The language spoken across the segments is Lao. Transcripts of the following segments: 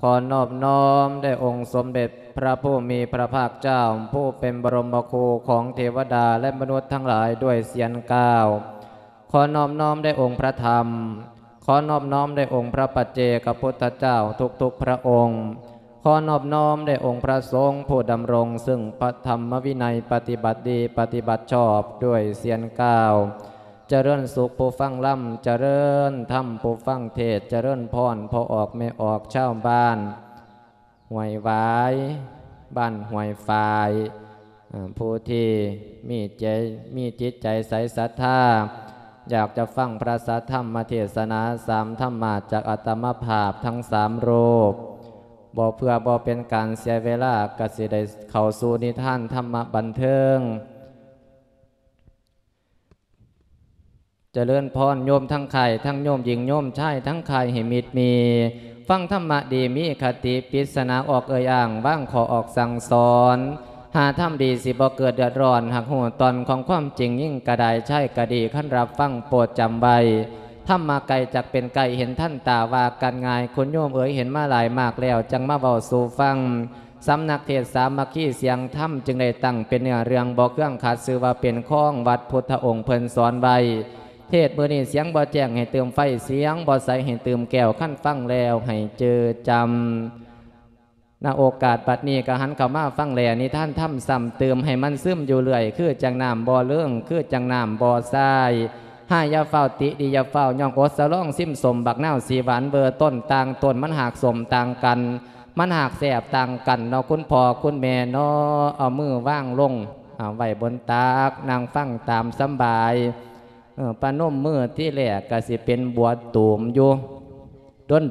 ขอนอบน้อมแด่องค์สมเด็จพระผู้มีพระภาคเจ้า ผู้เป็นบรมครูของเทวดาและมนุษย์ทั้งหลายด้วยเสียงกล่าว ขอนอบน้อมแด่องค์พระธรรม ขอนอบน้อมแด่องค์พระปัจเจกพุทธเจ้าทุกๆพระองค์ ขอนอบน้อมแด่องค์พระสงฆ์ผู้ดำรงซึ่งพระธรรมวินัย ปฏิบัติดีปฏิบัติชอบด้วยเสียงกล่าว เจริญสุขผู้ฟังลำ เจริญธรรมผู้ฟังเทศน์ เจริญพรพ่อออกแม่ออกชาวบ้านห้วยหวาย บ้านห้วยฝาย เอ่อ ผู้ที่มีใจ มีจิตใจใสศรัทธา อยากจะฟังพระสัทธรรมเทศนาสามธรรมะจากอาตมาภาพทั้งสามรูป บ่เพื่อบ่เป็นการเสียเวลา ก็สิได้เข้าสู่นิทานธรรมะบันเทิง เจริญพรโยมทั้งค่าย ทั้งโยมหญิงโยมชาย ทั้งค่ายให้มิตรมี ฟังธรรมะดีมีคติ ปริศนาออกเอ่ยอ้าง วางข้อออกสั่งสอน หาธรรมดีสิบ่เกิดเดือดร้อน หากฮู้ตอนของความจริง หญิงก็ได้ ชายก็ดี คันรับฟังโปรดจำไว้ ธรรมะไกลจักเป็นไกล เห็นทันตาว่ากันง่าย คุณโยมเอ๋ย เห็นมาหลายมากแล้ว จั่งมาเว้าสู่ฟัง สำนักเทศน์สามัคคีเสียงธรรม จึงได้ตั้งเป็นเนื้อเรื่องบ่เคืองขัด ชื่อว่าเป็นของวัดพุทธองค์เพิ่นสอนไว้ เทศน์มื้อนี้เสียงบ่แจ้งให้ตื่มไฟ เสียงบ่ใสให้ตื่มแก้ว คันฟังแล้วให้เจิดจำ ณ โอกาสบัดนี้ก็หันเข้ามาฟังแลนิทานธรรมซ้ำเติมให้มันซึมอยู่เรื่อย คือจั่งน้ำบ่เลิง คือจั่งน้ำบ่ทราย หาอย่าฟ้าวติ ดีอย่าฟ้าวย่อง อดสะลองซิมส้ม บักนาวสีหวานเวอร์ ต้นต่างต้นมันหากส้มต่างกัน มันหากแซ่บต่างกันเนาะ คุณพ่อคุณแม่เนาะ เอามือวางลง อ่า ไว้บนตัก นั่งฟังตามสำบาย เออ ประนมมือทีแรกก็สิเป็นบัวตูมอยู่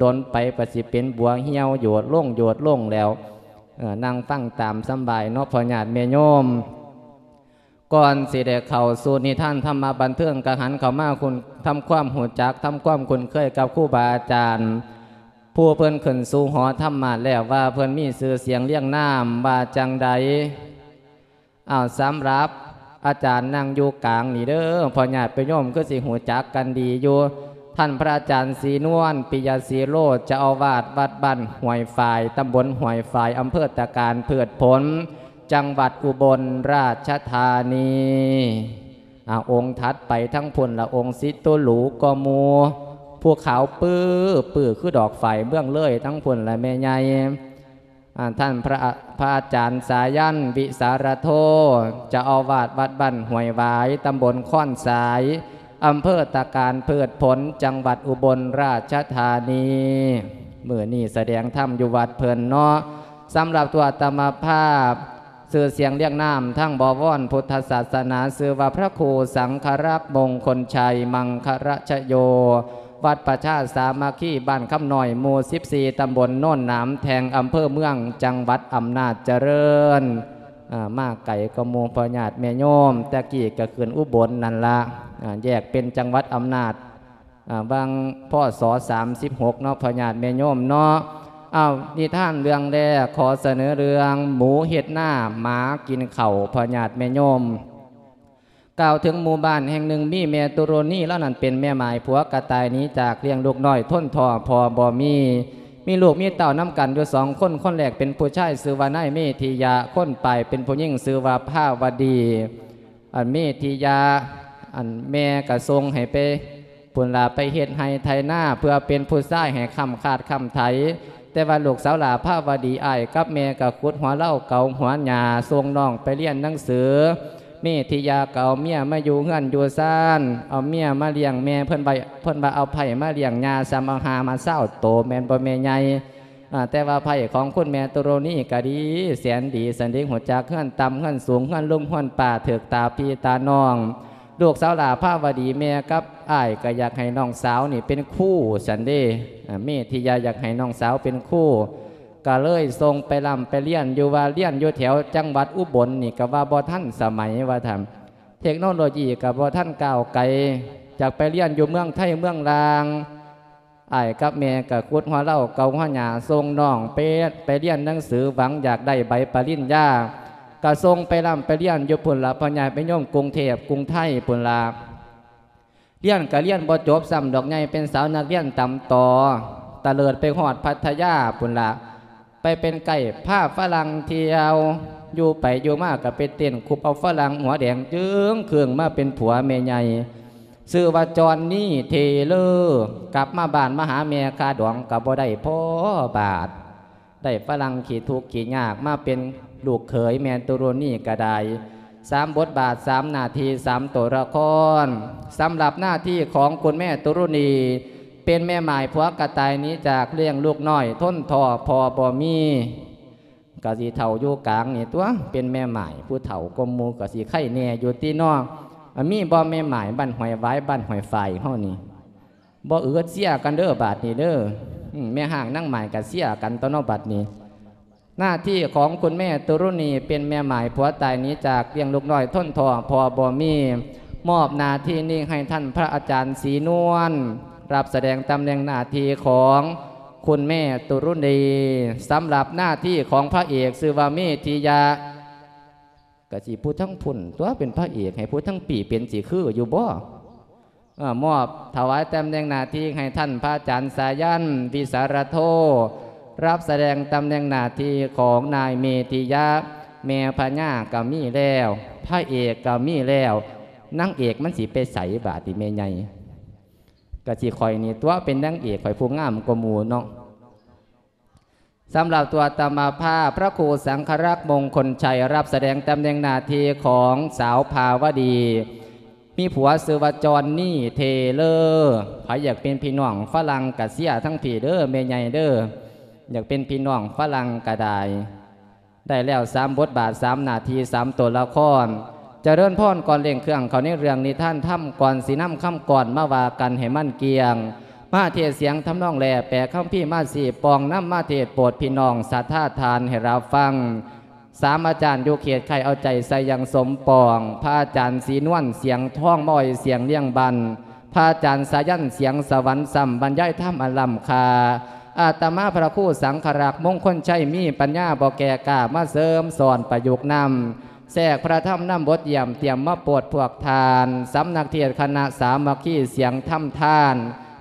ดนๆ ไปก็สิเป็นบัวเหี่ยว โยดลง โยดลงแล้ว เออ นั่งฟังตามสำบายเนาะ พ่อญาติแม่โยม ก่อนสิได้เข้าสู่นิทานธรรมะบันเทิง ก็หันเข้ามาคุณ ทำความรู้จัก ทำความคุ้นเคยกับครูบาอาจารย์ ผู้เพิ่นขึ้นสู่หอธรรมะแล้ว ว่าเพิ่นมีชื่อเสียงเรียงนามว่าจั่งใด อ้าว สำหรับอาจารย์นั่งอยู่กลางนี่เด้อ พ่อญาติโยมคือสิรู้จักกันดีอยู่ ท่านพระอาจารย์ศรีนวล ปิยะสีโล เจ้าอาวาสวัดบ้านห้วยฝาย ตำบลห้วยฝาย อำเภอตะการพืชผล จังหวัดอุบลราชธานี อ่า องค์ถัดไปทั้งพุ้นละ องค์สิโตหรูกว่าหมู่ ผู้ขาวปื้อปื้อคือดอกฝายเมืองเลย ทั้งพุ้นละแม่ใหญ่ อ่า ท่านพระ พระอาจารย์สายัน วิสารโธ เจ้าอาวาสวัดบ้านห้วยหวาย ตำบลค้อนสาย อำเภอตะการพืชผล จังหวัดอุบลราชธานี มื้อนี้แสดงธรรมอยู่วัดเพิ่นเนาะ สำหรับตัวอาตมาภาพ ชื่อเสียงเรียงนามทางบวรพุทธศาสนา ชื่อว่าพระครูสังฆรักษ์มงคลชัย มังครชโย วัดประชาสามัคคี บ้านคำน้อย หมู่สิบสี่ ตำบลโนนหนามแทง อำเภอเมือง จังหวัดอำนาจเจริญ อ่า มาไกลกว่าหมู่ พ่อญาติแม่โยม แต่กี้ก็ขึ้นอุบลนั่นละ อ่า แยกเป็นจังหวัดอำนาจ อ่า หว่าง พ.ศ. สามสิบหก เนาะ พ่อญาติแม่โยมเนาะ อ้าว นิทานเรื่องแรก ขอเสนอเรื่องหมูเฮ็ดนา หมากินข้าว พ่อญาติแม่โยม กล่าวถึงหมู่บ้านแห่งหนึ่ง มีแม่ตุรณี ลาวนั้นเป็นแม่หมาย ผัวก็ตายหนีจาก เลี้ยงลูกน้อยทนท้อ พ่อบ่มี มีลูกมีเต้านำกันอยู่สองคน คนแรกเป็นผู้ชายชื่อว่านายเมธิยะ คนปลายเป็นผู้หญิงชื่อว่าภาวดี อันเมธิยะ อันแม่ก็ส่งให้ไปพุ้นล่ะ ไปเฮ็ดไฮ่ไถนา เพื่อเป็นผู้ชายให้ค้ำคาดค้ำไถ แต่ว่าลูกสาวหล้าภาวดี อ้ายกับแม่ก็ขุดหัวเลา เกาหัวหญ้า ส่งน้องไปเรียนหนังสือ เมธิยะก็เอาเมียมาอยู่เฮือนอยู่ซาน เอาเมียมาเลี้ยงแม่ เพิ่นว่า เพิ่นว่าเอาไพร่มาเลี้ยงย่า ส่ำเอาห่ามาซาวโต แม่นบ่แม่ใหญ่ อ่า แต่ว่าไพร่ของคุณแม่ตุรณีก็ดี แสนดี สันเดะ ฮู้จักเฮือนต่ำเฮือนสูง เฮือนลุงเฮือนป้า ถูกตาพี่ตาน้อง ลูกสาวหล้าภาวดี แม่กับอ้ายก็อยากให้น้องสาวนี่เป็นครู สันเดะ อ่า เมธิยะอยากให้น้องสาวเป็นครู ก็เลยส่งไปร่ำไปเรียน อยู่ว่าเรียนอยู่แถวจังหวัดอุบลนี่ก็ว่าบ่ทันสมัยว่าซั่น เทคโนโลยีก็บ่ทันก้าวไกล อยากไปเรียนอยู่เมืองไทเมืองลาง อ้ายกับแม่ก็ขุดหัวเลา เกาหัวหญ้า ส่งน้องไป ไปเรียนหนังสือ หวังอยากได้ใบปริญญา ก็ส่งไปร่ำไปเรียนอยู่พุ้นล่ะ พ่อญาติโยม กรุงเทพฯ กรุงไทยพุ้นล่ะ เรียนก็เรียนบ่จบ ซ้ำดอกใหญ่เป็นสาวนักเรียนต่ำต่อ ຕະເລີດໄປຮອດພັດທະຍາພຸ້ນລະ ໄປເປັນໄກພາຝຣັ່ງທ່ຽວ ຢູ່ໄປຢູ່ມາກໍໄປເຕັ້ນຄຸບເອົາຝຣັ່ງຫົວແດງຈຶ່ງເຄິ່ງມາເປັນຜົວແມ່ໃຫຍ່ ຊື່ວ່າຈອນນີ່ເທເລີ ກັບມາບ້ານມາຫາແມ່ ຄ່າດອງກໍບໍ່ໄດ້ພໍບາດ ໄດ້ຝຣັ່ງຂີ້ທຸກຂີ້ຍາກມາເປັນລູກເຂີຍແມ່ຕຸລຸນີກໍໄດ້ ສາມບົດບາດ ສາມໜ້າທີ່ ສາມໂຕລະຄອນ. ສຳລັບໜ້າທີ່ຂອງຄຸນແມ່ຕຸລຸນີ ເປັນແມ່ໝ້າຍຜົວກະຕາຍໜີຈາກ ລ້ຽງລູກນ້ອຍທົນທໍ້ພໍ່ບໍ່ມີ ກະຊິເຖົ້າຢູ່ກາງນີ້ຕົວະ ເປັນແມ່ໝ້າຍຜູ້ເຖົ້າກວ່າໝູ່ ກະຊິໄຄແດ່ຢູ່ຕິເນາະ. ມີບໍ່ແມ່ໝ້າຍບ້ານຫ້ວຍຫວາຍ ບ້ານຫ້ວຍຝາຍເຮົານີ້? ບໍ່ອຶດ ເຊຍກັນເດີບາດນີ້ເດີ. ອືມ ແມ່ຮ້າງນາງໝ້າຍກະເຊຍກັນຕົວະເນາະບາດນີ້. ໜ້າທີ່ຂອງຄຸນແມ່ຕຸລຸນີ ເປັນແມ່ໝ້າຍຜົວຕາຍໜີຈາກ ລ້ຽງລູກນ້ອຍທົນທໍ້ພໍ່ບໍ່ມີ ມອບໜ້າທີ່ນີ້ໃຫ້ທ່ານພະອາຈານສີນວນ ຮັບສະແດງຕຳແໜ່ງໜ້າທີ່ຂອງຄຸນແມ່ຕຸລຸນີ. ສຳລັບໜ້າທີ່ຂອງພະເອກຊື່ວ່າເມທິຍະ ກະຊິຜູ້ທັງພຸ້ນຕົວະເປັນພະເອກ ໃຫ້ຜູ້ທັງປີເປັນຊິຄືຢູ່ບໍ່? ເອີ ມອບຖວາຍຕຳແໜ່ງໜ້າທີ່ໃຫ້ທ່ານພະອາຈານສາຍັນ ວິສາລະໂທ ຮັບສະແດງຕຳແໜ່ງໜ້າທີ່ຂອງນາຍເມທິຍະ. ແມ່ພະຍາກໍມີແລ້ວ ພະເອກກໍມີແລ້ວ ນາງເອກມັນຊິໄປໃສບາດນີ້ແມ່ໃຫຍ່? ກະຊິຂ້ອຍນີ້ຕົວະເປັນນາງເອກ ຂ້ອຍຜູ້ງາມກວ່າໝູ່ເນາະ. ສຳລັບຕົວະອາດຕະມາພາບ ພະຄູສັງຄະລັກ ມົງຄົນໄຊ ຮັບສະແດງຕຳແໜ່ງໜ້າທີ່ຂອງສາວພາວະດີ ມີຜົວຊື່ວ່າຈອນນີ່ເທເລີ. ໃຜຢາກເປັນພີ່ນ້ອງຝຣັ່ງກະເຊຍທັງພີເດີແມ່ໃຫຍ່ເດີ ຢາກເປັນພີ່ນ້ອງຝຣັ່ງກະໄດ້. ໄດ້ແລ້ວສາມບົດບາດ ສາມໜ້າທີ່ ສາມໂຕລະຄອນ. ຈະເລີນພອນກ່ອນເລັ່ງເຄື່ອງເຂົ້າໃນເລື່ອງນິທານທຳ ກ່ອນຊິນຳຄຳກອນມາວ່າກັນໃຫ້ມັນກ້ຽງ ມາເທດສຽງທຳນອງແລ ແປຄຳພີມາຊີ້ປ່ອງ ນຳມາເທດໂປດພີ່ນ້ອງສັດທາທ່ານໃຫ້ຮັບຟັງ. ສາມອາຈານຢູ່ເຂດໄຄ ເອົາໃຈໃສ່ຢ່າງສົມປອງ ພະອາຈານສີນວນ ສຽງທອງ ມາອ້ອຍສຽງລຽງບັນ ພະອາຈານສາຍັນ ສຽງສະຫວັນ ຊ້ຳບັນຍາຍທຳອັນລ້ຳຄ່າ. ອາດຕະມາພະຄູສັງຄະລັກ ມົງຄົນໄຊ ມີປັນຍາບໍ່ແກ່ກ້າ ມາເສີມສອນປະຍຸກນຳ ແຊກພະທຳນຳບົດຢ້ຽມ ຕຽມມາໂປດພວກທ່ານ ສຳນັກເທດຄະນະສາມັກຄີ ສຽງທຳທານ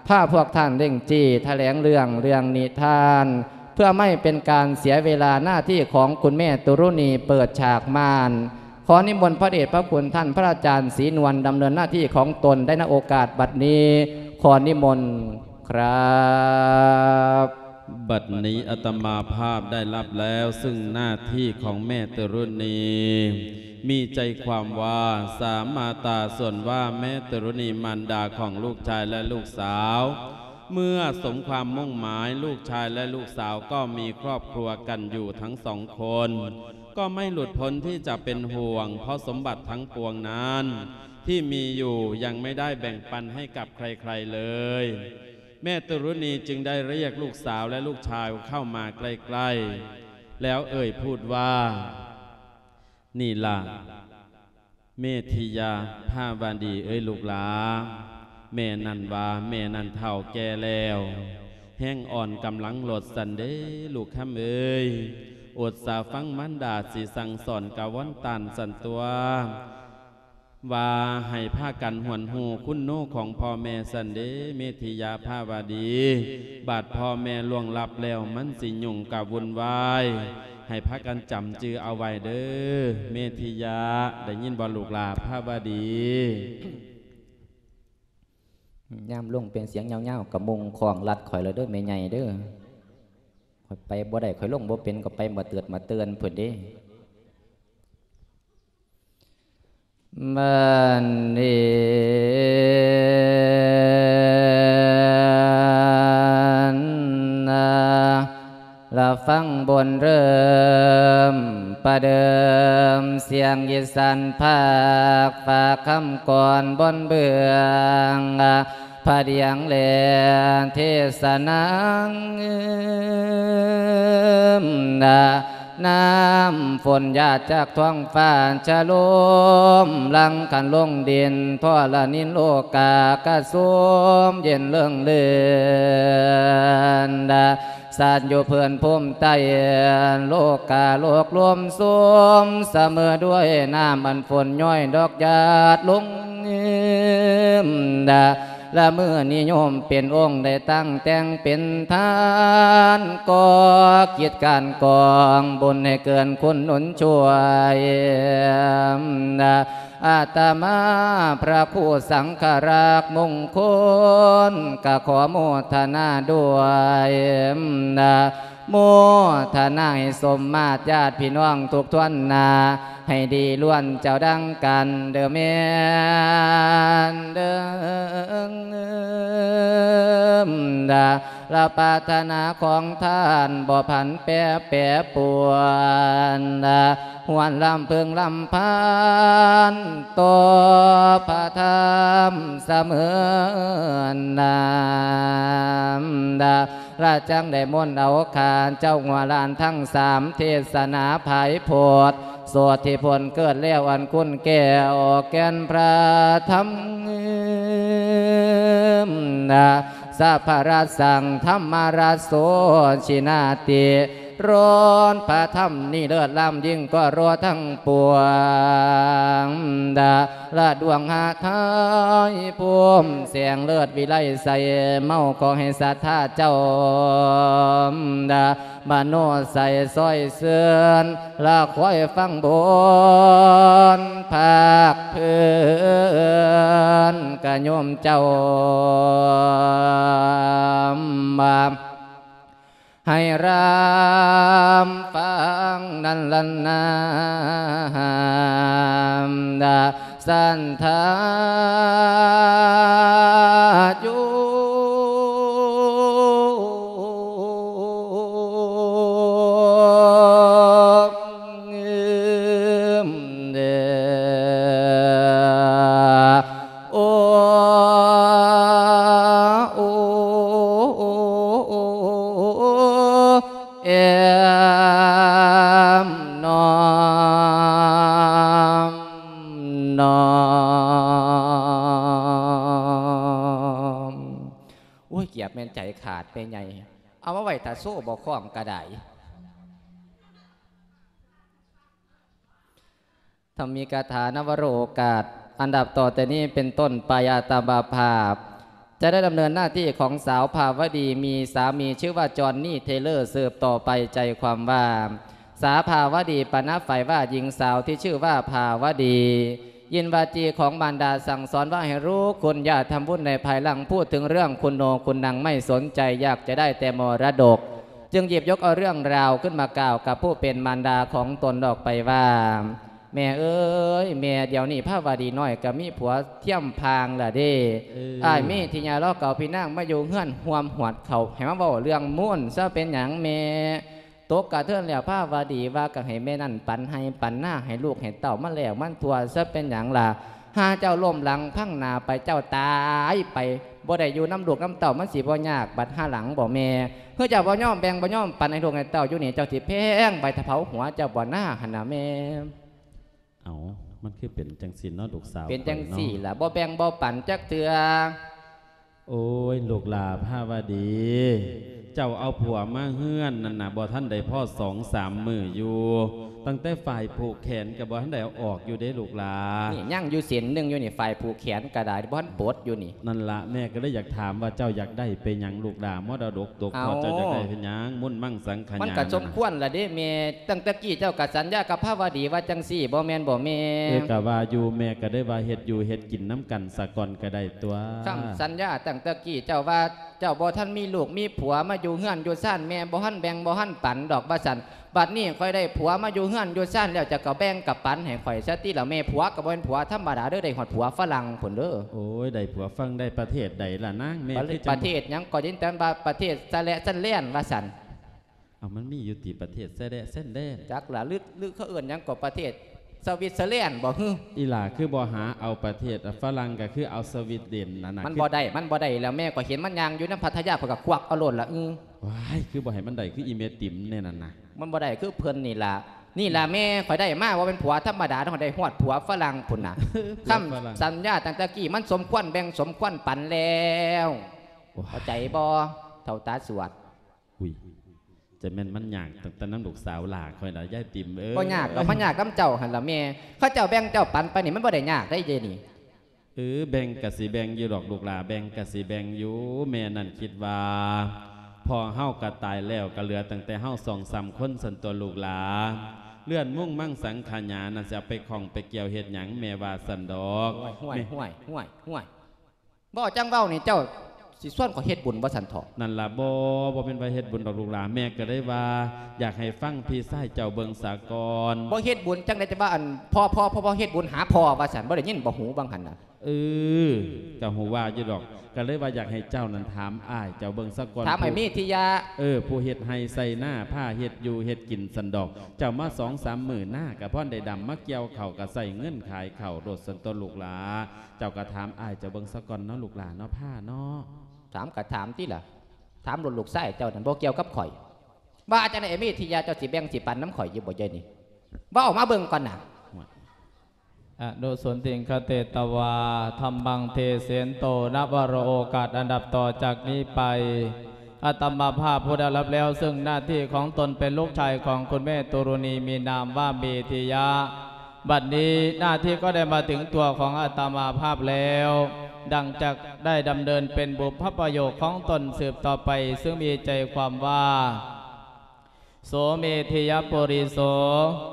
ພາພວກທ່ານເລັ່ງຈີ້ ຖະແຫຼງເລື່ອງ ເລື່ອງນິທານ ເພື່ອໄມ່ເປັນການເສຍເວລາ. ໜ້າທີ່ຂອງຄຸນແມ່ຕຸລຸນີເປີດສາກມ່ານ. ຂໍນິມົນພະເດດພະຄຸນທ່ານພະອາຈານສີນວນ ດຳເນີນໜ້າທີ່ຂອງຕົນໄດ້ ນະໂອກາດບັດນີ້ ຂໍນິມົນ ຄັບ. ບັດນີ້ອາດຕະມາພາບໄດ້ຮັບແລ້ວ ຊຶ່ງໜ້າທີ່ຂອງແມ່ຕຸລຸນີ ມີໃຈຄວາມວ່າ ສາມາຕາ ສ່ວນວ່າແມ່ຕຸລຸນີ ມານດາຂອງລູກຊາຍ ແລະ ລູກສາວ ເມື່ອສົມຄວາມມຸ່ງໝາຍ ລູກຊາຍ ແລະ ລູກສາວກໍມີຄອບຄົວກັນຢູ່ທັງສອງຄົນ ກໍໄມ່ຫຼຸດພົ້ນທີ່ຈະເປັນຫ່ວງ ເພາະສົມບັດທັງປວງນັ້ນ ທີ່ມີຢູ່ຍັງໄມ່ໄດ້ແບ່ງປັນໃຫ້ກັບໃຄໆເລີຍ. ແມ່ຕຸລຸນີຈຶ່ງໄດ້ຮຽກລູກສາວ ແລະ ລູກຊາຍເຂົ້າມາໃກ້ໆ ແລ້ວເອີ່ຍພູດວ່າ ນີ້ລະ ເມທິຍະພາວະດີເອີຍລູກຫຼາ ແມ່ນັ້ນວ່າ ແມ່ນັ້ນເຖົ້າແກ່ແລ້ວ ແຮງອ່ອນກຳລັງຫຼົດຊັ້ນເດ້ ລູກຄຳເອີຍ ອົດສາຟັງມານດາຊິສັ່ງສອນກະວອນຕານຊັ້ນຕົວະ ວ່າໃຫ້ພາກັນຫວນຮູ້ຄຸນໂນຂອງພໍ່ແມ່ຊັ້ນເດ້ ເມທິຍະພາວະດີ. ບາດພໍ່ແມ່ລ່ວງລັບແລ້ວ ມັນຊິຫຍຸ້ງກະວຸ່ນວາຍ ໃຫ້ພາກັນຈຳຈື່ເອົາໄວ້ເດີ ເມທິຍະ ໄດ້ຍິນບໍ່ລູກຫຼາພາວະດີ? ຍາມລົງເປັນສຽງຍາວໆ ກະມຸງຄ້ອງລັດຂ້ອຍແລ້ວເດີແມ່ໃຫຍ່ເດີ ຂ້ອຍໄປບໍ່ໄດ້ ຂ້ອຍລົງບໍ່ເປັນ ກໍໄປມາເຕີດມາເຕີນພຸ້ນເດ້. ບັດນີ້ນະ ລະຟັງບົນເລີ່ມປະເດີມ ສຽງອີສານພາກຝາກຄຳກອນບົນເບື້ອງ ພະດຽງແລເທສະນາ ນ້ຳຝົນຫຍາດຈາກທ້ອງຟ້າ ຈະລົມຫຼັ່ງຂັນລົງດິນ ທໍລະນິນໂລກາກະຊົມເຢັນເລິງເລີນ ສັດຢູ່ພື້ນພູມໃຕ້ ໂລກາໂລກລວມຊົມສະເໝີດ້ວຍນ້ຳອັນຝົນຍ້ອຍດອກຫຍາດລົງ ລະມື້ນີ້ໂຍມເປັນອົງໄດ້ຕັ້ງແຕ່ງເປັນທານ ກໍ່ກິດການກອງບຸນໃຫ້ເກີນຄຸນໜູນຊ່ວຍ ອາດຕະມາພະຄູສັງຄະລັກມຸງຄຸນ ກະຂໍໂມທະນາດ້ວຍ ໂມທະນາໃຫ້ສົມມາດຍາດພີ່ນ້ອງທຸກທ່ວນນາ ໃຫ້ດີລ້ວນເຈົ້າດັ່ງກັນເດີແມ່ນເດີ ລະປາດຖະໜາຂອງທ່ານບໍ່ຜັນແປແປປວນ ຮວນລຳເພິ່ງລຳພັນຕໍ່ພະທຳສະເໝີນນາ ລະຈັ່ງໄດ້ມົນເອົາຂ້າເຈົ້າຫົວລ້ານທັງສາມ ເທດສະໜາພາຍໂພດ ໂສດທີ່ພົ້ນເກີດແລ້ວອັນຄຸນແກ້ວ ແກ່ນພະທຳ ສະພະລະສັງທຳມະລະໂສຊິນາຕິ ຮ້ອນພະທຳນີ້ເລີດລ້ຳຍິ່ງກວ່າໂລທັງປວງ ລະດວງຫາໄທພູມແສງເລີດວິໄລໃສ ເມົາຂໍໃຫ້ສັດທາເຈົ້າ ມະໂນໃສຊ່ອຍເຊີນ ລະຄອຍຟັງບົນພາກພື້ນກະໂຍມເຈົ້າ ໃຫ້ລຳຟັງນັ້ນລະນາ ສັນທາຢູ່ ໂອ ໂອ ເອມ ນ້ອມ ນ້ອມ. ໂອ້ຍ ກຽບແມ່ນໃຈຂາດແມ່ໃຫຍ່ ເອົາມາໄວ້ຖ້າໂຊບໍ່ຄ້ອງກະໄດ້. ທຳມິກະຖາ ນະວະໂລກາດ ອັນດັບຕໍ່ແຕ່ນີ້ເປັນຕົ້ນໄປ ອາດຕະມາພາບຈະໄດ້ດຳເນີນໜ້າທີ່ຂອງສາວພາວະດີ ມີສາມີຊື່ວ່າຈອນນີ່ ເທເລີ ສືບຕໍ່ໄປ. ໃຈຄວາມວ່າ ສາວພາວະດີປະນາໄຟວ່າຍິງສາວທີ່ຊື່ວ່າພາວະດີ ຍິນວາຈີຂອງມານດາສັ່ງສອນວ່າໃຫ້ຮູ້ຄຸນ ຢ່າທຳບຸນໃນພາຍຫຼັງ. ພູດເຖິງເລື່ອງຄຸນໂນຄຸນນັງໄມ່ສົນໃຈ ຢາກຈະໄດ້ແຕ່ມໍລະດົກ ຈຶ່ງຫຍິບຍົກເອົາເລື່ອງລາວຂຶ້ນມາກ່າວກັບຜູ້ເປັນມານດາຂອງຕົນອອກໄປວ່າ ແມ່ເອີຍ ແມ່ ດຽວນີ້ພາວະດີນ້ອຍກະມີຜົວທຽມພາງລະເດ້. ເອີ ອ້າຍມີທິຍາລາວເກົ່າພີ່ນາງມາຢູ່ເຮືອນຮ່ວມຫວດເຂົ້າ ໃຫ້ມາເວົ້າເລື່ອງມູນຊະເປັນຫຍັງແມ່? ຕົກກະເທີນແລ້ວພາວະດີວ່າກະໃຫ້ແມ່ນັ້ນປັນໄຮ່ປັນນາໃຫ້ລູກໃຫ້ເຕົ້າມັນແລ້ວມັນທົ່ວຊະເປັນຫຍັງລະ? ຫາເຈົ້າລົ້ມຫຼັງພັງໜ້າໄປ ເຈົ້າຕາຍໄປ ບໍ່ໄດ້ຢູ່ນຳລູກນຳເຕົ້າ ມັນຊິບໍ່ຍາກບັດຫາຫຼັງບໍ່ແມ່? ເຮີເຈົ້າບໍ່ຍອມແບ່ງບໍ່ຍອມປັນໃຫ້ລູກໃຫ້ເຕົ້າຢູ່ນີ້ ເຈົ້າຊິແພງໄປຖ້າເຜົາຫົວເຈົ້າບໍ່ນາຫັ້ນນະແມ່? ເອົ້າ ມັນຄືເປັນຈັ່ງຊີ້ເນາະລູກສາວ ເປັນຈັ່ງຊີ້ລະ ຂ້ອຍເນາະ ບໍ່ແບ່ງບໍ່ປັນຈັກເທື່ອ. ໂອ້ຍ ລູກຫຼ້າພາວະດີ ເຈົ້າເອົາຜົວມາເຮືອນນັ້ນນະ ບໍ່ທັນໄດ້ພໍສອງສາມມື້ຢູ່ ຕັ້ງແຕ່ຝ້າຍຜູກແຂນກະບໍ່ທັນໄດ້ເອົາອອກຢູ່ເດ້ລູກຫຼ້າ. ນີ້ຍັງຢູ່ເສັ້ນໜຶ່ງຢູ່ນີ້ ຝ້າຍຜູກແຂນກະໄດ້ ບໍ່ທັນປົດຢູ່ນີ້. ນັ້ນລະ ແມ່ກະເລີຍຢາກຖາມວ່າເຈົ້າຢາກໄດ້ໄປຫຍັງລູກຫຼ້າ ມໍລະດົກຕົກທອດ ເອົ້າ ເຈົ້າຢາກໄດ້ເຮັດຫຍັງ? ມຸນມັງສັງຂະຍາ ມັນກະສົມຄວນລະເດ້ແມ່. ຕັ້ງແຕ່ກີ້ເຈົ້າກະສັນຍາກັບພາວະດີວ່າຈັ່ງຊີ້ ບໍ່ແມ່ນບໍ່ແມ່? ເອີ ກະວ່າຢູ່ ແມ່ກະໄດ້ວ່າເຮັດຢູ່ເຮັດກິນນຳກັນສາກ່ອນກະໄດ້ຕົວະ. ຄຳສັນຍາຕັ້ງແຕ່ກີ້ເຈົ້າວ່າ ເຈົ້າບໍ່ທັນມີລູກມີຜົວມາຢູ່ເຮືອນຢູ່ຊານ ແມ່ບໍ່ທັນແບ່ງບໍ່ທັນປັນດອກວ່າຊັ້ນ. ບັດນີ້ຂ້ອຍໄດ້ຜົວມາຢູ່ເຮືອນຢູ່ຊານແລ້ວ ເຈົ້າກະແບ່ງກະປັນໃຫ້ຂ້ອຍຊະຕິລະແມ່. ຜົວກະບໍ່ແມ່ນຜົວທຳມະດາເດີ ໄດ້ຮອດຜົວຝຣັ່ງພຸ້ນເດີ. ໂອ້ຍ ໄດ້ຜົວຝຣັ່ງ ໄດ້ປະເທດໃດລະນາງ? ແມ່ ປະ ຄື ປະເທດຫຍັງກໍຍິນແຕ່ວ່າປະເທດສະແລະສະແລນວ່າຊັ້ນ. ເອົາ ມັນມີຢູ່ຕິປະເທດຊາຍແດນ ຊາຍແດນ? ຈັກລະ ຫຼື ຫຼືເຂົາເອີ້ນຫຍັງກໍປະເທດສະວິດເຊີແລນບໍ່ຫື? ອີ່ຫຼ້າຄືບໍ່ຫາເອົາປະເທດຝຣັ່ງ ກະຄືເອົາສະວິດເດນນັ້ນນະ. ມັນບໍ່ໄດ້ ມັນບໍ່ໄດ້ແລ້ວແມ່. ຂ້ອຍເຫັນມັນຍ່າງຢູ່ນຳພັດທະຍາ ຂ້ອຍກະຄວັກເອົາໂລດລະ. ອື ວ້າຍ ຄືບໍ່ໃຫ້ມັນໄດ້ຄືອີເມຕິມແນ່ນັ້ນນະ. ມັນບໍ່ໄດ້ຄືເພິ່ນນີ້ລະ. ນີ້ລະແມ່ ຂ້ອຍໄດ້ມາບໍ່ແມ່ນຜົວທຳມະດາ ຂ້ອຍໄດ້ຮອດຜົວຝຣັ່ງພຸ້ນນະ. ຄຳສັນຍາຕັ້ງແຕ່ກີ້ ມັນສົມຄວນແບ່ງສົມຄວນປັນແລ້ວ. ໂອ້ຍ ເຂົ້າໃຈບໍ່ ເຖົ້າຕາສວດ? ອຸ້ຍ ຈະແມ່ນມັນຍາກຕັ້ງແຕ່ນຳລູກສາວຫຼ້າຂ້ອຍລະ ຍາຍຕິມເອີຍ. ບໍ່ຍາກດອກ ມັນຍາກນຳເຈົ້າຫັ້ນລະແມ່. ເຂົາເຈົ້າແບ່ງເຈົ້າປັນໄປນີ້ ມັນບໍ່ໄດ້ຍາກໄດ໋ເດນີ້. ເອີ ແບ່ງກະຊິແບ່ງຢູ່ດອກລູກຫຼາ ແບ່ງກະຊິແບ່ງຢູ່. ແມ່ນັ້ນຄິດວ່າ ພໍ່ເຮົາກະຕາຍແລ້ວ ກະເຫຼືອຕັ້ງແຕ່ເຮົາສອງສາມຄົນຊັ້ນຕົວະລູກຫຼາ. ເລື່ອນມຸ້ງມັງສັງຂະຫຍານັ້ນ ຊິເອົາໄປຂ້ອງໄປກ່ຽວເຮັດຫຍັງ ແມ່ວ່າຊັ້ນດອກ. ຫ້ວຍ ຫ້ວຍ ແມ່ ຫ້ວຍ ຫ້ວຍ ຫ້ວຍ ເວົ້າຈັ່ງເວົ້ານີ້ ເຈົ້າຊິຊວນຂ້ອຍເຮັດບຸນວ່າຊັ້ນເຖາະ. ນັ້ນລະ ບໍ່ ບໍ່ແມ່ນວ່າເຮັດບຸນດອກລູກຫຼາ ແມ່ກະເລີຍວ່າ ຢາກໃຫ້ຟັງພີ່ຊາຍເຈົ້າເບິ່ງສາກ່ອນ. ບໍ່ເຮັດບຸນຈັ່ງໃດ ຈະວ່າ ອັນ ພໍ່ ພໍ່ ພໍ່ ພໍ່ເຮັດບຸນຫາພໍ່ວ່າຊັ້ນ ບໍ່ໄດ້ຍິນບໍ່ຫູວ່າງຫັ້ນນະ. ເອີ ກະຮູ້ວ່າຢູ່ດອກ ກະເລີຍວ່າຢາກໃຫ້ເຈົ້ານັ້ນຖາມອ້າຍເຈົ້າເບິ່ງສາກ່ອນ. ຖາມໄອ້ມີທິຍາ. ເອີ ຜູ້ເຮັດໄຮ່ໄຊນາ ພາເຮັດຢູ່ເຮັດກິນຊັ້ນດອກ. ເຈົ້າມາສອງສາມມື້ນາກະພອນໄດ້ດຳ ມາກ່ຽວເຂົ້າກະໃຊ້ເງິນຂາຍເຂົ້າໂລດຊັ້ນຕົວະລູກຫຼາ. ເຈົ້າກະຖາມອ້າຍເຈົ້າເບິ່ງສາກ່ອນເນາະລູກຫຼາເນາະ ພາເນາະ. ຖາມກະຖາມຕິລະ ຖາມໂລດລູກຊາຍເຈົ້ານັ້ນ ບໍ່ກ່ຽວກັບຂ້ອຍ. ວ່າຈັ່ງໃດໄອ້ມີທິຍາ ເຈົ້າຊິແບ່ງຊິປັນນຳຂ້ອຍຢູ່ບໍ່ເດຍນີ້? ເວົ້າອອກມາເບິ່ງກ່ອນນະ. ອະນຸສົນທິງຄະເຕຕະວາ ທຳມັງເທເສນໂຕ ນະວະໂລ ໂອກາດອັນດັບຕໍ່ຈາກນີ້ໄປ ອາດຕະມາພາບຜູ້ໄດ້ຮັບແລ້ວ ເຊິ່ງໜ້າທີ່ຂອງຕົນເປັນລູກຊາຍຂອງຄຸນແມ່ຕຸລຸນີ ມີນາມວ່າເມທິຍະ. ບັດນີ້ໜ້າທີ່ກໍໄດ້ມາເຖິງຕົວຂອງອາດຕະມາພາບແລ້ວ ດັ່ງຈະໄດ້ດຳເນີນເປັນບຸບພະປະໂຫຍກຂອງຕົນສືບຕໍ່ໄປ ເຊິ່ງມີໃຈຄວາມວ່າ ໂສເມທິຍະປຸລິໂສ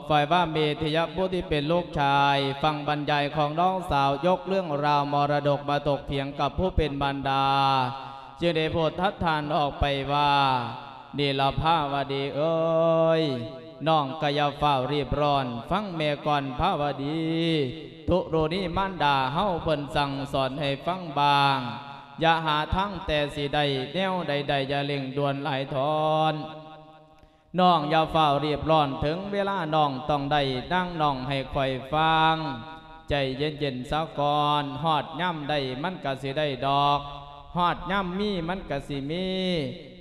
ຝ່າຍວ່າເມທິຍະຜູ້ທີ່ເປັນລູກຊາຍ ຟັງບັນຍາຍຂອງນ້ອງສາວ ຍົກເລື່ອງລາວມໍລະດົກມາຖົກຖຽງກັບຜູ້ເປັນມານດາ ຈຶ່ງໄດ້ໂພດທັດທານອອກໄປວ່າ ນີລະພາວະດີເອີຍ ນ້ອງກະຢ່າຟ້າວຣີບຮ້ອນ ຟັງແມ່ກ່ອນພາວະດີ ຕຸລຸນີມານດາເຮົາເພິ່ນສັ່ງສອນໃຫ້ຟັງບ້າງ ຢ່າຫາທາງແຕ່ຊິໄດ້ ແນວໃດໆ ຢ່າເລັ່ງດ່ວນຫຼາຍທ້ອນ. ນ້ອງຢ່າຟ້າວຣີບຮ້ອນ ເຖິງເວລານ້ອງຕ້ອງໄດ້ ນາງນ້ອງໃຫ້ຂ້ອຍຟັງ ໃຈເຢັນໆ ສາກ່ອນ ຮອດຍາມໄດ້ມັນກະຊິໄດ້ດອກ ຮອດຍາມມີມັນກະຊິມີ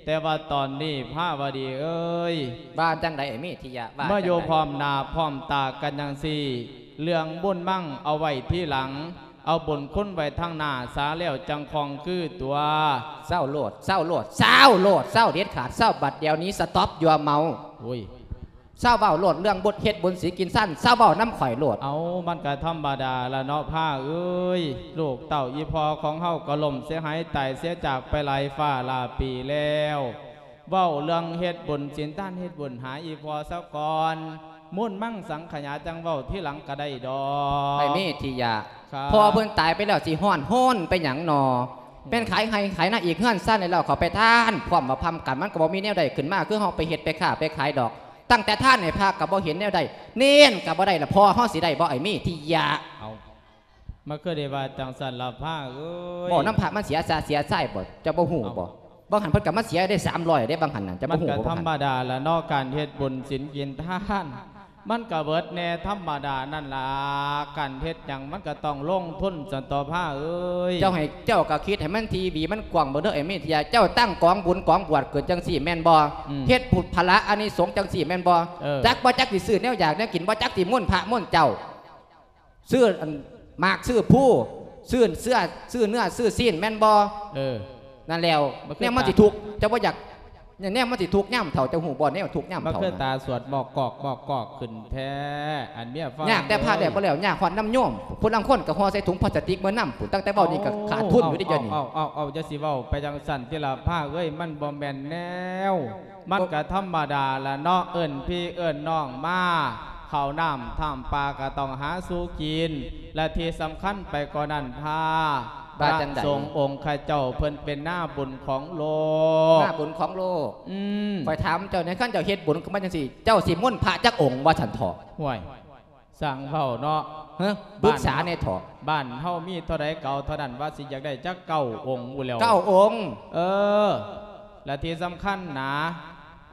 ແຕ່ວ່າຕອນນີ້ພາວະດີເອີຍ ວ່າຈັ່ງໃດເມທິຍະ ວ່າ ມາຢູ່ ຈັງໃດ ພ້ອມໜ້າພ້ອມຕາກັນຈັ່ງຊີ້ ເລື່ອງບຸນມັງເອົາໄວ້ທີຫຼັງ ເອົາບຸນຄຸນໄວ້ທາງໜ້າສາແລ້ວຈັ່ງຄ່ອງຄືຕົວະ. ເຊົາໂລດ ເຊົາໂລດ ເຊົາໂລດ ເຊົາເດັດຂາດ ເຊົາບັດດຽວນີ້ ສະຕັອບ ຢູ່ເມົາ. ໂອ້ຍ ເຊົາເວົ້າໂລດ ເລື່ອງບຸດເຮັດບຸນສິນກິນຊານ ເຊົາເວົ້ານຳຂ້ອຍໂລດ. ເອົາ ມັນກະທຳມະດາລະເນາະພາເອີຍ ລູກເຕົ້າອີ່ພໍ່ຂອງເຮົາກໍລົ້ມເສຍຫາຍຕາຍເສຍຈາກໄປຫຼາຍຟ້າຫຼາຍປີແລ້ວ. ເວົ້າເລື່ອງເຮັດບຸນສິນທານເຮັດບຸນຫາອີ່ພໍ່ສາກ່ອນ ມຸ້ນມັງສັງຂະຫຍາຈັ່ງເວົ້າທີຫຼັງກະໄດ້ດອກ. ໄອ້ເມທິຍະ ຄັບ ພໍ່ເພິ່ນຕາຍໄປແລ້ວ ຊິຮ້ອນຮົນໄປຫຍັງນໍ? ແມ່ນຂາຍໄຮ່ຂາຍນາອີກ ເຮືອນຊານແລ້ວເຂົ້າໄປທານ ພ້ອມວ່າພ້ອມກັນ ມັນກະບໍ່ມີແນວໃດຂຶ້ນມາ ຄືເຮົາໄປເຮັດໄປຄ້າໄປຂາຍດອກ. ຕັ້ງແຕ່ທານໃຫ້ພະກະບໍ່ເຫັນແນວໃດ ເນນກະບໍ່ໄດ້ລະ ພໍ່ເຮົາຊິໄດ້ບໍ່ ໄອ້ເມທິຍະ? ເອົາ ມາຄືໄດ້ວ່າຈັ່ງຊັ້ນລະພະເອີຍ ເວົ້ານຳພະມັນເສຍຊາເສຍຊາຍບໍ່ ເຈົ້າບໍ່ຮູ້ບໍ່? ເອົ້າ ບາງຫັ້ນເພິ່ນກະມາເສຍໄດ້ສາມຮ້ອຍເດ້ ບາງຫັ້ນນະ ເຈົ້າບໍ່ຮູ້ບໍ່? ມັນກະທຳມະດາລະເນາະ ການເຮັດບຸນສິນກິນທານ ມັນກະເບີດແດ່ທຳມະດານັ້ນລະ ການເຮັດຫຍັງມັນກະຕ້ອງລົງທຶນຊັ້ນຕົວະພະເອີຍ. ເຈົ້າໃຫ້ ເຈົ້າກະຄິດໃຫ້ມັນທີວີມັນກວ້າງເບິ່ງເດີ ໄອ້ເມທິຍະ ເຈົ້າຕັ້ງກອງບຸນກອງບວດເກີດຈັ່ງຊີ້ແມ່ນບໍ່? ອືມ ເຮັດຜຸດຜະລະອານິສົງຈັ່ງຊີ້ແມ່ນບໍ່? ເອີ ຈັກບໍ່ຈັກຊິຊື້ແນວຢາກແນວກິນ ບໍ່ຈັກຊິມົນພະມົນເຈົ້າ ຊື້ອັນໝາກຊື້ພູ ຊື້ເສື້ອ ຊື້ເນື້ອຊື້ຊີ້ນແມ່ນບໍ່? ເອີ ນັ້ນແລ້ວ ມັນຄື ແນວມັນຊິທຸກ ເຈົ້າບໍ່ຢາກ ແນວມັນຊິທຸກຍາມເຖົ້າ ເຈົ້າຮູ້ບໍ່ ແນວທຸກຍາມເຖົ້າ ມັນຄືນະ ຕາສວດໝອກກອກໝອກກອກຂຶ້ນແທ້ ອັນເມຍຟັງ ຍາກແຕ່ພະແລ້ວບໍ່ແລ້ວ ຍາກຮອດນຳໂຍມ ຜູ້ລາງຄົນກະຫໍ່ໃສ່ຖົງພລາສຕິກເມືອນຳພຸ້ນ ຕັ້ງແຕ່ເວົ້ານີ້ກະຂາດທຶນຢູ່ເດ້ ດຽວນີ້. ເອົາ ເອົາ ເອົາ ເອົາ ຢ່າຊິເວົ້າໄປຈັ່ງຊັ້ນຕິລະພະເອີຍ ມັນບໍ່ແມ່ນແນວ ມັນກະທຳມະດາລະເນາະ ເອີ້ນພີ່ເອີ້ນນ້ອງມາ ເຂົ້ານ້ຳທຳປາກະຕ້ອງຫາສູ່ກິນ ແລະທີ່ສຳຄັນໄປກວ່ານັ້ນ ພະ ວ່າຈັ່ງໃດ? ພະສົງອົງຂະເຈົ້າເພິ່ນເປັນໜ້າບຸນຂອງໂລກ ໜ້າບຸນຂອງໂລກ. ອືມ ຂ້ອຍຖາມເຈົ້າແດ່ ຄັນເຈົ້າເຮັດບຸນຂຶ້ນມາຈັ່ງຊີ້ ເຈົ້າຊິມົນພະຈັກອົງວ່າຊັ້ນເຖາະ? ຫ້ວຍ ຊ່າງເວົ້າເນາະ ຮະ ປຶກສາແດ່ເຖາະ ບ້ານເຮົາມີເທົ່າໃດກະເອົາເທົ່ານັ້ນ ວ່າຊິຢາກໄດ້ຈັກເກົ້າອົງພຸ້ນແລ້ວ ເກົ້າອົງ. ເອີ ແລະທີ່ສຳຄັນນະ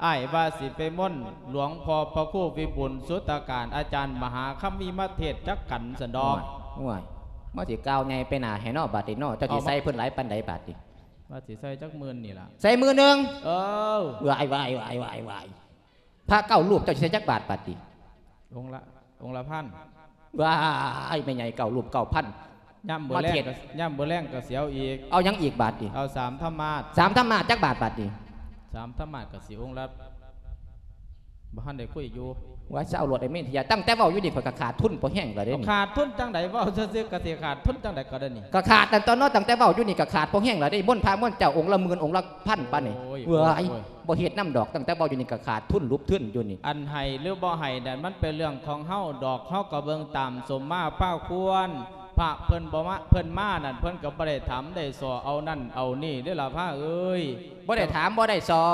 ອ້າຍວ່າຊິໄປມົນຫຼວງພໍ່ພະຄູວິບູນສຸດຕະການ ອາຈານມະຫາຄຳມີມາເທດຈັກກັນຊັ້ນດອກ. ໂອ້ຍ ໂອ້ຍ ມາຊິກ່າວໃຫຍ່ໄປໜ້າແທ້ເນາະ ບາດນີ້ເນາະ ເຈົ້າຊິໃສ່ເພິ່ນຫຼາຍປານໃດບາດນີ້? ວ່າຊິໃສ່ຈັກໝື່ນນີ້ລະ ໃສ່ໝື່ນໜຶ່ງ. ເອີ ວ້າຍ ວ້າຍ ວ້າຍ ວ້າຍ ພະເກົ້າຮູບເຈົ້າຊິໃສ່ຈັກບາດບາດນີ້? ອົງລະ ອົງລະພັນ. ວ້າຍ ແມ່ໃຫຍ່ເກົ້າຮູບເກົ້າພັນ ຍາມມື້ແລງ ມາເທດ ກະ ຍາມມື້ແລງກະຊິເອົາອີກ. ເອົາຫຍັງອີກບາດນີ້? ເອົາສາມທຳມາດ. ສາມທຳມາດຈັກບາດບາດນີ້? ສາມທຳມາດກະຊິອົງລະ ບໍ່ທັນໄດ້ຄຸຍຢູ່. ວ່າຊາວໂລດ ໄອ້ເມທິຍາ, ຕັ້ງແຕ່ເວົ້າຢູ່ນີ້ ຂ້ອຍກໍຂາດທຶນພໍແຮງແລ້ວເດ້ນີ້. ຂາດທຶນຈັ່ງໃດ? ເວົ້າຊື່ໆກໍຊິຂາດທຶນຈັ່ງໃດກໍໄດ້ນີ້. ກໍຂາດ ອັນຕອນເນາະ, ຕັ້ງແຕ່ເວົ້າຢູ່ນີ້ກໍຂາດພໍແຮງແລ້ວເດ້. ມົນພະມົນເຈົ້າ ອົງລະໝື່ນ ອົງລະພັນປານນີ້. ໂອ້ຍ ເວີ້ຍ ໂອ້ຍ ບໍ່ເຮັດນຳດອກ, ຕັ້ງແຕ່ເວົ້າຢູ່ນີ້ກໍຂາດທຶນ ຫຼຸບທຶນຢູ່ນີ້. ອັນໃຫ້ຫຼືບໍ່ໃຫ້ນັ້ນ ມັນເປັນເລື່ອງຂອງເຮົາດອກ, ເຮົາກໍເບິ່ງຕາມສົມມາພາຄວນ. ພະເພິ່ນບໍ່ມາ ເພິ່ນມານັ້ນ ເພິ່ນກໍບໍ່ໄດ້ຖາມໄດ້ສໍ່ເອົານັ້ນເອົານີ້ເດ້ລະພະເອີຍ. ບໍ່ໄດ້ຖາມບໍ່ໄດ້ສໍ່.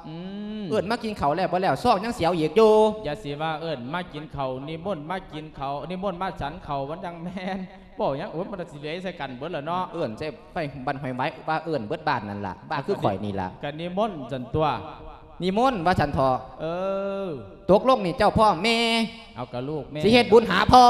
ອືມ ເອີ້ນມາກິນເຂົ້າແລ້ວບໍ່ແລ້ວ ຊອງຍັງສຽວອີກຢູ່. ຢ່າຊິວ່າເອີ້ນມາກິນເຂົ້າ, ນິມົນມາກິນເຂົ້າ, ນິມົນມາສັນເຂົ້າ, ມັນຈັ່ງແມ່ນ. ເວົ້າຫຍັງ? ໂອ້ຍ ມັນຊິເລຍໃສ່ກັນເບິດລະເນາະ. ເອີ້ນໃສ່ໄປບ້ານຫ້ວຍໄວ ວ່າເອີ້ນເບິດບ້ານນັ້ນລະ, ວ່າຄືຂ້ອຍນີ້ລະ. ກະນິມົນຊັ້ນຕົວະ. ນິມົນວ່າຊັ້ນເຖາະ. ເອີ ຕົກລົງນີ້ເຈົ້າພ້ອມແມ່. ເອົາ ກະລູກແມ່ ຊິເຮັດບຸນຫາພໍ່.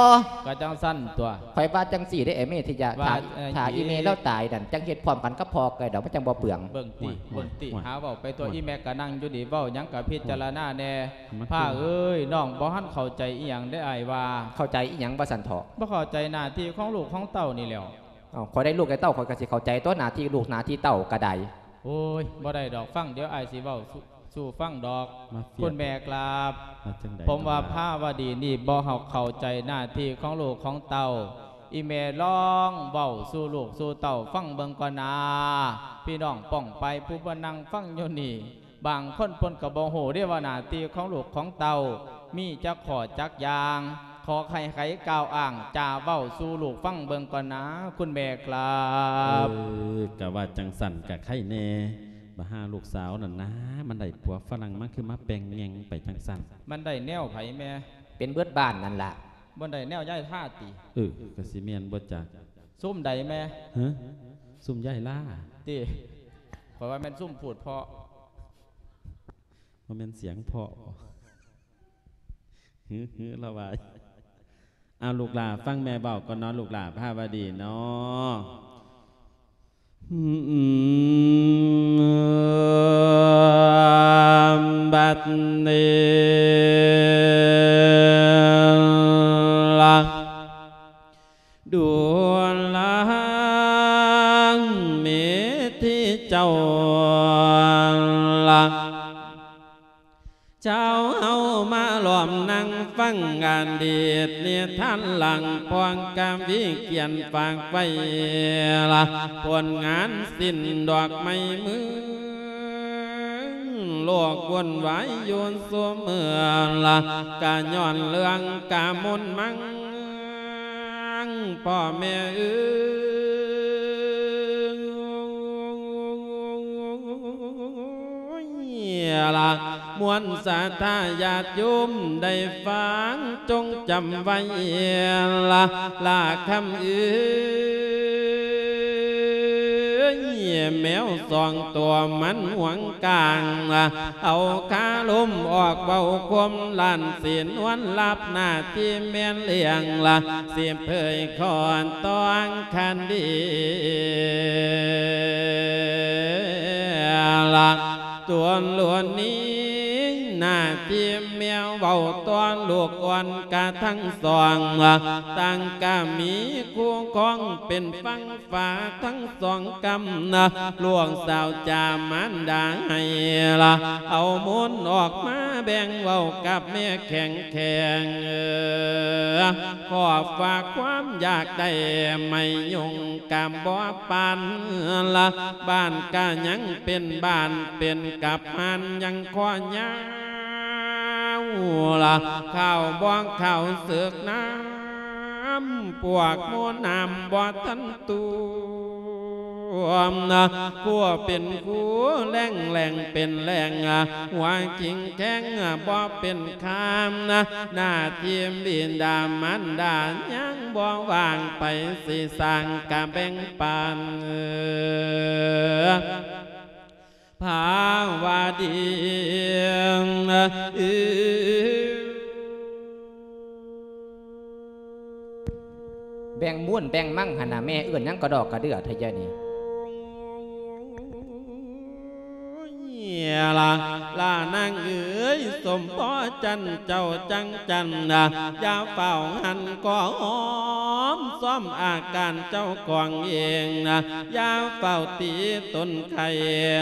ກະຈັ່ງຊັ້ນຕົວະ. ຂ້ອຍວ່າຈັ່ງຊີ້ເດ້ ໄອ້ເມທິຍາ, ວ່າ ຖ້າ ເອີ ຖ້າອີ່ແມ່ລາວຕາຍນັ້ນ ຈັ່ງເຮັດພ້ອມກັນກັບພໍ່ກໍໄດ້ດອກ, ມັນຈັ່ງບໍ່ເປືອງ. ເບິ່ງຕິ ໂອ້ຍ ເບິ່ງຕິ ໂອ້ຍ ຫາເວົ້າໄປຕົວະ. ໂອ້ຍ ອີ່ແມ່ກໍນັ່ງຢູ່ນີ້ ເວົ້າຫຍັງກໍພິຈາລະນາແດ່ ມັນຄື ພະເອີຍ. ນ້ອງບໍ່ທັນເຂົ້າໃຈອີ່ຫຍັງເດ້ ອ້າຍວ່າ. ເຂົ້າໃຈອີ່ຫຍັງວ່າຊັ້ນເຖາະ? ບໍ່ເຂົ້າໃຈໜ້າທີ່ຂອງລູກຂອງເຕົ້ານີ້ແຫຼ້ວ. ເອົ້າ ຂ້ອຍໄດ້ລູກໄດ້ເຕົ້າ ຂ້ອຍກໍຊິເຂົ້າໃຈຕົວະ ໜ້າທີ່ລູກໜ້າທີ່ເຕົ້າກໍໄດ້. ໂອ້ຍ ບໍ່ໄດ້ດອກ, ຟັງ ດຽວອ້າຍຊິເວົ້າສູ່ ສູ່ຟັງດອກ. ມາເຟຍດ ຄຸນແມ່ກາບ. ວ່າຈັ່ງໃດ? ຜົມວ່າພາວະດີນີ້ບໍ່ເຂົ້າໃຈໜ້າທີ່ຂອງລູກຂອງເຕົ້າ. ອີ່ແມ່ລອງເວົ້າສູ່ລູກສູ່ເຕົ້າຟັງເບິ່ງກ່ອນນາ. ພີ່ນ້ອງປ້ອງປາຍຜູ້ມານັ່ງຟັງຢູ່ນີ້ ບາງຄົນເພິ່ນກໍບໍ່ຮູ້ເດ້ວ່າໜ້າທີ່ຂອງລູກຂອງເຕົ້າມີຈັກຂໍ້ຈັກຢ່າງ. ຂໍໃຫ້ໃຜກ່າວອ້າງຈາເວົ້າສູ່ລູກຟັງເບິ່ງກ່ອນນາ ຄຸນແມ່ກາບ. ເອີ ກະວ່າຈັ່ງຊັ້ນກະໄຄແດ່. ບັກຫາລູກສາວນັ້ນນາ ມັນໄດ້ຜົວຝຣັ່ງ ມັນຄືມາແປ່ງແງ່ງໄປຈັ່ງຊັ້ນ. ມັນໄດ້ແນວໃຜແມ່? ເປັນເບິດບ້ານນັ້ນລະ. ບໍ່ໄດ້ແນວຍາຍທາຕິ? ເອີ ກະຊິແມ່ນບໍ່ຈັກ. ຊຸມໃດແມ່? ຮະ? ຊຸມຍາຍລາຕິ? ຂ້ອຍວ່າແມ່ນຊຸມພູດເພາະ. ບໍ່ແມ່ນສຽງເພາະ. ຫື ຫື ລະວ່າ. ເອົາ ລູກຫຼ້າຟັງແມ່ເວົ້າກ່ອນເນາະ ລູກຫຼ້າພາວະດີເນາະ. ບັດນີ້ລະ ດູລາເມທິເຈົ້າລະ ເຈົ້າເຮົາມາລ້ອມນັ່ງຟັງອະດີດນິທານຫຼັງ ພອງກະວີຂຽນຝາກໄວ້ລະ ຜົນງານສິ້ນດອກໄມ້ເມືອງ ໂລກວຸ່ນວາຍຢູ່ຊຸເມື່ອລະ ກະຍ້ອນເລື່ອງກະມົນມັງ ພໍ່ແມ່ເອີຍລະ ມວນສັດທາຍາດໂຍມໄດ້ຟັງ ຈົ່ງຈຳໄວ້ລະ ລາຄຳເອີຍ ແມວສອງຕົວມັນຫວງກາງລະ ເອົາຄາລົມອອກເວົ້າຄວາມລ້ານ ສິນວນລັບໜ້າທີ່ແມ່ນລ້ຽງລະ ຊິເຜີຍຄອນຕ້ອງຄັນດີລະ ຕົວຫຼວນນີ້ ໜ້າທີ່ແມ່ເວົ້າຕໍ່ລູກອ່ອນກະທັງສອງລະ ຕັ້ງກະມີຄູ່ຄອງເປັນຝັ່ງ ຝາທັງສອງກຳນະ ລູກສາວຈາມານດາໃຫ້ລະ ເອົາມູນອອກມາແບ່ງເວົ້າກັບແມ່ແຂງແຂງ ເອີ ຂໍຝາກຄວາມຢາກໄດ້ໄມ້ຍຸງກຳບໍ່ປານລະ ບ້ານກະຍັງເປັນບ້ານ ເປັນກັບຮ້ານຍັງຂໍຍາວລະ ຂ້າວບໍ່ເຂົ້າເສິກນຳ ພວກໝໍນ້ຳບໍ່ທັນ ຕົວມນະ ຜົວເປັນຄູແລ້ງແລ້ງເປັນແລ້ງ ຫົວກິງແຂງບໍ່ເປັນຄາມນະ ໜ້າທີ່ບິດາມານດາຍັງບໍ່ວ່າງ ໃຜຊິສ້າງກະແບ່ງປັນ ພາວະດີ ແບ່ງມູນແບ່ງມັງຫັ້ນນະ ແມ່ເອີ້ນຫຍັງກະດອກກະເດື່ອແທ້ຍະນີ້. ລະ ລະນາງເອີຍ ສົມພໍຈັນເຈົ້າຈັງຈັນນະ ຢ່າຟ້າວຫັນກໍຫອມຊອມອາການເຈົ້າຂອງເອງນະ ຢ່າຟ້າວຕີຕົນໄຄ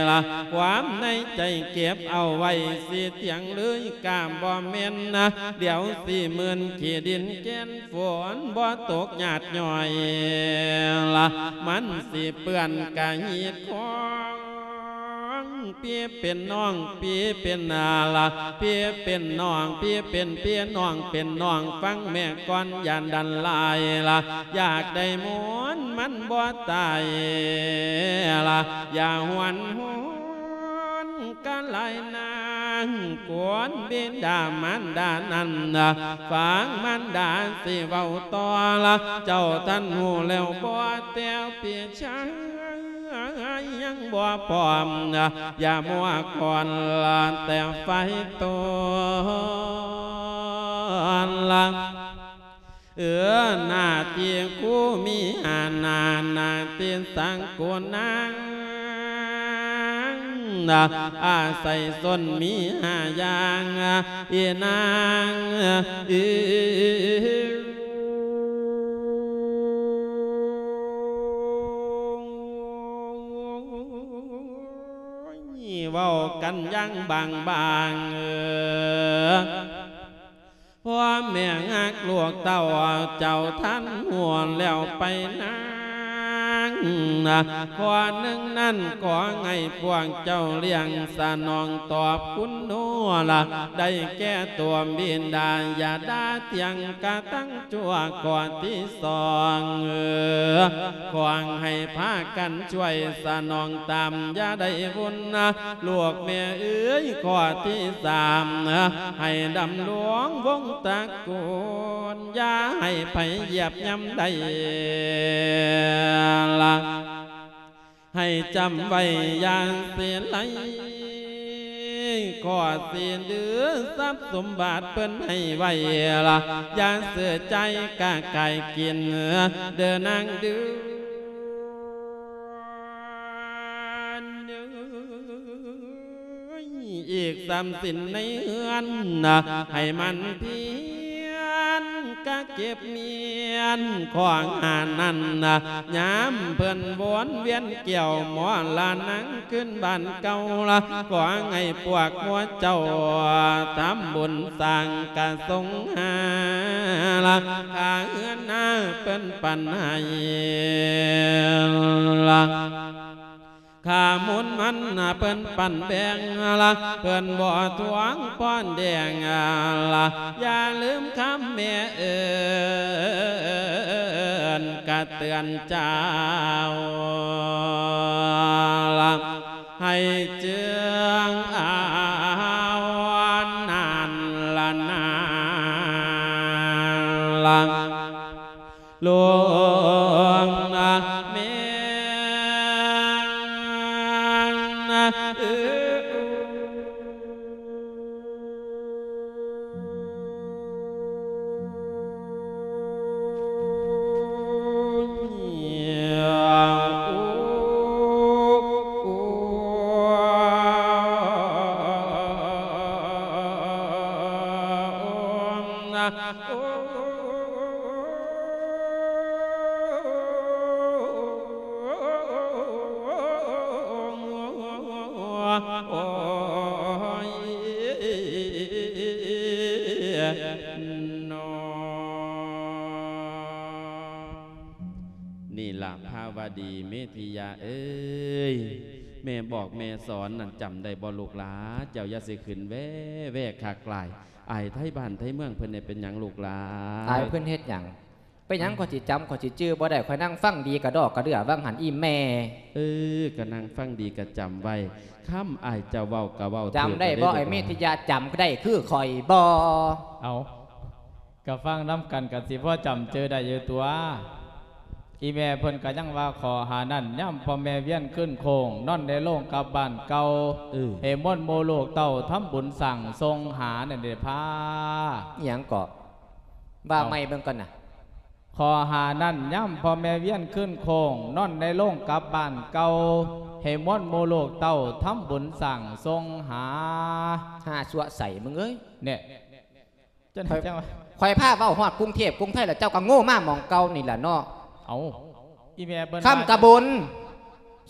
ລະ ຄວາມໃນໃຈເກັບເອົາໄວ້ ຊິຖຽງເລີຍກະບໍ່ແມ່ນນະ ດຽວຊິມື່ນຂີ້ດິນແກ່ນ ຝົນບໍ່ຕົກຍາດຍ້ອຍລະ ມັນຊິເປື້ອນກະຮີດຄອງ ພີ່ເປັນນ້ອງ ພີ່ເປັນອາລະ ພີ່ເປັນນ້ອງ ພີ່ເປັນພີ່ ນ້ອງເປັນນ້ອງ ຟັງແມ່ກ່ອນ ຢ່າດັນຫຼາຍລະ ຢາກໄດ້ມ່ວນມັນບໍ່ຕາຍລະ ຢ່າຫວນຫວນ ກະຫຼາຍນາງ ຄວນບິດາມານດານັ້ນນະ ຟັງມານດາຊິເວົ້າຕໍ່ລະ ເຈົ້າທ່ານຮູ້ແລ້ວບໍ່ ແຕ່ພີ່ຊາຍຍັງບໍ່ພ້ອມນະ ຢ່າມົວຄອນລະ ແຕ່ໄຟຕອນລະ ເອີ ໜ້າທີ່ຄູມີຫ້າໜ້າ ໜ້າທີ່ສັງໂກນາງ ອາໄສຊົນມີຫ້າຢ່າງ ອີນາງເອີຍ ເວົ້າກັນຢ່າງບາງໆ ເອີ ພໍ່ແມ່ຮັກລູກເຕົ້າ ເຈົ້າທັນຮູ້ແລ້ວໄປນາງ ຂໍ້ໜຶ່ງນັ້ນ ຂໍໃຫ້ພວກເຈົ້າລ້ຽງສະໜອງຕອບຄຸນໂນລະ ໄດ້ແກ່ຕົວບິດາ ຢ່າດ່າຖຽງກະທັງ ຊົ່ວຂໍ້ທີສອງ ຂໍໃຫ້ພາກັນຊ່ວຍສະໜອງຕາມ ຢ່າໄດ້ວຸ່ນນະ ລູກແມ່ເອີຍ ຂໍ້ທີສາມ ໃຫ້ດຳລົງວົງຕະກູນ ຢ່າໃຫ້ໃຜຢຽບຍ່ຳໄດ້ລະ ໃຫ້ຈຳໄວ້ຢ່າເສຍໄຫຼ ຂໍສິນຫຼືຊັບສົມບັດເພິ່ນໃຫ້ໄວ້ລະ ຢ່າເສຍໃຈກະກາຍກິນເດີນາງເດີ ອີກສາມສິນໃນເຮືອນນະ ໃຫ້ໝັ່ນພຽນກະເກັບມ້ຽນຂອງຫານັ້ນນະ ຍາມເພິ່ນວົນວຽນແກ້ວໝໍລະນາງຄືນບ້ານເກົ່າລະ ຂໍໃຫ້ພວກໝູ່ເຈົ້າທຳບຸນສ້າງກະສົງຫາລະ ຄ່າເຮືອນນາເພິ່ນປັນໃຫ້ລະ ຄ່າມູນມັນເພິ່ນປັນແບ່ງລະ ເພິ່ນບໍ່ທວງພອນແດງລະ ຢ່າລືມຄຳແມ່ເອີ້ນກະເຕືອນເຈົ້າລະ ໃຫ້ເຈື່ອງເອົານັ້ນລະນາລະ ຫຼວງນະແມ່ນເອີ ນີ້ລະ ພາວະດີ ເມທິຍາເອີຍ ແມ່ບອກແມ່ສອນນັ້ນ ຈຳໄດ້ບໍ່ລູກຫຼາ? ເຈົ້າຢ່າຊິຂຶ້ນແວ່ໆຄັກຫຼາຍ ອາຍໄທບ້ານໄທເມືອງເພິ່ນແດ່. ເປັນຫຍັງລູກຫຼາ? ອາຍເພິ່ນເຮັດຫຍັງ? ເປັນຫຍັງ ຂ້ອຍຊິຈຳ ຂ້ອຍຊິຈື່ບໍ່ໄດ້? ຂ້ອຍນັ່ງຟັງດີກະດອກກະເດືອຫວ່າງຫັ້ນອີ່ແມ່. ເອີ ກະນັ່ງຟັງດີກະຈຳໄວ້ ຄຳອ້າຍເຈົ້າເວົ້າກະເວົ້າຖືກ. ຈຳໄດ້ບໍ່ ໄອ້ເມທິຍາ? ຈຳໄດ້ຄືຂ້ອຍບໍ່? ເອົາ ກະຟັງນຳກັນກະຊິພໍຈຳຈື່ໄດ້ຢູ່ຕົວະ. ອີ່ແມ່ເພິ່ນກະຍັງວ່າຂໍ້ຫານັ້ນ ຍາມພໍ່ແມ່ວຽນຄືນໂຄ້ງ ນອນໃນໂລງກັບບ້ານເກົ່າ ເອີ ໃຫ້ມວນໝູ່ລູກເຕົ້າທຳບຸນສ້າງສົ່ງຫານັ້ນເດພາ. ອີ່ຫຍັງເກາະ? ເອົາ ວ່າໃໝ່ເບິ່ງກ່ອນນະ. ຂໍ້ຫ້ານັ້ນ ຍາມພໍ່ແມ່ວຽນຄືນໂຄ້ງ ນອນໃນໂລງກັບບ້ານເກົ່າ ໃຫ້ມວນໝູ່ລູກເຕົ້າ ທຳບຸນສ້າງສົ່ງຫາ. ຫ້າຊົ່ວໃສມຶງເອີຍ ແນ່ ຈັ່ງ ຂ້ອຍ ຈັ່ງວ່າ ຂ້ອຍພາເວົ້າຮອດກຸງເທບກຸງໄທແລ້ວ ເຈົ້າກໍໂງ່ມາໝ່ອງເກົ່ານີ້ແຫຼະເນາະ. ເອົ້າ ອີແມ່ເພິ່ນ ຄຳກະບຸນ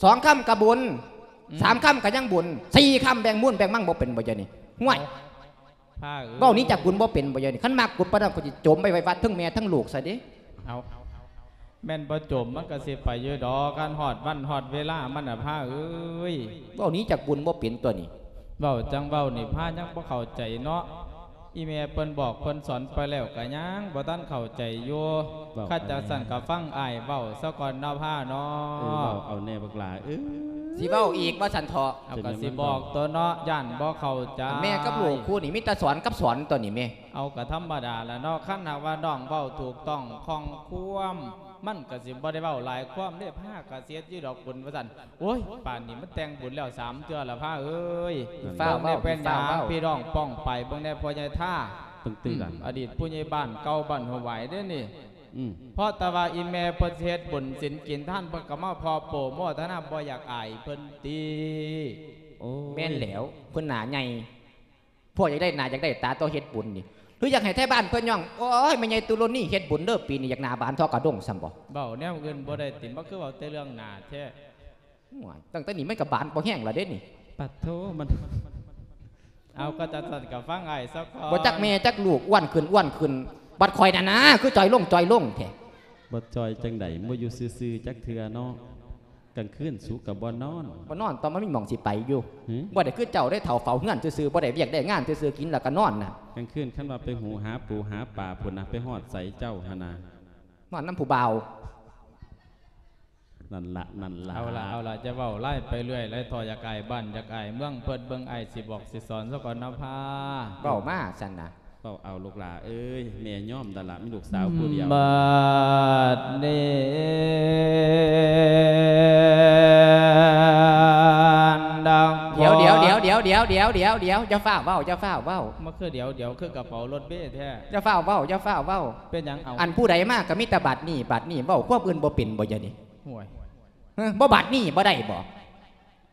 ສອງຄຳກະບຸນ ອືມ ສາມຄຳກະຍັງບຸນ ສີ່ຄຳແບ່ງມູນແບ່ງມັງບໍ່ເປັນບໍ່ ດຽວນີ້ ຫ້ວຍ ເອົ້າ ພາເອີຍ ເວົ້າໜີຈາກບຸນບໍ່ເປັນບໍ່ ດຽວນີ້ ຄັນມັກບຸນປານນັ້ນ ຂ້ອຍຊິໂຈມໄປໄວ້ວັດ ທັງແມ່ທັງລູກຊະເດ້. ເອົ້າ ແມ່ນບໍ່ໂຈມມັນກໍຊິໄປຢູ່ດອກ ຄັນຮອດວັນຮອດເວລາມັນນະ ພາເອີຍ ເວົ້າໜີຈາກບຸນບໍ່ເປັນຕົວນີ້. ເວົ້າຈັ່ງເວົ້ານີ້ ພາຍັງບໍ່ເຂົ້າໃຈເນາະ. ອີແມ່ເພິ່ນບອກເພິ່ນສອນໄປແລ້ວກໍຍັງບໍ່ທັນເຂົ້າໃຈຢູ່. ເວົ້າ ຄັນຈັ່ງຊັ້ນກໍຟັງອ້າຍເວົ້າສາກ່ອນເນາະ ພາເນາະ. ເອີ ເວົ້າເອົາແນ່ບັກຫຼ້າເອີຍ. ຊິເວົ້າອີກວ່າຊັ້ນເຖາະ. ເອົາ ກໍຊິບອກຕົວເນາະ ຢ້ານບໍ່ເຂົ້າໃຈ. ແມ່ກັບລູກຄູ່ນີ້ມີແຕ່ສອນກັບສອນຕົວນີ້ແມ່. ເອົາ ກໍທຳມະດາລະເນາະ ຄັນຫາກວ່ານ້ອງເວົ້າຖືກຕ້ອງຂ້ອງຄວາມ ມັນກໍຊິບໍ່ໄດ້ເວົ້າຫຼາຍຄວາມເດ້. ພາກໍເສຍຢູ່ດອກບຸນວ່າຊັ້ນ. ໂອ້ຍ ປານນີ້ມັນແຕ່ງບຸນແລ້ວສາມເທື່ອລະ ພາເອີຍ. ເອີ ເວົ້າແນ່ ເປັນຫຍັງພີ່ນ້ອງປ້ອງໄປເບິ່ງແນ່ ພໍ່ໃຫຍ່ທ່າ ເບິ່ງຕື່ນ ອະດີດຜູ້ໃຫຍ່ບ້ານເກົ່າບ້ານຫົວຫວາຍເດ້ນີ້. ອືມ ເພາະແຕ່ວ່າອີແມ່ເພິ່ນຊິເຮັດບຸນສິນກິນທານ ເພິ່ນກໍມາພໍໂປໂມທະນາ ບໍ່ຢາກອາຍເພິ່ນຕິ. ໂອ້ຍ ແມ່ນແລ້ວ ເພິ່ນໜ້າໃຫຍ່. ພວກຢາກໄດ້ໜ້າຢາກໄດ້ຕາຕໍ່ເຮັດບຸນນີ້ ຫຼືຢາກໃຫ້ໄທບ້ານເພິ່ນຍ້ອງ ໂອ້ຍ ແມ່ໃຫຍ່ຕຸລົນນີເຮັດບຸນເດີ ປີນີ້ຢາກໜ້າບານທໍ່ກະດົງຊ້ຳບໍ່? ເວົ້າແນວອື່ນບໍ່ໄດ້ຕິ ມັນຄືເວົ້າແຕ່ເລື່ອງໜ້າແທ້. ໂອ້ຍ ຕັ້ງແຕ່ນີ້ມັນກະບານພໍແຮງລະເດ້ນີ້. ປາດໂທ ມັນ ເອົາ ກໍຈັ່ງຊັ້ນກໍຟັງອ້າຍຊະກ່ອນ. ບໍ່ຈັກແມ່ຈັກລູກ ອ້ວນຂຶ້ນ ອ້ວນຂຶ້ນ ບັດຂ້ອຍນັ້ນນາ ຄືຈ່ອຍລົງ ຈ່ອຍລົງແທ້. ບໍ່ຈ່ອຍຈັ່ງໃດ ບໍ່ຢູ່ຊື່ໆຈັກເທື່ອເນາະ. ກາງຄືນສູກໍບໍ່ນອນ. ບໍ່ນອນ ຕ້ອງມັນມີໝ່ອງຊິໄປຢູ່. ຫື? ບໍ່ໄດ້ຄືເຈົ້າເດ້ ເຖົ້າເຝົ້າເຮືອນຊື່ໆ ບໍ່ໄດ້ວຽກໄດ້ງານຊື່ໆ ກິນແລ້ວກໍນອນນະ. ກາງຄືນຄັນວ່າໄປຫູຫາປູຫາປາພຸ້ນນະ ໄປຮອດໃສເຈົ້າຫັ້ນນະ. ນອນນຳຜູ້ບ່າວ. ນັ້ນລະ ນັ້ນລະ. ເອົາລະ ເອົາລະ ຈະເວົ້າຫຼາຍໄປເລື້ອຍ ຫຼາຍທໍ່ ຢາກອາຍບ້ານ ຢາກອາຍເມືອງເພິ່ນ. ເບິ່ງອ້າຍຊິບອກຊິສອນຊະກ່ອນນະພາ. ເວົ້າມາຊັ້ນນະ. ເວົ້າເອົາລູກຫຼ້າເອີຍ ແມ່ຍອມແລ້ວລະ ມີລູກສາວຜູ້ດຽວ. ບັດນີ້ ດຽວ ດຽວ ດຽວ ດຽວ ດຽວ ດຽວ ດຽວ ດຽວ ຢ່າຟ້າວເວົ້າ ຢ່າຟ້າວເວົ້າ. ມາຄືດຽວ ດຽວ ຄືກະເປົາລົດເມແທ້. ຢ່າຟ້າວເວົ້າ ຢ່າຟ້າວເວົ້າ. ເປັນຫຍັງເອົາ? ອັນຜູ້ໃດມາກະມີແຕ່ບັດນີ້ ບັດນີ້ ເວົ້າຄວາມອື່ນບໍ່ເປັນບໍ່ ດຽວນີ້? ໂອ້ຍ ຮະ ບໍ່ ບັດນີ້ບໍ່ໄດ້ບໍ່?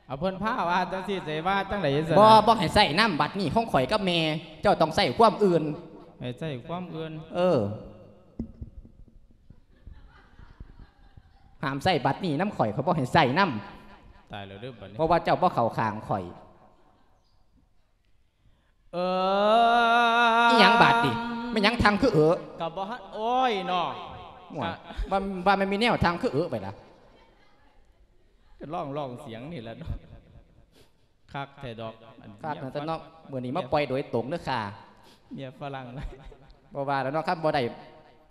ເອົາ ເພິ່ນພາວ່າຈັ່ງຊີ້ ຊິວ່າຈັ່ງໃດຊັ້ນນະ? ບໍ່ ບໍ່ໃຫ້ໃຊ້ນຳ ບັດນີ້ຂອງຂ້ອຍກັບແມ່ ເຈົ້າຕ້ອງໃຊ້ຄວາມອື່ນ. ໃຫ້ໃຊ້ຄວາມອື່ນ? ເອີ ຫ້າມໃຊ້ບັດນີ້ນຳຂ້ອຍ ຂ້ອຍບໍ່ໃຫ້ໃຊ້ນຳ. ຕາຍແລ້ວເດີບັດນີ້ ເພາະວ່າເຈົ້າບໍ່ເຂົ້າຂ້າງຂ້ອຍ. ເອີ ອີ່ຫຍັງບາດນີ້? ແມ່ນຫຍັງທັງຄືເອີ? ກໍບໍ່ທັນ ໂອ້ຍເນາະ. ໂອ້ຍ ວ່າ ວ່າແມ່ນມີແນວທັງຄືເອີໄປລະ. ກໍຮ້ອງ ຮ້ອງສຽງນີ້ແຫຼະເນາະ. ຄັກແທ້ດອກ ອັນ ຄັກນະ ເມຍ ຊັ້ນເນາະ. ມື້ນີ້ມາປ່ອຍໂດຍຕົງເດີຄ່າ ເມຍຝຣັ່ງ. ບໍ່ວ່າແລ້ວເນາະ ຄັນບໍ່ໄດ້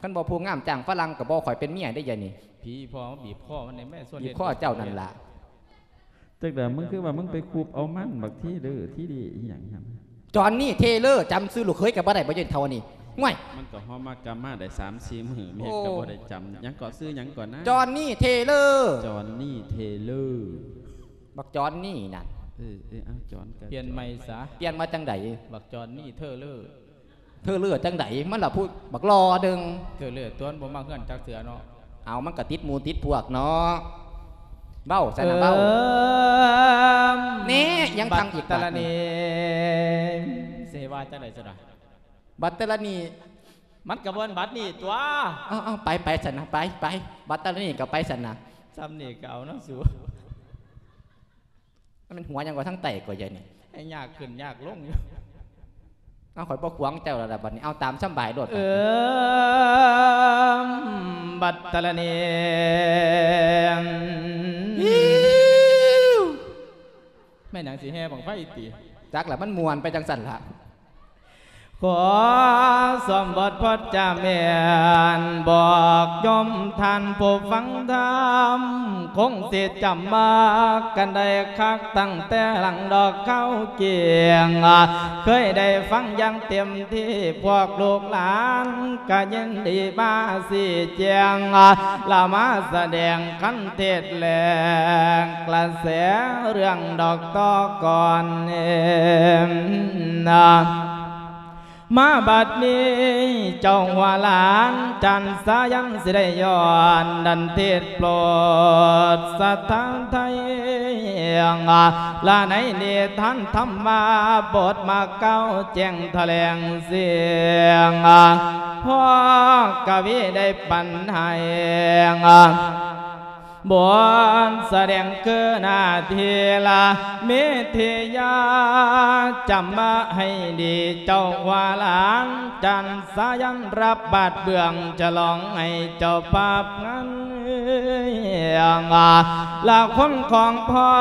ຄັນບໍ່ຜູ້ງາມຈ້າງຝຣັ່ງກໍບໍ່ຂ້ອຍເປັນເມຍເດ້ ດຽວນີ້. ຜີພໍ່ມາບີບຄໍມັນນີ້ແມ່ ຊວນ ບີບຄໍເຈົ້ານັ້ນລະ. ຈັກດາ ມຶງຄືວ່າມຶງໄປຄຸບເອົາມັນບັກທີເລີ ທີດີອີ່ຫຍັງຫັ້ນ? ຈອນນີ້ເທເລີ ຈຳຊື່ລູກເຂີຍກໍບໍ່ໄດ້ບໍ່ ເຢັນເທົ່ານີ້. ໂອ້ຍ ມັນກໍຮອມມາກັບມາໄດ້ສາມສີ່ມື້ ແມ່ກໍບໍ່ໄດ້ຈຳ. ຫຍັງເກາະ? ຊື່ຫຍັງເກາະນະ? ຈອນນີ້ເທເລີ. ຈອນນີ້ເທເລີ. ບັກຈອນນີ້ນັ້ນ. ເອີ ເອີ ເອົາ ຈອນກໍ ປ່ຽນໃໝ່ຊະ. ປ່ຽນມາຈັ່ງໃດ? ບັກຈອນນີ້ເທີເລີ. ເທີເລີຈັ່ງໃດ? ມັນລະຜູ້ບັກຫຼໍ່ໜຶ່ງ. ເທີເລີຕົວະ ບໍ່ມາເຮືອນຈັກເທື່ອເນາະ. ເອົາ ມັນກະຕິດໝູ່ຕິດພວກເນາະ. ເວົ້າຊັ້ນນະ ເວົ້າ. ເອີ ແນ່ ຍັງທັງອີກບາດນີ້. ບັດຕະລະນີ ຊິວ່າຈັ່ງໃດຊັ້ນນະ? ບັດຕະລະນີ ມັນກະບໍ່ແມ່ນບັດນີ້ຕົວະ. ເອົາໆ ໄປ ໄປຊັ້ນນະ ໄປ ໄປ ບັດຕະລະນີກະໄປຊັ້ນນະ. ຊ່ຳນີ້ກະເອົານະສູ. ມັນເປັນຫົວຫຍັງກວ່າທາງໃຕ້ກວ່າໃຫຍ່ນີ້ ໃຫ້ຍາກຂຶ້ນຍາກລົງຢູ່. ເອົາ ຂ້ອຍບໍ່ຂວາງເຈົ້າແລ້ວລະບັດນີ້ ເອົາຕາມສຳບາຍໂລດ. ເອີ ບັດຕະລະນີ ແມ່ນຫຍັງ ຊິແຫ່ບັ້ງໄຟຕິ? ຈັກລະ ມັນມ່ວນໄປຈັ່ງຊັ້ນລະ. ຂໍສວມບົດພະຈາແມ່ນ ບອກໂຍມທ່ານຜູ້ຟັງທຳ ຄົງຊິຈຳມາກັນໄດ້ຄັກ ຕັ້ງແຕ່ຫຼັງດອກເຄົ້າກຽງ ເຄີຍໄດ້ຟັງຢ່າງເຕັມທີ່ ພວກລູກຫຼານກະຍິນດີມາຊີ້ແຈງ ລະມາສະແດງຄັນເທດແລງ ກະແສເລື່ອງດອກຕໍ່ກ່ອນເນາະ. ມາບັດນີ້ເຈົ້າຫົວຫຼານຈັນສາຍັນ ຊິໄດ້ຍ້ອນດັນເທດໂປດສະຖານໄທ ລະໃນນິທານທຳມະບົດມາກ່າວແຈ້ງຖະແຫຼງສຽງ ພໍ່ກະວີໄດ້ປັນໃຫ້ ບົດສະແດງຄືໜ້າທີ່ລະເມທິຍາ ຈຳມາໃຫ້ດີເຈົ້າວ່າຫຼານຈັນສາຍັນ ຮັບບາດເບື້ອງ ສະຫຼອງໃຫ້ເຈົ້າພາບງານ ລະຄົນຂອງພໍ່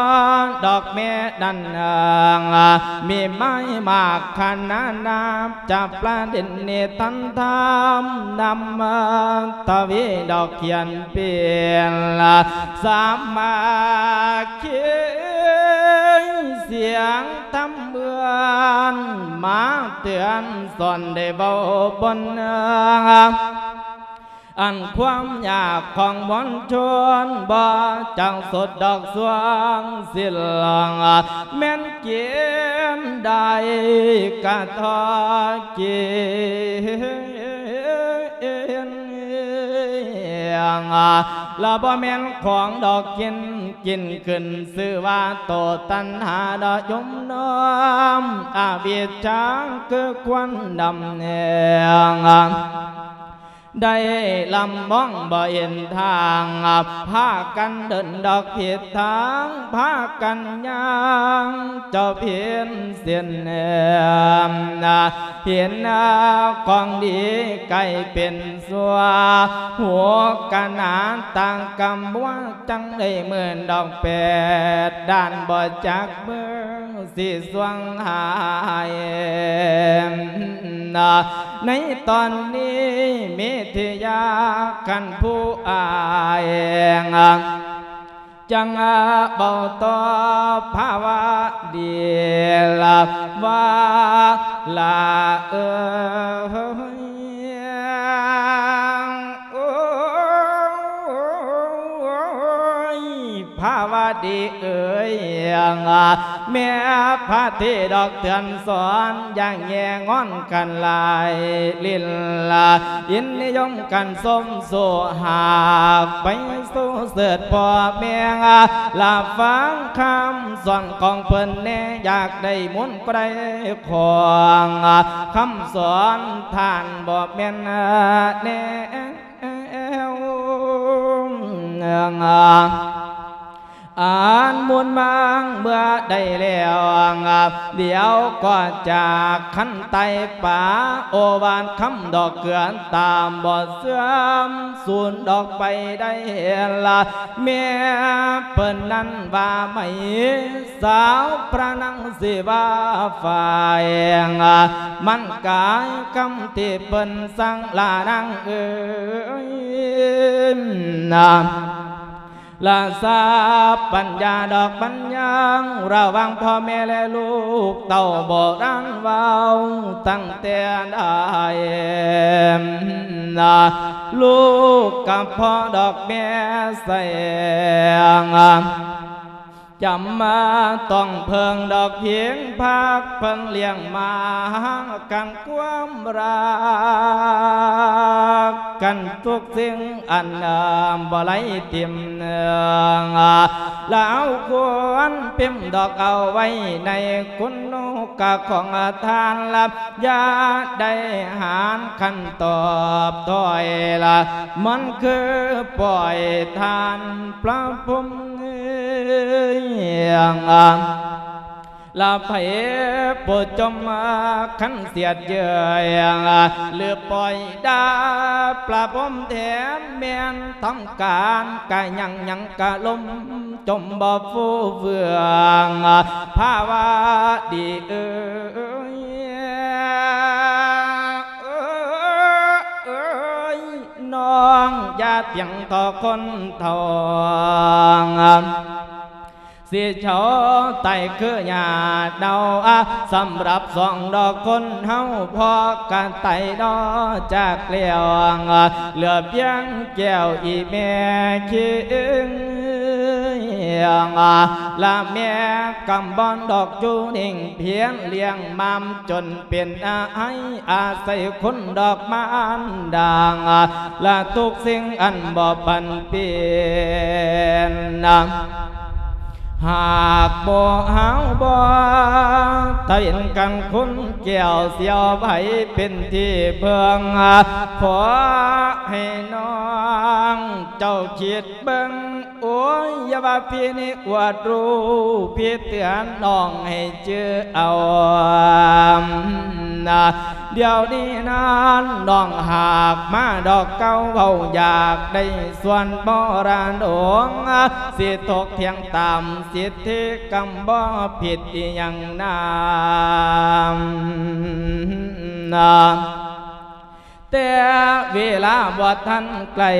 ດອກແມ່ນັ້ນ ມີໄມ້ມາກຂະໜານນາມ ຈາກປະເດັນນິທານທຳນຳມາທະວີດອກຂຽນເປັນສາມັກຄີ ສຽງທຳເມືອນມາເຕືອນສອນໄດ້ເວົ້າບົນ ອັນຄວາມຍາກຂອງມວນຊົນ ບໍ່ຈັກສົດດອກສວງສິນ ແມ່ນກິນໄດ້ກະເທາະກິນ ລະບໍ່ແມ່ນຂອງດອກກິນ ກິນຂຶ້ນຊື່ວ່າໂຕຕັນຫາ ດອກຍົມນ້ອມອະວິດຈາ ຄືຄວນດຳແໜງ ໄດ້ລຳມອງບໍ່ເຫັນທາງ ພາກັນເດີນດອກຜິດທາງ ພາກັນຍ່າງເຈົ້າຜິດເສັ້ນ ເຫັນຂອງດີກາຍເປັນຊົ່ວ ຫົວກະໜາຕາງກຳບົວ ຈັ່ງໄດ້ໝື່ນດອກແປດດ້ານ ບໍ່ຈັກເມືອງ ຊິສວງຫາຍ ໃນຕອນນີ້ເມທິຍາ ຄັນຜູ້ອາຍ ຈັ່ງເວົ້າຕໍ່ພາວະດີລະວ່າ ລະເອີຍ ໂອ້ຍ ພາວະດີເອີຍ ແມ່ພະທີ່ດອກເຕືອນສອນ ຢ່າແຍງອນກັນຫຼາຍ ລິນລະຍິນນິຍົມກັນຊົມສູ່ ຫາກໄປສູ່ເສີດພໍ່ແມ່ ລະຟັງຄຳສອນຂອງເພິ່ນແດ່ ຢາກໄດ້ມູນກໍໄດ້ຂອງ ຄຳສອນທ່ານບໍ່ແມ່ນແນວ ອັນມູນມາງເມື່ອໄດ້ແລ້ວ ດຽວກໍຈາກຄັນໄຕປາ ໂອວາດຄຳດອກເກືອຕາມບໍ່ເສື່ອມ ສູນດອກໄປໄດ້ລະ ແມ່ເພິ່ນນັ້ນວ່າໄໝ ສາວພະນາງຊິວ່າຝ່າຍ ມັນກາຍຄຳທີ່ເພິ່ນສັ່ງລານາງເອີຍ ລາຊາປັນຍາດອກບັນຍັງ ລະຫວ່າງພໍ່ແມ່ ແລະ ລູກເຕົ້າ ໂບລານເວົ້າຕັ້ງແຕ່ໃດ ລູກກັບພໍ່ດອກແມ່ແສງ ຈຳມາຕ້ອງເພິ່ງດອກພິງພັກ ເພິ່ນລ້ຽງມາຫາກັນຄວາມຮັກກັນ ທຸກສິ່ງອັນບໍ່ໄຫຼຖິ້ມເໜືອງ ລາວຄວນພິມດອກເອົາໄວ້ໃນຄຸນນະກະຂອງທ່ານລະ ຢ່າໄດ້ຫານຄັນຕອບຖອຍລະ ມັນຄືປ່ອຍທ່ານພະພົມ ລະໃຜຜູ້ຈົ່ມຄັນສຽດເຍີ້ຍ ຫຼືປ່ອຍດ່າພະພົມແທນ ແມ່ນທຳການກະຍັງ ຍັງກະລົມ ຈົ່ມບໍ່ຟູເຟືອງ ພາວະດີເອີຍ ເອີຍ ນ້ອງຢ່າຕຽງຕໍ່ຄົນເຖົ້າ ຊິເຊົາໄຕຄືຫຍ້າເນົ່າ ສຳລັບສອງດອກຄົນເຮົາ ພໍກະໄຕນອກຈາກແລ້ວ ເຫຼືອພຽງແກ້ວອີ່ແມ່ຄິງ ງ ລະແມ່ກຳບອນດອກຢູ່ນິ່ງພຽນລ້ຽງມາມຈົນເປັນອາໄອ ອາໄສຄຸນດອກມານດາ ລະທຸກສິ່ງອັນບໍ່ປັນເປັນ ຫາກບໍ່ເຮົາບໍ່ຕາເວັນກັນຄຸນແກ້ວ ຊິເອົາໃຜເປັນທີ່ເພິ່ງ ຂໍໃຫ້ນ້ອງເຈົ້າຄິດ ເບິ່ງ ໂອ້ຍ ຢ່າວ່າພີ່ນີ້ອວດຮູ້ ພີ່ເຕືອນນ້ອງໃຫ້ຈື່ເອົານະ ດຽວນີ້ນັ້ນນ້ອງຫາກມາດອກເກົ່າ ເວົ້າຢາກໄດ້ສ່ວນມໍລະດົກ ຊິທົກຖຽງຕາມສິດທິກຳ ບໍ່ຜິດອີ່ຫຍັງນາ ແຕ່ເວລາບໍ່ທັນໃກ້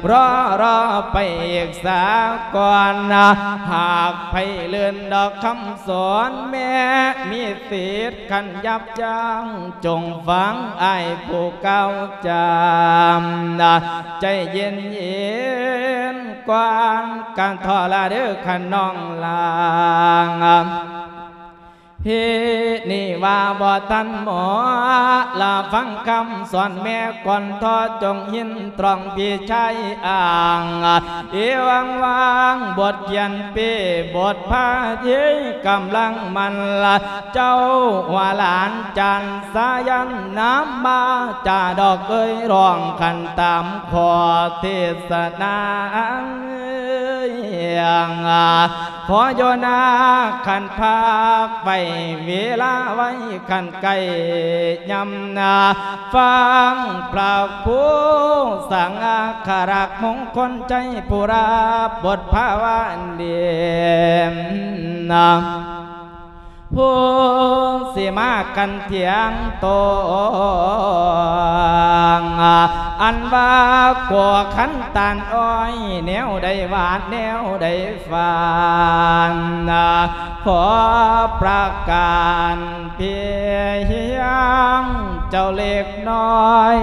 ລໍ ລໍໄປອີກສາກ່ອນ ຫາກໃຜເລີນດອກຄຳສອນ ແມ່ມີສິດຄັນຍັບຍັ້ງ ຈົ່ງຟັງອ້າຍຜູ້ກ່າວຈາ ໃຈເຢັນໆກ່ອນ ກະທໍລະເດີຂະນ້ອງຫຼາ ພີ່ນີ້ວ່າບໍ່ທັນໝໍ ລະຟັງຄຳສອນແມ່ກ່ອນທໍ ຈົ່ງຍິນຕຣອງພີ່ຊາຍອ້າງ ເອວັງວັງ ບົດຂຽນເປ້ ບົດພາທີກຳລັງມັນລະ ເຈົ້າວ່າຫຼານຈານສາຍັນ ນຳມາຈາດອກເອີຍ ຮ້ອງຂັນຕາມຂໍເທດສະນາ ຂໍຢູ່ນາ ຄັນພາກໄວ້ເວລາໄວ້ ຄັນໃກ້ຍາມນາ ຟັງພະຄູສັງຄະລັກ ມົງຄົນໄຊ ຜູ້ຮັບບົດພາວະເດນນາ ຜູ້ຊິມາກັນຖຽງໂຕ້ ອັນວ່າກົວຂັນຕານອ້ອຍ ແນວໃດຫວານແນວໃດຟານ ຂໍປະການພຽງເຈົ້າເລັກນ້ອຍ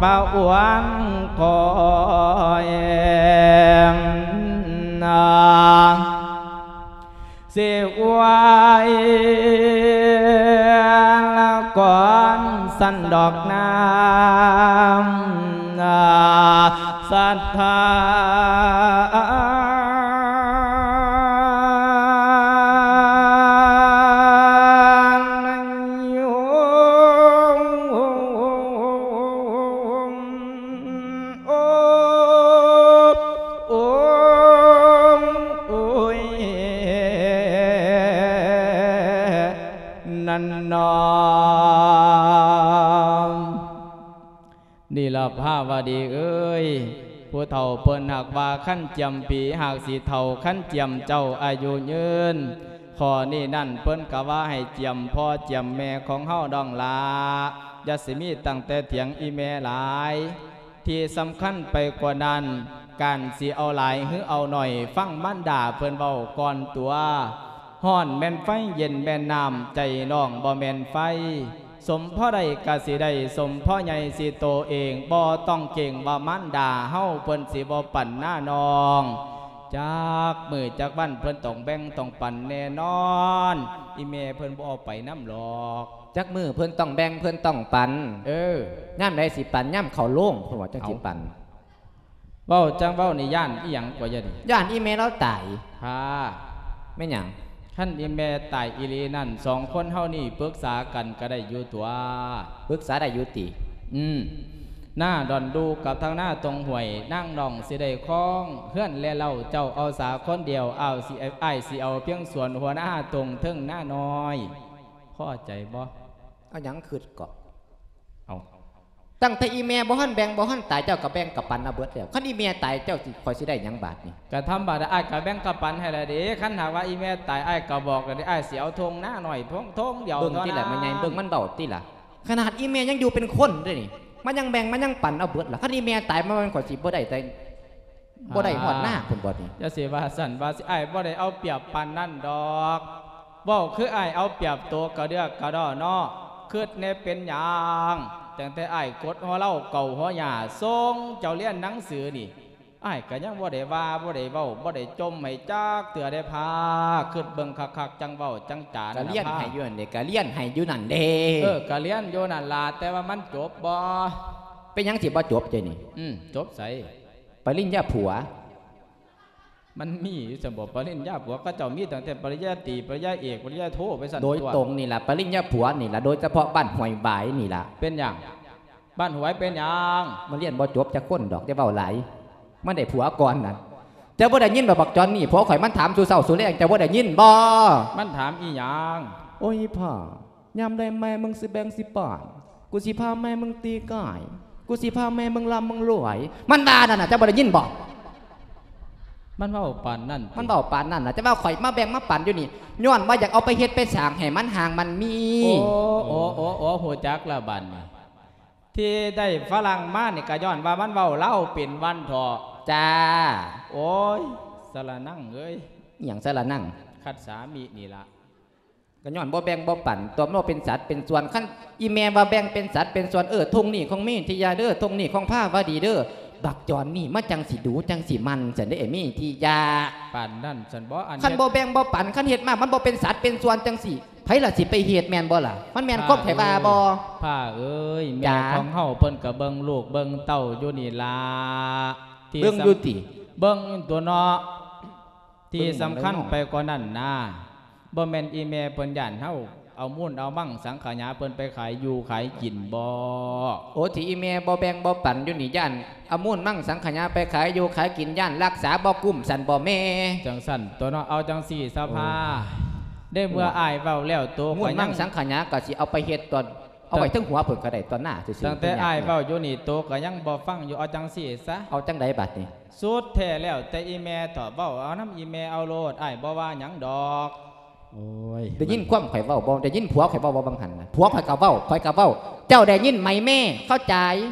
ປະອວນຂ້ອຍ ຊິອວຍລະກ່ອນສັນດອກນາ ສັດທານະໂຍ ໂອ ໂອ ໂອຍ ນັ້ນນອ ນີລະພາວະດີເອີຍ ຜູ້ເຖົ້າເພິ່ນຫາກວ່າຄັນຈຽມປີຫາກຊິເຖົ້າ ຄັນຈຽມເຈົ້າອາຍຸຍືນ ຂໍ້ນີ້ນັ້ນເພິ່ນກະວ່າໃຫ້ຈຽມພໍ່ຈຽມແມ່ຂອງເຮົາດອງຫຼ້າ ຢ່າຊິມີຕັ້ງແຕ່ຖຽງອີ່ແມ່ຫຼາຍ. ທີ່ສຳຄັນໄປກວ່ານັ້ນ ການຊິເອົາຫຼາຍຫຼືເອົາໜ້ອຍ ຟັງມານດາເພິ່ນເວົ້າກ່ອນຕົວະ. ຮ້ອນແມ່ນໄຟ ເຢັນແມ່ນນ້ຳ ໃຈນ້ອງບໍ່ແມ່ນໄຟ. ສົມພໍໄດ້ກະຊິໄດ້ ສົມພໍໃຫຍ່ຊິໂຕເອງ ບໍ່ຕ້ອງເກງວ່າມານດາເຮົາເພິ່ນຊິບໍ່ປັນນານ້ອງ. ຈັກມື້ຈັກວັນເພິ່ນຕ້ອງແບ່ງຕ້ອງປັນແນ່ນອນ. ອີ່ແມ່ເພິ່ນບໍ່ເອົາໄປນຳດອກ. ຈັກມື້ເພິ່ນຕ້ອງແບ່ງເພິ່ນຕ້ອງປັນ. ເອີ ຍາມໃດຊິປັນ? ຍາມເຂົ້າໂລງ ເພິ່ນວ່າຈັ່ງຊິປັນ. ເອົ້າ ເວົ້າຈັ່ງເວົ້ານີ້ ຢ້ານອີ່ຫຍັງກວ່າ ຢ້ານອີ່ຫຍັງ? ຢ້ານອີ່ແມ່ລາວຕາຍ. ຫາ ແມ່ນຫຍັງ? ຄັນອີ່ແມ່ຕາຍອີ່ຫຼີນັ້ນ ສອງຄົນເຮົານີ້ປຶກສາກັນກະໄດ້ຢູ່ຕົວະ. ປຶກສາໄດ້ຢູ່ຕິ? ອືມ ນາດອນດູກັບທາງນາຕົງຫ້ວຍ ນາງນ້ອງຊິໄດ້ຄອງເຮືອນແລເລົ້າ. ເຈົ້າເອົາສາຄົນດຽວ ອ້າຍຊິ ອ້າຍຊິເອົາພຽງສວນຫົວນາຕົງເທິງນານ້ອຍ. ພໍໃຈບໍ່? ເອົາຫຍັງຄຶດເກາະ? ເອົາ ຕັ້ງແຕ່ອີ່ແມ່ບໍ່ທັນແບ່ງ ບໍ່ທັນຕາຍ ເຈົ້າກະແບ່ງກະປັນເອົາເບິດແລ້ວ. ຄັນອີ່ແມ່ຕາຍ ເຈົ້າຊິ ຂ້ອຍຊິໄດ້ຫຍັງບາດນີ້? ກະທຳມະດາ ອ້າຍກະແບ່ງກະປັນໃຫ້ລະເດ. ຄັນຫາກວ່າອີ່ແມ່ຕາຍ ອ້າຍກະບອກລະເດ ອ້າຍຊິເອົາທົ່ງນານ້ອຍ ທົ່ງ ທົ່ງດຽວ. ເບິ່ງຕິລະ ແມ່ໃຫຍ່ ເບິ່ງມັນເວົ້າຕິລະ. ຂະໜາດອີ່ແມ່ຍັງຢູ່ເປັນຄົນເດ້ນີ້ ມາຍັງແບ່ງ ມາຍັງປັນເອົາເບິດລະ. ຄັນອີ່ແມ່ຕາຍ ມາແມ່ນຂ້ອຍຊິບໍ່ໄດ້ແຕ່ ບໍ່ໄດ້ຮອດນາພຸ້ນບໍ່ນີ້? ຢ່າຊິວ່າຊັ້ນວ່າຊິ ອ້າຍບໍ່ໄດ້ເອົາປຽບປານນັ້ນດອກ. ເວົ້າຄືອ້າຍເອົາປຽບໂຕກະເດືອກກະດໍ້ເນາະ. ຄຶດແນ່ເປັນຫຍັງ ຕັ້ງແຕ່ອ້າຍກົດຫົວເລົາເກົາຫົວຫຍ້າ ສົ່ງເຈົ້າຮຽນໜັງສືນີ້ ອ້າຍກໍຍັງບໍ່ໄດ້ວ່າ ບໍ່ໄດ້ເວົ້າ ບໍ່ໄດ້ຈົ່ມໃຫ້ຈັກເທື່ອເດ້ພາ. ຄິດເບິ່ງຄັກໆ ຈັ່ງເວົ້າຈັ່ງຈາ ກໍລຽນໃຫ້ຢູ່ນັ້ນເດ້ ກໍລຽນໃຫ້ຢູ່ນັ້ນເດ້. ເອີ ກໍລຽນຢູ່ນັ້ນລະ ແຕ່ວ່າມັນຈົບບໍ່? ເປັນຫຍັງຊິບໍ່ຈົບເດນີ້? ອືມ ຈົບໃສ? ປະລິນຍາຜົວ. ມັນມີຢູ່ຊັ້ນບໍ່ ປະລິນຍາຜົວ? ເຂົາເຈົ້າມີຕັ້ງແຕ່ປະລິນຍາຕີ ປະລິນຍາເອກ ປະລິນຍາໂທໄປຊັ້ນ. ໂດຍຕົວ ຕົງນີ້ລະ ປະລິນຍາຜົວນີ້ລະ ໂດຍສະເພາະບ້ານຫ້ວຍຫວາຍນີ້ລະ. ເປັນຫຍັງ? ບ້ານຫ້ວຍເປັນຫຍັງ? ມາຮຽນບໍ່ຈົບຈັກຄົນດອກ ຢ່າເວົ້າຫຼາຍ. ມັນໄດ້ຜົວກ່ອນນັ້ນ. ເຈົ້າບໍ່ໄດ້ຍິນບໍ່ ບັກຈອນນີ້? ຜົວຂ້ອຍມັນຖາມສູ່ເຊົ້າສູ່ແລງ ເຈົ້າບໍ່ໄດ້ຍິນບໍ່? ມັນຖາມອີ່ຫຍັງ? ໂອ້ຍ ພໍ່ ຍາມໃດແມ່ມຶງຊິແບ່ງຊິປ້ອນ? ກູຊິພາແມ່ມຶງຕີກ້າຍ ກູຊິພາແມ່ມຶງລ່ຳມຶງລວຍ ມັນວ່ານັ້ນນະ ເຈົ້າບໍ່ໄດ້ຍິນບໍ່? ມັນເວົ້າປານນັ້ນຕິ? ມັນເວົ້າປານນັ້ນນະ ແຕ່ວ່າຂ້ອຍມາແບ່ງມາປັນຢູ່ນີ້ ຍ້ອນວ່າຢາກເອົາໄປເຮັດໄປສ້າງໃຫ້ມັນຮ່າງມັນມີ. ໂອ້ ໂອ້ ໂອ້ ໂອ້ ຮູ້ຈັກແລ້ວບາດນີ້. ທີ່ໄດ້ຝຣັ່ງມານີ້ກໍຍ້ອນວ່າມັນເວົ້າລາວເປັນວັນເທາະ. ຈ້າ. ໂອ້ຍ ສະລະນັງເອີຍ. ອີ່ຫຍັງສະລະນັງ? ຄັດສາມິນີ້ລະ. ກໍຍ້ອນບໍ່ແບ່ງບໍ່ປັນ ຕົວະບໍ່ເປັນສັດເປັນສ່ວນ. ຄັນອີ່ແມ່ວ່າແບ່ງເປັນສັດເປັນສ່ວນ ເອີ ທົ່ງນີ້ຂອງເມທິຍາເດີ ທົ່ງນີ້ຂອງພາວະດີເດີ ບັກຈອນນີ້ມາຈັ່ງຊິດູ ຈັ່ງຊິໝັ່ນຊັ້ນເດ້ ເອ ເມທິຍາ. ປານນັ້ນຊັ້ນບໍ່? ອັນ ຄັນບໍ່ແບ່ງບໍ່ປັນ ຄັນເຮັດມາມັນບໍ່ເປັນສັດເປັນສ່ວນຈັ່ງຊີ້ ໃຜລະຊິໄປເຮັດ ແມ່ນບໍ່ລະ? ມັນແມ່ນຄວາມຂ້ອຍວ່າບໍ່? ພາເອີຍ ແມ່ ຈ້າ ຂອງເຮົາເພິ່ນກໍເບິ່ງລູກເບິ່ງເຕົ້າຢູ່ນີ້ລະ ທີ່ ເບິ່ງຢູ່ຕິ? ເບິ່ງຕົວະເນາະ. ທີ່ສຳຄັນໄປກວ່ານັ້ນນະ ບໍ່ແມ່ນອີ່ແມ່ເພິ່ນຢ້ານເຮົາເອົາມູນເອົາມັງສັງຂະຫຍາເພິ່ນໄປຂາຍຢູ່ຂາຍກິນບໍ? ໂອ ທີ່ອີ່ແມ່ບໍ່ແບ່ງບໍ່ປັນຢູ່ນີ້ ຢ້ານເອົາມູນມັງສັງຂະຫຍາໄປຂາຍຢູ່ຂາຍກິນ ຢ້ານລັກສາບໍ່ກຸ້ມຊັ້ນບໍແມ່? ຈັ່ງຊັ້ນຕົວະເນາະ. ເອົາຈັ່ງຊີ້ສະພາ ໃນເມື່ອອ້າຍເວົ້າແລ້ວ ໂຕກໍຍັງ ມູນມັງສັງຂະຫຍາກໍຊິເອົາໄປເຮັດຕອນ ເອົາໄວ້ເທິງຫົວເພິ່ນກໍໄດ້ ຕອນໜ້າຊື່ໆ. ຕັ້ງແຕ່ອ້າຍເວົ້າຢູ່ນີ້ ໂຕກໍຍັງບໍ່ຟັງຢູ່. ເອົາຈັ່ງຊີ້ຊະ. ເອົາຈັ່ງໃດບາດນີ້? ສຸດແທ້ແລ້ວແຕ່ອີ່ແມ່ເຖາະ ເວົ້າເອົານຳອີ່ແມ່ເອົາໂລດ ອ້າຍບໍ່ວ່າຫຍັງດອກ. ໂອ້ຍ ໄດ້ຍິນຄວາມຂ້ອຍເວົ້າບໍ່? ໄດ້ຍິນຜົວຂ້ອຍເວົ້າບໍ່ ບາງຫັ້ນນະ? ຜົວຂ້ອຍກໍເວົ້າ ຂ້ອຍກໍເວົ້າ ເຈົ້າໄດ້ຍິນໄໝແມ່? ເຂົ້າໃຈ.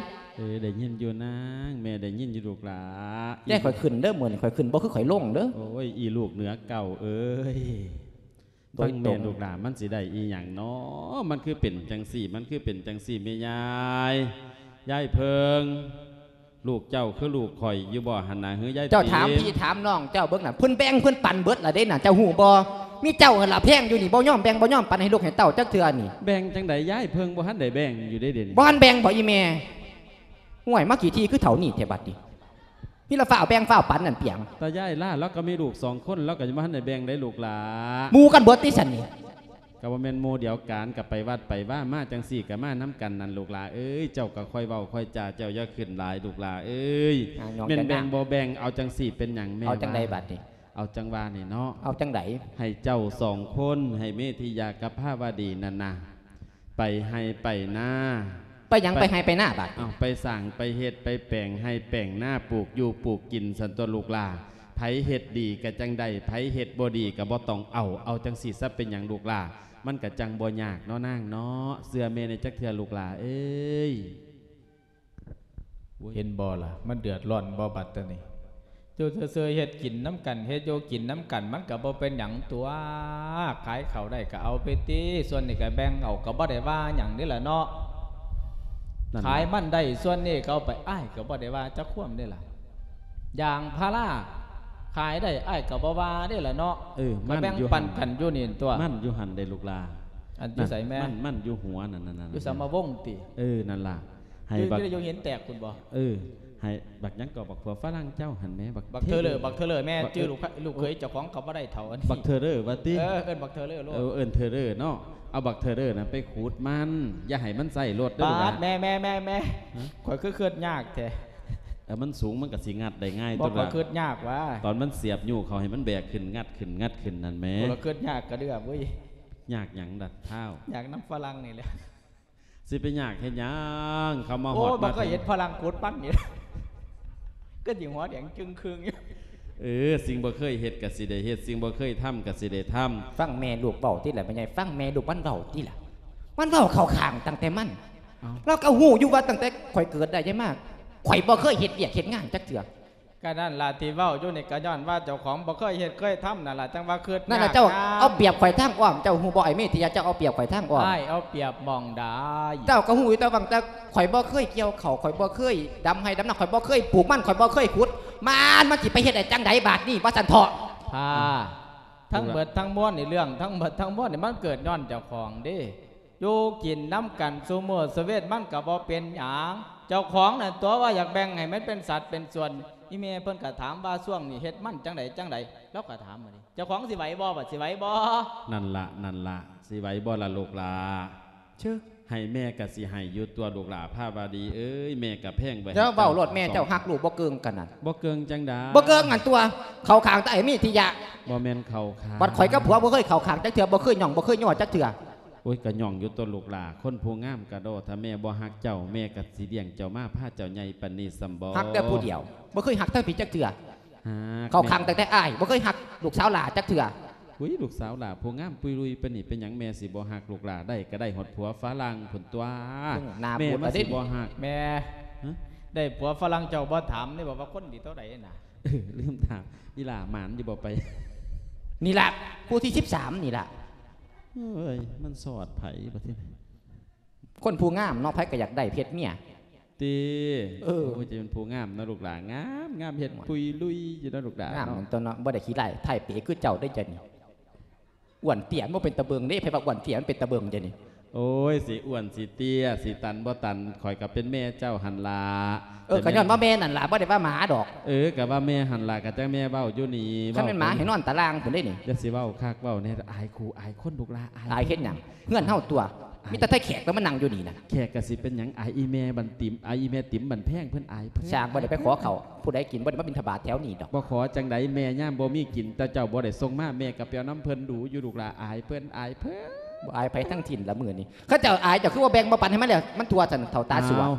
ເອີ ໄດ້ຍິນຢູ່ນາງ ແມ່ໄດ້ຍິນຢູ່ລູກຫຼ້າ. ແຕ່ຂ້ອຍຂຶ້ນເດີ ມື້ນີ້ຂ້ອຍຂຶ້ນ ບໍ່ຄືຂ້ອຍລົງເດີ. ໂອ້ຍ ອີລູກເໜືອເກົ່າເອີຍ. ໂດຍຕຣົງ ຟັງແມ່ລູກຫຼ້າ ມັນຊິໄດ້ອີ່ຫຍັງເນາະ? ມັນຄືເປັນຈັ່ງຊີ້ ມັນຄືເປັນຈັ່ງຊີ້ ແມ່ຍາຍ ຍາຍເພິ່ງ ລູກເຈົ້າຄືລູກຂ້ອຍຢູ່ບໍ່ຫັ້ນນະ ເຮີຍາຍ? ເຈົ້າຖາມພີ່ຖາມນ້ອງເຈົ້າເບິ່ງນະ ເພິ່ນແບ່ງເພິ່ນປັນເບິດລະເດ້ນະ ເຈົ້າຮູ້ບໍ່? ມີເຈົ້າຫັ້ນລະແພງຢູ່ນີ້ ບໍ່ຍອມແບ່ງບໍ່ຍອມປັນໃຫ້ລູກໃຫ້ເຕົ້າຈັກເທື່ອນີ້. ແບ່ງຈັ່ງໃດ ຍາຍເພິ່ງບໍ່ທັນໄດ້ແບ່ງຢູ່ເດ້ ດຽວນີ້ ບໍ່ທັນແບ່ງບໍອີ່ແມ່? ຫ້ວຍ ມາຂີ້ຖີ່ຄືເຖົ້ານີ້ແທ້ບັດນີ້. ມີລະຟ້າວແບ່ງຟ້າວປັນນັ້ນປຽງ. ຕາຍາຍລາ ລາວກໍມີລູກສອງຄົນ ລາວກໍຍັງບໍ່ທັນໄດ້ແບ່ງໄດ໋ລູກຫຼ້າ. ໝູ່ກັນເບິດຕິຊັ້ນນີ້? ກໍບໍ່ແມ່ນໝູ່ດຽວກັນ ກໍໄປວັດໄປວາມາຈັ່ງຊີ້ ກໍມານຳກັນນັ້ນລູກຫຼ້າເອີຍ. ເຈົ້າກໍຄ່ອຍເວົ້າຄ່ອຍຈາ ເຈົ້າຢ່າຂຶ້ນຫຼາຍລູກຫຼ້າເອີຍ. ແມ່ນແບ່ງບໍ່ແບ່ງ ເອົາຈັ່ງຊີ້ເປັນຫຍັງແມ່? ເອົາຈັ່ງໃດບັດນີ້? ເອົາຈັ່ງວ່ານີ້ເນາະ. ເອົາຈັ່ງໃດ? ໃຫ້ເຈົ້າສອງຄົນ ໃຫ້ເມທິຍາກັບພາວະດີນັ້ນນະ ໄປໄຮ່ໄປນາ. ໄປຫຍັງ? ໄປ ໄປໄຮ່ໄປນາບາດນີ້? ເອົາ ໄປສ້າງໄປເຮັດໄປແປງໄຮ່ແປງນາ ປູກຢູ່ປູກກິນຊັ້ນຕົວະລູກຫຼ້າ. ໃຜເຮັດດີກໍຈັ່ງໄດ້ ໃຜເຮັດບໍ່ດີກໍບໍ່ຕ້ອງເອົາ. ເອົາຈັ່ງຊີ້ຊະ ເປັນຫຍັງລູກຫຼ້າ? ມັນກໍຈັ່ງບໍ່ຍາກເນາະນາງເນາະ. ເຊື່ອແມ່ແດ່ຈັກເທື່ອລູກຫຼ້າເອີຍ. ເຫັນບໍ່ລະ ມັນເດືອດຮ້ອນບໍ່ບັດຕານີ້? ຢູ່ເຊີຍໆ ເຮັດກິນນຳກັນ ເຮັດຢູ່ກິນນຳກັນ ມັນກໍບໍ່ເປັນຫຍັງຕົວະ. ຂາຍເຂົ້າໄດ້ກໍເອົາໄປຕິ ສ່ວນນີ້ກໍແບ່ງເອົາ ກໍບໍ່ໄດ້ວ່າຫຍັງນີ້ລະເນາະ. ນັ້ນລະ ຂາຍມັນໄດ້ສ່ວນນີ້ກໍເອົາໄປ ອ້າຍກໍບໍ່ໄດ້ວ່າຈັກຄວາມນີ້ລະ. ຢາງພາລາຂາຍໄດ້ ອ້າຍກໍບໍ່ວ່າເດ້ລະເນາະ. ເອີ ກໍແບ່ງປັນກັນຢູ່ນີ້ຕົວະ. ມັນຢູ່ຫັ້ນເດ້ລູກຫຼ້າ. ອັນຢູ່ໃສແມ່? ມັນ ມັນຢູ່ຫົວນັ້ນ ນັ້ນ ນັ້ນ ຢູ່ສາມະວົງຕິ? ເອີ ນັ້ນລະ. ໃຫ້ບັກ ຢູ່ຢູ່ເຫັນແຕກພຸ້ນບໍ່? ເອີ ໃຫ້ບັກຫຍັງກໍ ບັກຜົວຝຣັ່ງເຈົ້າຫັ້ນແໝ ບັກ ບັກເທີເລີ ບັກເທີເລີແມ່ ຈື່ລູກ ລູກເຂີຍເຈົ້າຂອງກໍບໍ່ໄດ້ເຖົ້າອັນນີ້. ບັກເທີເລີວ່າຕິ? ເອີ ເອີ້ນບັກເທີເລີໂລດ. ເອີ ເອີ້ນເທີເລີເນາະ. ເອົາບັກເທີເລີນະໄປຂູດມັນ ຢ່າໃຫ້ມັນໃຊ້ລົດເດີ. ປາດ ແມ່ ແມ່ ແມ່ ແມ່ ຂ້ອຍຄືຄິດຍາກແທ້. ເອີ ມັນສູງ ມັນກໍຊິງັດໄດ້ງ່າຍ. ບໍ່ ຕົວະ ຂ້ອຍຄິດຍາກວ່າ ຕອນມັນສຽບຍູ້ເຂົ້າ ໃຫ້ມັນແບກຂຶ້ນ ງັດຂຶ້ນ ງັດຂຶ້ນນັ້ນແໝ. ຂ້ອຍຄິດຍາກກະເດືອບເວີຍ. ຍາກຫຍັງດະທ້າວ? ຍາກນຳຝຣັ່ງນີ້ແຫຼະ. ຊິໄປຍາກເຮັດຫຍັງ? ເຂົາມາຮອດ ໂອ້ຍ ມາເຖິງ ບໍ່ເຄີຍເຫັນຝຣັ່ງຂູດມັນນີ້ ກໍຊິຫົວແດງຈຶ່ງຄຶ່ງຢູ່. ເອີ ສິ່ງບໍ່ເຄີຍເຮັດກໍຊິໄດ້ເຮັດ ສິ່ງບໍ່ເຄີຍທຳກໍຊິໄດ້ທຳ. ຟັງແມ່ລູກເວົ້າຕິລະແມ່ໃຫຍ່ ຟັງແມ່ລູກມັນເວົ້າຕິລະ. ມັນເວົ້າເຂົ້າຂ້າງຕັ້ງແຕ່ມັນ. ເອົ້າ ລາວກໍຮູ້ຢູ່ວ່າຕັ້ງແຕ່ຂ້ອຍເກີດໄດ້ມາ ຂ້ອຍບໍ່ເຄີຍເຮັດວຽກເຮັດງານຈັກເທື່ອ. ກໍນັ້ນລະ ທີ່ເວົ້າຢູ່ນີ້ກໍຍ້ອນວ່າເຈົ້າຂອງບໍ່ເຄີຍເຮັດເຄີຍທຳນັ້ນລະ ຈັ່ງວ່າຄຶດ. ນັ້ນລະ ເຈົ້າເອົາປຽບຂ້ອຍທາງອ້ອມ ເຈົ້າຮູ້ບໍ່ ໄອ້ເມທິຍາ ເຈົ້າເອົາປຽບຂ້ອຍທາງອ້ອມ. ອ້າຍເອົາປຽບໝ່ອງໃດ? ເຈົ້າກໍຮູ້ຢູ່ແຕ່ວ່າ ແຕ່ຂ້ອຍບໍ່ເຄີຍກ່ຽວເຂົ້າ ຂ້ອຍບໍ່ເຄີຍດຳໄຮ່ດຳນາ ຂ້ອຍບໍ່ເຄີຍປູກມັນ ຂ້ອຍບໍ່ເຄີຍຂຸດ ມານ ມັນຊິໄປເຮັດໄດ້ຈັ່ງໃດບາດນີ້ ວ່າຊັ້ນເຖາະ. ພາ ທັງເບິດທັງມວນນີ້ ເລື່ອງທັງເບິດທັງມວນນີ້ ມັນເກີດຍ້ອນເຈົ້າຂອງເດ້. ຢູ່ກິນນຳກັນຊຸມື້ຊະເວັນ ມັນກໍບໍ່ເປັນຫຍັງ. ເຈົ້າຂອງນັ້ນຕົວະວ່າຢາກແບ່ງໃຫ້ມັນເປັນສັດເປັນສ່ວນ. ອີ່ແມ່ເພິ່ນກໍຖາມວ່າຊ່ວງນີ້ເຮັດມັນຈັ່ງໃດຈັ່ງໃດ ລາວກໍຖາມມານີ້. ເຈົ້າຂອງຊິໄຫວບໍ່ ບາດຊິໄຫວບໍ່? ນັ້ນລະ ນັ້ນລະ ຊິໄຫວບໍ່ລະລູກຫຼ້າ? ເຊີ ໃຫ້ແມ່ກໍຊິໃຫ້ຢູ່ຕົວະລູກຫຼ້າ ພາວາດີເອີຍ ແມ່ກໍແພງໄວ້ໃຫ້ເຈົ້າ. ເຈົ້າເວົ້າໂລດແມ່ ເຈົ້າຮັກລູກບໍ່ເກີ່ງກັນນັ້ນ. ບໍ່ເກີ່ງຈັ່ງໃດ? ບໍ່ເກີ່ງຫັ້ນຕົວະ ເຂົ້າຂ້າງແຕ່ໄອ້ມີທິຍະ. ບໍ່ແມ່ນເຂົ້າຂ້າງ ບັດຂ້ອຍກັບຜົວບໍ່ເຄີຍເຂົ້າຂ້າງຈັກເທື່ອ ບໍ່ເຄີຍຫຍ້ອງ ບໍ່ເຄີຍຍໍຈັກເທື່ອ. ໂອ້ຍ ກໍຫຍ້ອງຢູ່ຕົວະລູກຫຼ້າ ຄົນຜູ້ງາມກະໂດ ຖ້າແມ່ບໍ່ຮັກເຈົ້າ ແມ່ກໍຊິລ້ຽງເຈົ້າມາ ພາເຈົ້າໃຫຍ່ປານນີ້ຊ້ຳບໍ່? ຮັກແຕ່ຜູ້ດຽວ ບໍ່ເຄີຍຮັກທາງພີ້ຈັກເທື່ອ. ຫາກ ເຂົ້າຂ້າງແມ່ ຕັ້ງແຕ່ອ້າຍ ບໍ່ເຄີຍຮັກລູກສາວຫຼ້າຈັກເທື່ອ. ອຸ້ຍ ລູກສາວຫຼ້າຜູ້ງາມປຸຍລຸຍປານນີ້ ເປັນຫຍັງແມ່ຊິບໍ່ຮັກລູກຫຼ້າ? ໄດ້ກໍໄດ້ຮອດຜົວຝຣັ່ງພຸ້ນຕົວະ. ເບິ່ງໜ້າ ແມ່ ມາຊິບໍ່ຮັກ ແມ່. ຮະ? ໄດ້ຜົວຝຣັ່ງເຈົ້າບໍ່ຖາມເດ້ ວ່າຄົນດີເທົ່າໃດນະ? ເອີ ລືມຖາມ ອີຫຼ້າໝານຢູ່ບໍ່ໄປ? ນີ້ລະ ຜູ້ທີສິບສາມນີ້ລະ. ເອີຍ ມັນສອດໃຜບັດນີ້? ຄົນຜູ້ງາມເນາະ ໃຜກໍຢາກໄດ້ເພັດເມຍ. ຕິ ເອີ ໂອ້ຍ ຈະເປັນຜູ້ງາມເນາະລູກຫຼ້າ ງາມ ງາມ ເຮັດປຸຍລຸຍຢູ່ເນາະລູກຫຼ້າ ງາມເນາະ ນັ້ນຕົວະເນາະ. ບໍ່ໄດ້ຂີ້ຮ້າຍ ທ້າຍເປຄືເຈົ້າເດ້ ເຈົ້ານີ້. ອ້ວນເຕ້ຍ ມັນບໍ່ເປັນຕາເບິ່ງເດ້ ໃຜວ່າອ້ວນເຕ້ຍມັນເປັນຕາເບິ່ງ ເຈົ້ານີ້. ໂອ້ຍ ຊິອ້ວນ ຊິເຕ້ຍ ຊິຕັນບໍ່ຕັນ ຂ້ອຍກໍເປັນແມ່ເຈົ້າຫັ້ນລະ. ເອີ ກໍຍ້ອນວ່າແມ່ນັ້ນລະ ບໍ່ໄດ້ວ່າໝາດອກ. ເອີ ກໍວ່າແມ່ຫັ້ນລະ ກໍຈັ່ງແມ່ເວົ້າຢູ່ນີ້. ຄັນແມ່ນໝາໃຫ້ນອນຕາລ່າງພຸ້ນເດ້ນີ້. ຢ່າຊິເວົ້າຄັກເວົ້າແນ່ ອາຍຄູ່ອາຍຄົນລູກຫຼ້າ ອາຍ ອາຍເຮັດຫຍັງ? ເຮືອນເຮົາຕົວະ ມີແຕ່ໄທແຂກແລ້ວມານັ່ງຢູ່ນີ້ນະ. ແຂກກໍຊິເປັນຫຍັງ ອາຍອີ່ແມ່ບັນຕິມ ອາຍອີ່ແມ່ຕິມບັນແພງ ເພິ່ນອາຍເພິ່ນ. ຊ່າງ ບໍ່ໄດ້ໄປຂໍເຂົ້າ ຜູ້ໃດກິນ ບໍ່ໄດ້ມາບິນທະບາດແຖວນີ້ດອກ. ບໍ່ຂໍຈັ່ງໃດ ແມ່ຍາມບໍ່ມີກິນ ແຕ່ເຈົ້າບໍ່ໄດ້ສົ່ງມາ ແມ່ກໍໄປເອົານຳເພິ່ນດູຢູ່ ລູກຫຼ້າ ອາຍເພິ່ນ ອາຍເພິ່ນ. ບໍ່ອາຍໃຜທັງສິ້ນລະມື້ນີ້. ເຂົາເຈົ້າອາຍ ເຈົ້າຄືບໍ່ແບ່ງບໍ່ປັນໃຫ້ມັນແລ້ວ ມັນທົ່ວຊັ້ນ ເຖົ້າຕາຊົ່ວ. ອ້າວ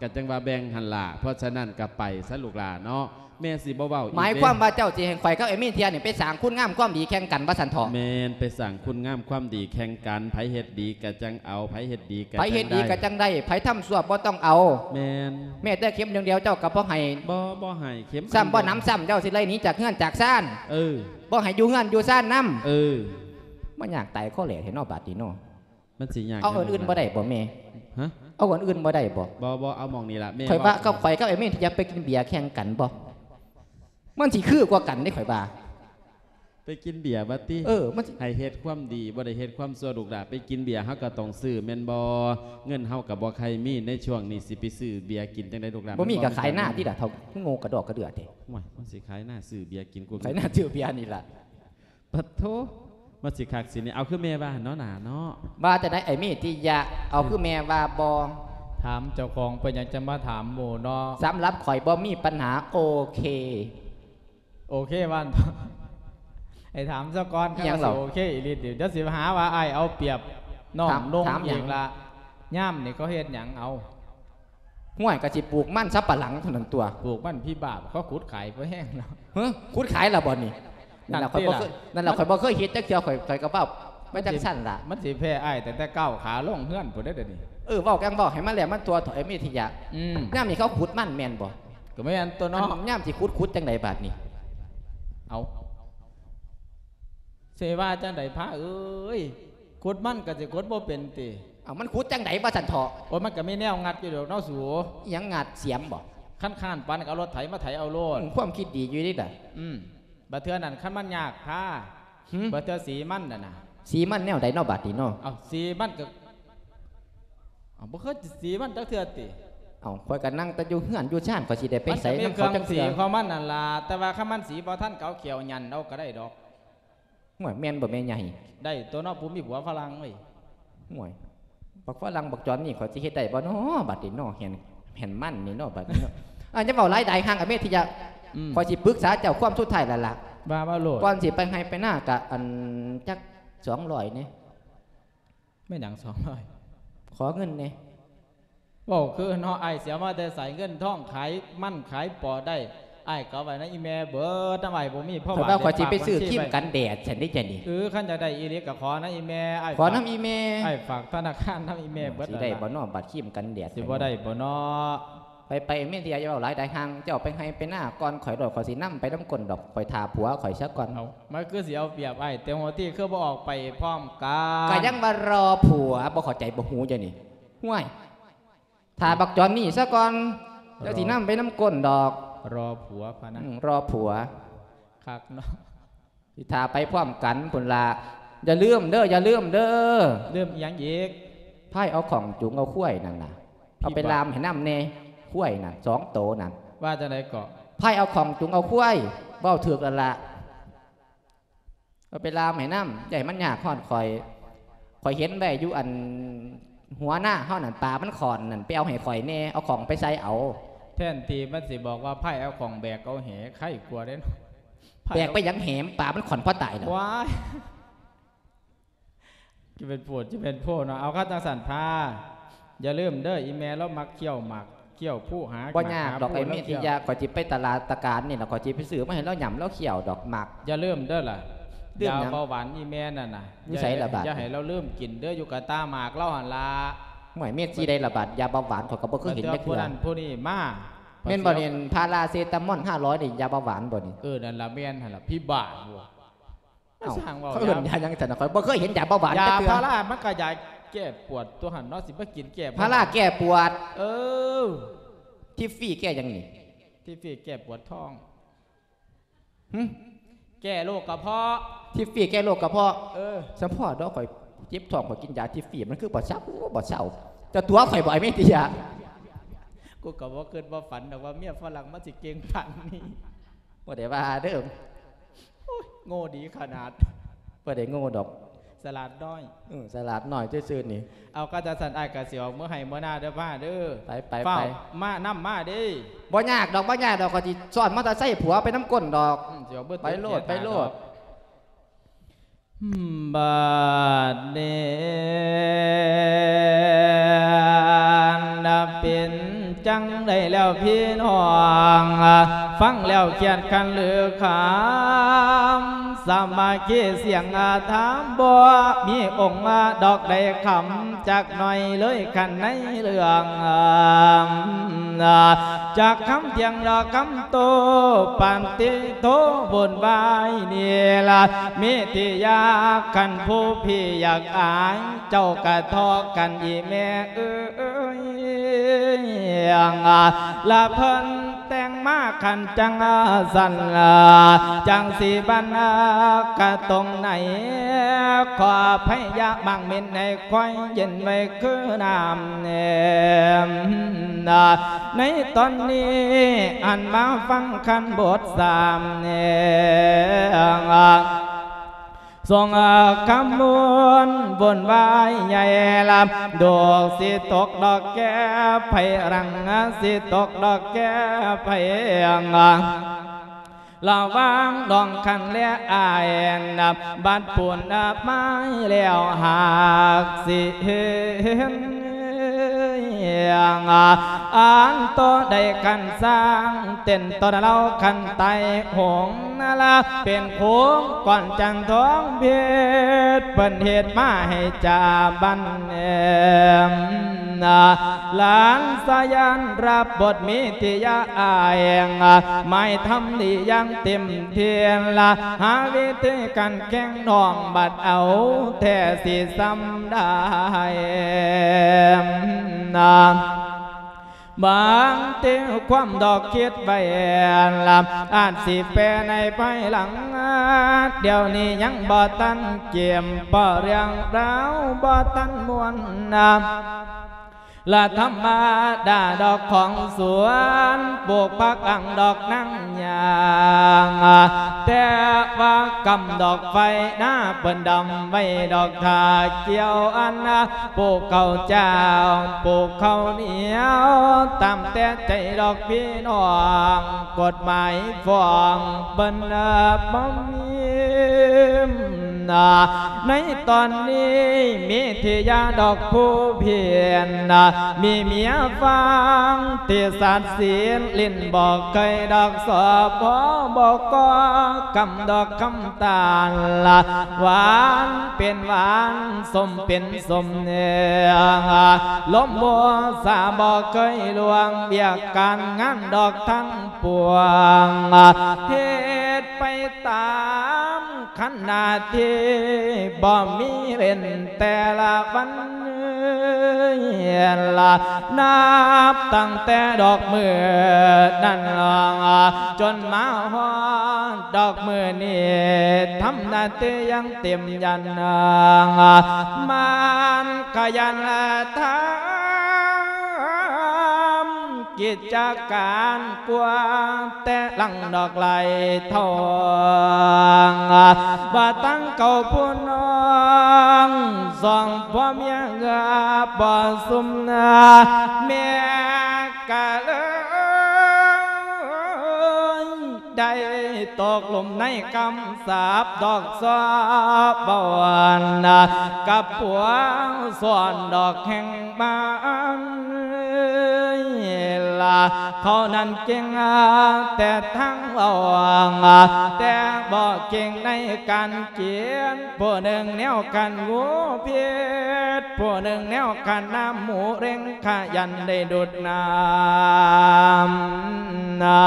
ກໍຈັ່ງວ່າແບ່ງຫັ້ນລະ ເພາະສະນັ້ນກໍໄປຊະລູກຫຼ້າເນາະ. ແມ່ຊິບໍ່ເວົ້າອີກເດ້. ໝາຍຄວາມວ່າເຈົ້າຊິໃຫ້ຂ້ອຍກັບໄອ້ມີເທຍນີ້ໄປສ້າງຄຸນງາມຄວາມດີແຂ່ງກັນວ່າຊັ້ນເຖາະ? ແມ່ນ ໄປສ້າງຄຸນງາມຄວາມດີແຂ່ງກັນ ໃຜເຮັດດີກະຈັ່ງເອົາ ໃຜເຮັດດີກະ ໃຜເຮັດດີກະຈັ່ງໄດ້ ໃຜທຳຊົ່ວບໍ່ຕ້ອງເອົາ. ແມ່ນ ແມ້ແຕ່ເຂັມດຽວເຈົ້າກໍບໍ່ໃຫ້. ບໍ່ ບໍ່ໃຫ້ເຂັມ ຊ້ຳບໍ່ໜຳຊ້ຳ ເຈົ້າຊິໄລ່ໜີຈາກເຮືອນຈາກຊານ. ເອີ ບໍ່ໃຫ້ຢູ່ເຮືອນຢູ່ຊານນຳ. ເອີ ມາຍາກຕາຍຄໍແຫຼແທ້ເນາະບາດນີ້ເນາະ. ມັນຊິຍາກ ເອົາອັນອື່ນບໍ່ໄດ້ບໍ່ແມ່? ຮະ? ເອົາອັນອື່ນບໍ່ໄດ້ບໍ່? ບໍ່ ບໍ່ ເອົາໝ່ອງນີ້ລະແມ່. ຂ້ອຍວ່າກັບຂ້ອຍກັບໄອ້ເມນທີ່ຢາກໄປກິນເບຍແຂ່ງກັນບໍ່? ມັນຊິຄືກວ່າກັນເດ້ຂ້ອຍວ່າ. ໄປກິນເບຍວ່າຕິ? ເອີ ມັນຊິ ໃຫ້ເຮັດຄວາມດີ ບໍ່ໄດ້ເຮັດຄວາມຊົ່ວລູກຫຼ້າ. ໄປກິນເບຍເຮົາກໍຕ້ອງຊື້ແມ່ນບໍ່? ເງິນເຮົາກໍບໍ່ຄ່ອຍມີໃນຊ່ວງນີ້ ຊິໄປຊື້ເບຍກິນຈັ່ງໃດລູກຫຼ້າ? ບໍ່ມີກໍຂາຍນາຕິລະ ເຖົ້າໂງ່ກະດອກກະເດືອແທ້. ໂອ້ຍ ມັນຊິຂາຍນາຊື້ເບຍກິນ ຂາຍນາຊື້ເບຍນີ້ລະ. ປະໂທ ມັນຊິຄັກຊິແນ່. ເອົາຄືແມ່ວ່າເນາະ ໜ້າເນາະ. ວ່າຈັ່ງໃດໄອ້ມີທິຍະ? ເອົາຄືແມ່ວ່າບໍ່? ຖາມເຈົ້າຂອງ ເປັນຫຍັງຈະມາຖາມໝູ່ເນາະ? ສຳລັບຂ້ອຍບໍ່ມີບັນຫາ ໂອເຄ. ໂອເຄວ່າ ໃຫ້ຖາມຊະກ່ອນ. ອີຫຍັງເຫຼົ່າ? ຄັນວ່າຊິໂອເຄອີ່ຫຼີຕິ ດຽວຊິຫາວ່າອ້າຍເອົາປຽບນ້ອງນຸ່ງອີກລະ. ຍາມນີ້ເຂົາເຮັດຫຍັງເອົາ? ຫ້ວຍ ກໍຊິປູກມັນສຳປະຫຼັງເທົ່ານັ້ນຕົວະ. ປູກມັນພິບາບ ເຂົາຂຸດຂາຍພໍແຮງແລ້ວ. ຮະ? ຂຸດຂາຍແລ້ວບໍ່ນີ້? ນັ້ນລະ ຂ້ອຍບໍ່ເຄີຍ ນັ້ນລະ ຂ້ອຍບໍ່ເຄີຍເຮັດຈັກເທື່ອ ຂ້ອຍ ຂ້ອຍກໍເວົ້າໄປຈັ່ງຊັ້ນລະ. ມັນຊິແພ້ອ້າຍຕັ້ງແຕ່ກ້າວຂາລົງເຮືອນພຸ້ນເດ້ດຽວນີ້. ເອີ ເວົ້າກັນເວົ້າໃຫ້ມັນແຫຼະ ມັນຕົວະເຖົ້າໄອ້ມີທິຍະ. ອືມ ຍາມນີ້ເຂົາຂຸດມັນແມ່ນບໍ່? ກໍແມ່ນຕົວະເນາະ. ອັນຍາມຊິຂຸດ ຂຸດຈັ່ງໃດບາດນີ້? ເອົາ ຊິວ່າຈັ່ງໃດພະເອີຍ? ຂຸດມັນກໍຊິຂຸດບໍ່ເປັນຕິ? ເອົາ ມັນຂຸດຈັ່ງໃດວ່າຊັ້ນເຖາະ? ໂອ້ຍ ມັນກໍມີແນວງັດຢູ່ດອກເນາະສູ. ອີຫຍັງງັດ? ສຽມບໍ່? ຄັນຄ້ານປານນັ້ນກໍເອົາລົດໄຖມາໄຖເອົາໂລດ. ອືມ ຄວາມຄິດດີຢູ່ເດລະ. ອືມ ບາດເທື່ອນັ້ນຄັນມັນຍາກພະ ຫື? ບາດເທື່ອສີມັນນັ້ນນະ. ສີມັນແນວໃດເນາະບາດນີ້ເນາະ? ເອົາ ສີມັນກໍ ເອົາ ບໍ່ເຄີຍສີມັນຈັກເທື່ອຕິ? ເອົາ ຂ້ອຍກໍນັ່ງແຕ່ຢູ່ເຮືອນຢູ່ຊານ ຂ້ອຍຊິໄດ້ໄປໃສນຳເຂົາຈັກເທື່ອ? ມັນກໍມີເຄື່ອງສີຂອງມັນນັ້ນລະ ແຕ່ວ່າຄັນມັນສີບໍ່ທັນ ກໍເອົາແຂ້ວຢັນເອົາກໍໄດ້ດອກ. ໂອ້ຍ ແມ່ນບໍ່ແມ່ໃຫຍ່? ໄດ້ຕົວະເນາະ ຜູ້ມີຜົວຝຣັ່ງເວີຍ. ໂອ້ຍ ບັກຝຣັ່ງບັກຈອນນີ້ ຂ້ອຍຊິເຮັດໄດ້ບໍ່ເນາະບາດນີ້ເນາະ? ແຫ່ນ ແຫ່ນມັນນີ້ເນາະບາດນີ້ເນາະ. ອາ ຢ່າເວົ້າຫຼາຍດາຍ ຫ່າງອາເມດທີ່ຢາ ອືມ ຂ້ອຍຊິປຶກສາເຈົ້າຄວາມສຸດທ້າຍແລ້ວລະ. ວ່າ ວ່າໂລດ. ກ່ອນຊິໄປໄຮ່ໄປນາ ກະ ອັນ ຈັກສອງຮ້ອຍແດ່. ແມ່ນຫຍັງສອງຮ້ອຍ? ຂໍເງິນແດ່. ເວົ້າຄືເນາະ ອ້າຍເສຍມາແຕ່ໃສ? ເງິນທອງຂາຍມັນຂາຍປໍໄດ້ ອ້າຍກໍເອົາໄວ້ນຳອີ່ແມ່ເບິດ. ນຳອ້າຍບໍ່ມີ ເພາະວ່າຂ້ອຍວ່າຊິໄປຊື້ຄຣີມກັນແດດຊັ້ນເດ້ ຈັ່ງນີ້. ເອີ ຄັນຢາກໄດ້ອີ່ຫຼີກໍຂໍນຳອີ່ແມ່. ຂໍນຳອີ່ແມ່. ອ້າຍຝາກທະນາຄານນຳອີ່ແມ່ເບິດ. ຊິໄດ້ບໍ່ເນາະ ບັດຄຣີມກັນແດດ? ຊິບໍ່ໄດ້ບໍ່ເນາະ? ໄປ ໄປ ແມ່ນທີ່ ຢ່າເວົ້າຫຼາຍ ໄດ້ຫ່າງ ເຈົ້າໄປໄຮ່ໄປນາກ່ອນຂ້ອຍໂລດ ຂ້ອຍຊິນຳໄປນຳກົ້ນດອກ ຂ້ອຍຖ້າຜົວຂ້ອຍຊະກ່ອນ. ເອົ້າ ມັນຄືຊິເອົາປຽບອ້າຍ ແຕ່ຫົວທີຄືບໍ່ອອກໄປພ້ອມກັນ? ກໍຍັງວ່າລໍຜົວ ບໍ່ເຂົ້າໃຈບໍ່ຮູ້ເຈົ້ານີ້. ຫ້ວຍ ຖ້າບັກຈອນນີ້ຊະກ່ອນ ເຈົ້າຊິນຳໄປນຳກົ້ນດອກ. ລໍຜົວພະນະ ອືມ ລໍຜົວ ຄັກເນາະ ຊິຖ້າໄປພ້ອມກັນພຸ້ນລະ. ຢ່າລືມເດີ ຢ່າລືມເດີ. ລືມອີ່ຫຍັງອີກ? ພາຍເອົາຂ້ອງຈູງເອົາຄວາຍນັ້ນນະ ເອົາໄປລ່າມໃຫ້ນຳແດ່ ຄວາຍນັ້ນ ສອງໂຕນັ້ນ. ວ່າຈັ່ງໃດເກາະ? ພາຍເອົາຂ້ອງຈູງເອົາຄວາຍ ເວົ້າຖືກແລ້ວລະ. ເອົາໄປລ່າມໃຫ້ນຳ ຢ່າໃຫ້ມັນຍາກຮອດຂ້ອຍ. ຂ້ອຍເຫັນໄວ້ຢູ່ອັນຫົວນາເຮົານັ້ນ ປາມັນຂ້ອນນັ້ນ ໄປເອົາໃຫ້ຂ້ອຍແດ່ ເອົາຂ້ອງໄປໃສ່ເອົາ. ແທນທີ່ມັນຊິບອກວ່າ ພາຍເອົາຂ້ອງແບກເອົາແຫ ໄຄກວ່າເດ້ເນາະ. ແບກໄປຫຍັງແຫ ປາມັນຂ້ອນພໍຕາຍແລ້ວ. ວ້າຍ ຈະເປັນໂພດ ຈະເປັນໂພດເນາະ. ເອົາ ຄັນຈັ່ງຊັ້ນພາ ຢ່າລືມເດີ ອີ່ແມ່ລາວມັກຄ້ຽວໝາກ ຄ້ຽວພູຫາ ບໍ່ຍາກດອກ ໝາກຫາພູ ໄອ້ເມທິຍາ ລາວຄ້ຽວ ຂ້ອຍຊິໄປຕະຫຼາດຕະການນີ້ລະ ຂ້ອຍຊິໄປຊື້ມາໃຫ້ລາວຫຍ້ຳລາວຄ້ຽວດອກ ໝາກ. ຢ່າລືມເດີລະ ຢາເບົາຫວານອີ່ແມ່ນັ້ນນະ ຢູ່ໃສລະບາດ ຢ່າໃຫ້ລາວລືມກິນເດີ ຢູ່ກະຕາໝາກລາວຫັ້ນລະ. ຫ້ວຍ ເມັດຊິໄດ້ລະບາດ ຢາເບົາຫວານ ຂ້ອຍກໍບໍ່ເຄີຍເຫັນຈັກເທື່ອ. ຜູ້ນັ້ນຜູ້ນີ້ມາ ແມ່ນບໍ່ນີ້? ພາລາເຊຕາມອນຫ້າຮ້ອຍນີ້ ຢາເບົາຫວານບໍ່ນີ້? ເອີ ນັ້ນລະ ແມ່ນຫັ້ນລະ ພິບານ. ເອົ້າ ຊ່າງເວົ້າ ເຂົາເອີ້ນຢາຫຍັງຊັ້ນນະ? ຂ້ອຍບໍ່ເຄີຍເຫັນຢາເບົາຫວານຈັກເທື່ອ. ຢາພາລາມັນກໍຢາແກ້ປວດຕົວຫັ້ນເນາະ ຊິມາກິນແກ້ ພາລາແກ້ປວດ. ເອີ ທິບຟຣີແກ້ຫຍັງນີ້? ທິບຟຣີແກ້ປວດທ້ອງ. ຫຶ? ແກ້ໂລກກະເພາະ. ທິບຟຣີແກ້ໂລກກະເພາະ. ເອີ ສະເພາະດອກ ຂ້ອຍເຈັບທ້ອງ ຂ້ອຍກິນຢາທິບຟຣີ ມັນຄືບໍ່ເຊົາ ບໍ່ເຊົາ. ເຈົ້າຕົວະຂ້ອຍບໍ່ ໄອ້ເມຕິຍາ? ກູກໍບໍ່ຄິດບໍ່ຝັນດອກວ່າເມຍຝຣັ່ງມັນຊິເກັ່ງປານນີ້. ບໍ່ໄດ້ວ່າເດີ. ໂອ້ຍ ໂງ່ດີຂະໜາດ. ບໍ່ໄດ້ໂງ່ດອກ ສະຫຼາດນ້ອຍ. ເອີ ສະຫຼາດນ້ອຍຊື່ໆນີ້. ເອົາ ຄັນຈັ່ງຊັ້ນອ້າຍກໍຊິອອກເມືອໄຮ່ເມືອນາເດີ ພາເດີ. ໄປໆໆ ຟ້າວມານຳມາເດ້. ບໍ່ຍາກດອກ ບໍ່ຍາກດອກ ຂ້ອຍຊິຊ້ອນມໍເຕີໄຊຜົວໄປນຳກົ້ນດອກ. ອືມ ຊິອອກເບີ ໄປໂລດ ໄປໂລດ. ບາດນີ້ ອັນເປັນຈັ່ງໃດແລ້ວພີ່ນ້ອງ ຟັງແລ້ວຄຽດຄັນຫຼືຄຳ ສາມັກຄີສຽງຖາມ ບໍ່ມີອົງດອກໃດຄຳຈັກໜ້ອຍເລີຍ ຄັນໃນເລື່ອງ ຈັກຄຳຖຽງດອກຄຳໂຕ້ ປານຕິໂທວຸ່ນວາຍນີ້ລະ ເມທິຍາ ຄັນຜູ້ພີ່ຢາກອາຍ ເຈົ້າກະທອກກັນອີ່ແມ່ເອີຍ ລະເພິ່ນແຕ່ງມາຄັນຈັ່ງຊັ້ນ ຈັ່ງຊິບັນກະຕົງໃນ ຂໍໄພຢາໝາກເມັນໃນ ຄວາຍເຢັນໄວ້ຄືນ້ຳແນມ ໃນຕອນນີ້ ອັນມາຟັງຄັນບົດສາມແນມ ສົ່ງຄຳວົນວຸ່ນວາຍໃຫຍ່ລຳ ດອກຊິຕົກດອກແກ້ໄພລັງ ຊິຕົກດອກແກ້ໄພລັງ ລະຫວ່າງນ້ອງຄັນແລອ້າຍ ບັດປູນມາແລ້ວຫາກຊິເຫັນ ອັນໂຕໃດຄັນສ້າງເຕັ້ນ ຕອນລາວຄັນໄຕຫົງນະລະ ເປັນໂຂງກ່ອນຈັນທອງເພັດ ເພິ່ນເຮັດມາໃຫ້ຈາບັນແອມ ຫຼານສາຍານ ຮັບບົດມີທິຍາອາຍ ໝາຍທຳດີຢ່າງເຕັມທີ່ລະ ຫາວິທີການແຂ່ງນ້ອງ ບັດເອົາແທ້ຊິຊ່ຳໄດ້ ບາງທີຄວາມດອກຄິດໄວ້ລະ ອາດຊິແປໃນພາຍຫຼັງ ດຽວນີ້ຍັງບໍ່ທັນເກມ ເພາະເລື່ອງລາວບໍ່ທັນມ່ວນນະ ລະທຳມະດາດອກຂອງສວນ ປູກຜັກອັ່ງດອກນາງຍາງ ແຕ່ວ່າກຳດອກໄຟນາເພິ່ນດຳໄວ້ດອກຖ້າກ່ຽວອັນນະ ປູກເຂົ້າເຈົ້າ ປູກເຂົ້າໜຽວ ຕາມແຕ່ໃຈດອກພີ່ນ້ອງ ກົດໝາຍຟ້ອງເພິ່ນບໍ່ມີ ໃນຕອນນີ້ມີທິຍາດອກຜູ້ເພັນ ມີເມຍຝຣັ່ງທີ່ສັດສິນ ຫຼິ້ນບໍ່ເຄີຍດອກ ສບ ບໍ່ກໍກຳດອກຄຳຕານລະ ຫວານເປັນຫວານ ສົ້ມເປັນສົ້ມແນ ລົມບໍ່ສາບໍ່ເຄີຍລ່ວງ ວຽກການງານດອກທັງປວງ ເຮັດໄປຕາມ ຄັນໜ້າທີ່ບໍ່ມີເວັ້ນແຕ່ລະວັນ ລະ ນັບຕັ້ງແຕ່ດອກມື້ນັ້ນ ຈົນມາຮອດດອກມື້ນີ້ ທຳໜ້າທີ່ຍັງເຕັມຢັນ ມັນຂະຫຍັນທຳ ກິດຈະການກວ່າແຕ່ຫຼັງດອກໄຫຼທອງ ວ່າຕັ້ງເຂົາຜູ້ນ້ອງ ສອງຜົວເມຍເອື້ອບໍ່ຊຸມນາ ແມ່ກະເລີຍໄດ້ຕົກຫຼຸມໃນຄຳສາບດອກຊອບເວົ້ານາ ກັບຜົວສອນດອກແຫ່ງ ມາອັນລະ ເຂົານັ້ນເກັ່ງແຕ່ທາງເວົ້າ ແຕ່ບໍ່ເກັ່ງໃນການກິນ ຜູ້ໜຶ່ງແນວຂັນງູພິດ ຜູ້ໜຶ່ງແນວຂັນນ້ຳໝູເລັ່ງ ຂະຫຍັນໄດ້ດູດນ້ຳນາ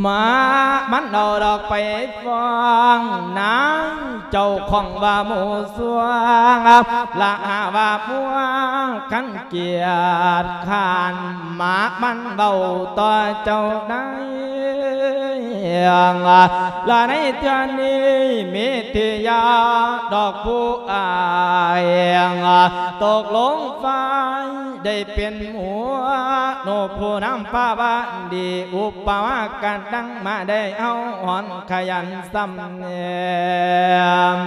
ມາ ມັນເອົາດອກໄປຟ້ອງນາຍເຈົ້າຂອງວ່າໝູ່ຊ່ວງ ລະຫາວ່າມົວຄັນກຽດຄ້ານ ມາ ມັນເວົ້າຕໍ່ເຈົ້ານາຍ ລະໃນເທື່ອນີ້ມີທີ່ຢາດອກຜູ້ອ້າຍ ຕົກລົງຝ່າຍ ໄດ້ເປັນໝູ່ໂນ ຜູ້ນຳພາວະດີ ອຸປະມາກະດັງມາໄດ້ເອົາຫອນຂະຫຍັນສຳແນມ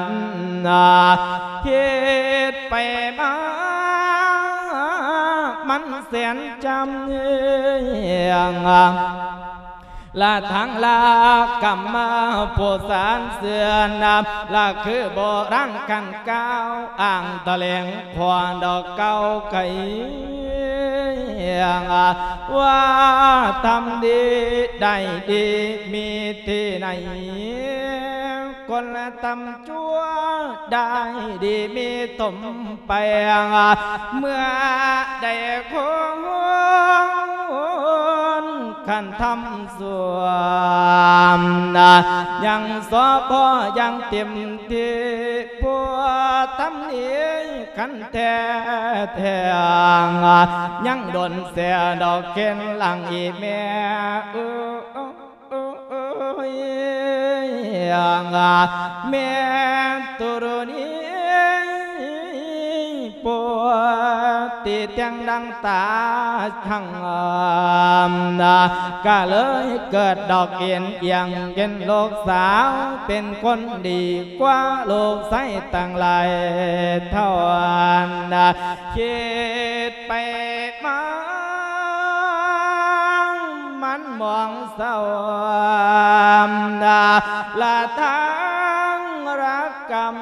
ເຮັດໄປມາ ມັນແສນຈຳເອງ ລະທາງລາກຳມາຜູ້ສານເຊື່ອນຳ ລະຄືໂບລານຄັນກ່າວອ້າງຕະແຫຼງ ຂວາດອກເກົ່າໄກ ວ່າທຳດີໄດ້ດີມີທີ່ໃນ ຄົນລະທຳ ຊົ່ວໄດ້ດີມີຖົມໄປ ເມື່ອໃດຄົນຄັນທຳຊົ່ວ ຍັງຊອບພໍຢ່າງເຕັມທີ່ ຜູ້ທຳດີຄັນແທ້ແທ້ ຍັງດົນແຊ່ດອກເຂັນຫຼັງອີແມ່ເອີຍ ໂອ້ຍ ແມ່ຕຸຣະນີ ປົວຕິແຕ່ງດັ່ງຕາທັງ ກະເລີຍເກີດດອກເອັນອຽງເປັນລູກສາວ ເປັນຄົນດີກວ່າລູກຊາຍຕັ້ງຫຼາຍເທົ່າ ຄິດໄປມາ ມັນມອງເສົ້າ ລະທາງລະກຳ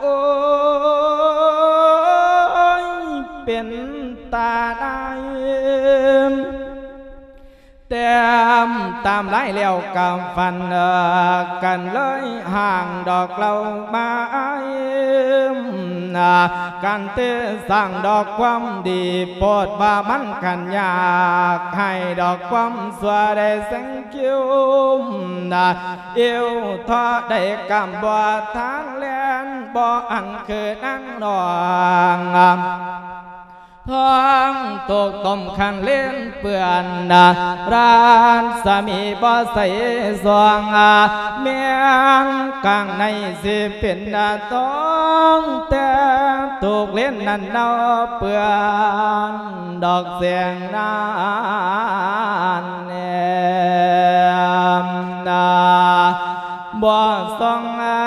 ໂອ້ຍ ເປັນຕາໄດ້ ແຕ້ມຕາມລາຍແລ້ວກະຟັນກັນເລີຍ ຮ່າງດອກເຫຼົ່າມາ ການທີ່ສ້າງດອກຄວາມດີ ໂພດວ່າມັນຂັນຍາກ ໃຫ້ດອກຄວາມຊົ່ວໄດ້ແຊງຄິວ ອິ້ວທໍ້ໄດ້ກຳບໍ່ທານແລ່ນ ບໍ່ອັນຄືນາງນ້ອງ ທ້ອງຕົກຕົ້ມຄັນເລນເປື້ອນ ລາຊະມີບໍ່ໃສສອງ ແມ່ນກາງໃນຊິເປັນທອງ ແຕ່ຖືກເລນນັ້ນເນົາເປື້ອນ ດອກແສງນານແນມນາ ບໍ່ສ່ອງອາ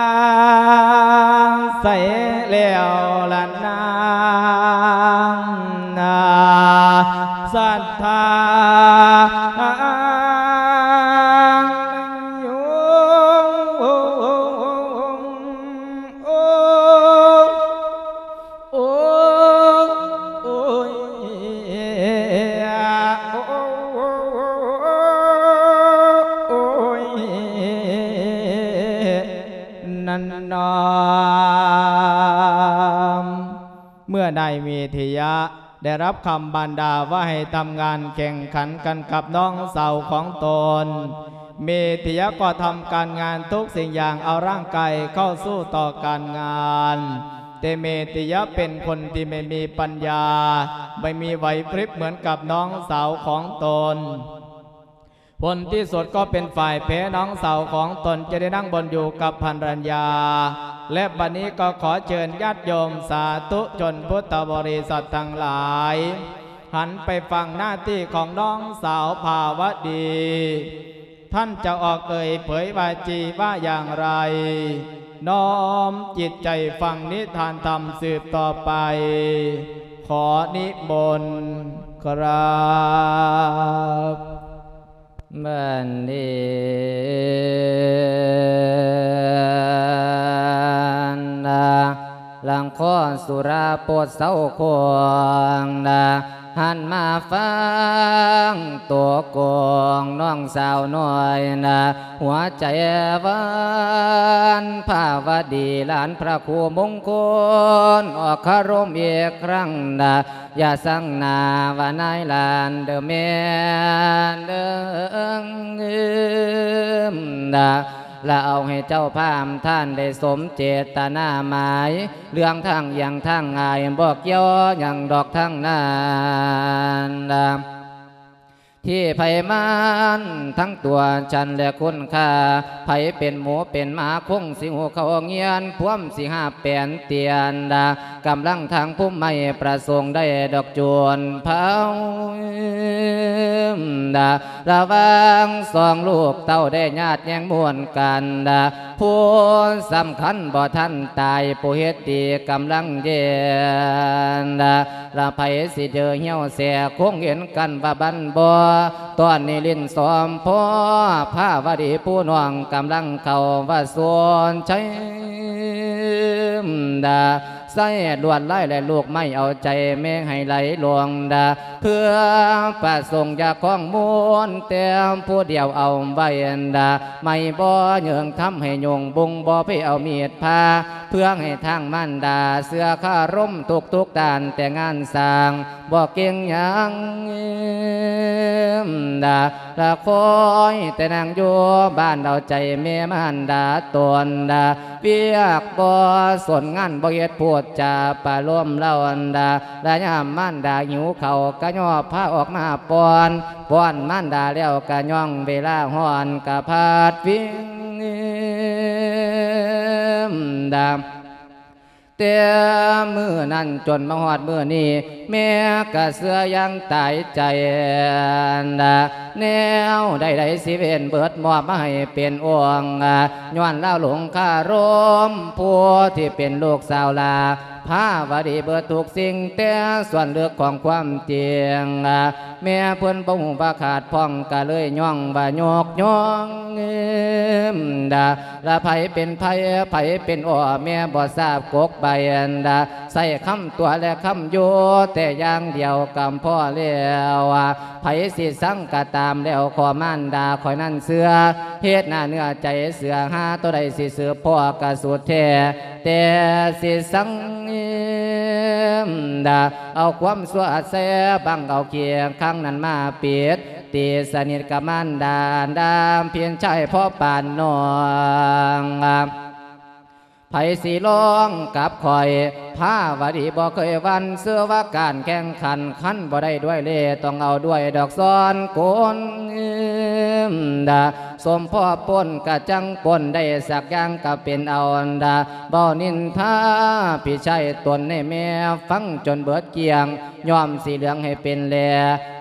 ໄສແລ້ວລະນາງນາ ສັດທາ ໂອ້ ໂອ້ຍ ໂອ້ຍ ນັ້ນນອມ ເມື່ອນາຍເມທະຍະໄດ້ຮັບຄຳບັນດາວ່າໃຫ້ທຳງານແຂ່ງຂັນກັນກັບນ້ອງສາວຂອງຕົນ ເມທະຍະກໍທຳການງານທຸກສິ່ງຢ່າງ ເອົາຮ່າງກາຍເຂົ້າສູ້ຕໍ່ການງານ เตเมติยะเป็นคนที่ไม่มีปัญญา ไม่มีไหวพริบเหมือนกับน้องสาวของตน ผลที่สุดก็เป็นฝ่ายแพ้น้องสาวของตน จะได้นั่งบนอยู่กับภรรยา และบัดนี้ก็ขอเชิญญาติโยมสาธุชนพุทธบริษัททั้งหลาย หันไปฟังหน้าที่ของน้องสาวภาวดี ท่านจะออกเอ่ยเผยวาจีว่าอย่างไร น้อมจิตใจฟังนิทานธรรมสืบต่อไป ขอนิมนต์ครับ บัดนี้นะ หลังขอสุราโปดเซาคงนะ หันมาฟังโตโกงน้องสาวน้อยนะ หัวใจหวานภาวดี หลานพระครูมงคล ออกคารมอีกครั้งนะ อย่าสั่งหน้าว่านายหลานเด้อแม่เด้อนะ และเอาให้เจ้าภาพท่านได้สมเจตนาหมาย เรื่องทางอย่างทางง่าย บ่เกี่ยวหยังดอกทางนั้นนะ ที่ไผมันทั้งตัวฉันและคุณค่า ไผเป็นหมูเป็นหมาคงสิหูเข้าเงียน พวมสิหาแปนเตียนดา กำลังทางภูมิไม่ประสงค์ได้ดอกจวนเผาดา ระหว่างสองลูกเต้าได้ญาติแย่งม่วนกันดา ผู้สำคัญบ่ทันตาย ผู้เฮ็ดดีกำลังเย็นดา ละไผสิเจอเหี่ยวแสคงเห็นกันว่าบันบ่ ตอนนี้ลิ้นซ้อมพอ ภาวดีผู้น้องกำลังเข้าว่าสวนชัยดา ใส่ลวดลายและลูกไม้เอาใจแม่ให้ไหลลงดา เพื่อประสงค์อยากของมวลแต่ผู้เดียวเอาไว้ดา ไม่บ่เยิงทำให้ยงบุงบ่ไปเอามีดพา เพื่อให้ทางมารดาเสื้อคารมทุกๆด้านแต่งานสร้าง บ่เก่งหยังดา ละคอยแต่นั่งอยู่บ้านเอาใจแม่มารดาตนดา เวียกบ่สนงานบ่เฮ็ดพูดจาปะโลมเล่าอันดา ละยามมารดาหิวข้าวกะย่อพาออกมาป้อน ป้อนมารดาแล้วกะย่องเวลาฮ้อนกะพาดวิ่งดา แต่มื้อนั้นจนมาฮอดมื้อนี้ แม่กะเชื่ออย่างตายใจ แนวใดๆสิเว้นเบิดมอบมาให้เป็นองค์ ย้อนลาวหลงคารม ผู้ที่เป็นลูกสาวหลา ภาวดีเบิดทุกสิ่ง แต่ส่วนลึกของความจริง แม่เพิ่นบ่ฮู้ว่าขาดพ่อง กะเลยย่องว่ายกย่องดา ละไผเป็นไผ ไผเป็นอ้อ แม่บ่ทราบกกใบอันดา ใส่คำตัวและคำอยู่แต่อย่างเดียวกำพอแล้ว ไผสิสั่งกะตามแล้ว ขอมารดาข้อยนั้นเชื่อ เฮ็ดหน้าเนื้อใจเชื่อ หาตัวใดสิสืบพ่อกะสุดแท้ แต่สิสั่งดา เอาความชั่วแซ่บังเอาเคียงข้างนั้นมาปิด ตีสนิทกับมารดา ดามเพียงชายพอปานน้อง ไผสิลองกับข้อย ภาวดีบ่เคยหวั่น เชื่อว่าการแข่งขัน คันบ่ได้ด้วยเล่ห์ ต้องเอาด้วยดอกซ้อนคนดา สมพอปนกะจังปนได้ สักอย่างกะเป็นเอาอันดา บ่นินทาพี่ชายตนให้แม่ฟังจนเบิดเกลี้ยง ย้อมสีเหลืองให้เป็นแล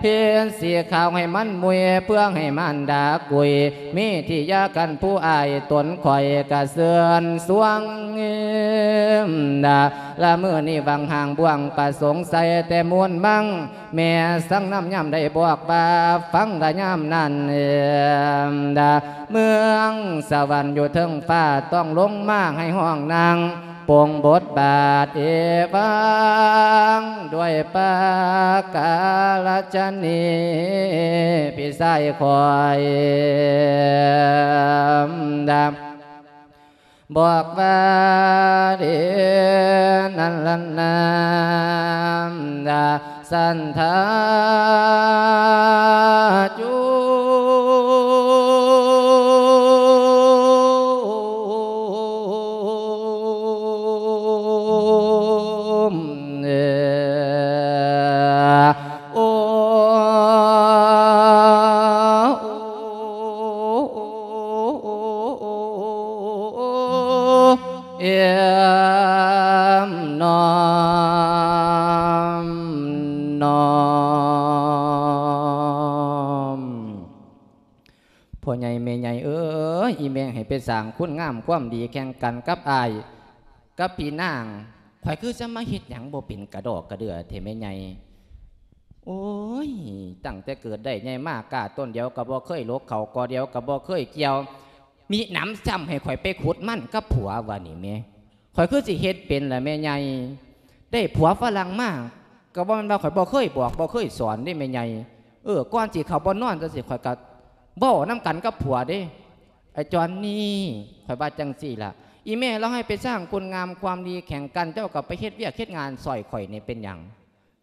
เฮ็ดสีขาวให้มันมุย เพื่อให้มารดากุย มีที่ยากันผู้อ้ายตนข้อยกะเชิญสวงดา ละมื้อนี้หวังห่างบ่วงประสงค์ใส่แต่มวลมัง แม่สั่งนำยามใดบอกว่าฟังละยามนั้นดา เมืองสวรรค์อยู่เทิงฟ้าต้องลงมาให้ห้องนาง ปลงบทบาทเอวัง ด้วยปากกาลชนี พี่ชายคอยดำ บอกว่าเดนั้นลันนามดาสันทาจู ອີແມ່ໃຫ້ໄປສ້າງຄຸນງາມຄວາມດີແຂ່ງກັນກັບອ້າຍ ກັບພີ່ນາງ. ຂ້ອຍຄືຈະມາເຮັດຫຍັງບໍ່ເປັນກະດອກກະເດື່ອແທ້ແມ່ໃຫຍ່. ໂອ້ຍ ຕັ້ງແຕ່ເກີດໄດ້ໃຫຍ່ມາ ກ້າຕົ້ນດຽວກໍບໍ່ເຄີຍຫຼົກ ເຂົ້າກໍດຽວກໍບໍ່ເຄີຍກ່ຽວ ມີໜຳຊ້ຳໃຫ້ຂ້ອຍໄປຂຸດມັນກັບຜົວວ່ານີ້ແໝ. ຂ້ອຍຄືຊິເຮັດເປັນລະແມ່ໃຫຍ່. ໄດ້ຜົວຝຣັ່ງມາ ກໍບໍ່ແມ່ນວ່າຂ້ອຍບໍ່ເຄີຍບອກ ບໍ່ເຄີຍສອນເດ້ແມ່ໃຫຍ່. ເອີ ກ່ອນຊິເຂົ້າບ່ອນນອນຈັ່ງຊີ້ ຂ້ອຍກໍເວົ້ານຳກັນກັບຜົວເດ້. ໄອ້ຈອນນີ້ ຂ້ອຍວ່າຈັ່ງຊີ້ລະ ອີແມ່ລາວໃຫ້ໄປສ້າງຄຸນງາມຄວາມດີແຂ່ງກັນ ເຈົ້າກໍໄປເຮັດວຽກເຮັດງານຊ່ອຍຂ້ອຍນີ້ເປັນຫຍັງ?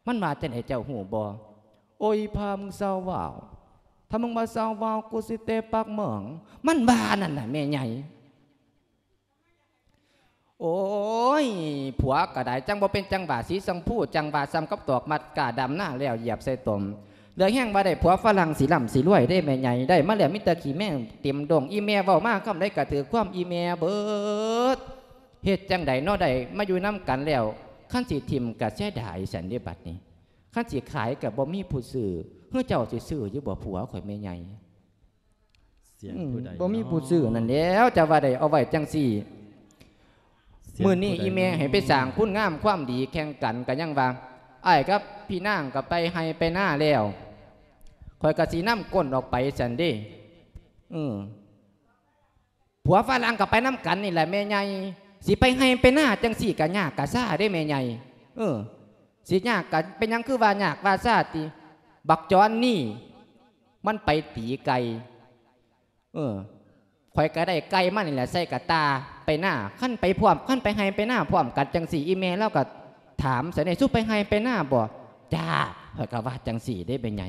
ມັນວ່າຈັ່ງໃດເຈົ້າຮູ້ບໍ່? ໂອ້ຍ ອີພາ ມຶງເຊົາເວົ້າ ຖ້າມຶງບໍ່ເຊົາເວົ້າ ກູຊິເຕະປາກມຶງ ມັນວ່ານັ້ນນະແມ່ໃຫຍ່. ໂອ້ຍ ຜົວກໍໄດ້ ຈັ່ງບໍ່ເປັນຈັງຫວະ ສີຊົມພູ ຈັ່ງຫວະສ່ຳກັບຕອກມັດກ້າ ດຳນາແລ້ວຢຽບໃສ່ຕົມ. ເຫຼືອແຮງວ່າໄດ້ຜົວຝຣັ່ງ ຊິລ່ຳຊິລວຍເດ້ແມ່ໃຫຍ່ ໄດ້ມາແລ້ວມີແຕ່ຂີ້ແມງເຕັມດົງ. ອີແມ່ເວົ້າມາຄຳໃດກໍຖືກຄວາມອີແມ່ເບິດ. ເຮັດຈັ່ງໃດເນາະ ໄດ້ມາຢູ່ນຳກັນແລ້ວ ຄັນຊິຖິ້ມກໍເສຍດາຍຊັ້ນເດ້ບັດນີ້. ຄັນຊິຂາຍກໍບໍ່ມີຜູ້ຊື້ ເຮືອເຈົ້າຊິຊື້ຢູ່ບໍ່ຜົວຂ້ອຍແມ່ໃຫຍ່? ສຽງຜູ້ໃດ ອືມ ບໍ່ມີຜູ້ຊື້ນັ້ນແຫຼ້ວ ຈະວ່າໄດ້ເອົາໄວ້ຈັ່ງຊີ້. ສຽງ ມື້ນີ້ ຜູ້ໃດ ອີແມ່ໃຫ້ໄປສ້າງຄຸນງາມຄວາມດີແຂ່ງກັນ ກໍຍັງວ່າ ອ້າຍກັບພີ່ນາງກໍໄປໄຮ່ໄປນາແລ້ວ ຂ້ອຍກໍຊິນຳກົ້ນອອກໄປຊັ້ນເດ້. ເອີ ຜົວຝຣັ່ງກໍໄປນຳກັນນີ້ແຫຼະແມ່ໃຫຍ່ ຊິໄປໄຮ່ໄປນາຈັ່ງຊີ້ກໍຍາກກໍຊາເດ້ແມ່ໃຫຍ່. ເອີ ຊິຍາກກໍເປັນຫຍັງຄືວ່າຍາກວ່າຊາຕິ? ບັກຈອນນີ້ມັນໄປຕີໄກ່. ເອີ ຂ້ອຍກໍໄດ້ໄກ່ມານີ້ແຫຼະໃສ່ກະຕ່າໄປນາ. ຄັນໄປພ້ອມ ຄັນໄປໄຮ່ໄປນາພ້ອມກັນຈັ່ງຊີ້ ອີແມ່ລາວກໍຖາມຊັ້ນເດ້ ສູໄປໄຮ່ໄປນາບໍ່? ຈ້າ ຂ້ອຍກໍວ່າຈັ່ງຊີ້ເດ້ແມ່ໃຫຍ່.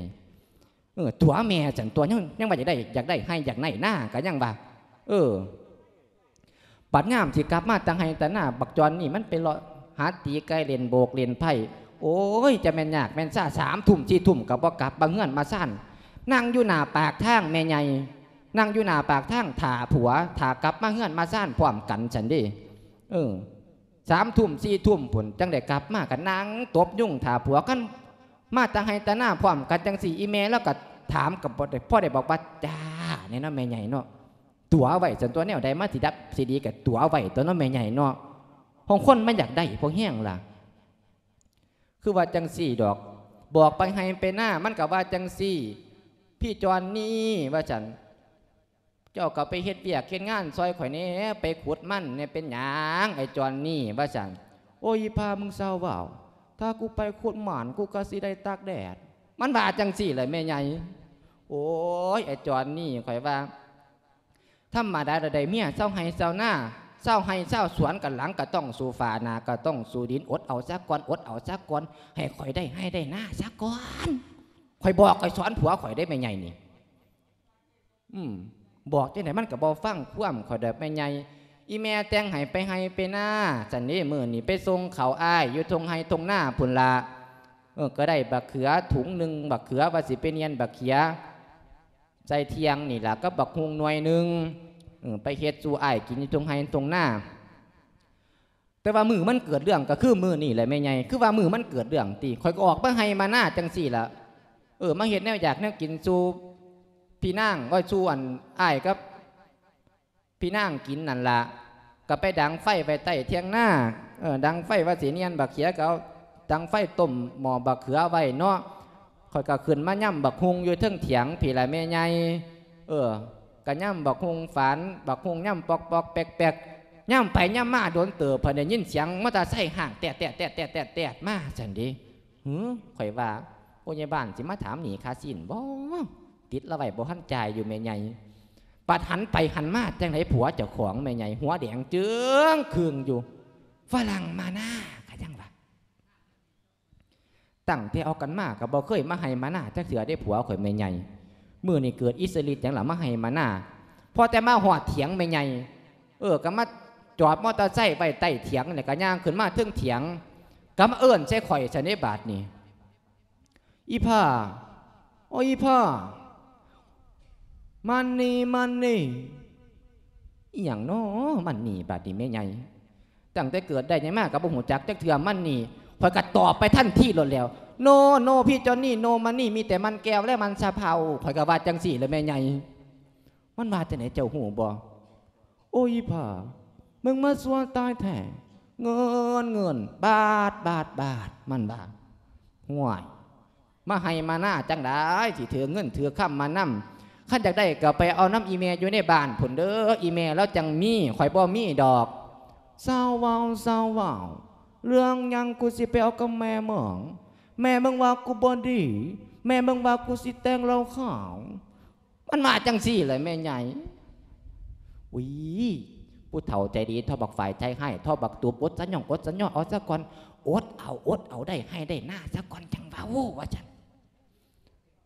ເອີ ຕົວະແມ່ຊັ້ນຕົວະ ຍັງ ຍັງວ່າຢາກໄດ້ ຢາກໄດ້ໄຮ່ຢາກໄດ້ນາ ກໍຍັງວ່າ ເອີ ບັດຍາມຊິກັບມາແຕ່ໄຮ່ແຕ່ນາ ບັກຈອນນີ້ມັນໄປເລາະຫາຕີໄກ່ ເລ່ນໂບກເລ່ນໄພ້. ໂອ້ຍ ຈະແມ່ນຍາກແມ່ນຊາ ສາມທຸ່ມສີ່ທຸ່ມກໍບໍ່ກັບມາເຮືອນມາຊານ ນັ່ງຢູ່ໜ້າປາກທາງແມ່ໃຫຍ່ ນັ່ງຢູ່ໜ້າປາກທາງຖ້າຜົວ ຖ້າກັບມາເຮືອນມາຊານພ້ອມກັນຊັ້ນເດ້. ເອີ ສາມທຸ່ມສີ່ທຸ່ມພຸ້ນ ຈັ່ງໄດ້ກັບມາ ກໍນັ່ງຕົບຍຸງຖ້າຜົວ. ຄັນມາແຕ່ໄຮ່ແຕ່ນາພ້ອມກັນຈັ່ງຊີ້ ອີແມ່ລາວກໍຖາມ ກໍພໍໄດ້ ພໍໄດ້ບອກວ່າ ຈ້າ ແນ່ເນາະແມ່ໃຫຍ່ເນາະ. ຕົວະໄວ້ຊັ້ນຕົວະ ແນວໃດມາຊິດັບຊິດີກໍຕົວະໄວ້ຕົວະເນາະແມ່ໃຫຍ່ເນາະ. ຂອງຄົນມັນຢາກໄດ້ພໍແຮງລະ ຄືວ່າຈັ່ງຊີ້ດອກ. ບອກໄປໄຮ່ໄປນາ ມັນກໍວ່າຈັ່ງຊີ້ ພີ່ຈອນນີ້ ວ່າຊັ້ນ ເຈົ້າກໍໄປເຮັດວຽກເຮັດງານຊ່ອຍຂ້ອຍແດ່ ໄປຂຸດມັນແດ່. ເປັນຫຍັງໄອ້ຈອນນີ້ ວ່າຊັ້ນ. ໂອ້ຍ ອີພາ ມຶງເຊົາເວົ້າ ຖ້າກູໄປຂຸດມັນ ກູກໍຊິໄດ້ຕາກແດດ ມັນວ່າຈັ່ງຊີ້ແຫຼະແມ່ໃຫຍ່. ໂອ້ຍ ໄອ້ຈອນນີ້ ຂ້ອຍວ່າ ທຳມະດາລະໄດ້ເມຍຊາວໄຮ່ຊາວນາ ຊາວໄຮ່ຊາວສວນ ກັນຫຼັງກໍຕ້ອງສູ້ຟ້າ ໜ້າກໍຕ້ອງສູ້ດິນ ອົດເອົາສາກ່ອນ ອົດເອົາສາກ່ອນ ໃຫ້ຂ້ອຍໄດ້ໄຮ່ໄດ້ນາສາກ່ອນ. ຂ້ອຍບອກຂ້ອຍສອນຜົວຂ້ອຍເດ້ແມ່ໃຫຍ່ນີ້. ອືມ ບອກຈັ່ງໃດມັນກໍບໍ່ຟັງຄວາມຂ້ອຍດອກແມ່ໃຫຍ່. ອີແມ່ແຕ່ງໃຫ້ໄປໄຮ່ໄປນາຊັ້ນເດ້ ມື້ນີ້ໄປສົ່ງເຂົ້າອ້າຍຢູ່ທົ່ງໄຮ່ທົ່ງນາພຸ້ນລະ. ເອີ ກໍໄດ້ບັກເຂືອຖົງໜຶ່ງ ບັກເຂືອວ່າຊິໄປໜ່ຽນບັກເຂືອໃສ່ຖຽງນີ້ລະ ກັບບັກຫຸ່ງໜ່ວຍໜຶ່ງ ເອີ ໄປເຮັດສູ່ອ້າຍກິນຢູ່ທົ່ງໄຮ່ທົ່ງນາ. ແຕ່ວ່າມື້ມັນເກີດເລື່ອງກໍຄືມື້ນີ້ແຫຼະແມ່ໃຫຍ່ ຄືວ່າມື້ມັນເກີດເລື່ອງຕິ ຂ້ອຍກໍອອກມາໄຮ່ມານາຈັ່ງຊີ້ລະ. ເອີ ມາເຮັດແນວຢາກແນວກິນສູ່ພີ່ນາງ ໂອ້ຍ ສູ່ອັນອ້າຍກັບພີ່ນາງກິນນັ້ນລະ ກໍໄປດັງໄຟໄວ້ໃຕ້ຖຽງນາ. ເອີ ດັງໄຟວ່າຊິໜ່ຽນບັກເຂືອ ກໍເອົາດັງໄຟຕົ້ມໝໍ້ບັກເຂືອໄວ້ເນາະ. ຂ້ອຍກໍຂຶ້ນມາຍຳບັກຫຸ່ງຢູ່ເທິງຖຽງພີ້ລະແມ່ໃຫຍ່. ເອີ ກໍຍຳບັກຫຸ່ງຝານ ບັກຫຸ່ງຍຳປອກໆແປກໆ ຍຳໄປຍຳມາດົນເຕີບ ເພິ່ນໄດ້ຍິນສຽງມໍເຕີໄຊຮ້າງແຕດໆໆໆມາຊັ້ນເດ້. ຫື ຂ້ອຍວ່າ ໂອ້ຍ ຍາຍບ້ານຊິມາຖາມໜີ້ຄ່າຊີ້ນບໍ່? ຕິດລາວໄວ້ບໍ່ທັນຈ່າຍຢູ່ແມ່ໃຫຍ່. ບັດຫັນໄປຫັນມາ ຈັ່ງໃດຜົວເຈົ້າຂອງແມ່ໃຫຍ່ ຫົວແດງເຈີງຄຶ່ງຢູ່. ຝຣັ່ງມານາ ກໍຍັງວ່າ ຕັ້ງແຕ່ອອກກັນມາກໍບໍ່ເຄີຍມາໄຮ່ມານາຈັກເທື່ອເດ້ຜົວຂ້ອຍແມ່ໃຫຍ່. ມື້ນີ້ເກີດອິດສະລິດຫຍັງລະມາໄຮ່ມານາ? ພໍແຕ່ມາຮອດຖຽງແມ່ໃຫຍ່ ເອີ ກໍມາຈອດມໍເຕີໄຊໄວ້ໃຕ້ຖຽງ ແລ້ວກໍຍ່າງຂຶ້ນມາເທິງຖຽງ ກໍມາເອີ້ນໃສ່ຂ້ອຍຊັ້ນເດ້ບາດນີ້. ອີ່ພ້າ ໂອ້ ອີ່ພ້າ ມານີ້ ມານີ້. ອີ່ຫຍັງນໍ ມານີ້ ບາດນີ້ແມ່ໃຫຍ່. ຕັ້ງແຕ່ເກີດໄດ້ໃຫຍ່ມາກໍບໍ່ຮູ້ຈັກຈັກເທື່ອ ມານີ້. ຂ້ອຍກໍຕອບໄປທັນທີໂລດແລ້ວ ໂນ ໂນ ພີ່ຈອນນີ້ ໂນ ມານີ້ ມີແຕ່ມັນແກ້ວ ແລະ ມັນສະເພົາ. ຂ້ອຍກໍວ່າຈັ່ງຊີ້ແຫຼະແມ່ໃຫຍ່. ມັນວ່າຈັ່ງໃດເຈົ້າຮູ້ບໍ່? ໂອ້ຍ ອີ່ຜາ ມຶງມາຊົ່ວຕາຍແທ້ ເງິນ ເງິນ ບາດ ບາດ ບາດ ມັນວ່າ. ຫ້ວຍ ມາໄຮ່ມານາຈັ່ງໃດ ຊິຖືເງິນຖືຄຳມານຳ? ຄັນຢາກໄດ້ກໍໄປເອົານຳອີ່ແມ່ຢູ່ໃນບ້ານພຸ້ນເດີ ອີ່ແມ່ລາວຈັ່ງມີ ຂ້ອຍບໍ່ມີດອກ. ເຊົາເວົ້າ ເຊົາເວົ້າ ເລື່ອງຫຍັງກູຊິໄປເອົາກັບແມ່ມຶງ? ແມ່ມຶງວ່າກູບໍ່ດີ ແມ່ມຶງວ່າກູຊິແຕ່ງເຫຼົ້າຂາວ. ມັນວ່າຈັ່ງຊີ້ແຫຼະແມ່ໃຫຍ່. ອຸ້ຍ ຜູ້ເຖົ້າໃຈດີ ທໍ່ບັກຝ້າຍໃຈຮ້າຍ ທໍ່ບັກຕູບ ອົດສະຫຍອງ ອົດສະຫຍອງ ເອົາສາກ່ອນ ອົດເອົາ ອົດເອົາ ໄດ້ໄຮ່ໄດ້ນາສາກ່ອນ ຈັ່ງເວົ້າ ວ່າຊັ້ນ.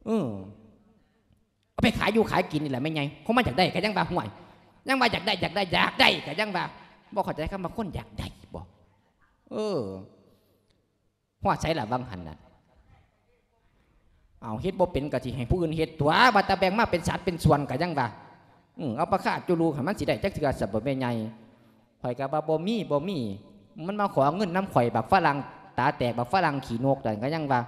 ເອີ ເອົາໄປຂາຍຢູ່ຂາຍກິນນີ້ແຫຼະແມ່ໃຫຍ່ ຄົນມັນຢາກໄດ້ກໍຍັງວ່າ ຫ້ວຍ ຍັງວ່າຢາກໄດ້ ຢາກໄດ້ ຢາກໄດ້ກໍຍັງວ່າ ບໍ່ເຂົ້າໃຈຄຳວ່າຄົນຢາກໄດ້ບໍ? ເອີ ຮອດໃສລະຫວ່າງຫັ້ນນະ? ເອົາ ເຮັດບໍ່ເປັນກໍຊິໃຫ້ຜູ້ອື່ນເຮັດຕົວະ ວ່າແຕ່ແບ່ງມາເປັນສັດເປັນສ່ວນກໍຍັງວ່າ ອື ເອົາປາຄາຈຸລູໃຫ້ມັນຊິໄດ້ຈັກເທື່ອຊະບໍ່ແມ່ໃຫຍ່? ຂ້ອຍກໍວ່າບໍ່ມີ ບໍ່ມີ ມັນມາຂໍເງິນນຳຂ້ອຍ ບັກຝຣັ່ງຕາແຕກ ບັກຝຣັ່ງຂີ້ນົກນັ້ນກໍຍັງວ່າ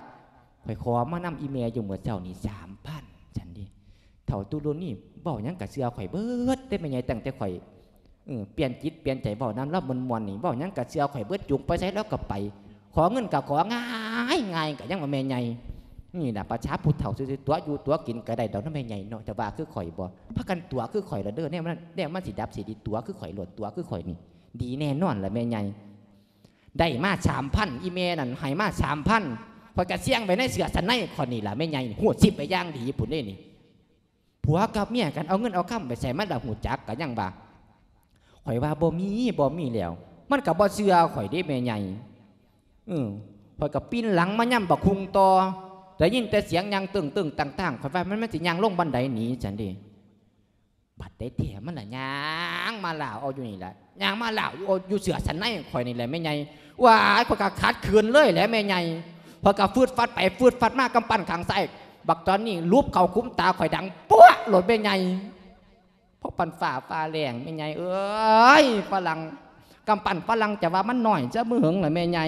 ຂ້ອຍຂໍມານຳອີ່ແມ່ຢູ່ມື້ເຊົ້ານີ້ສາມພັນ ຊັ້ນເດ. ເຖົ້າຕຸລຸນີເວົ້າຫຍັງກໍເຊື່ອຂ້ອຍເບິດເດ້ແມ່ໃຫຍ່ ຕັ້ງແຕ່ຂ້ອຍ ເອີ ປ່ຽນຈິດປ່ຽນໃຈເວົ້ານຳລາວມ່ວນໆນີ້ ເວົ້າຫຍັງກໍເຊື່ອຂ້ອຍເບິດ ຈູງໄປໃສລາວກໍໄປ ຂໍເງິນກໍຂໍງ່າຍໆ ກໍຍັງວ່າແມ່ໃຫຍ່. ນີ້ລະປະຊາຜູ້ເຖົ້າຊື່ໆ ຕົວະຢູ່ຕົວະກິນກໍໄດ້ດອກນະແມ່ໃຫຍ່ເນາະ ຈະວ່າຄືຂ້ອຍບໍ່? ພາກັນຕົວະຄືຂ້ອຍລະເດີ ແນວມັນ ແນວມັນຊິດັບຊິດີ ຕົວະຄືຂ້ອຍໂລດ ຕົວະຄືຂ້ອຍນີ້ ດີແນ່ນອນລະແມ່ໃຫຍ່. ໄດ້ມາສາມພັນ ອີ່ແມ່ນັ້ນໃຫ້ມາສາມພັນ ຂ້ອຍກະສ່ຽງໄວ້ໃນເສື້ອຊັ້ນໃນຂ້ອຍນີ້ລະແມ່ໃຫຍ່ ຮູ້ສິບໄວ້ຢ່າງດີພຸ້ນເດ້ນີ້. ຜົວກັບເມຍກັນ ເອົາເງິນເອົາຄຳໄປໃສ ມັນລະຮູ້ຈັກ ກະຍັງວ່າ ຂ້ອຍວ່າບໍ່ມີ ບໍ່ມີແລ້ວ ມັນກະບໍ່ເຊື່ອຂ້ອຍເດ້ແມ່ໃຫຍ່. ເອີ ຂ້ອຍກະປິ່ນຫຼັງມາຍາມບັກຫຸ່ງຕໍ່ ໄດ້ຍິນແຕ່ສຽງຍ່າງຕຶ້ງໆຕ່າງໆ ຂ້ອຍວ່າມັນ ມັນຊິຍ່າງລົງບັນໄດໜີຊັ້ນເດ້. ບັດໄດ້ແທ້ມັນລະຍ່າງມາລາວເອົາຢູ່ນີ້ລະ ຍ່າງມາລາວຢູ່ ຢູ່ເສື້ອຊັ້ນໃນຂ້ອຍນີ້ແຫຼະແມ່ໃຫຍ່. ວ້າຍ ຂ້ອຍກະຂັດຂືນເລີຍແຫຼະແມ່ໃຫຍ່ ຂ້ອຍກະຟືດຟັດໄປຟືດຟັດມາ ກຳປັ້ນຂ້າງຊ້າຍ ບັກຈອນນີ້ຫຼຸບເຂົ້າຂຸມຕາຂ້ອຍ ດັງປົວະໂລດແມ່ໃຫຍ່. ພໍປັ້ນຟ້າ ຟ້າແລງແມ່ໃຫຍ່ເອີຍ ຝຣັ່ງ ກຳປັ້ນຝຣັ່ງຈະວ່າມັນນ້ອຍຊະບໍ່ເຫິງລະແມ່ໃຫຍ່.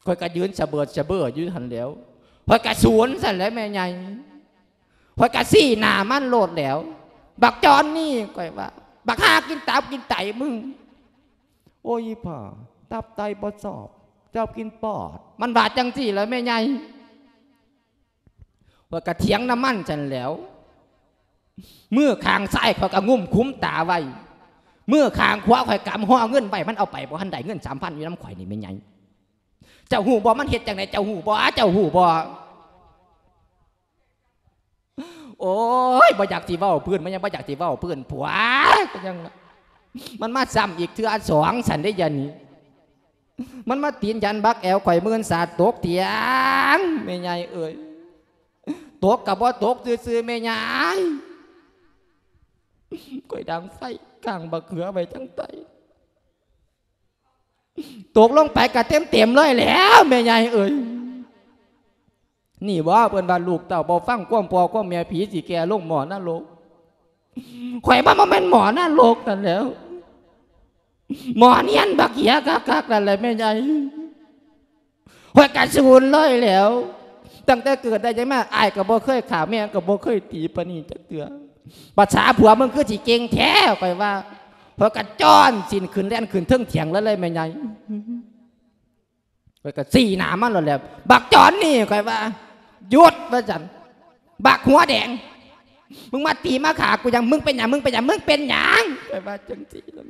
ຂ້ອຍກະຢືນສະເບີດສະເບີຢູ່ຫັ້ນແຫຼ້ວ ຂ້ອຍກະສູນຊັ້ນແຫຼະແມ່ໃຫຍ່ ຂ້ອຍກະຊີ້ໜ້າມັນໂລດແຫຼ້ວ ບັກຈອນນີ້ ຂ້ອຍວ່າ ບັກຫ່າກິນຕັບກິນໄຕມຶງ. ໂອ້ຍ ອີ່ຜາ ຕັບໄຕບໍ່ຊອບ ເຈົ້າກິນປອດ ມັນວ່າຈັ່ງຊີ້ລະແມ່ໃຫຍ່. ຂ້ອຍກະຖຽງນຳມັນຊັ້ນແຫຼ້ວ ມືຂ້າງຊ້າຍຂ້ອຍກະງຸ້ມຂຸມຕາໄວ້ ມືຂ້າງຂວາຂ້ອຍກຳຫໍ່ເງິນໄວ້ ມັນເອົາໄປບໍ່ທັນໄດ້ ເງິນສາມພັນຢູ່ນຳຂ້ອຍນີ້ແມ່ໃຫຍ່. ເຈົ້າຮູ້ບໍ່ ມັນເຮັດຈັ່ງໃດ ເຈົ້າຮູ້ບໍ່ ເຈົ້າຮູ້ບໍ່? ໂອ້ຍ ບໍ່ຢາກຊິເວົ້າພື້ນ ມັນຍັງບໍ່ຢາກຊິເວົ້າພື້ນ ຜົວ ກໍຍັງວ່າ ມັນມາຊ້ຳອີກເທື່ອສອງຊັ້ນເດ້ ຢ່ານີ້ ມັນມາຕີນຢັນບັກແອວຂ້ອຍ ມື່ນສາດຕົກຕຽງ ແມ່ໃຫຍ່ເອີຍ ຕົກກໍບໍ່ຕົກຊື່ໆ ແມ່ໃຫຍ່ ຂ້ອຍດັງໄຟກ້າງບັກເຂືອໄວ້ທາງໃຕ້. ຕົກລົງໄປກະເຕັມໆເລີຍແຫຼ້ວແມ່ໃຫຍ່ເອີຍ. ນີ້ບໍ ເພິ່ນວ່າລູກເຕົ້າບໍ່ຟັງຄວາມພໍ່ຄວາມແມ່ ຜີຊິແກ່ລົງໝໍ້ນະລົກ. ຂ້ອຍມັນບໍ່ແມ່ນໝໍ້ນະລົກນັ້ນແຫຼ້ວ ໝໍ້ນຽນບັກເຫຍຄັກໆນັ້ນແຫຼະແມ່ໃຫຍ່. ຂ້ອຍກະສູນເລີຍແຫຼ້ວ ຕັ້ງແຕ່ເກີດໄດ້ຫຍັງມາ ອ້າຍກໍບໍ່ເຄີຍຂ້າ ແມ່ກໍບໍ່ເຄີຍຕີປານນີ້ຈັກເທື່ອ. ພາສາຜົວມຶງຄືຊິເກັ່ງແທ້ ຂ້ອຍວ່າ. ຂ້ອຍກະຈ້ອນສີ້ນຂຶ້ນແລ່ນຂຶ້ນເທິງຖຽງເລີຍແມ່ໃຫຍ່. ຂ້ອຍກະຊີ້ໜ້າມັນໂລດແຫຼະ ບັກຈອນນີ້ ຂ້ອຍວ່າ. ຢຸດ ວ່າຊັ້ນ ບັກຫົວແດງ ມຶງມາຕີມາຂ້າກູຫຍັງ? ມຶງເປັນຫຍັງ? ມຶງເປັນຫຍັງ? ມຶງເປັນຫຍັງ? ຂ້ອຍວ່າຈັ່ງຊີ້ລະ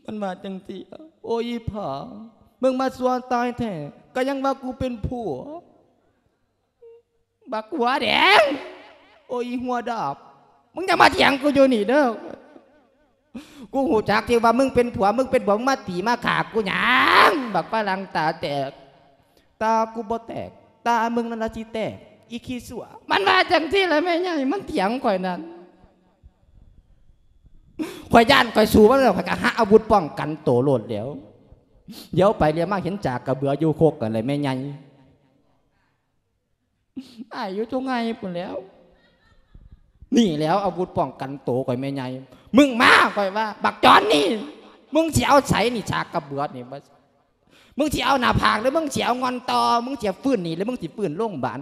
ມັນວ່າຈັ່ງຊີ້ລະ. ໂອ້ຍ ອີ່ຜາ ມຶງມາຊົ່ວຕາຍແທ້ ກະຍັງວ່າກູເປັນຜົວ ບັກຫົວແດງ. ໂອ້ຍ ອີ່ຫົວດາບ ມຶງຢ່າມາຖຽງກູຢູ່ນີ້ເດີ. ກູຮູ້ຈັກທີ່ວ່າມຶງເປັນຜົວ ມຶງເປັນຜົວ ມຶງມາຕີມາຂ້າກູຫຍັງ? ບັກຝຣັ່ງຕາແຕກ ຕາກູບໍ່ແຕກ ຕາມຶງນັ້ນລະຊິແຕກ ອີຂີ້ຊົ່ວ. ມັນວ່າຈັ່ງຊີ້ລະແມ່ໃຫຍ່ ມັນຖຽງຂ້ອຍນັ້ນ. ຂ້ອຍຢ້ານ ຂ້ອຍສູ້ມັນແລ້ວ ຂ້ອຍກະຫາອາວຸດປ້ອງກັນໂຕໂລດແລ້ວ. ຫຼຽວໄປຫຼຽວມາເຫັນຈາກກະເບືອຢູ່ຄົກກັນແຫຼະແມ່ໃຫຍ່. ອ້າຍຢູ່ຕົງໄຫພຸ້ນແລ້ວ. ນີ້ແຫຼ້ວອາວຸດປ້ອງກັນໂຕຂ້ອຍແມ່ໃຫຍ່. ມຶງມາ ຂ້ອຍວ່າ ບັກຈອນນີ້ ມຶງຊິເອົາໃສນີ້ ສາກກະເບືອນີ້ ມຶງຊິເອົາໜ້າຜາກ ຫຼື ມຶງຊິເອົາງ່ອນຕໍ່? ມຶງຊິຟື້ນນີ້ ຫຼື ມຶງຊິຟື້ນໂລງບານ?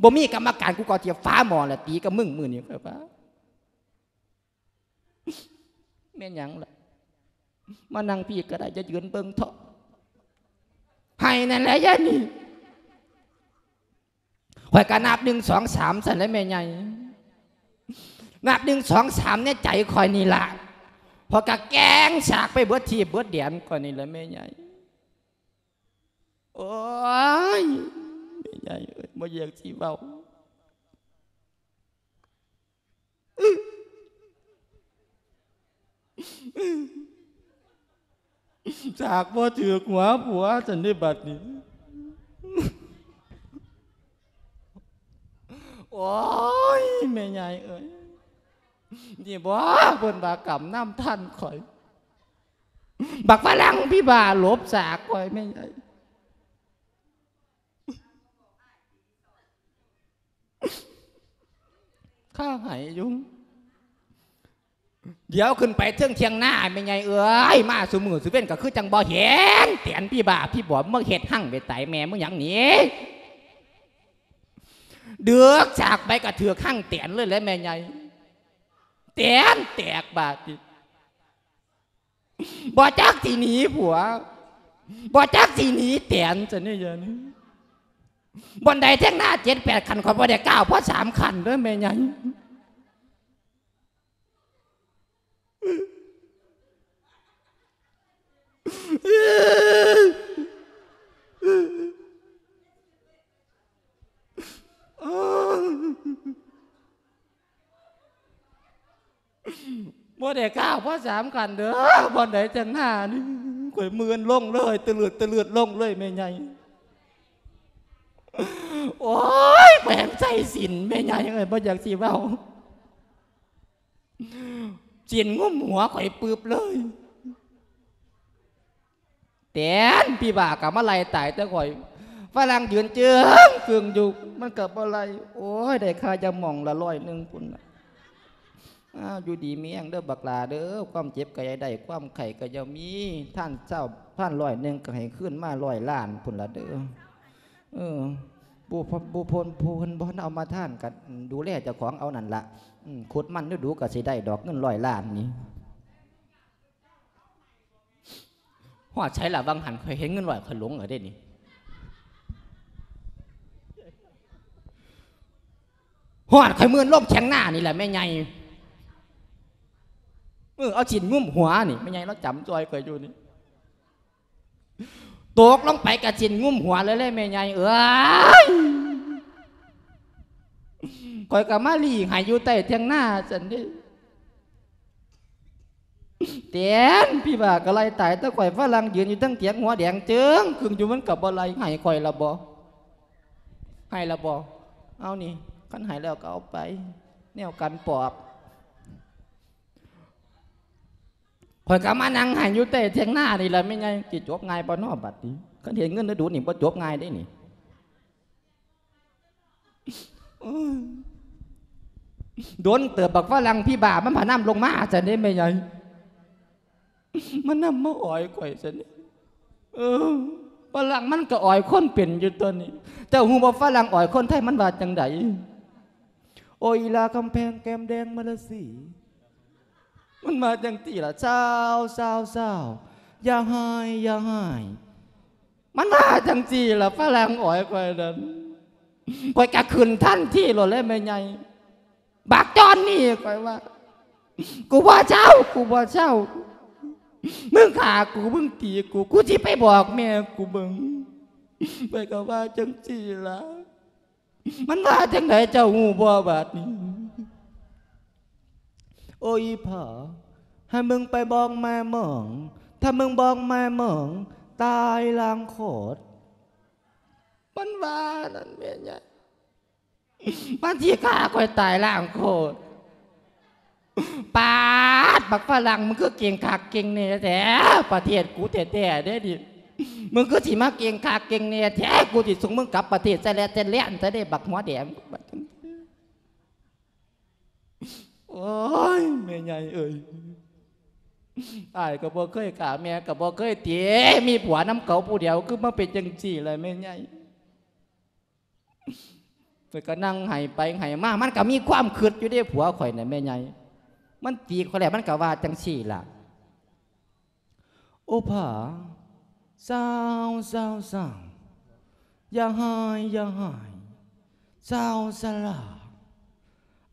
ບໍ່ມີກຳມະການ ກູກໍຊິເອົາຝາໝໍ້ລະຕີກັບມຶງມື້ນີ້ ຂ້ອຍວ່າ. ແມ່ນຫຍັງລະ? ມານັ່ງພີ້ກໍໄດ້ ຈະຢືນເບິ່ງເທາະ. ໃຫ້ນັ້ນແຫຼະຍາຍນີ້. ຂ້ອຍກໍນັບໜຶ່ງ ສອງ ສາມ ຊັ້ນແຫຼະແມ່ໃຫຍ່. ນັບໜຶ່ງ ສອງ ສາມ ໃນໃຈຂ້ອຍນີ້ລະ. ຂ້ອຍກໍແກວ່ງສາກໄປເບິດທີ່ເບິດແດນຂ້ອຍນີ້ແຫຼະແມ່ໃຫຍ່. ໂອ້ຍ ແມ່ໃຫຍ່ເອີຍ ບໍ່ຢາກຊິເວົ້າ. ສາກບໍ່ຖືກຫົວຜົວຊັ້ນເດ້ບັດນີ້. ໂອ້ຍ ແມ່ໃຫຍ່ເອີຍ ນີ້ບໍ່ ເພິ່ນວ່າກຳນຳທັນຂ້ອຍ. ບັກຝຣັ່ງຜີບ້າຫຼົບສາກຂ້ອຍແມ່ໃຫຍ່. ຂ້າໃຫ້ຢູ່. ດຽວຂຶ້ນໄປເທິງຖຽງນາແມ່ໃຫຍ່ເອີຍ ມາຊຸມື້ຊຸເວັນກໍຄືຈັ່ງບໍ່ເຫັນ. ແຕນຜີບ້າຜີບອມ ມາເຮັດຮັງໄວ້ໃຕ້ແມ່ມຶງຫຍັງນີ້? ດຶກສາກໄປກໍຖືກຮັງແຕນເລີຍແຫຼະແມ່ໃຫຍ່. ແຕນແຕກບາດນີ້. ບໍ່ຈັກຊິໜີຜົວ ບໍ່ຈັກຊິໜີແຕນຊັ້ນນີ້. ບ່ອນໃດແທ່ງນາເຈັດແປດຂັ້ນ ຂ້ອຍບໍ່ໄດ້ກ້າວພໍສາມຂັ້ນເດີ້ແມ່ໃຫຍ່. ບໍ່ໄດ້ກ້າວພໍສາມຂັ້ນເດີ້ ບ່ອນໃດແທ່ງນານີ້ ຂ້ອຍມື່ນລົງເລີຍ ຕະເລີດຕະເລີດລົງເລີຍແມ່ໃຫຍ່. ໂອ້ຍ ແຂວງໄຊສິນແມ່ໃຫຍ່ເອີຍ ບໍ່ຢາກຊິເວົ້າ. ສິນງຸ້ມຫົວຂ້ອຍປຶບເລີຍ. ແຕນຜີບ້າກໍມາໄລ່ຕາຍແຕ່ຂ້ອຍ ຝຣັ່ງຢືນເຈິງຄຶ່ງຢູ່ ມັນກໍບໍ່ໄລ່. ໂອ້ຍ ໄດ້ຄ່າຢາໝອງລະຮ້ອຍໜຶ່ງພຸ້ນນະ. ອ້າວ ຢູ່ດີມີແຮງເດີ້ບັກຫຼ້າເດີ້ ຄວາມເຈັບກໍຢ່າໄດ້ ຄວາມໄຂ້ກໍຢ່າມີ ທານຊາວ ທານຮ້ອຍໜຶ່ງກໍໃຫ້ຄືນມາຮ້ອຍລ້ານພຸ້ນລະເດີ້. ເອີ ຜູ້ ຜູ້ ຜູ້ເພິ່ນ ຜູ້ເພິ່ນບໍ່ທັນເອົາມາທານກໍດູແລເຈົ້າຂອງເອົານັ້ນລະ. ອືມ ຂຸດມັນດູໆກໍຊິໄດ້ດອກເງິນຮ້ອຍລ້ານນີ້. ຮອດໃສລະ? ຫວ່າງຫັ້ນຂ້ອຍເຫັນເງິນຮ້ອຍຂ້ອຍຫຼົງແລ້ວເດ້ນີ້. ຮອດຂ້ອຍມື່ນລົງຖຽງນານີ້ແຫຼະແມ່ໃຫຍ່. ເອີ ເອົາສິນງຸ້ມຫົວນີ້ ແມ່ໃຫຍ່ລາວຈຳຈ່ອຍຂ້ອຍຢູ່ນີ້. ຕົກລົງໄປກະສິນງຸ້ມຫົວເລີຍແຫຼະແມ່ໃຫຍ່ເອີຍ. ຂ້ອຍກໍມາລີ້ໃຫ້ຢູ່ໃຕ້ຖຽງນາຊັ້ນເດ້. ແຕນຜີບ້າກໍໄລ່ຕາຍແຕ່ຂ້ອຍ ຝຣັ່ງຢືນຢູ່ເທິງຖຽງຫົວແດງເຈິງຄຶ່ງຢູ່ ມັນກໍບໍ່ໄລ່. ໃຫ້ຂ້ອຍລະບໍ່? ໃຫ້ລະບໍ່? ເອົານີ້ ຄັນໃຫ້ແລ້ວກໍເອົາໄປ ແນວກັນປອບ. ຂ້ອຍກໍມານັ່ງໄຫ້ຢູ່ໃຕ້ຖຽງນານີ້ລະແມ່ໃຫຍ່. ຊິຈົບງ່າຍບໍ່ນໍບັດນີ້? ຄັນເຫັນເງິນດູໆນີ້ບໍ່ຈົບງ່າຍເດ້ນີ້. ໂອ້ຍ ດົນເຕີບບັກຝຣັ່ງຜີບ້າມັນພານຳລົງມາຊັ້ນເດ້ແມ່ໃຫຍ່. ມັນນຳມາອອຍຂ້ອຍຊັ້ນເດ້. ເອີ ຝຣັ່ງມັນກໍອອຍຄົນເປັນຢູ່ຕົວນີ້. ເຈົ້າຮູ້ບໍ່ຝຣັ່ງອອຍຄົນໄທມັນວ່າຈັ່ງໃດ? ໂອອີລາຄຳແພງແກ້ມແດງມາລາສີ. ມັນວ່າຈັ່ງຊີ້ລະ ຊາວ ຊາວ ຊາວ ຢ່າຮ້າຍ ຢ່າຮ້າຍ. ມັນວ່າຈັ່ງຊີ້ລະ ຝຣັ່ງອອຍຂ້ອຍນັ້ນ. ຂ້ອຍກະຂຶ້ນທັນທີໂລດແຫຼະແມ່ໃຫຍ່. ບັກຈອນນີ້ ຂ້ອຍວ່າ ກູບໍ່ເຊົາ ກູບໍ່ເຊົາ. ມຶງຂ້າກູ ມຶງຕີກູ ກູຊິໄປບອກແມ່ກູເບິ່ງ. ຂ້ອຍກະວ່າຈັ່ງຊີ້ລະ. ມັນວ່າຈັ່ງໃດເຈົ້າຮູ້ບໍ່ບາດນີ້? ໂອອີພໍ່ ໃຫ້ມຶງໄປບອກແມ່ມຶງ ຖ້າມຶງບອກແມ່ມຶງ ຕາຍລ້າງໂຄດ. ມັນວ່ານັ້ນແມ່ໃຫຍ່. ມັນຊິຂ້າຂ້ອຍຕາຍລ້າງໂຄດ. ປາດ ບັກຝຣັ່ງ ມຶງຄືເກັ່ງຄັກເກັ່ງແນ່ແທ້ ປະເທດກູແທ້ໆເດ້ນີ້. ມຶງຄືຊິມາເກັ່ງຄັກເກັ່ງແນ່ແທ້ ກູຊິສົ່ງມຶງກັບປະເທດສະແລດສະແລນຊະເດ້ ບັກຫົວແດງ. ໂອ້ຍ ແມ່ໃຫຍ່ເອີຍ ອ້າຍກໍບໍ່ເຄີຍຂ້າ ແມ່ກໍບໍ່ເຄີຍຕີ ມີຜົວນຳເຂົາຜູ້ດຽວ ຄືມາເປັນຈັ່ງຊີ້ລະແມ່ໃຫຍ່. ຂ້ອຍກໍນັ່ງໄຫ້ໄປໄຫ້ມາ ມັນກໍມີຄວາມຄຶດຢູ່ເດ້ ຜົວຂ້ອຍນະແມ່ໃຫຍ່. ມັນຕີຂ້ອຍແລ້ວ ມັນກໍວ່າຈັ່ງຊີ້ລະ. ໂອ້ພາ ຊາວ ຊາວ ຊາວ ຢ່າຮ້າຍ ຢ່າຮ້າຍ ຊາວສະຫຼາ.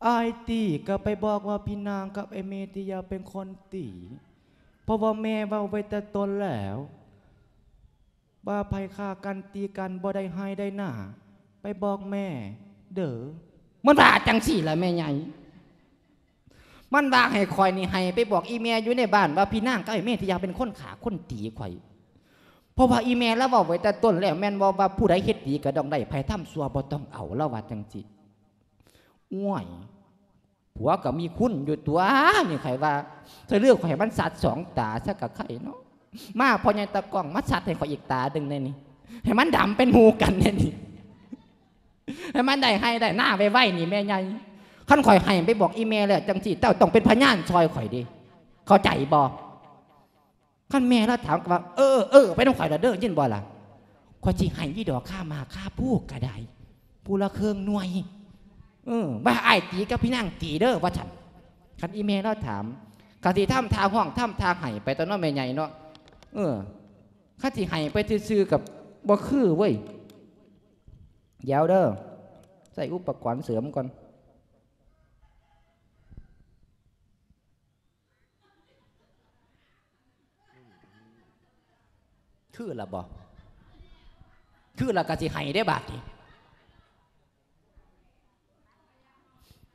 ອ້າຍຕີກໍໄປບອກວ່າພີ່ນາງກັບໄອ້ເມທິຍາເປັນຄົນຕີ ເພາະວ່າແມ່ເວົ້າໄວ້ແຕ່ຕົ້ນແລ້ວ ວ່າໃຜຂ້າກັນຕີກັນບໍ່ໄດ້ໄຮ່ໄດ້ນາ ໄປບອກແມ່ເດີ້. ມັນວ່າຈັ່ງຊີ້ລະແມ່ໃຫຍ່. ມັນວ່າໃຫ້ຂ້ອຍນີ້ໄຫ້ໄປບອກອີ່ແມ່ຢູ່ໃນບ້ານວ່າພີ່ນາງກັບໄອ້ເມທິຍາເປັນຄົນຂ້າຄົນຕີຂ້ອຍ ເພາະວ່າອີ່ແມ່ລາວເວົ້າໄວ້ແຕ່ຕົ້ນແລ້ວ ແມ່ນບໍ່ວ່າຜູ້ໃດເຮັດດີກໍຕ້ອງໄດ້ ໃຜທຳຊົ່ວບໍ່ຕ້ອງເອົາ ລາວວ່າຈັ່ງຊີ້. ໂອ້ຍ ຜົວກໍມີຄຸນຢູ່ຕົວະ ນີ້ຂ້ອຍວ່າ ສະເລືອກຂ້ອຍໃຫ້ມັນສັດສອງຕາຊະກະໄຄເນາະ. ມາພໍ່ໃຫຍ່ຕາກ້ອງ ມາສັດໃຫ້ຂ້ອຍອີກຕາໜຶ່ງແດ່ນີ້ ໃຫ້ມັນດຳເປັນໝູ່ກັນແດ່ນີ້ ໃຫ້ມັນໄດ້ໄຮ່ໄດ້ນາໄວໆນີ້ແມ່ໃຫຍ່. ຄັນຂ້ອຍໄຫ້ໄປບອກອີ່ແມ່ແລ້ວຈັ່ງຊີ້ ເຈົ້າຕ້ອງເປັນພະຍານຊ່ອຍຂ້ອຍເດ້ ເຂົ້າໃຈບໍ່? ຄັນແມ່ລາວຖາມກໍວ່າ ເອີ ເອີ ໄປນຳຂ້ອຍລະເດີ້ ຍິນບໍ່ລະ? ຂ້ອຍຊິໃຫ້ຢູ່ດອກ ຄາໝາກຄາພູກໍໄດ້ ຜູ້ລະເຄິ່ງໜ່ວຍ. ເອີ ວ່າອ້າຍຕີກັບພີ່ນາງຕີເດີ້ ວ່າຊັ້ນ. ຄັນອີ່ແມ່ລາວຖາມ ກໍຊິທຳທ່າຮ້ອງ ທຳທ່າໄຫ້ໄປຕົວະເນາະແມ່ໃຫຍ່ເນາະ. ເອີ ຄັນຊິໄຫ້ໄປຊື່ໆ ກໍບໍ່ຄືເວີ້ຍ. ດຽວເດີ້ ໃຊ້ອຸປະກອນເສີມກ່ອນ. ຄືລະບໍ່? ຄືລະກະຊິໄຫ້ເດ້ບາດນີ້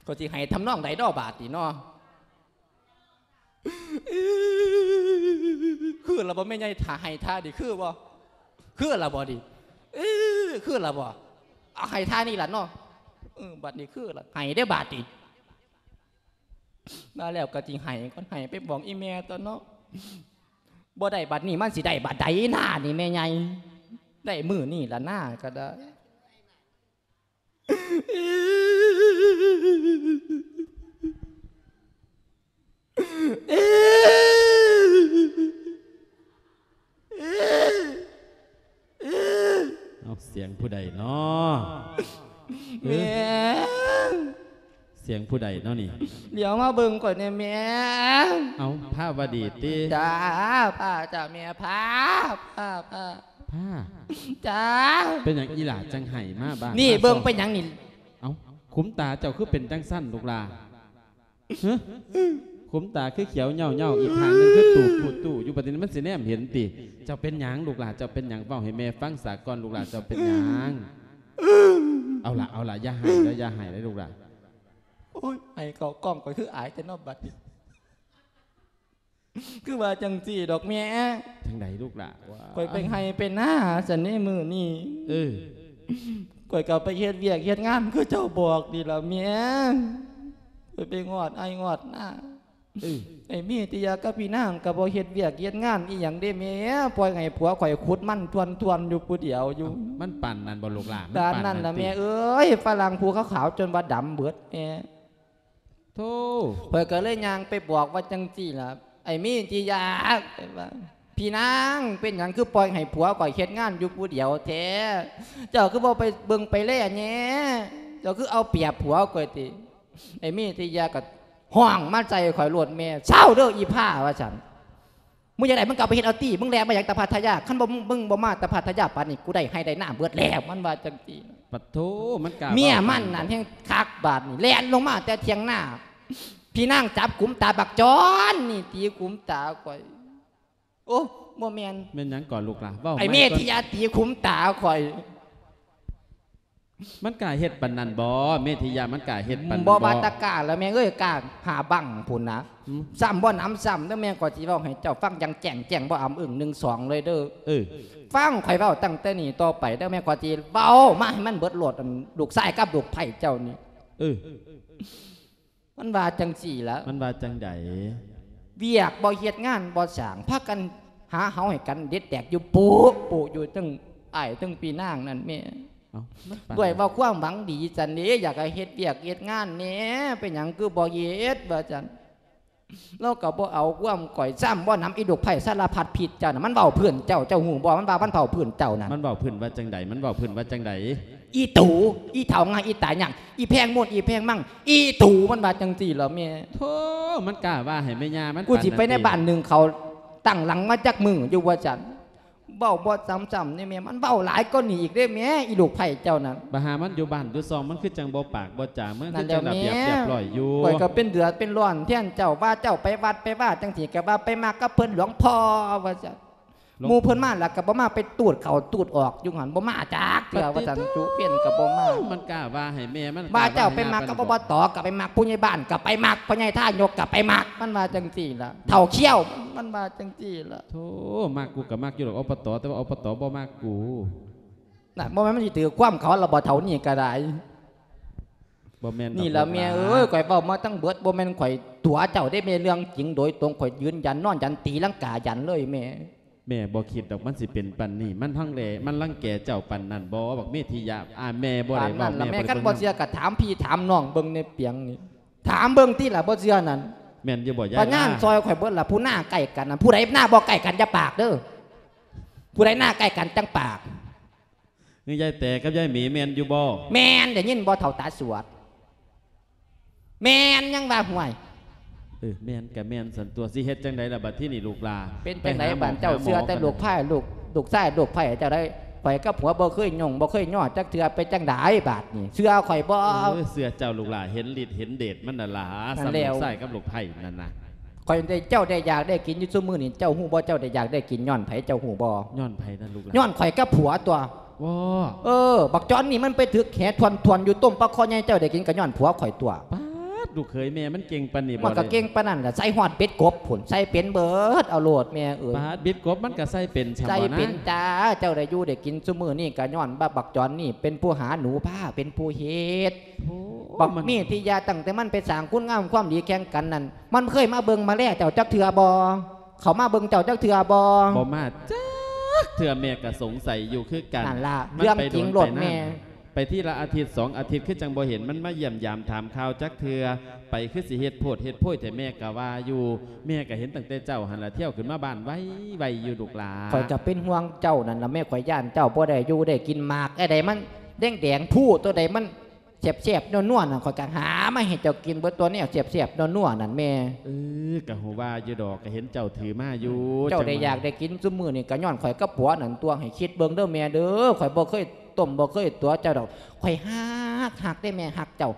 ກໍຊິໄຫ້ທຳນອງໃດເນາະບາດນີ້ເນາະ? ຄືລະບໍ່ແມ່ໃຫຍ່ ຖ້າໄຫ້ທ່ານີ້ຄືບໍ່? ຄືລະບໍ່ນີ້? ເອີ ຄືລະບໍ່? ເອົາ ໄຫ້ທ່ານີ້ລະເນາະ. ເອີ ບາດນີ້ຄືລະ ໄຫ້ເດ້ບາດນີ້. ມາແລ້ວກໍຊິໄຫ້ກ່ອນ ໄຫ້ໄປບອກອີ່ແມ່ຕົວະເນາະ. ບໍ່ໄດ້ບັດນີ້ມັນຊິໄດ້ບັດໃດນານີ້ແມ່ໃຫຍ່? ໄດ້ມື້ນີ້ລະນາກໍໄດ້. ເອົ້າ ສຽງຜູ້ໃດເນາະ? ແມ່ ເອີ ສຽງຜູ້ໃດເນາະນີ້? ຫຼຽວມາເບິ່ງຂ້ອຍແດ່ແມ່. ເອົ້າ ພາວະດີຕິ? ຈ້າ ພາ ຈ້າແມ່ ພາ ພາ ພາ ພາ ຈ້າ. ເປັນຫຍັງອີ່ຫຼ້າຈັ່ງໄຫ້ມາບາດ? ນີ້ ມາ ເບິ່ງ ເບິ່ງໄປຫຍັງນີ້? ເອົ້າ ຂຸມຕາເຈົ້າຄືເປັນຈັ່ງຊັ້ນລູກຫຼ້າ? ຮະ? ຂຸມຕາຄືຂຽວເຫຍົາໆ ອີກຂ້າງໜຶ່ງຄືຕູບປູດຕູ້ຢູ່ ບັດນີ້ມັນຊິແນມເຫັນຕິ? ເຈົ້າເປັນຫຍັງລູກຫຼ້າ? ເຈົ້າເປັນຫຍັງ? ເວົ້າໃຫ້ແມ່ຟັງສາກ່ອນລູກຫຼ້າ ເຈົ້າເປັນຫຍັງ? ເອົາລະ ເອົາລະ ຢ່າໄຫ້ເດີ້ ຢ່າໄຫ້ເດີ້ລູກຫຼ້າ. ໂອ້ຍ ໄຫ້ເຂົ້າກ້ອງຂ້ອຍຄືອາຍແທ້ເນາະບັດນີ້. ຄືວ່າຈັ່ງຊີ້ດອກແມ່. ຈັ່ງໃດລູກຫຼ້າ? ຂ້ອຍໄປໄຮ່ໄປນາຊັ້ນເດ້ມື້ນີ້. ເອີ ຂ້ອຍກໍໄປເຮັດວຽກເຮັດງານຄືເຈົ້າບອກນີ້ລະແມ່. ຂ້ອຍໄປງອດໄຮ່ງອດນາ. ເອີ ໄອ້ເມທິຍາກັບພີ່ນາງກໍບໍ່ເຮັດວຽກເຮັດງານອີ່ຫຍັງເດ້ແມ່ ປ່ອຍໃຫ້ຜົວຂ້ອຍຂຸດມັນທວນໆຢູ່ຜູ້ດຽວຢູ່. ເອົ້າ ມັນປານນັ້ນບໍ່ລູກຫຼ້າ? ປານນັ້ນລະແມ່ເອີຍ ຝຣັ່ງຜູ້ຂາວໆຈົນວ່າດຳເບິດແມ່. ໂທ້ ຂ້ອຍກໍເລີຍຍ່າງໄປບອກວ່າຈັ່ງຊີ້ລະ ໄອ້ເມທິຍາ ໄປວ່າ ພີ່ນາງ ເປັນຫຍັງຄືປ່ອຍໃຫ້ຜົວຂ້ອຍເຮັດງານຢູ່ຜູ້ດຽວແທ້? ເຈົ້າຄືບໍ່ໄປເບິ່ງໄປແລແດ່? ເຈົ້າຄືເອົາປຽບຜົວຂ້ອຍຕິ? ໄອ້ເມທິຍາກໍຮ້ອງມາໃສ່ຂ້ອຍໂລດແມ່ ເຊົາເດີ້ອີ່ພ້າ ວ່າຊັ້ນ. ມຶງຢາກໄດ້ມຶງກໍເອົາໄປເຮັດເອົາຕິ ມຶງແລ່ມາຫຍັງແຕ່ພັດທະຍາ ຄັນບໍ່ ມຶງບໍ່ມາແຕ່ພັດທະຍາປານນີ້ ກູໄດ້ໄຮ່ໄດ້ນາເບິດແລ້ວ ມັນວ່າຈັ່ງຊີ້. ປະໂທ້ ມັນກ້າ ເມຍມັນນັ້ນແຮ່ງຄັກບາດນີ້ ແລ່ນລົງມາແຕ່ຖຽງນາ ພີ່ນາງຈັບກຸມຕາບັກຈອນນີ້ ຕີກຸມຕາຂ້ອຍ. ໂອ້ ບໍ່ແມ່ນ ແມ່ນຫຍັງກ່ອນລູກຫຼ້າ ເວົ້າ ໄອ້ເມທິຍາຕີຂຸມຕາຂ້ອຍ. ມັນກ້າເຮັດປານນັ້ນບໍ່ ເມທິຍາ ມັນກ້າເຮັດປານນັ້ນບໍ່? ບໍ່ວ່າແຕ່ກ້າລະແມ່ເອີຍ ກ້າຫາບັ້ງພຸ້ນນະ. ອືມ ຊ້ຳບໍ່ໜຳຊ້ຳເດີ້ແມ່ ຂ້ອຍຊິເວົ້າໃຫ້ເຈົ້າຟັງຢ່າງແຈ້ງແຈ້ງ ບໍ່ອຳອຶ້ງໜຶ່ງສອງເລີຍເດີ້. ເອີ ຟັງຂ້ອຍເວົ້າຕັ້ງແຕ່ນີ້ຕໍ່ໄປເດີ້ແມ່ ຂ້ອຍຊິເວົ້າມາໃຫ້ມັນເບິດໂລດ ອັນລູກຊາຍກັບລູກໃພ້ເຈົ້ານີ້. ເອີ ມັນວ່າຈັ່ງຊີ້ລະ. ມັນວ່າຈັ່ງໃດ? ວຽກບໍ່ເຮັດງານບໍ່ສ້າງ ພາກັນຫາເຫົາໃຫ້ກັນເດັດແຕກຢູ່ປຸປຸຢູ່ ທັງອ້າຍທັງພີ່ນາງນັ້ນແມ່. ເອົ້າ ດ້ວຍວ່າຄວາມຫວັງດີຊັ້ນເດ້ ຢາກໃຫ້ເຮັດວຽກເຮັດງານແດ່ ເປັນຫຍັງຄືບໍ່ເຮັດ ວ່າຊັ້ນ. ລາວກໍບໍ່ເອົາຄວາມຂ້ອຍ ຊ້ຳບໍ່ໜຳອີລູກໃພ້ສາລະພັດພິດເຈົ້ານະ ມັນເວົ້າພື້ນເຈົ້າ ເຈົ້າຮູ້ບໍ່ ມັນວ່າມັນເວົ້າພື້ນເຈົ້ານະ. ມັນເວົ້າພື້ນວ່າຈັ່ງໃດ? ມັນເວົ້າພື້ນວ່າຈັ່ງໃດ? ອີຕູ ອີເຖົ້າງ່າຍ ອີຕາຍຍາກ ອີແພງໂມນ ອີແພງມັງ ອີຕູ ມັນວ່າຈັ່ງຊີ້ລະແມ່. ໂທ້ ມັນກ້າວ່າໃຫ້ແມ່ຍ່າມັນ ກູຊິໄປໃນບ້ານໜຶ່ງເຂົາ ຕັ້ງຫຼັງມາຈັກມື້ຢູ່ວ່າຊັ້ນ. ເວົ້າບໍ່ຊ້ຳຊ້ຳນີ້ແມ່ ມັນເວົ້າຫຼາຍກວ່ານີ້ອີກເດ້ແມ່ ອີລູກໃພ້ເຈົ້ານັ້ນ. ບັດຫາມັນຢູ່ບ້ານຢູ່ຊ່ອງ ມັນຄືຈັ່ງບໍ່ປາກບໍ່ຈາ ມັນຄືຈັ່ງລະບຽບຮຽບຮ້ອຍຢູ່. ຂ້ອຍກໍເປັນເດືອດເປັນຮ້ອນແທນເຈົ້າ ວ່າເຈົ້າໄປວັດໄປວາຈັ່ງຊີ້ ກໍວ່າໄປມັກກັບເພິ່ນຫຼວງພໍ່ວ່າຊັ້ນ. ໝູ່ເພິ່ນມາແລ້ວກໍບໍ່ມາ ໄປຕູດເຂົ້າຕູດອອກຢູ່ຫັ້ນ ບໍ່ມາຈັກເທື່ອວ່າຊັ້ນ. ຈຸເປັນກໍບໍ່ມາ. ມັນກ້າວ່າໃຫ້ແມ່ມັນ ວ່າເຈົ້າໄປມັກກັບ ອບຕ ກໍໄປມັກ ຜູ້ໃຫຍ່ບ້ານກໍໄປມັກ ພໍ່ໃຫຍ່ທາຍົກກໍໄປມັກ ມັນວ່າຈັ່ງຊີ້ລະ. ເຖົ້າຂຽວ ມັນວ່າຈັ່ງຊີ້ລະ. ໂທ້ ມັກກູກໍມັກຢູ່ດອກ ອບຕ ແຕ່ວ່າ ອບຕ ບໍ່ມັກກູ. ນະ ບໍ່ແມ່ນມັນຊິຖືກຄວາມເຂົາລະບໍ່ ເຖົ້ານີ້ກໍໄດ້. ບໍ່ແມ່ນດອກ ນີ້ລະແມ່ເອີຍ ລູກຫຼານ ຂ້ອຍເວົ້າມາທັງເບິດ ບໍ່ແມ່ນຂ້ອຍຕົວະເຈົ້າເດ້ແມ່ ເລື່ອງຈິງໂດຍຕົງ ຂ້ອຍຢືນຢັນ ນອນຢັນ ຕີລັງກາຢັນເລີຍແມ່. ແມ່ບໍ່ຄິດດອກມັນຊິເປັນປານນີ້ ມັນທັງແລ ມັນລັງແກເຈົ້າປານນັ້ນບໍ່ ບັກເມທິຍະ. ອາ ແມ່ບໍ່ໄດ້ເວົ້າ ປານນັ້ນລະແມ່ ແມ່ບໍ່ໄດ້ ຄັນບໍ່ເຊື່ອກໍຖາມພີ່ຖາມນ້ອງເບິ່ງໃນປຽງນີ້ ຖາມເບິ່ງຕິລະ ບໍ່ເຊື່ອນັ້ນ. ແມ່ນຢູ່ບໍ່ຍາຍ ວ່າງານ ລາ ຊ່ອຍຂ້ອຍເບິດລະ ຜູ້ໜ້າໃກ້ກັນນະ ຜູ້ໃດໜ້າບໍ່ໃກ້ກັນຢ່າປາກເດີ້ ຜູ້ໃດໜ້າໃກ້ກັນຈັ່ງປາກ. ຍາຍແຕກັບຍາຍໝີແມ່ນຢູ່ບໍ່? ແມ່ນ ໄດ້ຍິນບໍ່ເຖົ້າຕາສວດ? ແມ່ນຍັງວ່າ ຫ້ວຍ. ເອີ ແມ່ນກະແມ່ນຊັ້ນຕົວະ ຊິເຮັດຈັ່ງໃດລະບັດທີນີ້ລູກຫຼ້າ? ເປັນຈັ່ງໃດບາດເຈົ້າ ເຊື່ອແຕ່ລູກໃພ້ ລູກ ລູກຊາຍລູກໃພ້ເຈົ້າໄດ໋. ຂ້ອຍກັບຜົວບໍ່ເຄີຍຫຍຸ້ງບໍ່ເຄີຍຍໍຈັກເທື່ອ ເປັນຈັ່ງໃດບາດນີ້ ເຊື່ອຂ້ອຍບໍ່? ເອີ ເຊື່ອເຈົ້າລູກຫຼ້າ ເຫັນລິດເຫັນເດດມັນນັ້ນລະ ສ່ຳລູກຊາຍກັບລູກໃພ້ນັ້ນນະ. ຂ້ອຍໄດ້ ເຈົ້າໄດ້ຢາກໄດ້ກິນຢູ່ຊຸມື້ນີ້ ເຈົ້າຮູ້ບໍ່ ເຈົ້າໄດ້ຢາກໄດ້ກິນຍ້ອນໃຜ ເຈົ້າຮູ້ບໍ່? ຍ້ອນໃຜນັ້ນລູກຫຼ້າ? ຍ້ອນຂ້ອຍກັບຜົວຕົວະ. ເອີ ບັກຈອນນີ້ມັນໄປຖືກແຫທວນໆຢູ່ ຕົ້ມປາຄໍໃຫຍ່ເຈົ້າໄດ້ກິນກໍຍ້ອນຜົວຂ້ອຍຕົວະ. ປາດ ລູກເຂີຍແມ່ມັນເກັ່ງປານນີ້ບໍ່? ມັນກໍເກັ່ງປານນັ້ນລະ ໃສ່ຮອດເບັດກົບພຸ້ນ ໃສ່ເປັນເບີດ ເອົາໂລດແມ່ເອີຍ. ປາດ ເບັດກົບມັນກໍໃສ່ເປັນ ໃສ່ເປັນຈ້າ. ເຈົ້າໄດ້ຢູ່ໄດ້ກິນຊຸມື້ນີ້ກໍຍ້ອນວ່າບັກຈອນນີ້ເປັນຜູ້ຫາໜູພາ ເປັນຜູ້ເຮັດ. ໂອ້ ບັກເມທິຍະ ຕັ້ງແຕ່ມັນໄປສ້າງຄຸນງາມຄວາມດີແຂ່ງກັນນັ້ນ ມັນເຄີຍມາເບິ່ງມາແລເຈົ້າຈັກເທື່ອບໍ່? ເຂົາມາເບິ່ງເຈົ້າຈັກເທື່ອບໍ່? ບໍ່ມາຈັກເທື່ອ ແມ່ກໍສົງໄສຢູ່ຄືກັນ. ນັ້ນລະ ເລື່ອງຈິງໂລດແມ່. ໄປທີລະອາທິດສອງອາທິດ ຄືຈັ່ງບໍ່ເຫັນມັນມາຢ້ຽມຢາມຖາມຂ່າວຈັກເທື່ອ. ໄປຄືຊິເຮັດໂພດເຮັດໂພຍແທ້ ແມ່ກໍວ່າຢູ່. ແມ່ກໍເຫັນຕັ້ງແຕ່ເຊົ້າຫັ້ນລະ ທ່ຽວຂຶ້ນມາບ້ານໄວໆຢູ່ລູກຫຼ້າ. ຂ້ອຍກໍເປັນຫ່ວງເຈົ້ານັ້ນລະແມ່ ຂ້ອຍຢ້ານເຈົ້າບໍ່ໄດ້ຢູ່ໄດ້ກິນ. ໝາກອັນໃດມັນແດງໆ ພູໂຕໃດມັນ ແຊບໆ ນົວໆ ນັ້ນ ຂ້ອຍກໍຫາມາໃຫ້ເຈົ້າກິນເບິດຕົວະ ແນວແຊບໆ ນົວໆ ນັ້ນແມ່. ເອີ ກໍຮູ້ວ່າຢູ່ດອກ ກໍເຫັນເຈົ້າຖືມາຢູ່. ເຈົ້າໄດ້ຢາກໄດ້ກິນຊຸມື້ນີ້ກໍຍ້ອນຂ້ອຍກັບຜົວນັ້ນຕົວະ. ໃຫ້ຄິດເບິ່ງເດີ້ແມ່ເດີ້ ຂ້ອຍບໍ່ເຄີຍຕົ້ມບໍ່ເຄີຍຕົວະເຈົ້າດອກ. ຂ້ອຍຮັກ ຮັກເດ້ແມ່ ຮັກເຈົ້າ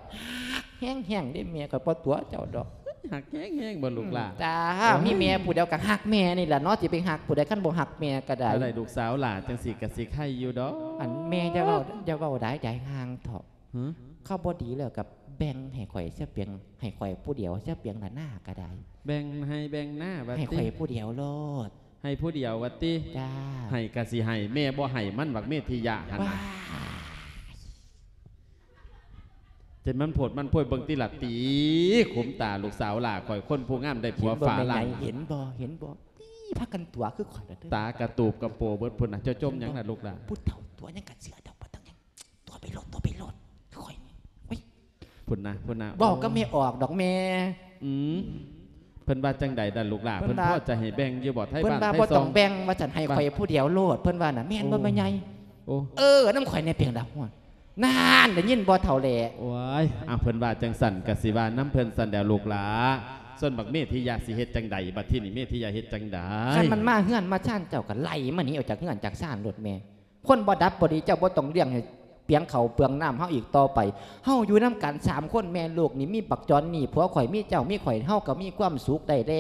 ຮັກແຮງໆ ເດ້ແມ່ ຂ້ອຍບໍ່ຕົວະເຈົ້າດອກ. ຮັກແຮງໆ ບໍ່ລູກຫຼ້າ? ອືມ ຈ້າ. ໂອ້ຍ ມີແມ່ຜູ້ດຽວກໍຮັກແມ່ນີ້ລະເນາະ ຊິໄປຮັກຜູ້ໃດ ຄັນບໍ່ຮັກແມ່ກໍໄດ້. ໄດ້ລູກສາວຫຼ້າຈັ່ງຊີ້ກໍຊິໄຄຢູ່ດອກ. ອັນແມ່ຢ່າເວົ້າ ຢ່າເວົ້າຫຼາຍ ຢາຍຫ່າງເຖາະ. ຫື? ເຂົາບໍ່ດີແລ້ວກໍແບ່ງໃຫ້ຂ້ອຍຊະເປຍງ ໃຫ້ຂ້ອຍຜູ້ດຽວຊະເປຍງລະນາກໍໄດ້. ແບ່ງໄຮ່ແບ່ງນາວ່າຕິ? ໃຫ້ຂ້ອຍຜູ້ດຽວໂລດ. ໃຫ້ຜູ້ດຽວວ່າຕິ? ຈ້າ. ໃຫ້ກໍຊິໃຫ້ ແມ່ບໍ່ໃຫ້ມັນ ບັກເມທິຍະຫັ້ນນະ. ເຈັນມັນໂພດມັນໂພຍ ເບິ່ງຕິລະ ຕີຂຸມຕາລູກສາວຫຼ້າຂ້ອຍ ຄົນຜູ້ງາມໄດ້ຜົວຝຣັ່ງ. ເຫັນບໍ່ແມ່ໃຫຍ່ ເຫັນບໍ່ ເຫັນບໍ່? ຕີ ພາກັນຕົວະຄືຂ້ອຍລະເດີ້. ຕາກະຕູບກະໂປເບິດພຸ້ນນະ ເຈົ້າຈົ່ມຫຍັງນະລູກຫຼ້າ? ຜູ້ເຖົ້າຕົວະຫຍັງກະເຊື່ອດອກ ບໍ່ຕ້ອງຫຍັງ. ຕົວະໄປໂລດ ຕົວະໄປໂລດ ຂ້ອຍນີ້. ໂອ້ຍ ພຸ້ນນະ ພຸ້ນນະ ເວົ້າກັບແມ່ອອກດອກແມ່. ອືມ ເພິ່ນວ່າຈັ່ງໃດດະລູກຫຼ້າ? ເພິ່ນພໍຈະໃຫ້ແບ່ງຢູ່ບໍ່? ໄທບ້ານໄທຊ່ອງ ເພິ່ນວ່າບໍ່ຕ້ອງແບ່ງວ່າຊັ້ນ ໃຫ້ຂ້ອຍຜູ້ດຽວໂລດ ເພິ່ນວ່ານະ. ແມ່ນບໍ່ແມ່ໃຫຍ່? ໂອ້ ເອີ ນຳຂ້ອຍແດ່ເພງດາ. ນັ້ນ ໄດ້ຍິນບໍ່ເຖົ້າແຫຼະ? ໂອ້ຍ ອາ ເພິ່ນວ່າຈັ່ງຊັ້ນກະຊິວ່ານຳເພິ່ນຊັ້ນແຫຼະລູກຫຼ້າ. ສ່ວນບັກເມທິຍະຊິເຮັດຈັ່ງໃດ? ບັດທີນີ້ເມທິຍະເຮັດຈັ່ງໃດ? ຄັນມັນມາເຮືອນມາຊານເຈົ້າກະໄລ່ມັນໜີອອກຈາກເຮືອນຈາກຊານໂລດແມ່. ຄົນບໍ່ດັບບໍ່ດີ ເຈົ້າບໍ່ຕ້ອງລ້ຽງໃຫ້ເປືອງເຂົ້າເປືອງນ້ຳເຮົາອີກຕໍ່ໄປ. ເຮົາຢູ່ນຳກັນສາມຄົນແມ່ລູກນີ້ ມີບັກຈອນນີ້ ຜົວຂ້ອຍ ມີເຈົ້າ ມີຂ້ອຍ ເຮົາກໍມີຄວາມສຸກໄດ້ແລ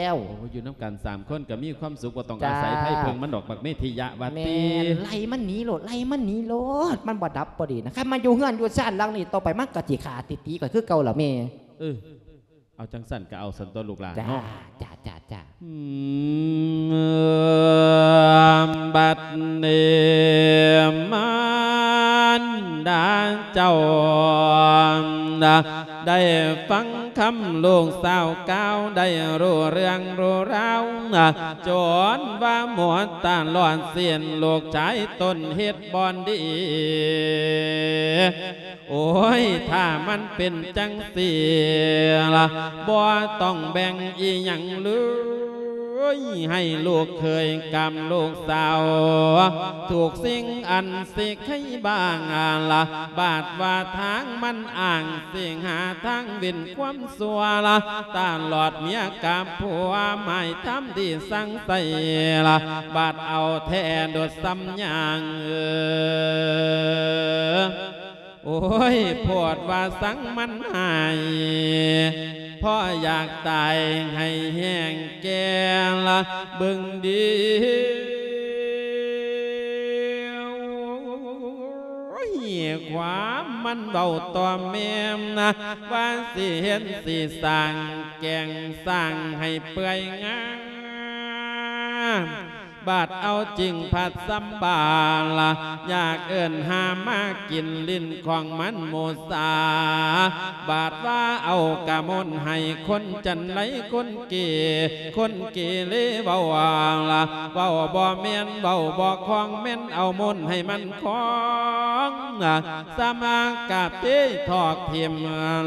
້ວ. ໂອ້ ຢູ່ນຳກັນສາມຄົນກໍມີຄວາມສຸກ ບໍ່ຕ້ອງອາໄສໃຜເພິ່ງມັນດອກ ບັກເມທິຍະວ່າຕິ. ແມ່ນ ໄລ່ມັນໜີໂລດ ໄລ່ມັນໜີໂລດ ມັນບໍ່ດັບບໍ່ດີນະ. ຄັນມາຢູ່ເຮືອນຢູ່ຊານຫຼັງນີ້ຕໍ່ໄປ ມັນກໍຊິຂ້າຕິຕີຂ້ອຍຄືເກົ່າລະແມ່. ເອີ ເອົາຈັ່ງຊັ້ນກໍເອົາຊັ້ນຕົວະລູກຫຼ້າເນາະ. ຈ້າ ຈ້າ ຈ້າ ຈ້າ. ອືມ ບັດນີ້ມານດາເຈົ້າ ໄດ້ຟັງຄຳລູກສາວກ່າວ ໄດ້ຮູ້ເລື່ອງຮູ້ລາວ ຈົນວ່າໝົດຕະຫຼອດສິ້ນ ລູກຊາຍຕົນເຮັດບໍ່ດີ. ໂອ້ຍ ຖ້າມັນເປັນຈັ່ງຊີ້ລະ ບໍ່ຕ້ອງແບ່ງອີ່ຫຍັງເລີຍ ຍ ໃຫ້ລູກເຂີຍກັບລູກສາວ ທຸກສິ່ງອັນຊິໄຄບ້າງລະ ບາດວ່າທາງມັນອ້າງ ຊິຫາທາງເວັ້ນຄວາມຊົ່ວລະ ຕະຫຼອດເມຍກັບຜົວ ໝາຍທຳທີ່ສັ່ງໃສ່ລະ ບາດເອົາແທ້ດຸດສ່ຳຢ່າງ ເອີ ໂອ້ຍ ໂພດວ່າສັງມັນຫາຍ ເພາະຢາກຕາຍໃຫ້ແຮງແກ່ລະເບິ່ງດີ ໂອ້ຍ ຄວາມມັນເວົ້າຕໍ່ແມ່ນະ ວ່າຊິເຮັດຊິສ້າງແກງສ້າງໃຫ້ເປື່ອຍງາມ ບາດເອົາຈິງພັດສຳບາລະ ຢາກເອີ້ນຫາມາກິນ ຫຼິ້ນຂອງມັນໝູສາ ບາດວ່າເອົາກະມົນໃຫ້ຄົນຈັນໄລ ຄົນເກ ຄົນເກເລເວົ້າລະ ເວົ້າບໍ່ແມ່ນ ເວົ້າບໍ່ຄ່ອງ ແມ່ນເອົາມົນໃຫ້ມັນຄ່ອງ ສາມາກະເຕະຖອກຖິ້ມ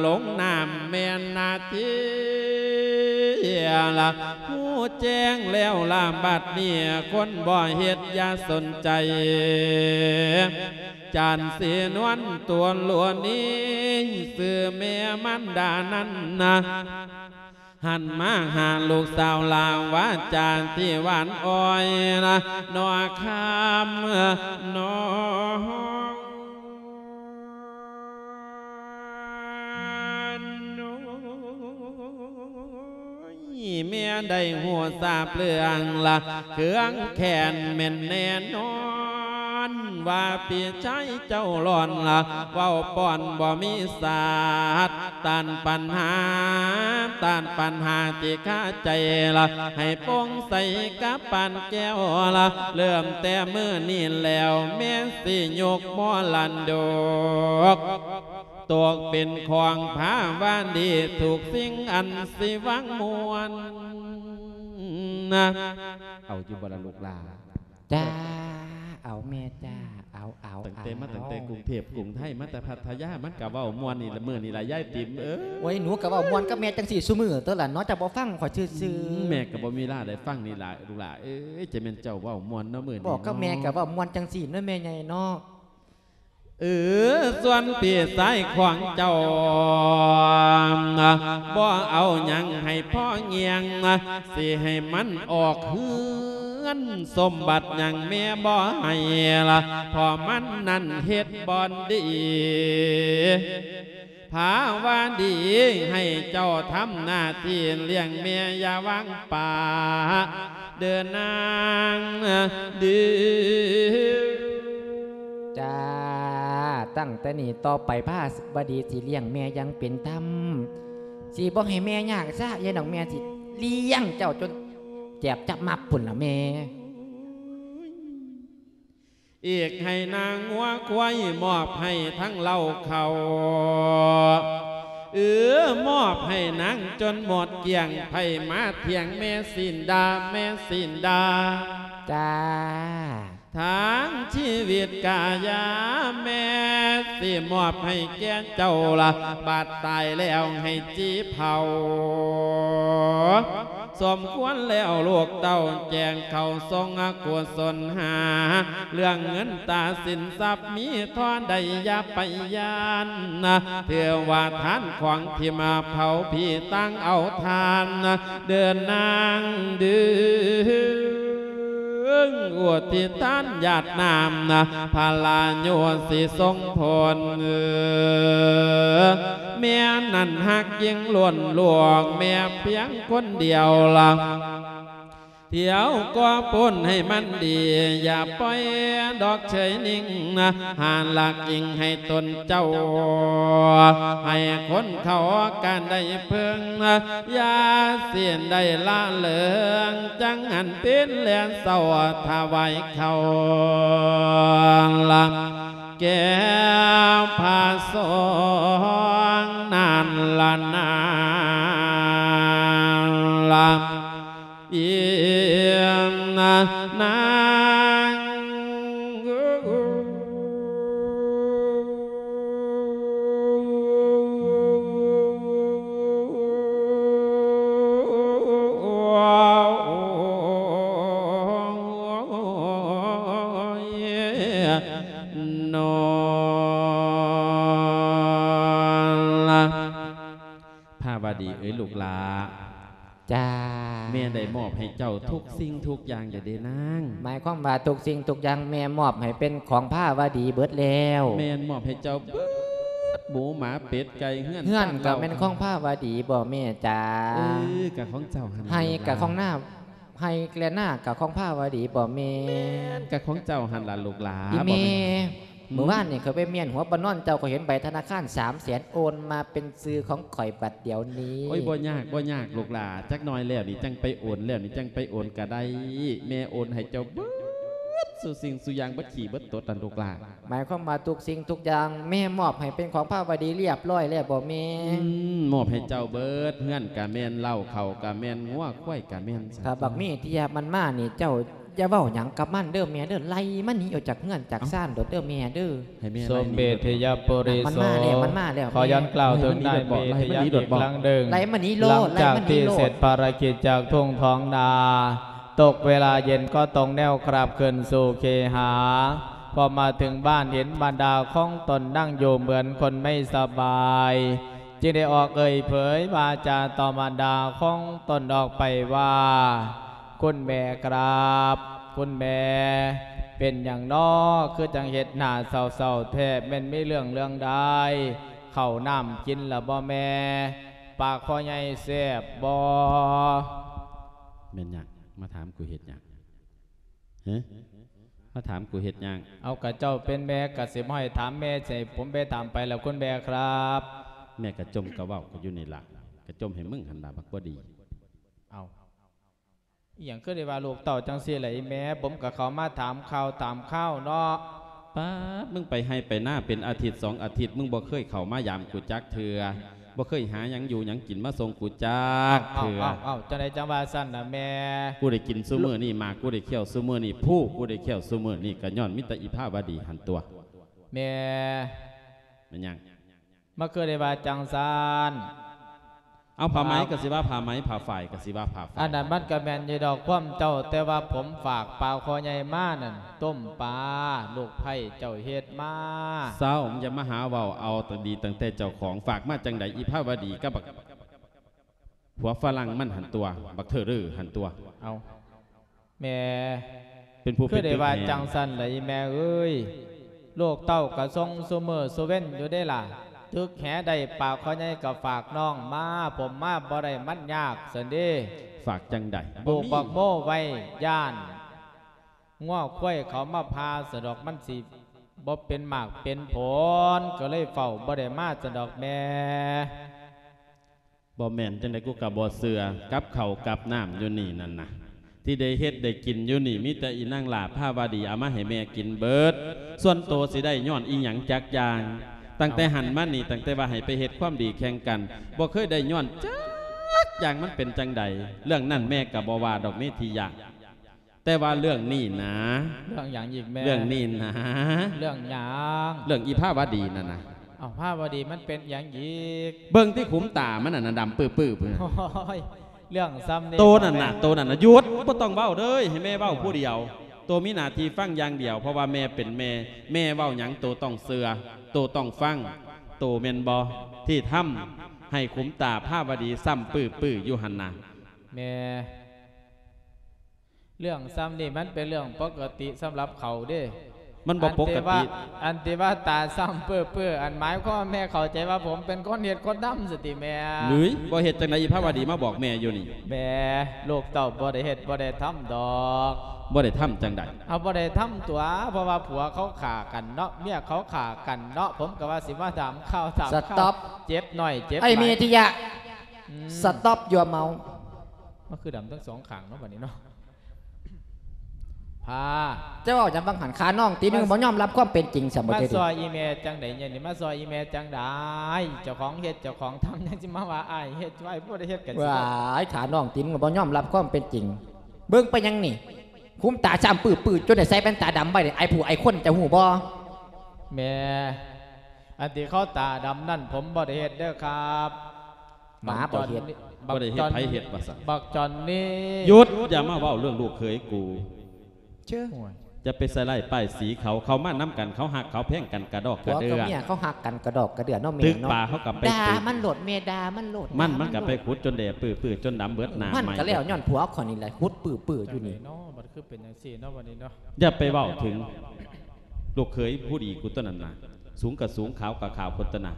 ລົງນ້ຳແມ່ນນາທີລະ ຮູ້ແຈ້ງແລ້ວລະບັດນີ້ ຄົນບໍ່ເຮັດຢ່າສົນໃຈ ຈານສີນວນຕົວຫຼວງນີ້ ຊື່ແມ່ມານດານັ້ນນະ ຫັນມາຫາລູກສາວລາວາຈາທີ່ຫວານອ້ອຍນະ ໜໍ່ຄຳໜໍ່ ແມ່ໄດ້ຮູ້ຊາບເລື່ອງລະເຄືອງແຄ້ນແມ່ນແນ່ນອນ ວ່າພີ່ຊາຍເຈົ້າຮ້ອນລະ ເວົ້າປ້ອນບໍ່ມີສາດ ຕ້ານປັນຫາ ຕ້ານປັນຫາທີ່ຄາໃຈລະ ໃຫ້ໂປ່ງໃສກະປານແກ້ວລະ ເລີ່ມແຕ່ມື້ນີ້ແລ້ວ ແມ່ນຊິຍົກມໍລະດົກ ຕົກເປັນຂອງພາວາດີ ທຸກສິ່ງອັນຊິຫວັງມ່ວນນະ ເອົາຢູ່ບໍ່ລະລູກຫຼານ? ຈ້າ ເອົາແມ່ຈ້າ ເອົາ ເອົາ ຕັ້ງແຕ່ມາ ເອົາ ຕັ້ງແຕ່ກຸງເທບກຸງໄທ ມາແຕ່ພັດທະຍາ ມັນກະເວົ້າມ່ວນນີ້ລະ ມື້ນີ້ລະຍາຍຕິມເອີຍ. ໂອ້ຍ ໜູກະເວົ້າມ່ວນກັບແມ່ຈັ່ງຊີ້ຊຸມື້ໂຕລະເນາະ ເຈົ້າບໍ່ຟັງຂ້ອຍຊື່ໆ. ອືມ ແມ່ກະບໍ່ມີເວລາໄດ້ຟັງນີ້ລະລູກຫຼາເອີຍ. ຈະແມ່ນເຈົ້າເວົ້າມ່ວນເນາະມື້ນີ້ ບອກກັບແມ່ກະເວົ້າມ່ວນຈັ່ງຊີ້ເນາະແມ່ໃຫຍ່ເນາະ. ເອີ ສ່ວນພີ່ຊາຍຂອງເຈົ້າ ບໍ່ເອົາຫຍັງໃຫ້ພໍງຽງ ຊິໃຫ້ມັນອອກເຮືອນ ສົມບັດຫຍັງແມ່ບໍ່ໃຫ້ລະ ເພາະມັນນັ້ນເຮັດບໍ່ດີ. ພາວາດີ ໃຫ້ເຈົ້າທຳໜ້າທີ່ລ້ຽງແມ່ ຢ່າວາງປະເດີນາງເດີ. ຈ້າ ຕັ້ງແຕ່ນີ້ຕໍ່ໄປພາວາດີຊິລ້ຽງແມ່ຢ່າງເປັນທຳ ຊິບໍ່ໃຫ້ແມ່ຍາກຊະ ຍາຍນ້ອງແມ່ຊິລ້ຽງເຈົ້າຈົນແຈບຈັບມັບພຸ້ນລະແມ່. ອີກໃຫ້ນາງົວຄວາຍ ມອບໃຫ້ທັງເຫຼົ້າເຂົ້າ ເອີ ມອບໃຫ້ນາງຈົນໝົດກ້ຽງ ໃຜມາຖຽງແມ່ສີນດາ ແມ່ສີນດາ. ຈ້າ ທັງຊີວິດກະຢ່າ ແມ່ຊິມອບໃຫ້ແກ່ເຈົ້າລະ ບາດຕາຍແລ້ວໃຫ້ຈີ່ເຜົາ. ສົມຄວນແລ້ວລູກເຕົ້າແຈງເຂົ້າຊົງອະກຸສົນຫາ ເລື່ອງເງິນຕາສິນຊັບມີທໍ່ໃດຢ່າໄປຢ້ານນະ ຖືວ່າທານຂອງທີ່ມາເຜົາຜີຕ່າງເອົາທານນະ ເດີນນາງເດີ. ອຸທິດທານຢາດນ້ຳນະ ພະລາໂຍຊິສົ່ງຜົນ ເອີ ແມ່ນັ້ນຮັກຍິ່ງລ້ວນລວງ ແມ່ພຽງຄົນດຽວລະ ທ່ຽວກໍປຸ້ນໃຫ້ມັນດີ ຢ່າປ່ອຍດອກເຊີຍນິ່ງນະ ຫາຫຼັກອີງໃຫ້ຕົນເຈົ້າ ໃຫ້ຄົນເຂົາການໄດ້ເພິ່ງນະ ຢ່າສິ້ນໄດ້ລະເລີງ ຈັ່ງຫັນເປັນແລນເຊົາຖວາຍເຂົ້າລະ ແກ່ພະສົງນັ້ນລະນາລະ ອີນາງ. ນອນລະ ພາວະດີເອີຍລູກຫຼ້າ. ຈ້າ. ແມ່ໄດ້ມອບໃຫ້ເຈົ້າທຸກສິ່ງທຸກຢ່າງແລ້ວເດ້ນາງ. ໝາຍຄວາມວ່າທຸກສິ່ງທຸກຢ່າງແມ່ມອບໃຫ້ເປັນຂອງພາວະດີເບິດແລ້ວ? ແມ່ນ ມອບໃຫ້ເຈົ້າເບິດ ໝູໝາເປັດໄກ່ເຮືອນ ເຮືອນກໍແມ່ນຂອງພາວະດີບໍແມ່ຈ້າ? ເອີ ກໍຂອງເຈົ້າຫັ້ນ ໄຮ່ກໍຂອງນາ ໄຮ່ແລະນາກໍຂອງພາວະດີບໍແມ່? ແມ່ນ ກໍຂອງເຈົ້າຫັ້ນລະລູກຫຼ້າ. ອີແມ່ ມື້ວານນີ້ຂ້ອຍໄປມ້ຽນຫົວປະນອນເຈົ້າ ຂ້ອຍເຫັນໃບທະນາຄານສາມແສນ ໂອນມາເປັນຊື່ຂອງຂ້ອຍບັດດຽວນີ້. ໂອ້ຍ ບໍ່ຍາກ ບໍ່ຍາກລູກຫຼ້າ ຈັກໜ່ອຍແລ້ວນີ້ຈັ່ງໄປໂອນ ແລ້ວນີ້ຈັ່ງໄປໂອນກໍໄດ້. ແມ່ໂອນໃຫ້ເຈົ້າເບິດສູ່ສິ່ງສູ່ຢ່າງ ເບິດຂີ້ເບິດຕົດນັ້ນລູກຫຼ້າ. ໝາຍຄວາມວ່າທຸກສິ່ງທຸກຢ່າງແມ່ມອບໃຫ້ເປັນຂອງພາວະດີລຽບຮ້ອຍແລ້ວບໍແມ່? ອືມ ມອບໃຫ້ເຈົ້າເບິດ ເຮືອນກະແມ່ນ ເລົ້າເຂົ້າກະແມ່ນ ງົວຄວາຍກະແມ່ນ. ຖ້າບັກເມທິຍະມັນມານີ້ ເຈົ້າຢ່າເວົ້າຫຍັງກັບມັນເດີແມ່ເດີ ໄລ່ມັນໜີອອກຈາກເຮືອນຈາກຊານໂລດເດີແມ່ເດີ. ໃຫ້ແມ່ໄລ່ໜີໂລດ. ສົມເດັດເທຍະປຸລິໂສ ມັນມາແລ້ວ ມັນມາແລ້ວ ຂໍຍ້ອນກ່າວເຖິງນາຍເມທິຍະອີກຄັ້ງໜຶ່ງ. ໄລ່ມັນໜີໂລດ ໄລ່ມັນໜີໂລດ ຫຼັງຈາກທີ່ເສັດພາລະກິດຈາກທົ່ງທ້ອງນາ ຕົກເວລາເຢັນກໍຕົງແນວກັບຄືນສູ່ເຄຫາ. ພໍມາເຖິງບ້ານເຫັນບັນດາຂອງຕົນນັ່ງຢູ່ເໝືອນຄົນໄມ່ສະບາຍ ຈຶ່ງໄດ້ອອກເອີ່ຍເຜີຍວາຈາຕໍ່ບັນດາຂອງຕົນອອກໄປວ່າ ຄຸນແມ່ຄຣັບ ຄຸນແມ່ ເປັນຫຍັງນໍ ຄືຈັ່ງເຮັດໜ້າເສົ້າໆແທ້ ແມ່ນມີເລື່ອງເລື່ອງໃດ? ເຂົ້ານ້ຳກິນລະບໍ່ແມ່? ປາຄໍໃຫຍ່ແຊບບໍ່? ແມ່ນຫຍັງ? ມາຖາມກູເຮັດຫຍັງ? ຮະ? ມາຖາມກູເຮັດຫຍັງ? ເອົາ ກະເຈົ້າເປັນແມ່ ກະຊິບໍ່ໃຫ້ຖາມແມ່ ຊິໃຫ້ຜົມໄປຖາມໃຜລະ ຄຸນແມ່ຄຣັບ? ແມ່ກະຈົ່ມກະເວົ້າກະຢູ່ນີ້ລະ ກະຈົ່ມໃຫ້ມຶງຫັ້ນລະ ບັກບໍ່ດີ. ເອົາ ອີ່ຫຍັງຄືໄດ້ວ່າລູກເຕົ້າຈັ່ງຊີ້ລະອີ່ແມ່? ຜົມກະເຂົ້າມາຖາມຂ່າວຖາມຄາວເນາະ. ປາດ ມຶງໄປໄຮ່ໄປນາເປັນອາທິດສອງອາທິດ ມຶງບໍ່ເຄີຍເຂົ້າມາຢາມກູຈັກເທື່ອ ບໍ່ເຄີຍຫາຫຍັງຢູ່ຫຍັງກິນມາສົ່ງກູຈັກເທື່ອ. ເອົ້າ ເອົ້າ ເອົ້າ ຈັ່ງໃດຈັ່ງວ່າຊັ້ນນະແມ່? ກູໄດ້ກິນຊຸມື້ນີ້ ໝາກກູໄດ້ຄ້ຽວຊຸມື້ນີ້ ພູກູໄດ້ຄ້ຽວຊຸມື້ນີ້ ກະຍ້ອນມີແຕ່ອີພາວະດີຫັ້ນຕົວະ. ແມ່ ແມ່ນຫຍັງ? ມາຄືໄດ້ວ່າຈັ່ງຊັ້ນ? ເອົາ ຜ້າໄໝກໍຊິວ່າຜ້າໄໝ ຜ້າຝ້າຍກໍຊິວ່າຜ້າຝ້າຍ. ອັນນັ້ນມັນກໍແມ່ນຢູ່ດອກຄວາມເຈົ້າ ແຕ່ວ່າຜົມຝາກປາຄໍໃຫຍ່ມານັ້ນ ຕົ້ມປາ ລູກໃພ້ເຈົ້າເຮັດມາ. ເຊົາ ຢ່າມາຫາເວົ້າ ເອົາແຕ່ດີຕັ້ງແຕ່ເຈົ້າຂອງ ຝາກມາຈັ່ງໃດ ອີພາວະດີກັບບັກ ຜົວຝຣັ່ງມັນຫັ້ນຕົວະ ບັກເທີເຣີຫັ້ນຕົວະ. ເອົາ ແມ່ ເປັນຜູ້ ຄືໄດ້ວ່າ ເປັນຕຶກແຫ ຈັ່ງຊັ້ນລະອີແມ່ເອີຍ? ລູກເຕົ້າກະສົ່ງຊຸມື້ຊຸເວັນຢູ່ເດ້ລະ ຕຶກແຫໄດ້ປາຄໍໃຫຍ່ກະຝາກນ້ອງມາ ຜົມມາບໍ່ໄດ້ ມັນຍາກຊັ້ນເດ້. ຝາກຈັ່ງໃດ? ປູກບັກໂມໄວ້ ຢ້ານງົວຄວາຍເຂົາມາຜ່າສະດອກ ມັນຊິບໍ່ເປັນໝາກເປັນຜົນ ກໍເລີຍເຝົ້າບໍ່ໄດ້ມາສະດອກແມ່. ບໍ່ແມ່ນຈັ່ງໃດ ກູກະບໍ່ເຊື່ອ ກັບເຂົ້າກັບນ້ຳຢູ່ນີ້ນັ້ນນະ ທີ່ໄດ້ເຮັດໄດ້ກິນຢູ່ນີ້ ມີແຕ່ອີນາງຫຼ້າພາວະດີເອົາມາໃຫ້ແມ່ກິນເບິດ. ສ່ວນໂຕຊິໄດ້ຍ້ອນອີຫຍັງຈັກຢ່າງ? ຕັ້ງແຕ່ຫັ້ນມານີ້ ຕັ້ງແຕ່ວ່າໃຫ້ໄປເຮັດຄວາມດີແຂ່ງກັນ ບໍ່ເຄີຍໄດ້ຍ້ອນຈັກຢ່າງ. ມັນເປັນຈັ່ງໃດ? ເລື່ອງນັ້ນແມ່ກະບໍ່ວ່າດອກ ເມທິຍະ. ແຕ່ວ່າເລື່ອງນີ້ນະ. ເລື່ອງຫຍັງອີກແມ່? ເລື່ອງນີ້ນະ. ເລື່ອງຫຍັງ? ເລື່ອງອີພາວະດີນັ້ນນະ. ເອົ້າ ພາວະດີມັນເປັນຫຍັງອີກ? ເບິ່ງຕິ ຂຸມຕາມັນນັ້ນນະ ດຳປຶບໆພຸ້ນນະ. ໂອ້ຍ ເລື່ອງສ່ຳນີ້ ໂຕນັ້ນນະ ໂຕນັ້ນນະ. ຢຸດ ບໍ່ຕ້ອງເວົ້າເດີ ໃຫ້ແມ່ເວົ້າຜູ້ດຽວ. ໂຕມີໜ້າທີ່ຟັງຢ່າງດຽວ ເພາະວ່າແມ່ເປັນແມ່ ແມ່ເວົ້າຫຍັງໂຕຕ້ອງເຊື່ອ ໂຕຕ້ອງຟັງ. ໂຕແມ່ນບໍ່ ທີ່ທຳໃຫ້ຂຸມຕາພາວະດີຊ້ຳປຶບໆຢູ່ຫັ້ນນະ? ແມ່ ເລື່ອງສ່ຳນີ້ມັນເປັນເລື່ອງປົກກະຕິສຳລັບເຂົາເດ້. ມັນບໍ່ປົກກະຕິ. ອັນທີ່ວ່າ ອັນທີ່ວ່າຕາຊ້ຳເປິ້ໆ ອັນໝາຍຄວາມວ່າແມ່ເຂົ້າໃຈວ່າຜົມເປັນຄົນເຮັດຄົນທຳຊັ້ນຕິແມ່? ເອີຍ ບໍ່ເຮັດຈັ່ງໃດ ອີພາວະດີມາບອກແມ່ຢູ່ນີ້. ແມ່ ລູກເຕົ້າບໍ່ໄດ້ເຮັດບໍ່ໄດ້ທຳດອກ. ບໍ່ໄດ້ທຳຈັ່ງໃດ? ເອົາ ບໍ່ໄດ້ທຳຕົວະ ເພາະວ່າຜົວເຂົາຂ້າກັນເນາະ ເມຍເຂົາຂ້າກັນເນາະ. ຜົມກໍວ່າຊິມາຖາມຂ່າວຖາມຄາວ. ສະຕັອບ ເຈັບໜ້ອຍເຈັບຫຼາຍ. ໄອ້ເມທິຍະ ອືມ ສະຕັອບ ຢູ່ເມົາ. ມັນຄືດຳທັງສອງຂ້າງເນາະ ບັດນີ້ເນາະ. ພາ ເຈົ້າເວົ້າຫຍັງຫວ່າງຫັ້ນ? ຂ້ານ້ອງຕີນ ມຶງບໍ່ຍອມຮັບຄວາມເປັນຈິງຊະບໍ່? ມາຊ່ອຍອີແມ່ຈັ່ງໃດ? ນີ້ມາຊ່ອຍອີແມ່ຈັ່ງໃດ? ເຈົ້າຂອງເຮັດເຈົ້າຂອງທຳ ຍັງຊິມາວ່າອ້າຍເຮັດ ອ້າຍບໍ່ໄດ້ເຮັດກັນຊິ. ວ້າຍ ຂ້ານ້ອງຕີນ ມຶງບໍ່ຍອມຮັບຄວາມເປັນຈິງ. ເບິ່ງໄປຫຍັງນີ້ ຂຸມຕາຊ້ຳປຶບໆ ຈົນໄດ້ໃສ່ແວ່ນຕາດຳໄວ້ນີ້ ໄອ້ຜູ້ໄອ້ຄົນ ເຈົ້າຮູ້ບໍ່? ແມ່ ອັນທີ່ເຂົາຕາດຳນັ້ນ ຜົມບໍ່ໄດ້ເຮັດເດີຄັບ. ໝາບໍ່ເຮັດ. ບັກຈອນ ບໍ່ໄດ້ເຮັດ ໃຜເຮັດວ່າຊັ້ນ? ບັກຈອນນີ້. ຢຸດ! ຢ່າມາເວົ້າເລື່ອງລູກເຂີຍກູ. ເຊີ ໂອ້ຍ ຢ່າໄປໃສ່ຮ້າຍປ້າຍສີເຂົາ, ເຂົາມານຳກັນ ເຂົາຮັກເຂົາແພງກັນກະດອກກະເດືອ. ຜົວກັບເມຍເຂົາຮັກກັນກະດອກກະເດືອເນາະແມ່ເນາະ. ຕຶກປາເຂົາກໍໄປຕຶກ. ດ່າມັນໂລດແມ່, ດ່າມັນໂລດ. ມັນ, ມັນກໍໄປຂຸດຈົນແດ່ປຶ້ໆ ຈົນດຳເບິດໜ້າໄໝ້. ມັນກໍແລ້ວຍ້ອນຜົວຂ້ອຍນີ້ແຫຼະ ຂຸດປຶ້ໆຢູ່ນີ້ເນາະ. ບັດຄືເປັນຈັ່ງຊີ້ເນາະ ບັດນີ້ເນາະ. ຢ່າໄປເວົ້າເຖິງລູກເຂີຍຜູ້ດີກູຕົວນັ້ນນະ. ສູງກໍສູງ ຂາວກໍຂາວພຸ້ນຕົວນະ.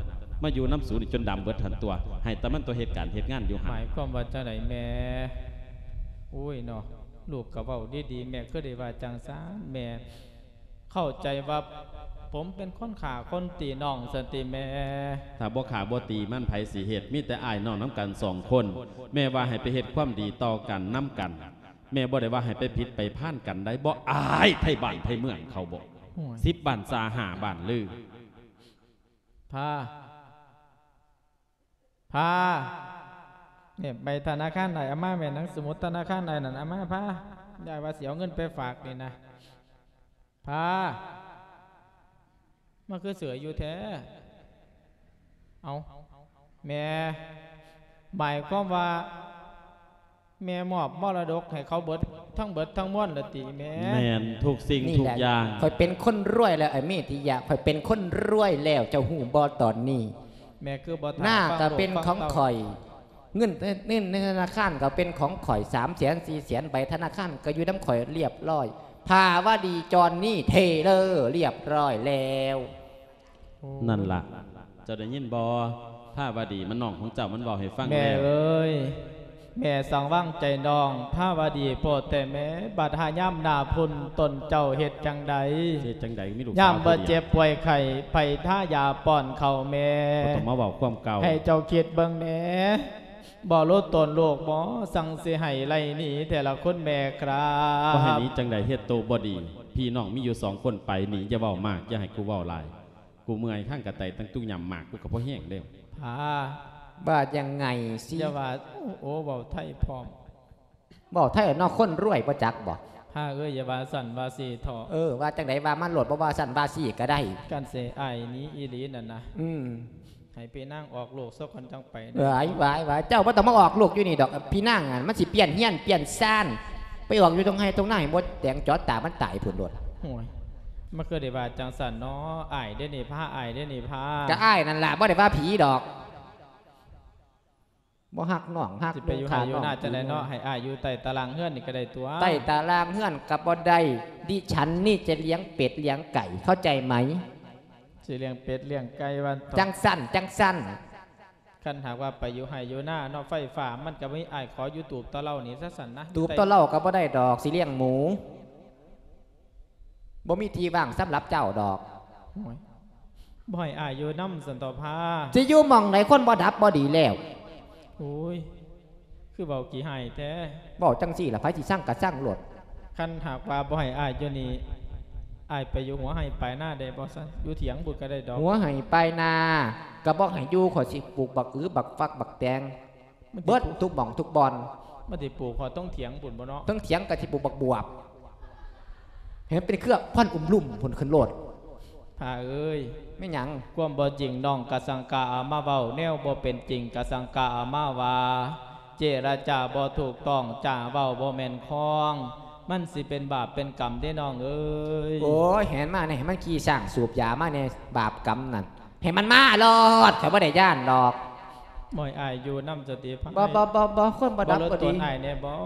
ມາຢູ່ນຳສູນີ້ຈົນດຳເບິດຫັ້ນຕົວະ. ໃຫ້ແຕ່ມັນຕົວະເຮັດການເຮັດງານຢູ່ຫັ້ນ. ໝາຍຄວາມວ່າຈັ່ງໃດແມ່? ໂອ້ຍເນາະ. ລູກກໍເວົ້າດີໆ ແມ່ຄືໄດ້ວ່າຈັ່ງຊັ້ນ. ແມ່ເຂົ້າໃຈວ່າຜົມເປັນຄົນຂ້າຄົນຕີນ້ອງຊັ້ນຕິແມ່? ຖ້າບໍ່ຂ້າບໍ່ຕີມັນ ໃຜຊິເຮັດ? ມີແຕ່ອ້າຍນ້ອງນຳກັນສອງຄົນ. ແມ່ວ່າໃຫ້ໄປເຮັດຄວາມດີຕໍ່ກັນນຳກັນ. ແມ່ບໍ່ໄດ້ວ່າໃຫ້ໄປຜິດໄປພານກັນໃດ໋. ບໍ່ອາຍໄທບ້ານໄທເມືອງເຂົາບໍ? ໂອ້ຍ ສິບບ້ານຊາ ຫ້າບ້ານລື. ພາ ພາ ນີ້ໃບທະນາຄານອ້າຍເອົາມາແມ່, ໜັງສະໝຸດທະນາຄານອ້າຍນັ້ນເອົາມາພາ. ຍາຍວ່າຊິເອົາເງິນໄປຝາກນີ້ນະ. ພາ ມາຄືເຊື່ອຍຢູ່ແທ້? ເອົ້າ ແມ່ ໝາຍຄວາມວ່າ ແມ່ມອບມໍລະດົກໃຫ້ເຂົາເບິດ ທັງເບິດທັງມວນລະຕິແມ່? ແມ່ນ ທຸກສິ່ງທຸກຢ່າງ. ຂ້ອຍເປັນຄົນລວຍແລ້ວ ໄອ້ເມດຕິຍະ, ຂ້ອຍເປັນຄົນລວຍແລ້ວ ເຈົ້າຮູ້ບໍ່ຕອນນີ້? ແມ່ຄືບໍ່ຖາມ ໜ້າກໍເປັນຂອງຂ້ອຍ, ເງິນ ເງິນໃນທະນາຄານກໍເປັນຂອງຂ້ອຍ ສາມແສນ ສີ່ແສນ ໃບທະນາຄານກໍຢູ່ນຳຂ້ອຍລຽບລ້ອຍ. ພາວະດີ ຈອນນີ ເທເລີ ລຽບລ້ອຍແລ້ວ. ໂອ້ ນັ້ນລະ ເຈົ້າໄດ້ຍິນບໍ່? ພາວະດີມັນນ້ອງຂອງເຈົ້າ ມັນເວົ້າໃຫ້ຟັງແລ້ວ. ແມ່ເອີຍ ແມ່ສັງວາງໃຈນ້ອງພາວະດີໂພດແທ້ແມ່. ບັດຫາຍາມໜ້າພຸ້ນຕົນເຈົ້າເຮັດຈັ່ງໃດ? ເຮັດຈັ່ງໃດ? ມີລູກສາວຜູ້ດຽວ ຍາມວ່າເຈັບປ່ວຍໄຂ້ ໃຜທາຢາປ້ອນເຂົ້າແມ່? ບໍ່ຕ້ອງມາເວົ້າຄວາມເກົ່າ. ໃຫ້ເຈົ້າຄິດເບິ່ງແດ່ ບໍ່ຮູ້ຕົນລູກບໍ່? ສັງຊິໃຫ້ໄລ່ໜີແຕ່ລະຄົນແມ່ຄຣາບ. ບໍ່ໃຫ້ໜີຈັ່ງໃດ? ເຮັດໂຕບໍ່ດີ. ພີ່ນ້ອງມີຢູ່ສອງຄົນ ໄປໜີ. ຢ່າເວົ້າມາກ ຢ່າໃຫ້ກູເວົ້າຫຼາຍ. ກູເມື່ອຍ ຂ້າງກະໄຕຕັ້ງຕຸກຫຍ້ຳໝາກ ກູກໍບໍ່ແຮງແລ້ວ. ພາ ວ່າຍັງໄງຊິ? ຢ່າວ່າ ໂອ້ ເວົ້າໄທພ້ອມ. ເວົ້າໄທເນາະ ຄົນລວຍບໍ່ຈັກບໍ? ພາເອີຍ ຢ່າວ່າຊັ້ນວ່າຊີ້ເຖາະ. ເອີ ວ່າຈັ່ງໃດວ່າມາໂລດ ບໍ່ວ່າຊັ້ນວ່າຊີ້ກໍໄດ້. ຄັນຊິອ້າຍໜີອີ່ຫຼີນັ້ນນະ ອືມ ໃຫ້ພີ່ນາງອອກລູກຊະກ່ອນຈັ່ງໄປ. ຫວາຍ ຫວາຍ ຫວາຍ ເຈົ້າບໍ່ຕ້ອງມາອອກລູກຢູ່ນີ້ດອກ. ພີ່ນາງຫັ້ນມັນຊິປ່ຽນເຮືອນປ່ຽນຊານ ໄປອອກຢູ່ຕົງໄຮ່ຕົງນາໃຫ້ໝົດແດງ ຈອດຕາມັນຕາຍພຸ້ນໂລດ. ໂອ້ຍ ມັນຄືໄດ້ວ່າຈັ່ງຊັ້ນເນາະ ອ້າຍເດ້ນີ້ພາ ອ້າຍເດ້ນີ້ພາ. ກະອ້າຍນັ້ນລະ ບໍ່ໄດ້ວ່າຜີດອກ. ບໍ່ຮັກນ້ອງ ຮັກ ຊິໄປຢູ່ໄຮ່ຢູ່ນາຈັ່ງໃດເນາະ? ໃຫ້ອ້າຍຢູ່ໃຕ້ຕາລ່າງເຮືອນນີ້ກໍໄດ້ຕົວະ. ໃຕ້ຕາລ່າງເຮືອນກໍບໍ່ໄດ້. ດິສັນນີ້ຈະລ້ຽງເປັດລ້ຽງໄກ່ ເຂົ້າໃຈໄໝ? ຊິລ້ຽງເປັດລ້ຽງໄກ່ວ່າເຖາະ. ຈັ່ງຊັ້ນ ຈັ່ງຊັ້ນ. ຄັນຫາກວ່າໄປຢູ່ໄຮ່ຢູ່ນາເນາະ ໄຟຟ້າມັນກໍບໍ່ມີ. ອ້າຍຂໍຢູ່ຕູບຕະເລົານີ້ຊະຊັ້ນນະ. ຕູບຕະເລົາກໍບໍ່ໄດ້ດອກ ຊິລ້ຽງໝູ. ບໍ່ມີທີ່ວ່າງສຳລັບເຈົ້າດອກ. ໂອ້ຍ ບໍ່ໃຫ້ອ້າຍຢູ່ນຳຊັ້ນເຖາະພາ. ຊິຢູ່ໝ່ອງໃດ ຄົນບໍ່ດັບບໍ່ດີແລ້ວ. ໂອ້ຍ ຄືເວົ້າຂີ້ຮ້າຍແທ້. ເວົ້າຈັ່ງຊີ້ລະ ໃຜຊິຊັງກໍຊັງໂລດ. ຄັນຫາກວ່າບໍ່ໃຫ້ອ້າຍຢູ່ນີ້ ອ້າຍໄປຢູ່ຫົວໄຮ່ປາຍນາໄດ້ບໍ່ຊັ້ນ? ຢູ່ຖຽງພຸ້ນກໍໄດ້ດອກ. ຫົວໄຮ່ປາຍນາກໍບໍ່ໃຫ້ຢູ່ ຂ້ອຍຊິປູກບັກອື ບັກຝັກ ບັກແຕງ ມັນຊິ ເບິດທຸກໝ່ອງທຸກບ່ອນ. ມັນຊິປູກຮອດຕົງຖຽງພຸ້ນບໍ່ເນາະ? ເທິງຖຽງກໍຊິປູກບັກບວບ ໃຫ້ມັນເປັນເຄືອກພັນອຸມລຸມພຸ້ນຂຶ້ນໂລດ. ພາເອີຍ ແມ່ນຫຍັງ? ຄວາມບໍ່ຈິງນ້ອງກະສັງກະເອົາມາເວົ້າ, ແນວບໍ່ເປັນຈິງກະສັງກະເອົາມາວ່າ. ເຈລະຈາບໍ່ຖືກຕ້ອງ, ຈາເວົ້າບໍ່ແມ່ນຄອງ, ມັນຊິເປັນບາບເປັນກຳເດ້ນ້ອງເອີຍ. ໂອ້ຍ ໃຫ້ມັນມາແດ່, ໃຫ້ມັນຂີ່ຊ້າງສູບຢາມາແດ່, ບາບກຳນັ້ນ. ໃຫ້ມັນມາໂລດ, ຂ້ອຍບໍ່ໄດ້ຢ້ານດອກ. ບໍ່ໃຫ້ອ້າຍຢູ່ນຳສະຕິພາຍ. ບໍ່ ບໍ່ ບໍ່ ບໍ່ ຄົນບໍ່ດັບບໍ່ດີ. ບໍ່ລົດຕົນອ້າຍແດ່ບໍ່?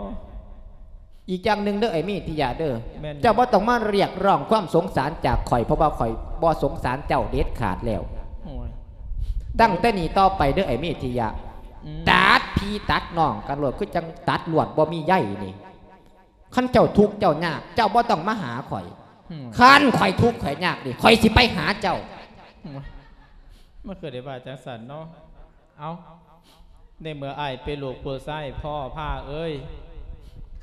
ອີກຢ່າງໜຶ່ງເດີ ໄອ້ມີດທິຍະເດີ, ແມ່ນ ເຈົ້າບໍ່ຕ້ອງມາຮຽກຮ້ອງຄວາມສົງສານຈາກຂ້ອຍ, ເພາະວ່າຂ້ອຍບໍ່ສົງສານເຈົ້າເດັດຂາດແລ້ວ. ໂອ້ຍ ຕັ້ງແຕ່ນີ້ຕໍ່ໄປເດີ ໄອ້ມີດທິຍະ, ອືມ ຕັດພີ່ຕັດນ້ອງກັນໂລດ, ຄືຈັ່ງຕັດລວດບໍ່ມີໃຍນີ້. ຄັນເຈົ້າທຸກເຈົ້າຍາກ, ເຈົ້າບໍ່ຕ້ອງມາຫາຂ້ອຍ. ອືມ ຄັນຂ້ອຍທຸກຂ້ອຍຍາກນີ້, ຂ້ອຍຊິໄປຫາເຈົ້າ. ໂອ້ຍ ມັນຄືໄດ້ວ່າຈັ່ງຊັ້ນເນາະ. ເອົ້າ ໃນເມື່ອອ້າຍເປັນລູກຜູ້ຊາຍພໍ່ພາເອີຍ,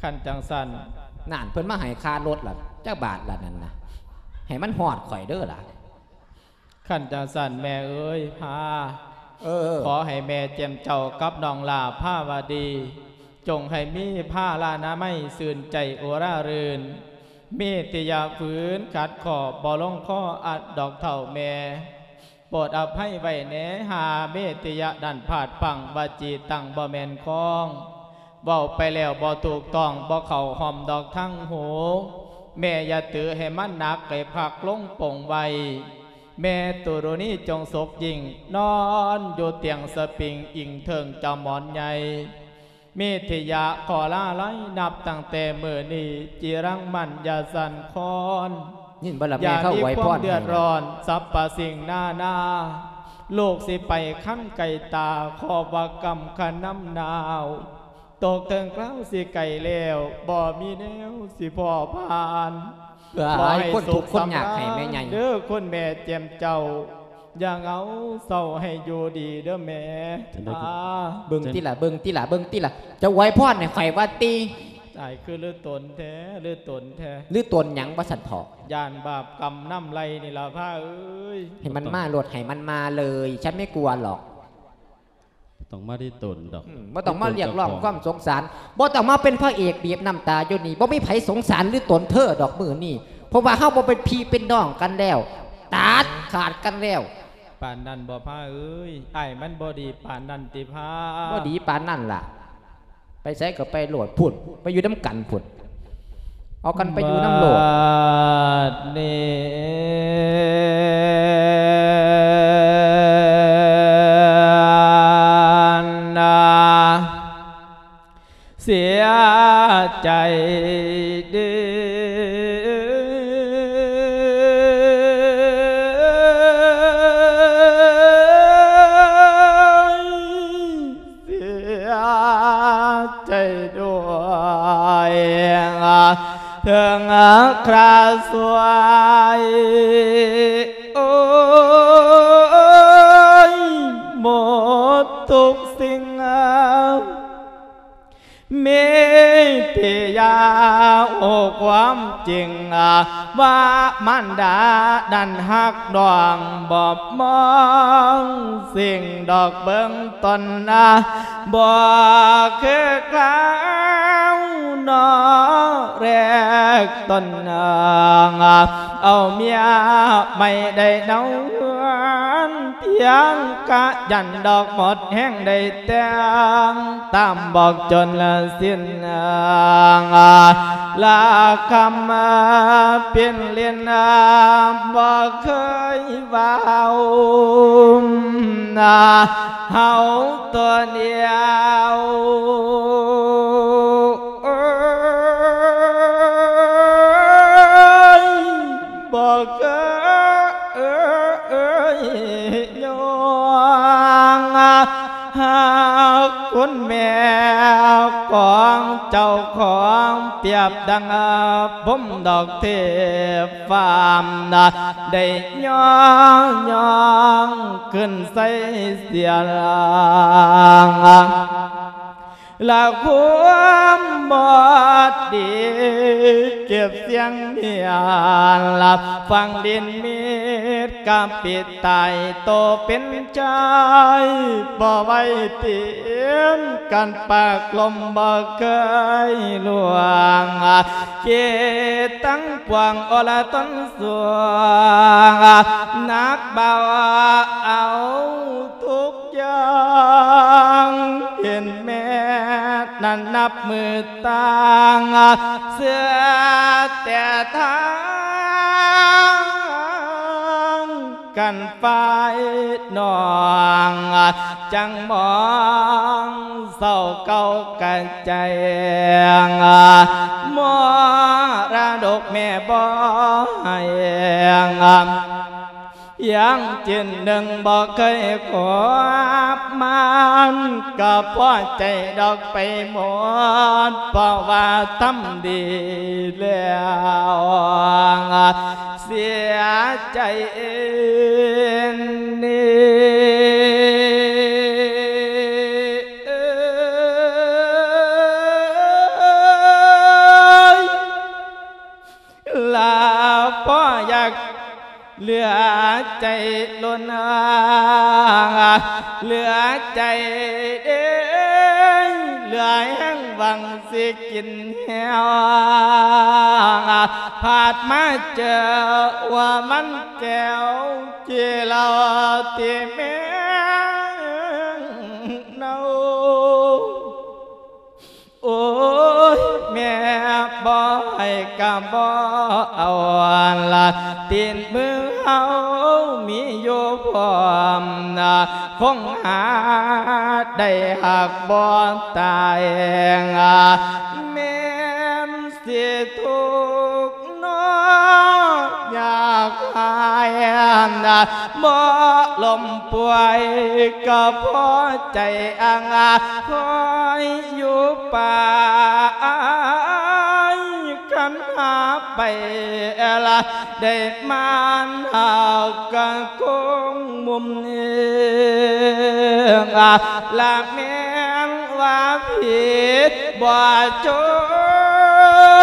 ຄັນຈັ່ງຊັ້ນ. ນັ້ນ ເພິ່ນມາໃຫ້ຄ່າລົດລະ ຈັກບາດລະນັ້ນນະ, ໃຫ້ມັນຮອດຂ້ອຍເດີລະ. ຄັນຈັ່ງຊັ້ນແມ່ເອີຍພາ, ເອີ ຂໍໃຫ້ແມ່ແຈ່ມເຈົ້າກັບນ້ອງຫຼ້າພາວະດີ, ຈົ່ງໃຫ້ມີພາລານາໄມຊື່ນໃຈອຸຣາລື່ນ. ມີດທິຍະຝືນຂັດຂໍ້ບໍ່ລົງຄໍອັດດອກເຖົ້າແມ່. ໂປດອະໄພໄວ້ແດ່ ຫາເມດທິຍະນັ້ນພາດພັ້ງ ວະຈີຕັງບໍ່ແມ່ນຄອງ, ເວົ້າໄປແລ້ວບໍ່ຖືກຕ້ອງ ບໍ່ເຂົ້າຮ່ອມດອກທາງຫູ. ແມ່ຢ່າຖືໃຫ້ມັນໜັກ ໃຫ້ພັກລົງປົງໄວ້. ແມ່ຕຸລຸນີຈົ່ງສຸກຍິ່ງ ນອນຢູ່ຕຽງສະປິງ ອີງເທິງເຈົ້າໝອນໃຫຍ່. ມີທິຍະຂໍລາໄລ ນັບຕັ້ງແຕ່ມື້ນີ້ ຈິລັງມັນຢ່າສັ່ນຄອນ ຍິນບໍ່ລະແມ່ເຂົາອວຍພອນໃຫ້ນະ ຢ່າມີຄວາມເດືອດຮ້ອນ ສັບພະສິ່ງນານາ. ລູກຊິໄປຄັນໄກ່ຕາ ຂໍວ່າກຳຂະນຳໜາວ ຕົກເຖິງຄາວຊິໄກ່ແລ້ວ ບໍ່ມີແນວຊິພໍຜ່ານ. ເພື່ອໃຫ້ຄົນທຸກຄົນຍາກໃຫ້ແມ່ໃຫຍ່ ເດີຄຸນແມ່ແຈ່ມເຈົ້າ ຢ່າເຫງົາເສົ້າໃຫ້ຢູ່ດີເດີແມ່. ເບິ່ງຕິລະ ເບິ່ງຕິລະ ເບິ່ງຕິລະ ຈະອວຍພອນໃຫ້ຂ້ອຍວ່າຕິ. ຕາຍ ຄືລືຕົນແທ້ ລືຕົນແທ້ ລືຕົນຫຍັງວ່າຊັ້ນເຖາະ? ຢ້ານບາບກຳນຳໄລ່ນີ້ລະພາເອີຍ. ໃຫ້ມັນມາໂລດ ໃຫ້ມັນມາເລີຍ ສັນບໍ່ກົວດອກ. ບໍ່ຕ້ອງມາລິຕົນດອກ ອືມ ບໍ່ຕ້ອງມາຮຽກຮ້ອງຄວາມສົງສານ ບໍ່ຕ້ອງມາເປັນພະເອກບີບນ້ຳຕາຢູ່ນີ້ ບໍ່ມີໃຜສົງສານລືຕົນເທີດອກມື້ນີ້ ເພາະວ່າເຮົາບໍ່ເປັນພີ່ເປັນນ້ອງກັນແລ້ວ ຕັດຂາດກັນແລ້ວ. ປານນັ້ນບໍ່ພາເອີຍ? ອ້າຍມັນບໍ່ດີປານນັ້ນຕິພາ? ບໍ່ດີປານນັ້ນລະ. ໄປໃສກໍໄປໂລດພຸ້ນ ໄປຢູ່ນຳກັນພຸ້ນ ເອົາກັນໄປຢູ່ນຳໂລດ. ບັດນີ້ນາ ເສຍໃຈເດ້ ເສຍໃຈດ້ວຍ ເຖິງຄຣາສວຍ ໂອ້ຍ ໝົດທຸກສິ່ງ. ມີທີ່ຢາກຮູ້ຄວາມຈິງ ວ່າມານດານັ້ນຮັກນ້ອງ ບໍ່ມອງສິ່ງດອກເບື້ອງຕົ້ນ ບໍ່ຄືຄາວນອແລກຕົ້ນ ເອົາເມຍໃໝ່ໄດ້ເນົາເຮືອນ ພຽງກະຢັນດອກໝົດແຮງໄດ້ແຕ່ງ ຕາມບອກຈົນສິ້ນລາຄຳ ປິ່ນຫຼິ້ນບໍ່ເຄີຍເວົ້າ ເຮົາຕົວດຽວ ເອີຍ ບໍ່ເຄີຍຍ້ອງ ຮັກຄຸນແມ່ຂອງເຈົ້າຂອງ ປຽບດັ່ງພົມດອກເທບຟ້າ ໄດ້ຍ້ອງ ຍ້ອງຂຶ້ນໃສ່ສຽງ ລະຄວາມບໍ່ດີເກັບສຽງເມຍ ລະຝັງດິນມິດກະປິດຕາຍໂຕເປັນຊາຍ ບໍ່ໄວ້ຕີນກັນປາກລົມບໍ່ເຄີຍລ່ວງ ເກຕັງປວງອໍລະຕົນສວງ ໜັກເບົາເອົາທຸກ ຢ່າງເຫັນແມ່ນັ້ນນັບມື້ຕ່າງ ເຊື່ອແຕ່ທາງກັນຝ່າຍນ້ອງ ຈັ່ງມອງເສົ້າເກົ່າກະແຈ້ງ ມໍລະດົກແມ່ບໍ່ໃຫ້ ຍັງຈິ້ນໜຶ່ງບໍ່ເຄີຍຄວບ ມັນກໍພໍໃຈດອກໄປໝົດ ເພາະວ່າທຳດີແລ້ວ ເສຍໃຈນີ້ ລາພໍ່ຢາກເຫຼືອໃຈລົ້ນ ເຫຼືອໃຈເດ້ ເຫຼືອແຮງຫວັງຊິກິນແຮວ ພາດມາເຈີວ່າມັນແກ້ວ ກິເຫຼົ້າຕິແມ່ເນົ່າ ໂອ້ຍ ແມ່ບໍ່ ກໍບໍ່ເອົາລະ ຕີນມືເຮົາມີຢູ່ພ້ອມນະ ຄົງຫາໄດ້ຮັກບໍ່ຕາຍ ແມ່ນຊິທຸກ ເນາະ ຢາກຫາຍນະ ບໍ່ລົ້ມປ່ວຍກໍພໍໃຈອັງ ຄອຍຢູ່ໄປ ຄັນຫາໄປລະ ໄດ້ມານຫາກະຄົງມຸມເອງ ລະແມ່ນວ່າຜິດບໍ່ຈົ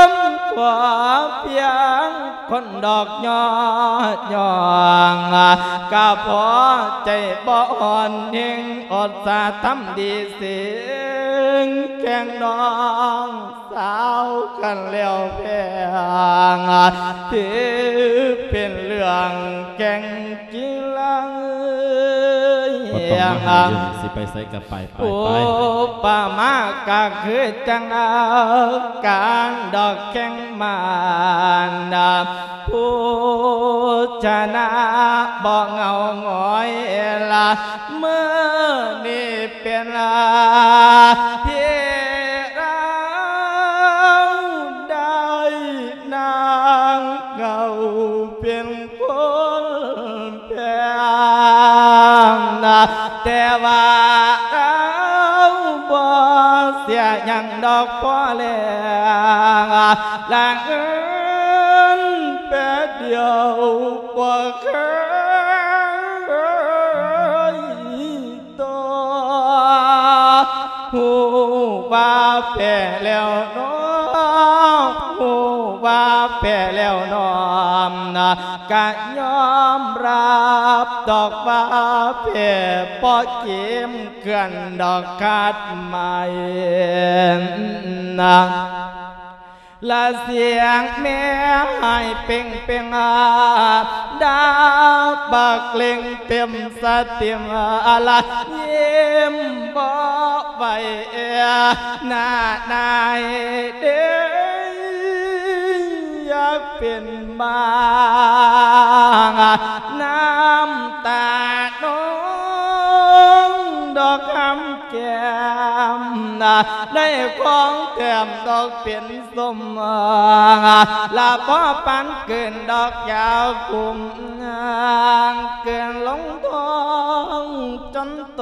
ມ ຂໍພຽງຄົນດອກຍໍ ຍ້ອງກະພໍໃຈບໍ່ອ່ອນແຮງ ອົດສາທຳດີເສງແຂ່ງນ້ອງ ສາວກັນແລ້ວແພງ ຖືເປັນເລື່ອງແກ່ງກິລາ ບໍ່ຕ້ອງມາຫາເລື່ອງ ຊິໄປໃສກໍໄປ ໄປ ໂອ້ ໄປ ປະມາກໍຄືຈັ່ງການດອກແຂ່ງມານ ຜູ້ຊະນະບໍ່ເຫງົາຫງອຍລະ ມື້ນີ້ ເປັນທີ່ລາວໄດ້ນາງເຂົາເປັນຄົນແພງນະ ແຕ່ວ່າລາວບໍ່ເສຍຫຍັງດອກພໍແລ້ວ ລະເງິນແປດດຽວບໍ່ເຄີຍ ຕໍ່ ຮູ້ວ່າແພ້ແລ້ວເນາະ ຮູ້ວ່າແພ້ແລ້ວເນາະ ກະຍອມຮັບດອກວ່າແພ້ ບໍ່ເກມເກືອນດອກຄາດໝາຍນະ. ລະສຽງແມ່ໄຫ້ເປັງເປັງ ດາບັກເລັ່ງເຕັມສະຕິມ ລະຍິ້ມບໍ່ໄຫວ ໜ້ານາຍເດ້ ຢາກເປັນບ້າ ນ້ຳຕານອງດອກຫຳ ແກ້ມ ໄດ້ຂອງແຕ້ມດອກເປັນສົມ ລະພໍປານກືນດອກຢາກຸມ ກືນລົງທ້ອງຈົນໂຕ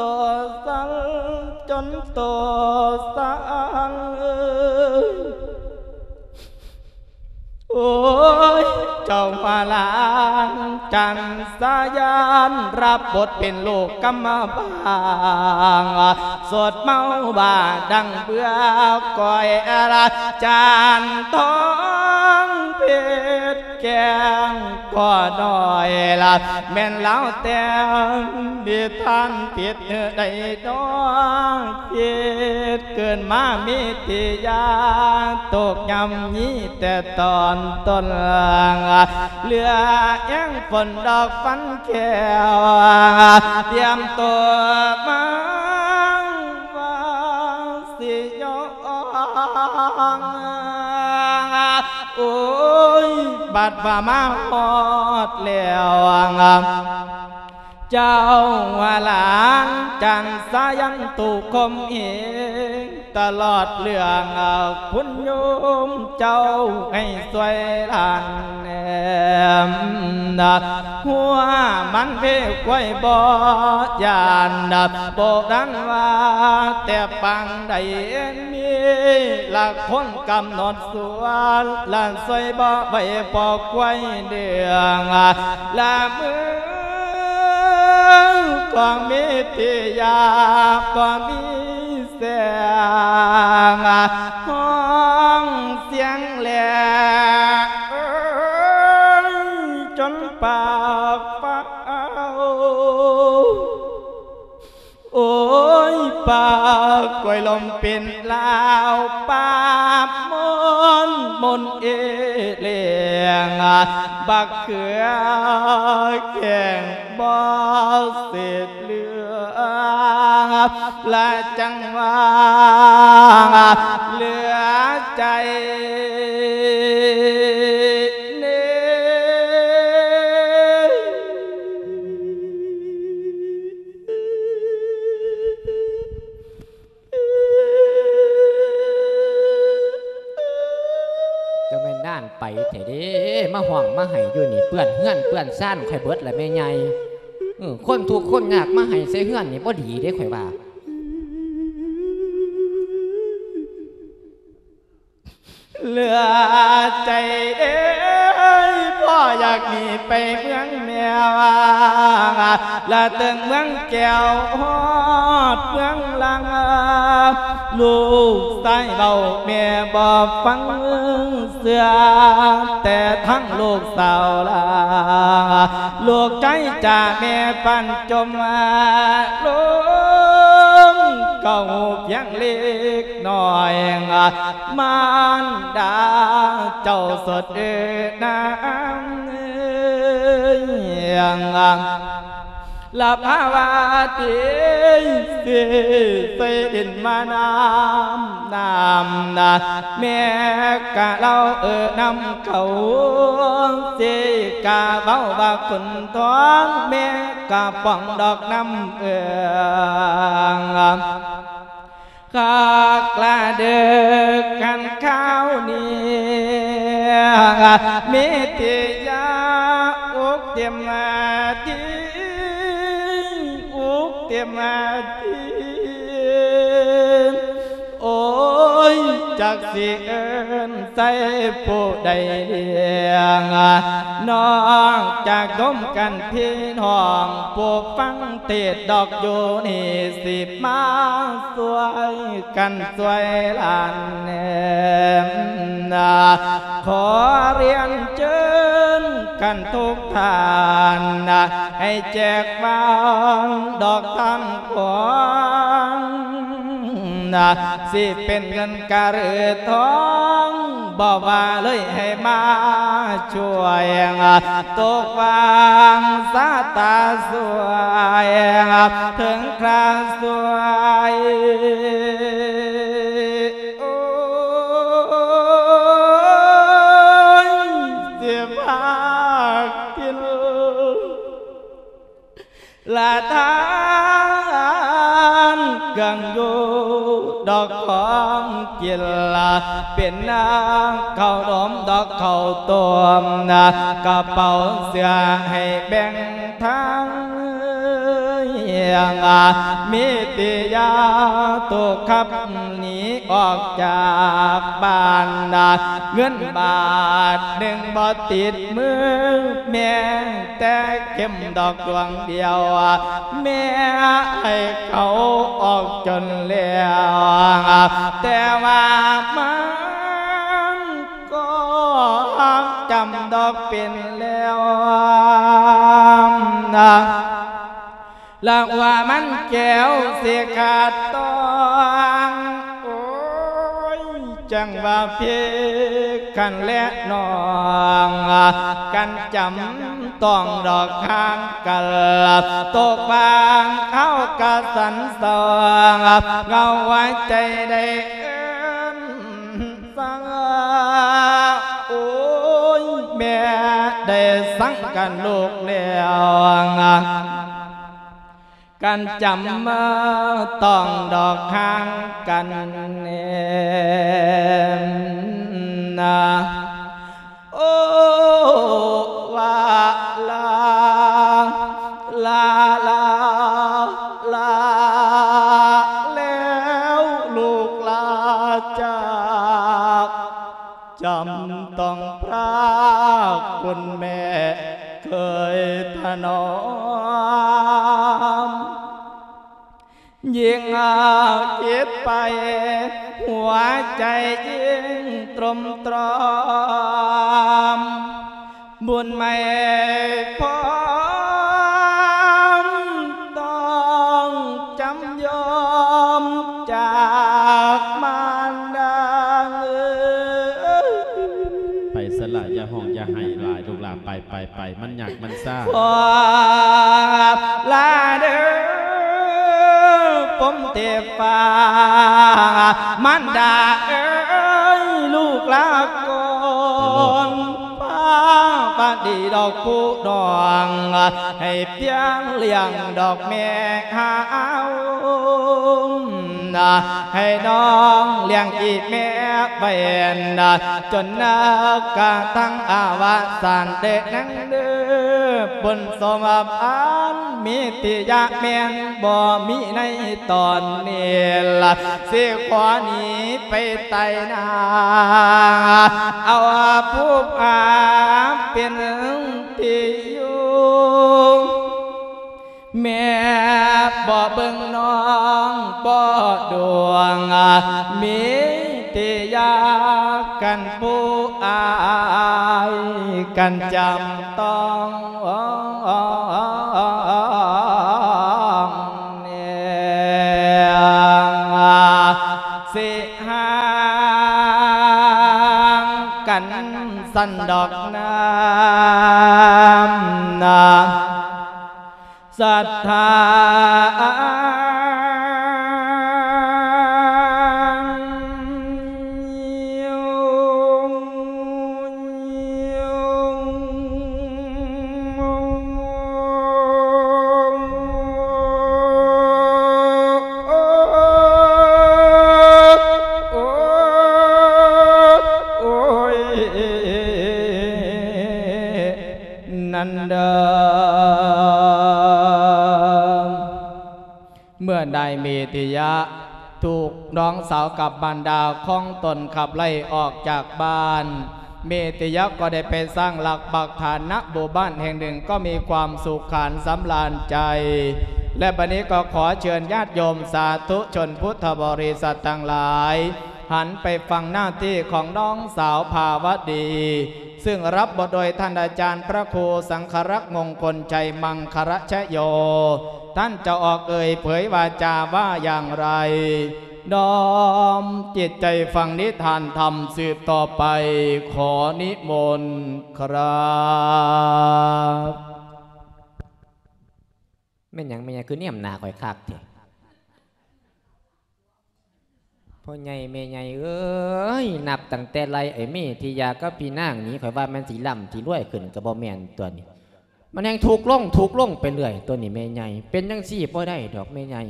ສັ່ນ ຈົນໂຕສັ່ນ ໂອ້ຍ ເຈົ້າວ່າຫຼານຈັນສາຍານ ຮັບບົດເປັນລູກກຳມະບາງ ສົດເມົາບ້າດັງເບືອກ້ອຍລະ ຈານທອງເພັດແກງກໍນ້ອຍລະ ແມ່ນລາວແຕ່ງນິທານຜິດໃດນໍ ເຮັດເກີດມາມີທີ່ຢາ ຕົກຍ່ຳມີແຕ່ຕອນຕົ້ນ ເຫຼືອແຮງຝົນດອກຟັນແກ້ວ ຕຽມໂຕມາວ່າຊິຍ້ອງ ໂອ້ຍ ບັດວ່າມາຮອດແລ້ວ ເຈົ້າວ່າຫຼານຈັນສາຍັນຕຸຄົມເອງ ຕະຫຼອດເລື່ອງຄຸນໂຍມເຈົ້າໃຫ້ຊ່ວຍຫຼານແນມ ຫົວມັນເພກວາຍບໍ່ຢ້ານ ໂບລານວ່າແຕ່ປາງໃດ ມີຫຼັກຄົນກຳນົດສ່ວນ ລະຊ່ວຍບໍ່ໄຫວພໍຄວາຍເດືອງ ລະມືກໍມີທີ່ຢາບໍ່ມີແສງ ຮ້ອງສຽງແຫຼະ ເອີຍ ຈົນປາກຟ້າວ ໂອ້ຍ ປາກກວຍລົມເປັນລາວ ປາບມົນມົນເອເລງ ບັກເຂືອແຂງບໍ່ເສດເຫຼືອ ລະຈັ່ງວ່າເຫຼືອໃຈ ຫ້ອງມາໃຫ້ຢູ່ນີ້ ເປື້ອນເຮືອນເປື້ອນຊານຂ້ອຍເບິດລະແມ່ໃຫຍ່. ເອີ ຄົນທຸກຄົນຍາກມາໃຫ້ໃສ່ເຮືອນນີ້ບໍ່ດີເດ້ ຂ້ອຍວ່າ. ເຫຼືອໃຈເອີຍ ພໍ່ຢາກໜີໄປເມືອງແມ່ວ່າ ລະເຖິງເມືອງແກ້ວຮອດເມືອງລັງ ລູກຊາຍເວົ້າແມ່ບໍ່ຟັງເຊື່ອ ແຕ່ທັງລູກສາວລາ ລູກຊາຍຈາແມ່ປັນຈົມລົງ ເກົ້າພຽງເລັກນ້ອຍ ມານດາເຈົ້າສົດເອີນາງເອີຍ ລະພາວາຕິ ຊິໃສ່ດິນມານ້ຳ ນ້ຳນະ ແມ່ກະເລົ່າເອີນຳເຂົາ ຊິກະເວົ້າວ່າຂຸນທອງ ແມ່ກະປ່ອງດອກນ້ຳເອີງ ຄັກລະເດີກັນຄາວນີ້ ເມດຕິຍາອົກເຕັມທີ່ ອຸກເຕັມທີ່ ໂອ້ຍ ຈັກຊິເອີ້ນໃສ່ຜູ້ໃດລ້ຽງ ນອກຈາກດົມກັນພີ່ນ້ອງ ຜູ້ຟັງເທດດອກຢູ່ນີ້ ຊິມາຊ່ວຍກັນຊ່ວຍຫຼານແນມ ຂໍລຽນເຊີນກັນທຸກທ່ານ ໃຫ້ແຈກວາງດອກທານຂອງ ນະ ຊິເປັນເງິນກະຫຼືທອງ ບໍ່ວ່າເລີຍໃຫ້ມາຊ່ວຍ ຕົກວາງຊາຕາຊ່ວຍ ເຖິງຄຣາຊ່ວຍ ໂອ້ຍ ຊິພາກິນ ລະທານເຄື່ອງຢູ່ດອກຂອງກິນ ເປັນນາເຂົ້າໜົມດອກເຂົ້າຕົ້ມ ກະເປົາເສື້ອໃຫ້ແບ່ງທາງ ມີຕິຍາໂຕຂັບໜີອອກຈາກບ້ານ ເງິນບາດໜຶ່ງບໍ່ຕິດມືແມ່ ແຕ່ເຂັມດອກດວງດຽວ ແມ່ໃຫ້ເຂົາອອກຈົນແລ້ວ ແຕ່ວ່າມັນກໍຮັກຈຳດອກເປັນແລ້ວນະ ລະວ່າມັນແກ້ວຊິຂາດຕ້ອງ ໂອ້ຍ ຈັ່ງວ່າເພກກັນແລະນ້ອງ ກັນຈຳຕ້ອງດອກຫ່າງກັນ ຕົກວາງເຮົາກະສັນສອງ ເງົາຫົວໃຈໄດ້ເອີ້ນສັ່ງ ໂອ້ຍ ແມ່ໄດ້ສັ່ງກັນລູກແລ້ວ ກັນຈຳຕ້ອງດອກຫ່າງກັນແນ່ນະ ໂອ້ ວ່າລາ ລາ ລາ ລາ ແລ້ວລູກລາຈາກ ຈຳຕ້ອງພຣາກຄຸນແມ່ເຄີຍຖະໜອມ ຍິ່ງຄິດໄປ ຫົວໃຈຍິ່ງຕົມຕຣອມ ບຸນໄໝ່ພ້ອມ ຕ້ອງຈຳຍອມຈາກມານດາເອີຍ ໄປຊະລະ ຢ່າຮ້ອງຢ່າໄຫ້ຫຼາຍ ລູກຫຼານ ໄປ ໄປ ໄປ ມັນຍາກມັນຊາ ຂໍລາເດີ ປົມເທບຟ້າ ມານດາເອີຍ ລູກລາກ່ອນ ພາບາດດີດອກຜູ້ນ້ອງ ໃຫ້ພຽງລ້ຽງດອກແມ່ຫາວ ໃຫ້ນ້ອງລ້ຽງອີ່ແມ່ໄວ້ ຈົນນາກະທັງອະວະສານເດນາງເດີ ບຸນສົມພານມີຕິຍະແມ່ນບໍ່ມີໃນຕອນນີ້ລະ ຊິຂໍໜີໄປໄຕໜ້າ ເອົາຜູ້ພາເປັນທີ່ຢູ່. ແມ່ບໍ່ເບິ່ງນ້ອງບໍ່ດວງ ມີແຕ່ຢາກກັນຜູ້ອາຍກັນຈຳຕ້ອງແນງ ຊິຫ່າງກັນຊັ້ນດອກນາ ນາ ສັດທາ ນັ້ນເດີ ເມື່ອນາຍເມຕິຍະຖືກນ້ອງສາວກັບມານດາຂອງຕົນຂັບໄລ່ອອກຈາກບ້ານ ເມຕິຍະກໍໄດ້ໄປສ້າງຫຼັກປັກຖານນະໝູ່ບ້ານແຫ່ງໜຶ່ງ ກໍມີຄວາມສຸກຂານສຳລານໃຈ ແລະ ບັດນີ້ກໍຂໍເຊີນຍາດໂຍມສາທຸຊົນພຸດທະບໍລິສັດທັງຫຼາຍ ຫັນໄປຟັງໜ້າທີ່ຂອງນ້ອງສາວພາວະດີ ຊຶ່ງຮັບບົດໂດຍທ່ານອາຈານພະຄູສັງຄະລັກ ມົງຄົນໄຊ ມັງຄະລະຊະໂຍ. ທ່ານເຈົ້າອອກເອີ່ຍເຜີຍວາຈາວ່າຢ່າງໃດ? ນ້ອມຈິດໃຈຟັງນິທານທຳສືບຕໍ່ໄປ. ຂໍນິມົນຄຣັບ. ແມ່ນຫຍັງແມ່ໃຫຍ່ຄືແນມໜ້າຂ້ອຍຄັກແທ້? ພໍ່ໃຫຍ່ແມ່ໃຫຍ່ເອີຍ ນັບຕັ້ງແຕ່ໄລ່ໄອ້ເມທິຍາກັບພີ່ນາງນີ້ ຂ້ອຍວ່າແມ່ນຊິລ່ຳຊິລວຍຂຶ້ນ ກໍບໍ່ແມ່ນຕົວນີ້ ມັນແຮ່ງທຸກລົງທຸກລົງໄປເລື້ອຍຕົວນີ້ແມ່ໃຫຍ່. ເປັນຈັ່ງຊີ້ບໍ່ໄດ້ດອກແມ່ໃຫຍ່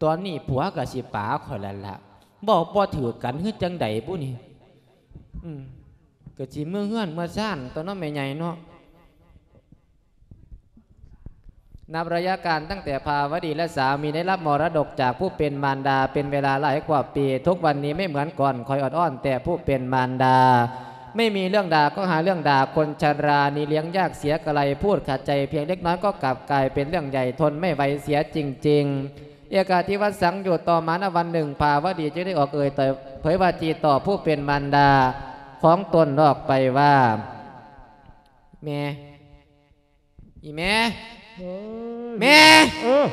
ຕອນນີ້ຜົວກໍຊິປາຂ້ອຍແລ້ວລະ ເວົ້າບໍ່ຖືກກັນຄືຈັ່ງໃດບຸນີ້. ອືມ ກໍຊິເມືອເຮືອນເມືອຊານຕົວເນາະແມ່ໃຫຍ່ເນາະ. นับระยะการตั้งแต่ภาวดีและสามีได้รับมรดกจากผู้เป็นมารดาเป็นเวลาหลายกว่าปี ทุกวันนี้ไม่เหมือนก่อน คอยอดอ้อนแต่ผู้เป็นมารดา ไม่มีเรื่องด่าก็หาเรื่องด่า คนชรานี้เลี้ยงยากเสียกะไร พูดขัดใจเพียงเล็กน้อยก็กลับกลายเป็นเรื่องใหญ่ ทนไม่ไหวเสียจริงๆ เอกาทิวัสสัง อยู่ต่อมา ณ วันหนึ่ง ภาวดีจึงได้ออกเอ่ยเผยว่าจีต่อผู้เป็นมารดาของตนออกไปว่า แม่ อีแม่ เออ แม่ เออ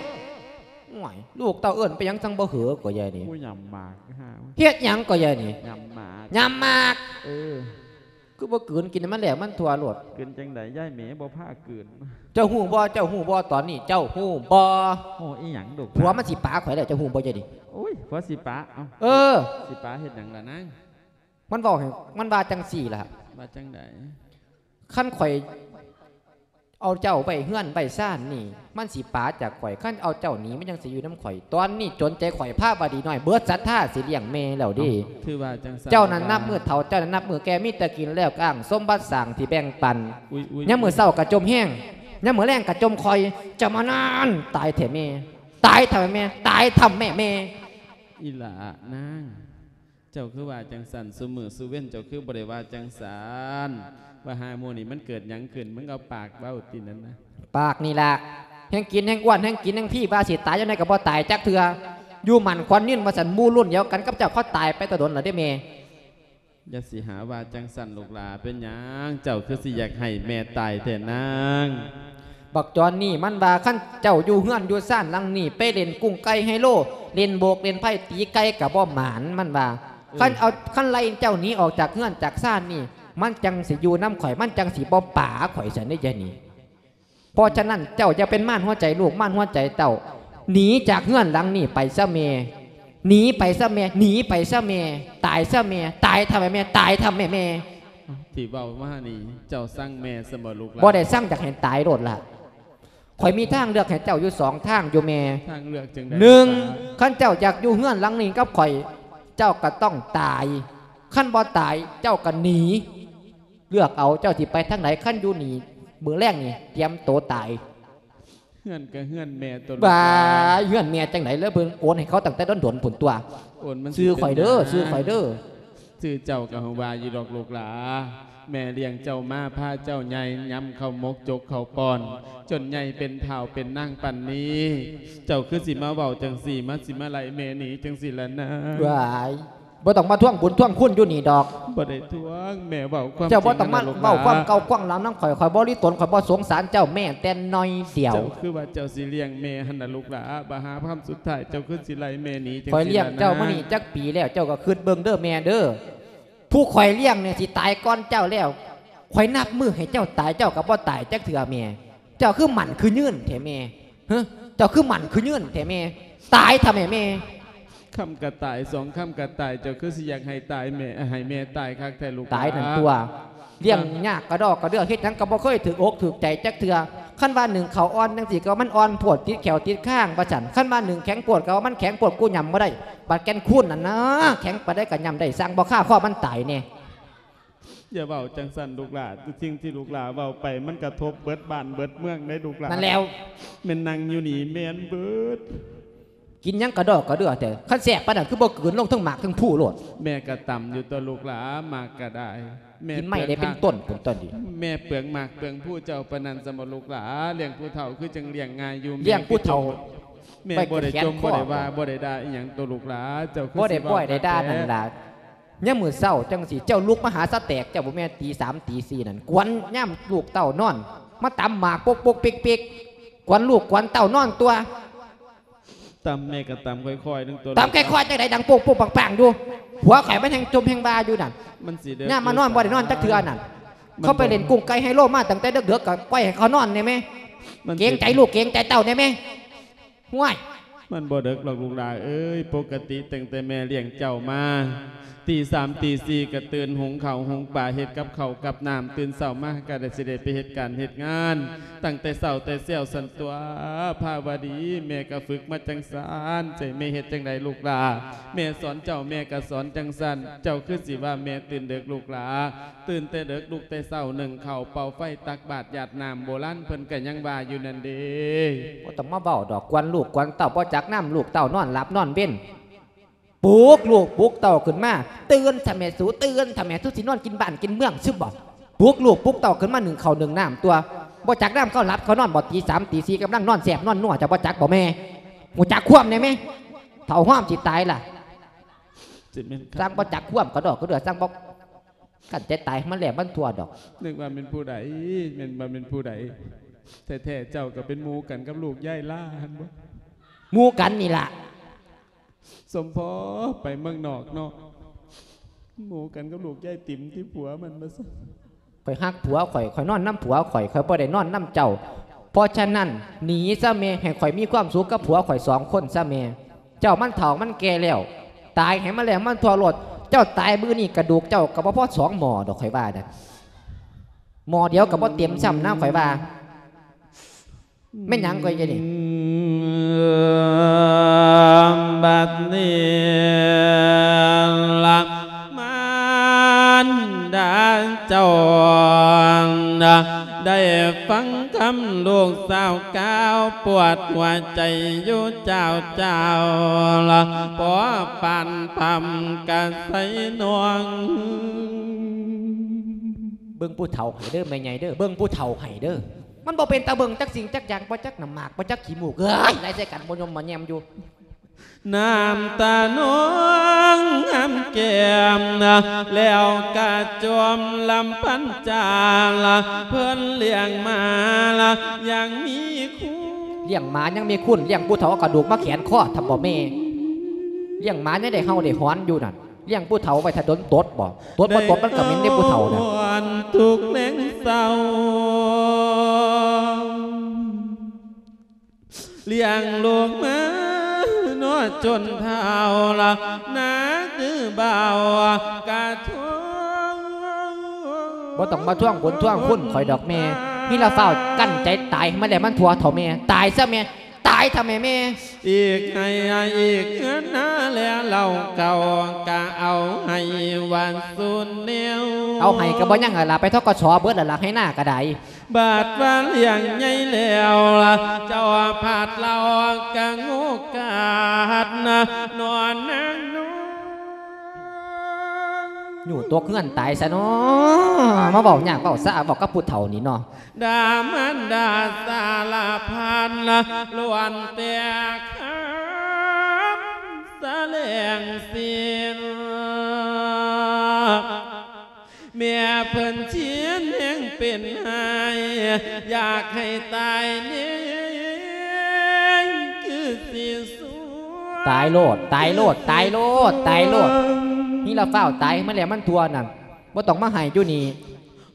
โอ๊ย ลูกเต้าเอิ้นไปหยังจั่งบ่หือก็ยายนี่ กูยำหมาก เฮ็ดหยังก็ยายนี่ ยำหมาก ยำหมาก เออ คือบ่กลืนกินให้มันแล้วมันทั่วโลด กลืนจั่งใด ยายแม่บ่พากลืน เจ้าฮู้บ่ เจ้าฮู้บ่ ตอนนี้เจ้าฮู้บ่ โอ้ อีหยังลูก ผัวมันสิปาข้อยแล้ว เจ้าฮู้บ่ยายนี่ โอ๊ย ผัวสิปา เอ้า เออ สิปาเฮ็ดหยังล่ะนาง มันเว้าให้ มันว่าจั่งซี้ล่ะ ว่าจั่งใด คันข้อยเอาเจ้าไว้เฮือนไว้ซานนี่ มันสิปาจากข้อย คันเอาเจ้าหนี มันจั่งสิอยู่นำข้อย ตอนนี้จนใจข้อย ภาวดีน้อย เบิดศรัทธาสิเลี้ยงแม่แล้วเด้ เอ้า คือว่าจั่งซั้น เจ้านั้นนับมื้อเฒ่า เจ้านั้นนับมื้อแก่ มีแต่กินแล้วก็อ้าง สมบัติสร้างที่แบ่งปัน อุ๊ยๆๆ ยามมื้อเช้าก็จ่มแฮง ยามมื้อแลงก็จ่มข่อย เจ้ามานาน ตายแท้แม่ ตายแท้แม่ ตายแท้แม่ แม่ อีหล่านาง เจ้าคือว่าจั่งซั้น ซุมื้อซุเว็นเจ้าคือบ่ได้ว่าจั่งซั้น ว่าหามื้อนี้มันเกิดหยังขึ้น มึงเอาปากเว้าตินั่นนะ ปากนี่ล่ะ แฮ่งกินแฮ่งอ้วน แฮ่งกินแฮ่งพี ว่าสิตายยามใดก็บ่ตายจักเทื่อ อยู่หมั้นขวัญยืนว่าซั่น หมู่รุ่นเดียวกันกับเจ้าเขาตายไปแต่ดนแล้วเด้แม่ อย่าสิหาว่าจั่งซั้นลูกหล่า เป็นหยังเจ้าคือสิอยากให้แม่ตายแท้นาง บักจอนนี่มันว่าคันเจ้าอยู่เฮือนอยู่ซานหลังนี้ ไปเล่นกุ้งไก่ไฮโล เล่นโบกเล่นไพ่ตีไก่ก็บ่หมาน มันว่า เออ คันเอา คันไล่เจ้าหนีออกจากเฮือนจากซานนี่ มันจั่งสิอยู่นำข้อย มันจั่งสิบ่ปาข้อยซั้นเด้ยายนี่ เพราะฉะนั้นเจ้าอย่าเป็นมารหัวใจลูก มารหัวใจเต้า หนีจากเฮือนหลังนี้ไปซะแม่ หนีไปซะแม่ หนีไปซะแม่ ตายซะแม่ ตายแท้แม่ ตายแท้แม่ ที่เว้ามานี่ เจ้าซังแม่ซั่นบ่ลูกหล่า บ่ได้ซัง อยากให้ตายโลดล่ะ ຂ້ອຍມີທາງເລືອກໃຫ້ເຈົ້າຢູ່ສອງທາງຢູ່ແມ່. ທາງເລືອກຈັ່ງໃດ? ໜຶ່ງ ລູກຫຼານ ຄັນເຈົ້າຢາກຢູ່ເຮືອນຫຼັງນີ້ກັບຂ້ອຍ ເຈົ້າກໍຕ້ອງຕາຍ. ຄັນບໍ່ຕາຍ ເຈົ້າກໍໜີ. ເລືອກເອົາ ເຈົ້າຊິໄປທາງໃດ? ຄັນຢູ່ນີ້ ມື້ແລງນີ້ ຕຽມໂຕຕາຍ. ເຮືອນກໍເຮືອນແມ່ຕົວະລູກຫຼານ. ວ້າຍ ເຮືອນແມ່ຈັ່ງໃດ? ແລ້ວເພິ່ນໂອນໃຫ້ເຂົາຕັ້ງແຕ່ດົນໆພຸ້ນຕົວະ. ໂອນມັນ ຊື່ຂ້ອຍເດີ ຊື່ຂ້ອຍເດີ. ຊື່ເຈົ້າກໍຮູ້ວ່າຢູ່ດອກລູກຫຼານ. ແມ່ລ້ຽງເຈົ້າມາ ພາເຈົ້າໃຫຍ່ ຍຳເຂົ້າໝົກ ຈົກເຂົ້າປ້ອນ ຈົນໃຫຍ່ເປັນທ້າວເປັນນາງປານນີ້ ເຈົ້າຄືຊິມາເວົ້າຈັ່ງຊີ້ ມາ ຊິມາໄລ່ແມ່ໜີຈັ່ງຊີ້ລະນາງ? ວ້າຍ ບໍ່ຕ້ອງມາທວງບຸນທວງຄຸນຢູ່ນີ້ດອກ. ບໍ່ໄດ້ທວງ ແມ່ເວົ້າຄວາມຈິງ. ເຈົ້າບໍ່ຕ້ອງມາເວົ້າຄວາມເກົ່າຄວາມຫຼັງນຳຂ້ອຍ. ຂ້ອຍບໍ່ລິຕົນ ຂ້ອຍບໍ່ສົງສານເຈົ້າແມ້ແຕ່ໜ້ອຍດຽວ. ເຈົ້າຄືວ່າເຈົ້າຊິລ້ຽງແມ່ຫັ້ນນະລູກຫຼານ. ບາຫາຄຳສຸດທ້າຍ ເຈົ້າຄືຊິໄລ່ແມ່ໜີຈັ່ງຊີ້ລະນາງ? ຂ້ອຍລ້ຽງເຈົ້າມານີ້ຈັກປີແລ້ວ ເຈົ້າກໍຄິດເບິ່ງເດີແມ່ເດີ. ຜູ້ຂ້ອຍລ້ຽງນີ້ຊິຕາຍກ່ອນເຈົ້າແລ້ວ. ຂ້ອຍນັບມື້ໃຫ້ເຈົ້າຕາຍ ເຈົ້າກໍບໍ່ຕາຍຈັກເທື່ອແມ່. ເຈົ້າຄືໝັ້ນຄືຍືນແທ້ແມ່? ຮະ ເຈົ້າຄືໝັ້ນຄືຍືນແທ້ແມ່? ຕາຍເຖາະແມ່ແມ່. ຄຳກໍຕາຍ ສອງຄຳກໍຕາຍ ເຈົ້າຄືຊິຢາກໃຫ້ຕາຍແມ່ ໃຫ້ແມ່ຕາຍຄັກແທ້ລູກຫຼານ? ຕາຍນັ້ນຕົວະ. ລ້ຽງຍາກກະດອກກະເດືອ ເຮັດຫຍັງກໍບໍ່ເຄີຍຖືກອົກຖືກໃຈຈັກເທື່ອ. ຄັນວ່າໜຶ້ງເຂົ້າອ່ອນຈັ່ງຊີ້ ກໍວ່າມັນອ່ອນໂພດ ຕິດແຂ້ວຕິດຄາງວ່າຊັ້ນ. ຄັນວ່າໜຶ້ງແຂງໂພດ ກໍວ່າມັນແຂງໂພດ ກູຫຍ້ຳບໍ່ໄດ້. ບັດແກ່ນຄູນນັ້ນນະ ແຂງປານໃດກໍຫຍ້ຳໄດ້ ຊ່າງບໍ່ຄາຄໍມັນຕາຍແດ່. ຢ່າເວົ້າຈັ່ງຊັ້ນລູກຫຼານ. ສິ່ງທີ່ລູກຫຼານເວົ້າໄປ ມັນກະທົບເບິດບ້ານເບິດເມືອງເດ້ລູກຫຼານ. ນັ້ນແລ້ວ ແມ່ນນັ່ງຢູ່ນີ້ແມ່ນເບິດ. ກິນຫຍັງກະດອກກະເດືອແທ້? ຄັນແຊບປານນັ້ນ ຄືບໍ່ກືນລົງເທິງໝາກເທິງພູໂລດ? ແມ່ກະຕຳຢູ່ຕົວະລູກຫຼານ ໝາກກະໄດ້. ແມ່ ກິນໄມ້ໄດ້ເປັນຕົ້ນພຸ້ນຕົວະນີ້. ແມ່ເປືອງໝາກເປືອງພູເຈົ້າປານນັ້ນຊັ້ນບໍ່ລູກຫຼານ? ລ້ຽງຜູ້ເຖົ້າຄືຈັ່ງລ້ຽງງ່າຍຢູ່. ລ້ຽງຜູ້ເຖົ້າ ແມ່ບໍ່ໄດ້ຈົ່ມ ບໍ່ໄດ້ວ່າ ບໍ່ໄດ້ດ່າອີ່ຫຍັງຕົວະລູກຫຼານ. ເຈົ້າຄື ບໍ່ໄດ້ ຊິເວົ້າ ບໍ່ໄດ້ດ່ານັ້ນລະ. ຍາມມື້ເຊົ້າຈັ່ງຊີ້ ເຈົ້າລຸກມາຫາສະແຕກ ເຈົ້າບໍ່ແມ່ນຕີສາມຕີສີ່ນັ້ນ ກວນຍາມລູກເຕົ້ານອນ ມາຕຳໝາກປົກໆເປັກໆ ກວນລູກກວນເຕົ້ານອນຕົວະ. ຕຳແມ່ກໍຕຳຄ່ອຍໆໜຶ່ງຕົວະ. ຕຳຄ່ອຍໆຈັ່ງໃດ ດັງໂປ້ງໆປັງໆຢູ່. ຜົວຂ້ອຍມັນແຮ່ງຈົ່ມແຮ່ງວ່າຢູ່ນັ້ນ. ມັນຊິເດິກ ຍາມມານອນບໍ່ໄດ້ນອນຈັກເທື່ອນັ້ນ. ມັນ ເຂົາໄປຫຼິ້ນກຸ້ງໄກ່ໄຮໂລມາຕັ້ງແຕ່ເດິກໆ ກໍປ່ອຍໃຫ້ເຂົານອນແດ່ແມ່. ມັນ ເກງໃຈລູກເກງໃຈເຕົ້າແດ່ແມ່. ຫ້ວຍ ມັນບໍ່ເດິກດອກລູກຫຼາເອີຍ. ປົກກະຕິຕັ້ງແຕ່ແມ່ລ້ຽງເຈົ້າມາ ຕີສາມຕີສີ່ກໍຕື່ນ ຫຸງເຂົ້າຫຸງປາ ເຮັດກັບເຂົ້າກັບນ້ຳ. ຕື່ນເຊົ້າມາກໍໄດ້ ຊິໄດ້ໄປເຮັດການເຮັດງານ ຕັ້ງແຕ່ເຊົ້າແຕ່ແຊວຊັ້ນຕົວະພາວະດີ. ແມ່ກໍຝຶກມາຈັ່ງຊັ້ນ ໃຫ້ແມ່ເຮັດຈັ່ງໃດລູກຫຼາ? ແມ່ສອນເຈົ້າ ແມ່ກໍສອນຈັ່ງຊັ້ນ. ເຈົ້າຄືຊິວ່າແມ່ຕື່ນເດິກລູກຫຼາ? ຕື່ນແຕ່ເດິກ ລຸກແຕ່ເຊົ້າ ໜຶ້ງເຂົ້າ ເປົ່າໄຟ ຕັກບາດ ຢາດນ້ຳ. ໂບລານເພິ່ນກໍຍັງວ່າຢູ່ນັ້ນເດ້. ບໍ່ຕ້ອງມາເວົ້າດອກ ກວນລູກກວນເຕົ້າ ບໍ່ຈັກນຳລູກເຕົ້ານອນຫຼັບນອນເວັນ. ປຸກລູກປຸກເຕົ້າຂຶ້ນມາ ຕື່ນຊະແມ່ສູ ຕື່ນຊະແມ່ສູ ຊິນອນກິນບ້ານກິນເມືອງຊຶບໍ່? ປຸກລູກປຸກເຕົ້າຂຶ້ນມາ ໜຶ້ງເຂົ້າໜຶ້ງນ້ຳຕົວະ. ບໍ່ຈັກນຳເຂົາຫຼັບເຂົານອນບໍ່? ຕີສາມຕີສີ່ກຳລັງນອນແຊບນອນນົວ ເຈົ້າບໍ່ຈັກບໍ່ແມ່? ຮູ້ຈັກຄວາມແດ່ແມ່? ເຖົ້າຮອມຊິຕາຍລະ. ຊິແມ່ນ ຊ່າງບໍ່ຈັກຄວາມກະດອກກະເດືອ ຊ່າງບໍ່ ຄັນແຕ່ຕາຍມັນແຫຼມມັນທົ່ວດອກ. ນຶກວ່າແມ່ນຜູ້ໃດ ແມ່ນວ່າແມ່ນຜູ້ໃດ? ແທ້ໆເຈົ້າກໍເປັນໝູ່ກັນກັບລູກຍາຍຫຼ້າຫັ້ນບໍ່? ໝູ່ກັນນີ້ລະ. ສົມພໍໄປເມືອງນອກເນາະ ໝູ່ກັນກັບລູກຍາຍຕິມທີ່ຜົວມັນວ່າຊັ້ນ. ຂ້ອຍຮັກຜົວຂ້ອຍ ຂ້ອຍນອນນຳຜົວຂ້ອຍ ຂ້ອຍບໍ່ໄດ້ນອນນຳເຈົ້າ. ເພາະສະນັ້ນ ໜີຊະແມ່ ໃຫ້ຂ້ອຍມີຄວາມສຸກກັບຜົວຂ້ອຍສອງຄົນຊະແມ່. ເຈົ້າມັນເຖົ້າມັນແກ່ແລ້ວ ຕາຍໃຫ້ມັນແລ້ວມັນທົ່ວໂລດ. ເຈົ້າຕາຍມື້ນີ້ກະດູກເຈົ້າກໍບໍ່ພໍສອງໝໍ້ດອກ ຂ້ອຍວ່ານະ. ໝໍ້ດຽວກໍບໍ່ເຕັມຊ້ຳນະ ຂ້ອຍວ່າ. ແມ່ນຫຍັງກໍຢູ່ນີ້? ບັດນີ້ລະ ມານດາເຈົ້າ ໄດ້ຟັງຄຳລູກສາວກ່າວ ປວດຫົວໃຈຢູ່ເຈົ້າເຈົ້າ ພໍປານພຳກະໄຊນວງ. ເບິ່ງຜູ້ເຖົ້າໃຫ້ເດີແມ່ໃຫຍ່ເດີ ເບິ່ງຜູ້ເຖົ້າໃຫ້ເດີ. ມັນບໍ່ເປັນຕາເບິ່ງຈັກສິ່ງຈັກຢ່າງ ບໍ່ຈັກນ້ຳໝາກ ບໍ່ຈັກຂີ້ມູກ ເອີຍ ໄລ່ໃສ່ກັນບໍ່ຍົມບໍ່ແຍມຢູ່. ນ້ຳຕານອງງາມແກ້ມ ແລ້ວກະຈວມລຳພັນຈາ ເພິ່ນລ້ຽງມາ ຍັງມີຄຸນ. ລ້ຽງໝາຍັງມີຄຸນ ລ້ຽງຜູ້ເຖົ້າເອົາກະດູກມາແຂນຄໍທຳບໍ່ແມ່? ລ້ຽງໝາຍັງໄດ້ເຫົ່າໄດ້ຫອນຢູ່ນັ້ນ. ລ້ຽງຜູ້ເຖົ້າໄວ້ຖ້າດົນຕົດບໍ່? ຕົດບໍ່ຕົດມັນກໍເໝັນເດ້ຜູ້ເຖົ້ານະ. ທຸກແລງເຊົ້າ ລ້ຽງລູກມາເນາະຈົນເຖົ້າລະ ໜ້າຄືບ່າວກະທົງ. ບໍ່ຕ້ອງມາທວງບຸນທວງຄຸນຂ້ອຍດອກແມ່. ມີລະຟ້າວກັ້ນໃຈຕາຍ ມັນແລ້ວມັນທົ່ວເຖົ້າແມ່ ຕາຍຊະແມ່ ຕາຍຊະແມ່ ແມ່. ອີກໃຫ້ ອີກເຮືອນນາແລເຫຼົ່າເກົ່າ ກະເອົາໃຫ້ວັດສຸດແນວ ເອົາໃຫ້ກະບໍ່ຍັງລະລະ ໄປ ທກສ ເບິດລະລະ ໄຮ່ນາກະໄດ້. ບາດວ່າລ້ຽງໃຫຍ່ແລ້ວລະ ເຈົ້າພາດເລົ່າກະໂງກາດນະ ນອນນາງນອນ ຢູ່ຕົກເຮືອນຕາຍຊະເນາະ ມາເວົ້າຍາກເວົ້າຊາ ເວົ້າກັບຜູ້ເຖົ້ານີ້ເນາະ. ດາມັນດາສາລະພັນ ລ້ວນແຕ່ຄຳສະແຫຼງສິນ ແມ່ເພິ່ນຊິນແຮງເປັນໄຫ້ ຢາກໃຫ້ຕາຍແນ່ ຄືຊິສວຍ ຕາຍໂລດ ຕາຍໂລດ ຕາຍໂລດ ຕາຍໂລດ ມີລະຟ້າວຕາຍ ມັນແລ້ວມັນທົ່ວນັ້ນ ບໍ່ຕ້ອງມາໃຫ້ຢູ່ນີ້.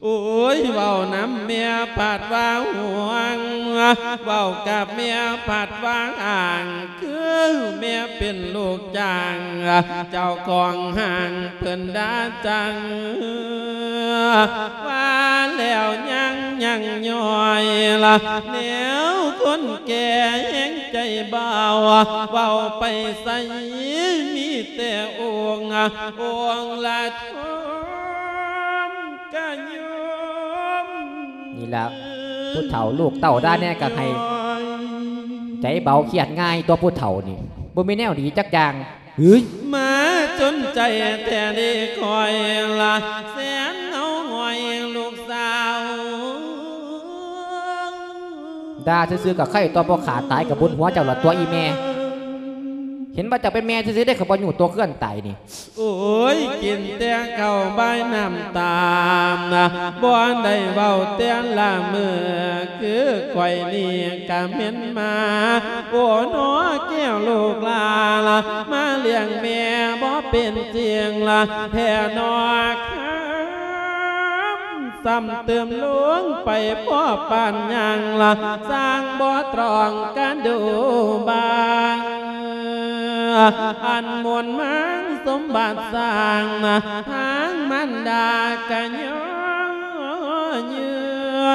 ໂອ້ຍ ເວົ້ານຳແມ່ພັດວ່າຫ່ວງ ເວົ້າກັບແມ່ພັດວ່າຫ່າງ ຄືແມ່ເປັນລູກຈ້າງ ເຈົ້າຂອງຫ້າງເພິ່ນດ່າຈັງ ວ່າແລ້ວຍັງຍັງຍ້ອຍລະ ແນວຄົນແກ່ແຮງໃຈເບົາ ເວົ້າໄປໃສມີແຕ່ອົງ ອົງລະ ນີ້ລະ ຜູ້ເຖົ້າລູກເຕົ້າດ່າແດ່ກະໃຫ້ໃຈເບົາຄຽດງ່າຍຕົວະ ຜູ້ເຖົ້ານີ້ບໍ່ມີແນວດີຈັກຢ່າງ. ເຮີ້ຍ ມາຈົນໃຈແທ້ເດຂ້ອຍລະ ແສນເອົາຫອຍລູກສາວ ດ່າຊື່ໆກະໄຄຕົວະ ບໍ່ຂ້າຕາຍກະບຸນຫົວເຈົ້າລະຕົວະອີ່ແມ່. ເຫັນວ່າເຈົ້າເປັນແມ່ຊື່ໆເດ້ ຂ້ອຍບໍ່ຢູ່ຕົກເຮືອນຕາຍນີ້. ໂອ້ຍ ກິນແຕ່ເຂົ້າບາຍນ້ຳຕານະ ບໍ່ໄດ້ເວົ້າແຕ່ລະມື້ ຄືຂ້ອຍນີ້ກະແມ່ນໝາ ໂອ້ໜໍແກ້ວລູກຫຼານລະ ມາລ້ຽງແມ່ບໍ່ເປັນຈິງລະ ແທ້ໜໍ ຄຳຊ້ຳຕື່ມລົງໄປພໍປານຫຍັງລະ ຊ່າງບໍ່ຕຣອງກະດູບາງ ອັນໝູນມັນສົມບັດສ້າງນະ ທາງມານດາກະຍໍຍື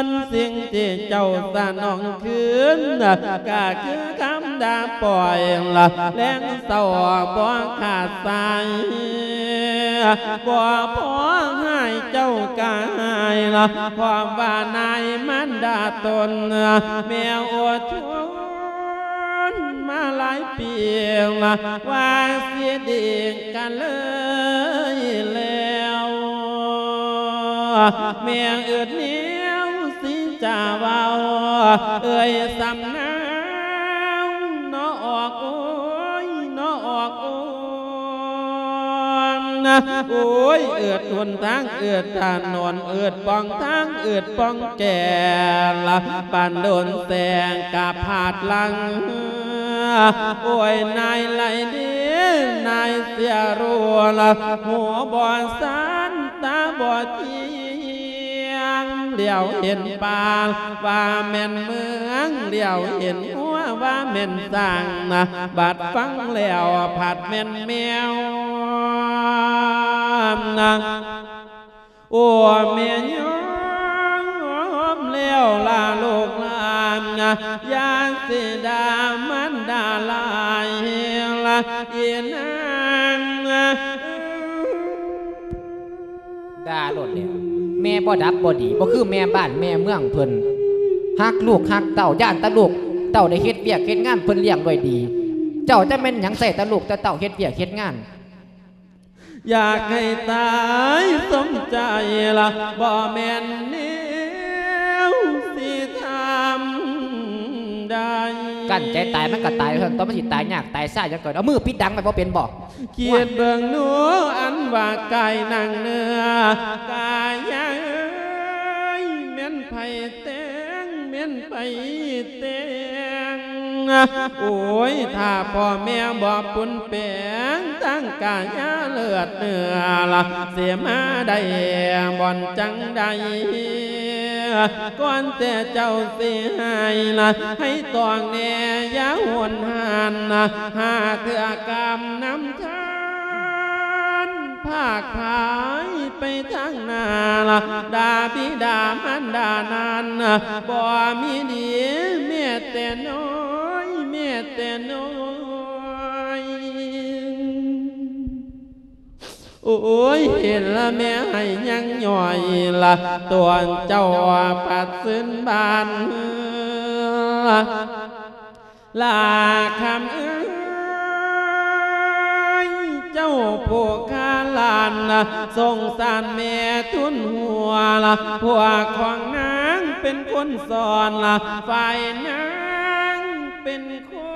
ນ ສິ່ງທີ່ເຈົ້າສະໜອງຄືນນະ ກະຄືຄຳດ່າປ້ອຍລະ ແລງເສົ້າບໍ່ຂາດສາຍ ບໍ່ພໍໃຫ້ເຈົ້າກາຍລະ ເພາະວ່ານາຍມານດາຕົນ ແມ່ອົດທົນ ມາຫຼາຍປີ ວ່າຊິດີກັນເລີຍແລ້ວ ແມ່ອຶດແນວຊິຈະເວົ້າ ເອີຍສຳນາວ ເນາະອອກໂອຍ ເນາະອອກໂອຍ ໂອຍ ອຶດຫົນທາງ ອຶດຖະໜົນ ອຶດປ່ອງທາງ ອຶດປ່ອງແກ່ລະ ປານໂດນແສງກະພາດຫຼັງ ໂອຍ ນາຍໄຫຼເດ ນາຍເສຍຮູ້ລະ ຫູບໍ່ສັນ ຕາບໍ່ຈຽງ ຫຼຽວເຫັນປ່າ ວ່າແມ່ນເມືອງ ຫຼຽວເຫັນງົວ ວ່າແມ່ນຊ້າງນະ ບັດຟັງແລ້ວພັດແມ່ນແມວນະ ໂອ ແມ່ຍອມແລ້ວລະລູກຫຼານນະ ຢ່າຊິດ່າມານດາຫຼາຍລະອີນາງນະ. ດ່າໂລດແຫຼະ ແມ່ບໍ່ດັບບໍ່ດີ ບໍ່ຄືແມ່ບ້ານແມ່ເມືອງເພິ່ນ ຮັກລູກຮັກເຕົ້າ ຢ້ານແຕ່ລູກເຕົ້າໄດ້ເຮັດວຽກເຮັດງານ ເພິ່ນລ້ຽງດ້ວຍດີ ເຈົ້າຈະແມ່ນຫຍັງ ໃຊ້ແຕ່ລູກແຕ່ເຕົ້າເຮັດວຽກເຮັດງານ. ຢາກໃຫ້ຕາຍສົມໃຈລະ ບໍ່ແມ່ນແນວຊິທຳໄດ້ ກັ້ນໃຈຕາຍມັນກະຕາຍເທົ່ານັ້ນຕົວະ ມັນຊິຕາຍຍາກຕາຍຊາຫຍັງກະ ເອົາມືປິດດັງໄວ້ບໍ່ເປັນບໍ່? ຄິດເບິ່ງດູອັນວ່າກາຍໜັງເນື້ອ ກາຍເອີຍ ແມ່ນໃຜແຕ່ງ ແມ່ນໃຜແຕ່ງ ໂອຍ ຖ້າພໍ່ແມ່ບໍ່ປຸນແປງ ທັງກາຍາເລືອດເນື້ອລະ ຊິມາໄດ້ບ່ອນຈັ່ງໃດ ກ່ອນແຕ່ເຈົ້າຊິໃຫ້ລະ ໃຫ້ຕ້ອງແນ່ຢ່າຫົນຫັນນະ ຫາເທື່ອກຳນຳທານ ພາກພາຍໄປທາງໜ້າລະ ດາບິດາມານດານັ້ນ ບໍ່ມີດີແມ້ແຕ່ນ້ອຍ ແມ້ແຕ່ນ້ອຍ. ໂອ້ຍ ເຫັນລະແມ່ໃຫ້ຍັງຍ່ອຍລະ ຕົວເຈົ້າປັດຊືນບານ ລາຄຳເອີຍ ເຈົ້າຜູ້ຂ້າຫຼານ ສົງສານແມ່ທູນຫົວລະ ພວກຂອງນາງເປັນຄົນສອນລະ ຝ່າຍນາງເປັນຄົ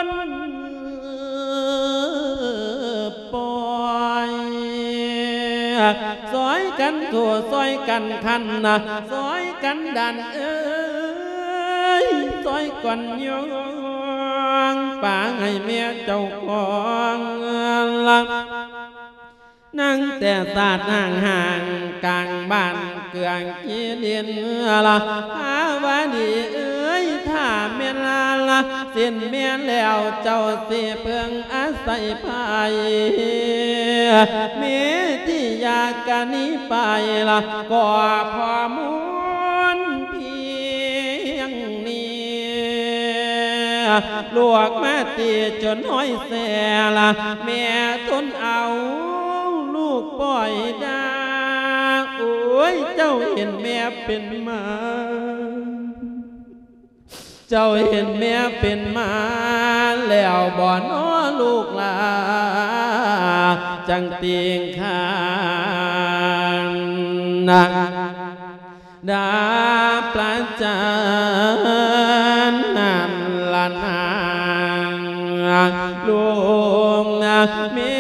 ນປ່ອຍ ຊ່ອຍກັນໂທ ຊ່ອຍກັນຂັນນະ ຊ່ອຍກັນດັນເອີຍ ຊ່ອຍກັນຍ້ອງ ປາໃຫ້ແມ່ເຈົ້າຂອງລະ ນັ່ງແຕ່ສາດຫ້າງໆ ກາງບ້ານເກືອງກີດິນລະ ພາວະດີເອີຍ ຖ້າແມ່ນລະ ສິ້ນແມ່ແລ້ວ ເຈົ້າຊິເພິ່ງອາໄສໃຜ ເມທິຍາກະໜີໄປລະ ກໍພໍມູນພຽງນີ້ ລູກມາຕີຈົນຫ້ອຍແສລະ ແມ່ທົນເອົາລູກປ່ອຍດາ ໂອ້ຍ ເຈົ້າເຫັນແມ່ເປັນໝາ ເຈົ້າເຫັນແມ່ເປັນໝາແລ້ວບໍ່ນໍລູກຫຼາ ຈັ່ງຕິງຄານນະ ດາປະຈັນນັ້ນລະນາງ ລູກນະແມ່.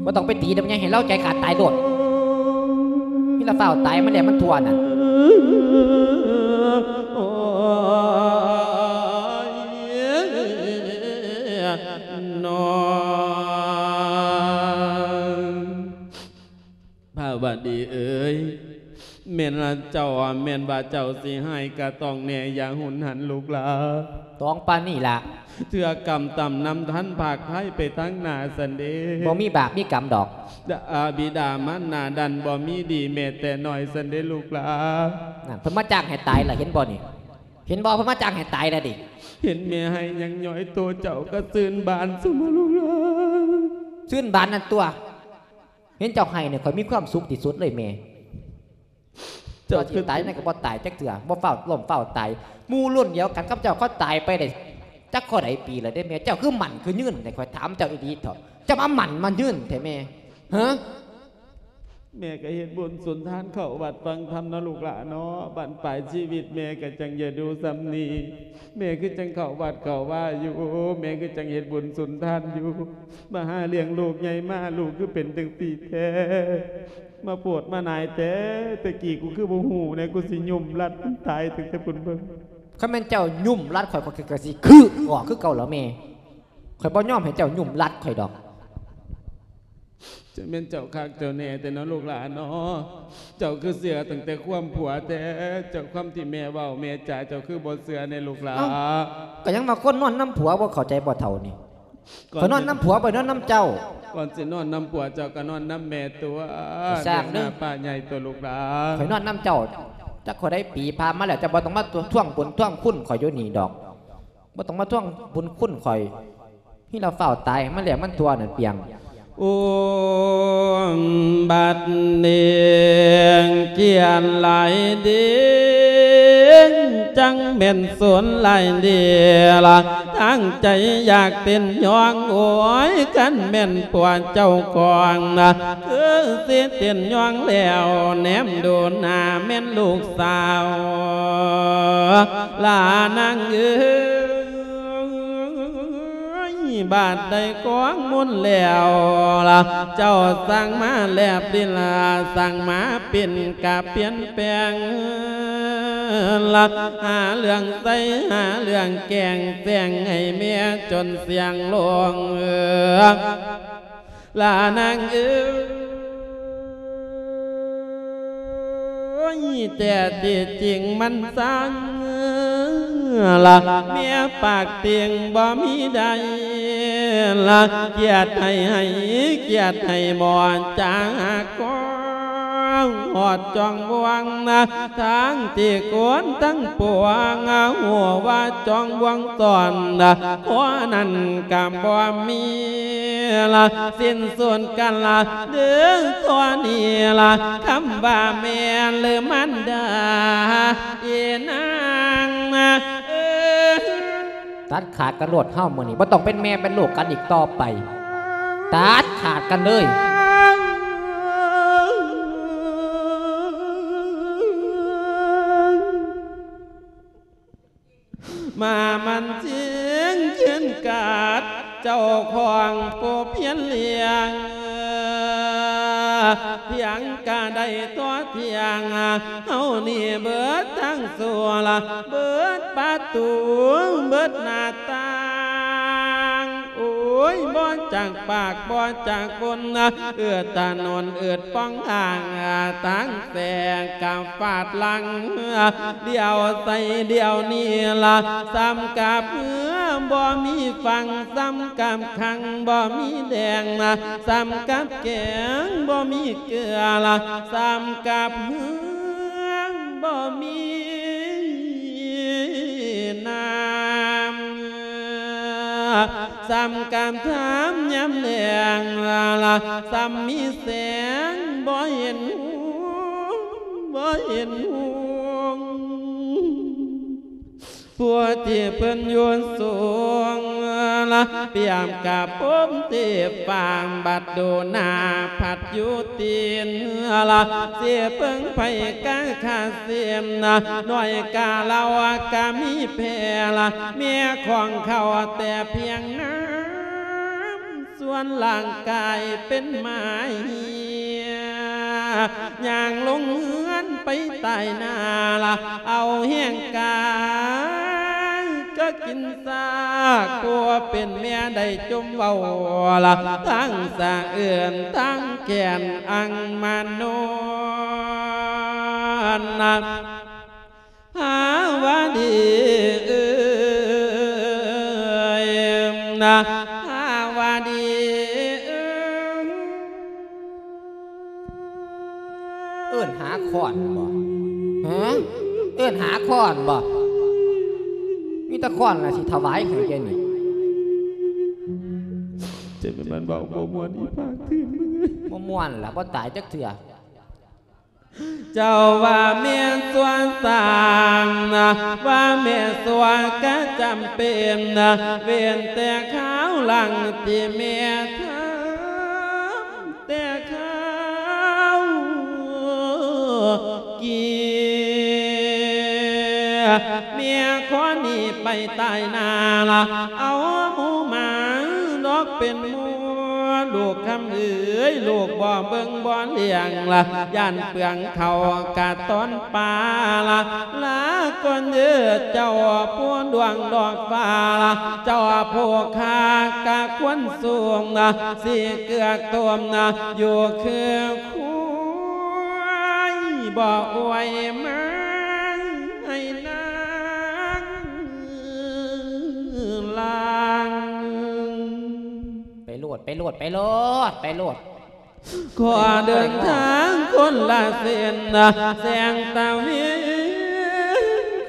ບໍ່ຕ້ອງໄປຕີນຳໃຫຍ່ ໃຫ້ລາວໃຈຂາດຕາຍໂລດ ມີລະຟ້າວຕາຍ ມັນແຫຼະມັນທົ່ວນັ້ນ ໂອ້ຍ ນ້ອງ ພາວະດີເອີຍ ແມ່ນລະເຈົ້າ ແມ່ນວ່າເຈົ້າຊິຮ້າຍກະຕ້ອງແນ່ ຢ່າຮຸນຫັນລູກຫຼາ ຕ້ອງປານນີ້ລະ ເທື່ອກຳຕ່ຳນຳທັນພາກໄພໄປທາງໜ້າຊັ້ນເດ ບໍ່ມີບາບມີກຳດອກ ດາ ອາ ບິດາມານດານັ້ນບໍ່ມີດີແມ້ແຕ່ນ້ອຍຊັ້ນເດລູກຫຼາ ນັ້ນ ເພິ່ນມາຈ້າງໃຫ້ຕາຍລະ ເຫັນບໍ່ນີ້ ເຫັນບໍ່ ເພິ່ນມາຈ້າງໃຫ້ຕາຍລະເດ ເຫັນແມ່ໃຫ້ຍັງຍ້ອຍໂຕເຈົ້າກະຊື່ນບານຊັ້ນບໍ່ລູກຫຼາ ຊື່ນບານນັ້ນຕົວະ ເຫັນເຈົ້າໄຫ້ນີ້ ຂ້ອຍມີຄວາມສຸກທີ່ສຸດເລີຍແມ່ ເຈົ້າ ເຈົ້າຊິຕາຍນັ້ນກໍບໍ່ຕາຍຈັກເທື່ອ ບໍ່ຟ້າວລົ້ມຟ້າວຕາຍ ໝູ່ລຸ້ນດຽວກັນກັບເຈົ້າເຂົາຕາຍໄປໄດ້ຈັກທໍ່ໃດປີແລ້ວເດ້ແມ່ ເຈົ້າຄືໝັ້ນຄືຍືນແທ້ ຂ້ອຍຖາມເຈົ້າອີ່ຫຼີເຖາະ ເຈົ້າມາໝັ້ນມາຍືນແທ້ແມ່ ຮະ ແມ່ກໍເຮັດບຸນສຸນທານເຂົ້າວັດຟັງທຳເນາະລູກຫຼາເນາະ ບັ້ນປາຍຊີວິດແມ່ກໍຈັ່ງຢ່າດູສ່ຳນີ້ ແມ່ຄືຈັ່ງເຂົ້າວັດເຂົ້າວາຢູ່ ແມ່ຄືຈັ່ງເຮັດບຸນສຸນທານຢູ່ ມາຫາລ້ຽງລູກໃຫຍ່ມາ ລູກຄືເປັນຈັ່ງຊີ້ແທ້ ມາໂພດມາໜາຍແທ້ ແຕ່ກີ້ກູຄືບໍ່ຮູ້ແນ່ ກູຊິຫຍຸ້ມລັດມັນຕາຍຕັ້ງແຕ່ພຸ້ນເບິ່ງ ຄັນແມ່ນເຈົ້າຫຍຸ້ມລັດຂ້ອຍ ຂ້ອຍກໍຊິຄືອອກຄືເກົ່າລະແມ່ ຂ້ອຍບໍ່ຍອມໃຫ້ເຈົ້າຫຍຸ້ມລັດຂ້ອຍດອກ ຈັ່ງແມ່ນເຈົ້າຄັກເຈົ້າແນ່ແທ້ເນາະລູກຫຼາເນາະ ເຈົ້າຄືເຊື່ອຕັ້ງແຕ່ຄວາມຜົວແທ້ ເຈົ້າຄວາມທີ່ແມ່ເວົ້າແມ່ຈາ ເຈົ້າຄືບໍ່ເຊື່ອແນ່ລູກຫຼາ ເອົ້າ ກໍຍັງວ່າຄົນນອນນຳຜົວ ບໍ່ເຂົ້າໃຈບໍ່ເຖົ້ານີ້ ຂ້ອຍນອນນຳຜົວ ບໍ່ໄດ້ນອນນຳເຈົ້າ ກ່ອນຊິນອນນຳຜົວເຈົ້າກໍນອນນຳແມ່ຕົວະ ກໍຊ່າງເດີ ເປັນນ້າປ້າໃຫຍ່ຕົວະລູກຫຼາ ຂ້ອຍນອນນຳເຈົ້າ ຈັກທໍ່ໃດປີຜ່ານມາແລ້ວ ເຈົ້າບໍ່ຕ້ອງມາທວງບຸນທວງຄຸນຂ້ອຍຢູ່ນີ້ດອກ ບໍ່ຕ້ອງມາທວງບຸນຄຸນຂ້ອຍ ມີລະຟ້າວຕາຍ ມັນແຫຼະມັນທົ່ວນັ້ນປຽງ ອຸມບັດເນງ ກຽນຫຼາຍເດງ ຈັ່ງແມ່ນສົນຫຼາຍເດລະ ຕັ້ງໃຈຢາກເຕັ້ນຍ້ອງ ໂອ້ຍ ຄັນແມ່ນຜົວເຈົ້າຂອງນະ ຄືຊິເຕັ້ນຍ້ອງແລ້ວ ແນມດູໜ້າແມ່ນລູກສາວ ຫຼ້ານາງເອີຍ ບາດໄດ້ຄອງມົນແລ້ວລະ ເຈົ້າສັ່ງມາແລບລິນລະ ສັ່ງມາເປັນກະປ່ຽນແປງລະ ຫາເລື່ອງໃສ່ ຫາເລື່ອງແກງແຊງໃຫ້ແມ່ຈົນສ່ຽງລົງ ເອີ ຫຼ້ານາງເອີຍ ແຕ່ທີ່ຈິງມັນຊ່າງລະ ແມ່ປາກຕິ່ງບໍ່ມີໃດ ລະ ກຽດໃຫ້ໃຫ້ ກຽດໃຫ້ໝໍຈາກກອງ ຮອດຈອງບ່ວງນະ ທັງທີ່ຄົນທັງປວງ ຮູ້ວ່າຈອງບ່ວງຕອນນະ ພໍນັ້ນກະບໍ່ມີລະ ສິ້ນສຸດກັນລະ ເດີ ທໍ່ນີ້ລະ ຄຳວ່າແມ່ນ ຫຼື ມານດາ ອີນາງນະ ເອີ ຕັດຂາດກັນໂລດເຮົາ ມື້ນີ້ບໍ່ຕ້ອງເປັນແມ່ເປັນລູກກັນອີກຕໍ່ໄປ ຕັດຂາດກັນເລີຍ. ມາມັນຈິງຂຶ້ນກາດ ເຈົ້າຂອງຜູ້ພຽນລ້ຽງ ພຽງກະໄດ້ຕໍ່ທ່ຽງ ເຮົານີ້ເບິດທັງຊົ່ວລະ ເບິດປະຕູ ເບິດໜ້າຕ່າງ ໂອ້ຍ ບໍ່ຈັກປາກ ບໍ່ຈັກຄົນ ເອື້ອຖະໜົນ ເອື້ອປ່ອງທາງ ທາງແສງກະຟາດຫຼັງ ດຽວໃສ່ດຽວນີ້ລະ ສ່ຳກັບເຮືອບໍ່ມີຝັ່ງ ສ່ຳກັບຂັງບໍ່ມີແດງ ສ່ຳກັບແກງບໍ່ມີເກືອລະ ສ່ຳກັບເຮືອບໍ່ມີນ້ຳ ສ່ຳກັບທາມຍາມແລງລະ ສ່ຳມີແສງບໍ່ເຫັນຮຸ່ງ ບໍ່ເຫັນຮຸ່ງ ຜູ້ທີ່ເພິ່ນຢູ່ສູງລະ ປຽບກັບພົມທີ່ຟ້າ ບັດດູໜ້າພັດຢູ່ຕີນລະ ຊິເພິ່ງໃຜກະຂາດສິ້ນ ໜ້ອຍກະເຫຼົ້າກະມີແຜ່ລະ ແມ່ຂອງເຂົາແຕ່ພຽງນ້ຳ ສ່ວນຮ່າງກາຍເປັນໝາເຫຍ ຍ່າງລົງເຮືອນໄປຕາຍໜ້າລະ ເອົາແຮງກາຍກໍກິນຊາກ ຜູ້ເປັນແມ່ໄດ້ຈົ່ມເວົ້າລະ ທັງສະເອື້ອນທັງແຄ້ນອັງມານອນນະ ພາວະດີເອີຍນະ ພາວະດີເອີຍ. ເອີ້ນຫາຄ້ອນບໍ? ຮະ? ເອີ້ນຫາຄ້ອນບໍ? ມີແຕ່ຄ້ອນລະຊິຖວາຍໃຫ້ແກນີ້. ເຈັບແມ່ນມັນເວົ້າບໍ່ມ່ວນ ອີພາກຕື່ມ ບໍ່ມ່ວນລະ ບໍ່ຕາຍຈັກເທື່ອ. ເຈົ້າວ່າແມ່ນຊົ່ວສ້າງນະ ວ່າແມ່ນຊົ່ວກະຈຳເປັນນະ ເວັ້ນແຕ່ຄາວຫຼັງທີ່ແມ່ທຳ ແຕ່ຄາວກີ້ ແມ່ຂໍໜີໄປຕາຍໜ້າລະ ເອົາໝູໝາດອກເປັນໝູ່ ລູກຄຳເອີຍ ລູກບໍ່ເບິ່ງບໍ່ລ້ຽງລະ ຢ້ານເປືອງເຂົ້າກະຕອນປາລະ ລາກ່ອນເດີເຈົ້າຜູ້ດວງດອກຟ້າລະ ເຈົ້າຜູ້ຂ້າກະຄວນສູງນະ ຊິເກືອກໂຕມນະ ຢູ່ຄືຄວາຍ ບໍ່ອວຍມາໃຫ້ນາງລາງ. ໄປໂລດ ໄປໂລດ ໄປໂລດ ໄປໂລດ. ຂໍເດີນທາງຄົນລະເສັ້ນນະ ແສງຕາເວັນ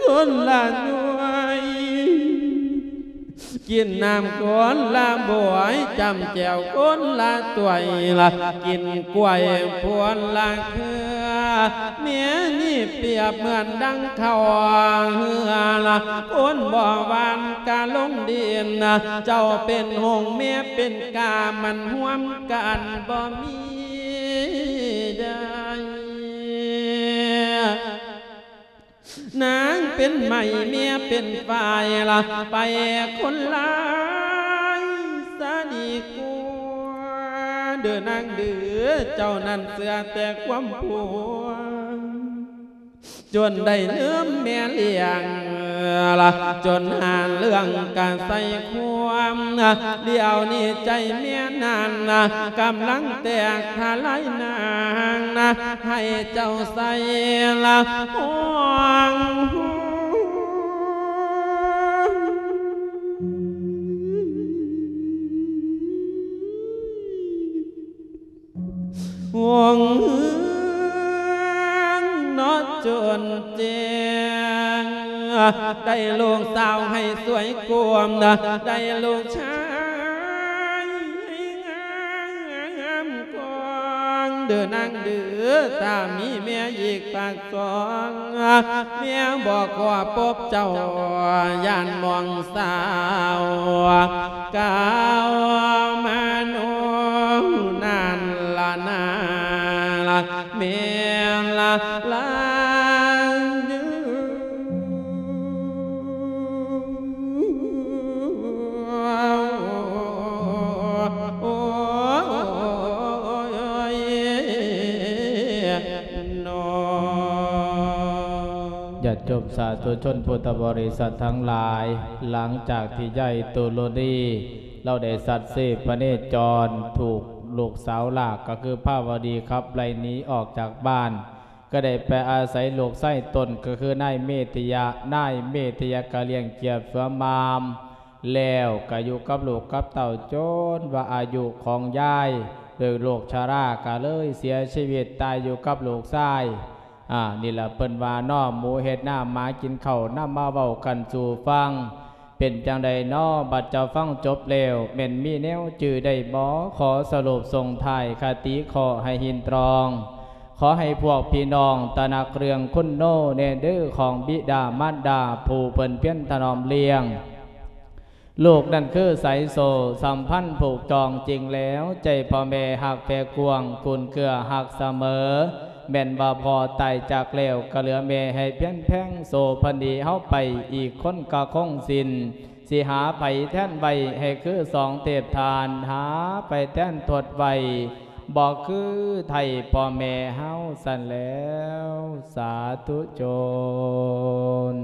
ຄົນລະໜ່ວຍ ກິນນ້ຳຄົນລະບວຍ ຈ້ຳແຈ່ວຄົນລະຖ້ວຍລະ ກິນກ້ວຍຄົນລະເຄືອ ແມ່ນີ້ປຽບເໝືອນດັ່ງເຂົ້າເຫືອລະ ຄົນບໍ່ຫວ່ານກະລົງດິນນະ ເຈົ້າເປັນຫົງແມ່ເປັນກາ ມັນຮ່ວມກັນບໍ່ມີໄດ້. ນາງເປັນໄມ້ ເມຍເປັນຝ້າຍລະ ໄປຄົນລາຍສາດີກວ່າ ເດີນາງເດີ ເຈົ້ານັ້ນເຊື່ອແຕ່ຄວາມພວງ ຈົນໄດ້ລືມແມ່ລ້ຽງລະ ຈົນຫາເລື່ອງກະໃສ່ຄວາມ ດຽວນີ້ໃຈແມ່ນັ້ນນະ ກຳລັງແຕກທະລາຍນາງນະ ໃຫ້ເຈົ້າໃສ່ລະຫ້ອງ. ຈົນແຈ້ງ ໄດ້ລູກສາວໃຫ້ສວຍກວມ ໄດ້ລູກຊາຍໃຫ້ງາມກວ່າງ ເດີນາງເດີ ຖ້າມີເມຍອີກປາກສອງ ເມຍບໍ່ຂໍພົບເຈົ້າ ຢ້ານມອງສາວ ກ່າວມາໂນນັ້ນລະນາ ແມ່ນລະລາຍ ໂອ້ຍ ຍາດໂຍມສາທຸຊົນພຸດທະບໍລິສັດທັງຫຼາຍ, ຫຼັງຈາກທີ່ຍາຍຕຸລຸນີ ລາວໄດ້ສັດເສພະເນຈອນ ຖືກລູກສາວລາກ ກໍຄືພາວະດີ ຂັບໄລ່ໜີອອກຈາກບ້ານ, ກໍໄດ້ໄປອາໄສລູກຊາຍຕົນ ກໍຄືນາຍເມດຕິຍະ, ນາຍເມດຕິຍະກໍລ້ຽງກຽບສວມມາມ ແລ້ວກໍຢູ່ກັບລູກກັບເຕົ້າ ຈົນວ່າອາຍຸຂອງຍາຍ ໂດຍໂລກຊະລາ ກໍເລີຍເສຍຊີວິດຕາຍຢູ່ກັບລູກຊາຍ. ອາ ນີ້ລະເພິ່ນວ່າເນາະ ໝູເຮັດນາ ໝາກິນເຂົ້າ ນຳມາເວົ້າກັນສູ່ຟັງ. ເປັນຈັ່ງໃດເນາະ ບັດເຈົ້າຟັງຈົບແລ້ວ ແມ່ນມີແນວຈື່ໄດ້ບໍ່? ຂໍສະຫຼຸບສົ່ງທ້າຍຄະຕິຂໍໃຫ້ຮິນຕຣອງ. ຂໍໃຫ້ພວກພີ່ນ້ອງຕະໜັກເລື່ອງຄຸນໂນແດ່ເດີ ຂອງບິດາມານດາ ຜູ້ເພິ່ນພຽນຖະໜອມລ້ຽງ. ລູກນັ້ນຄືສາຍໂສ້ສຳພັນຜູກຈອງຈິງແລ້ວ, ໃຈພໍ່ແມ່ຮັກແຜ່ກວ້າງ, ກຸນເກື້ອຮັກສະເໝີ. ແມ່ນວ່າພໍ່ຕາຍຈາກແລ້ວ, ກໍເຫຼືອແມ່ໃຫ້ພຽນແພງ, ໂສ້ເພິ່ນໜີເຮົາໄປ, ອີກຄົນກໍຄົງສິ້ນ. ຊິຫາໃຜແທນໄວ້ ໃຫ້ຄືສອງເທບທ່ານ, ຫາໃຜແທນທົດໄວ້, ບໍ່ຄືໄທພໍ່ແມ່ເຮົາຊັ້ນແລ້ວ. ສາທຸຊົນ.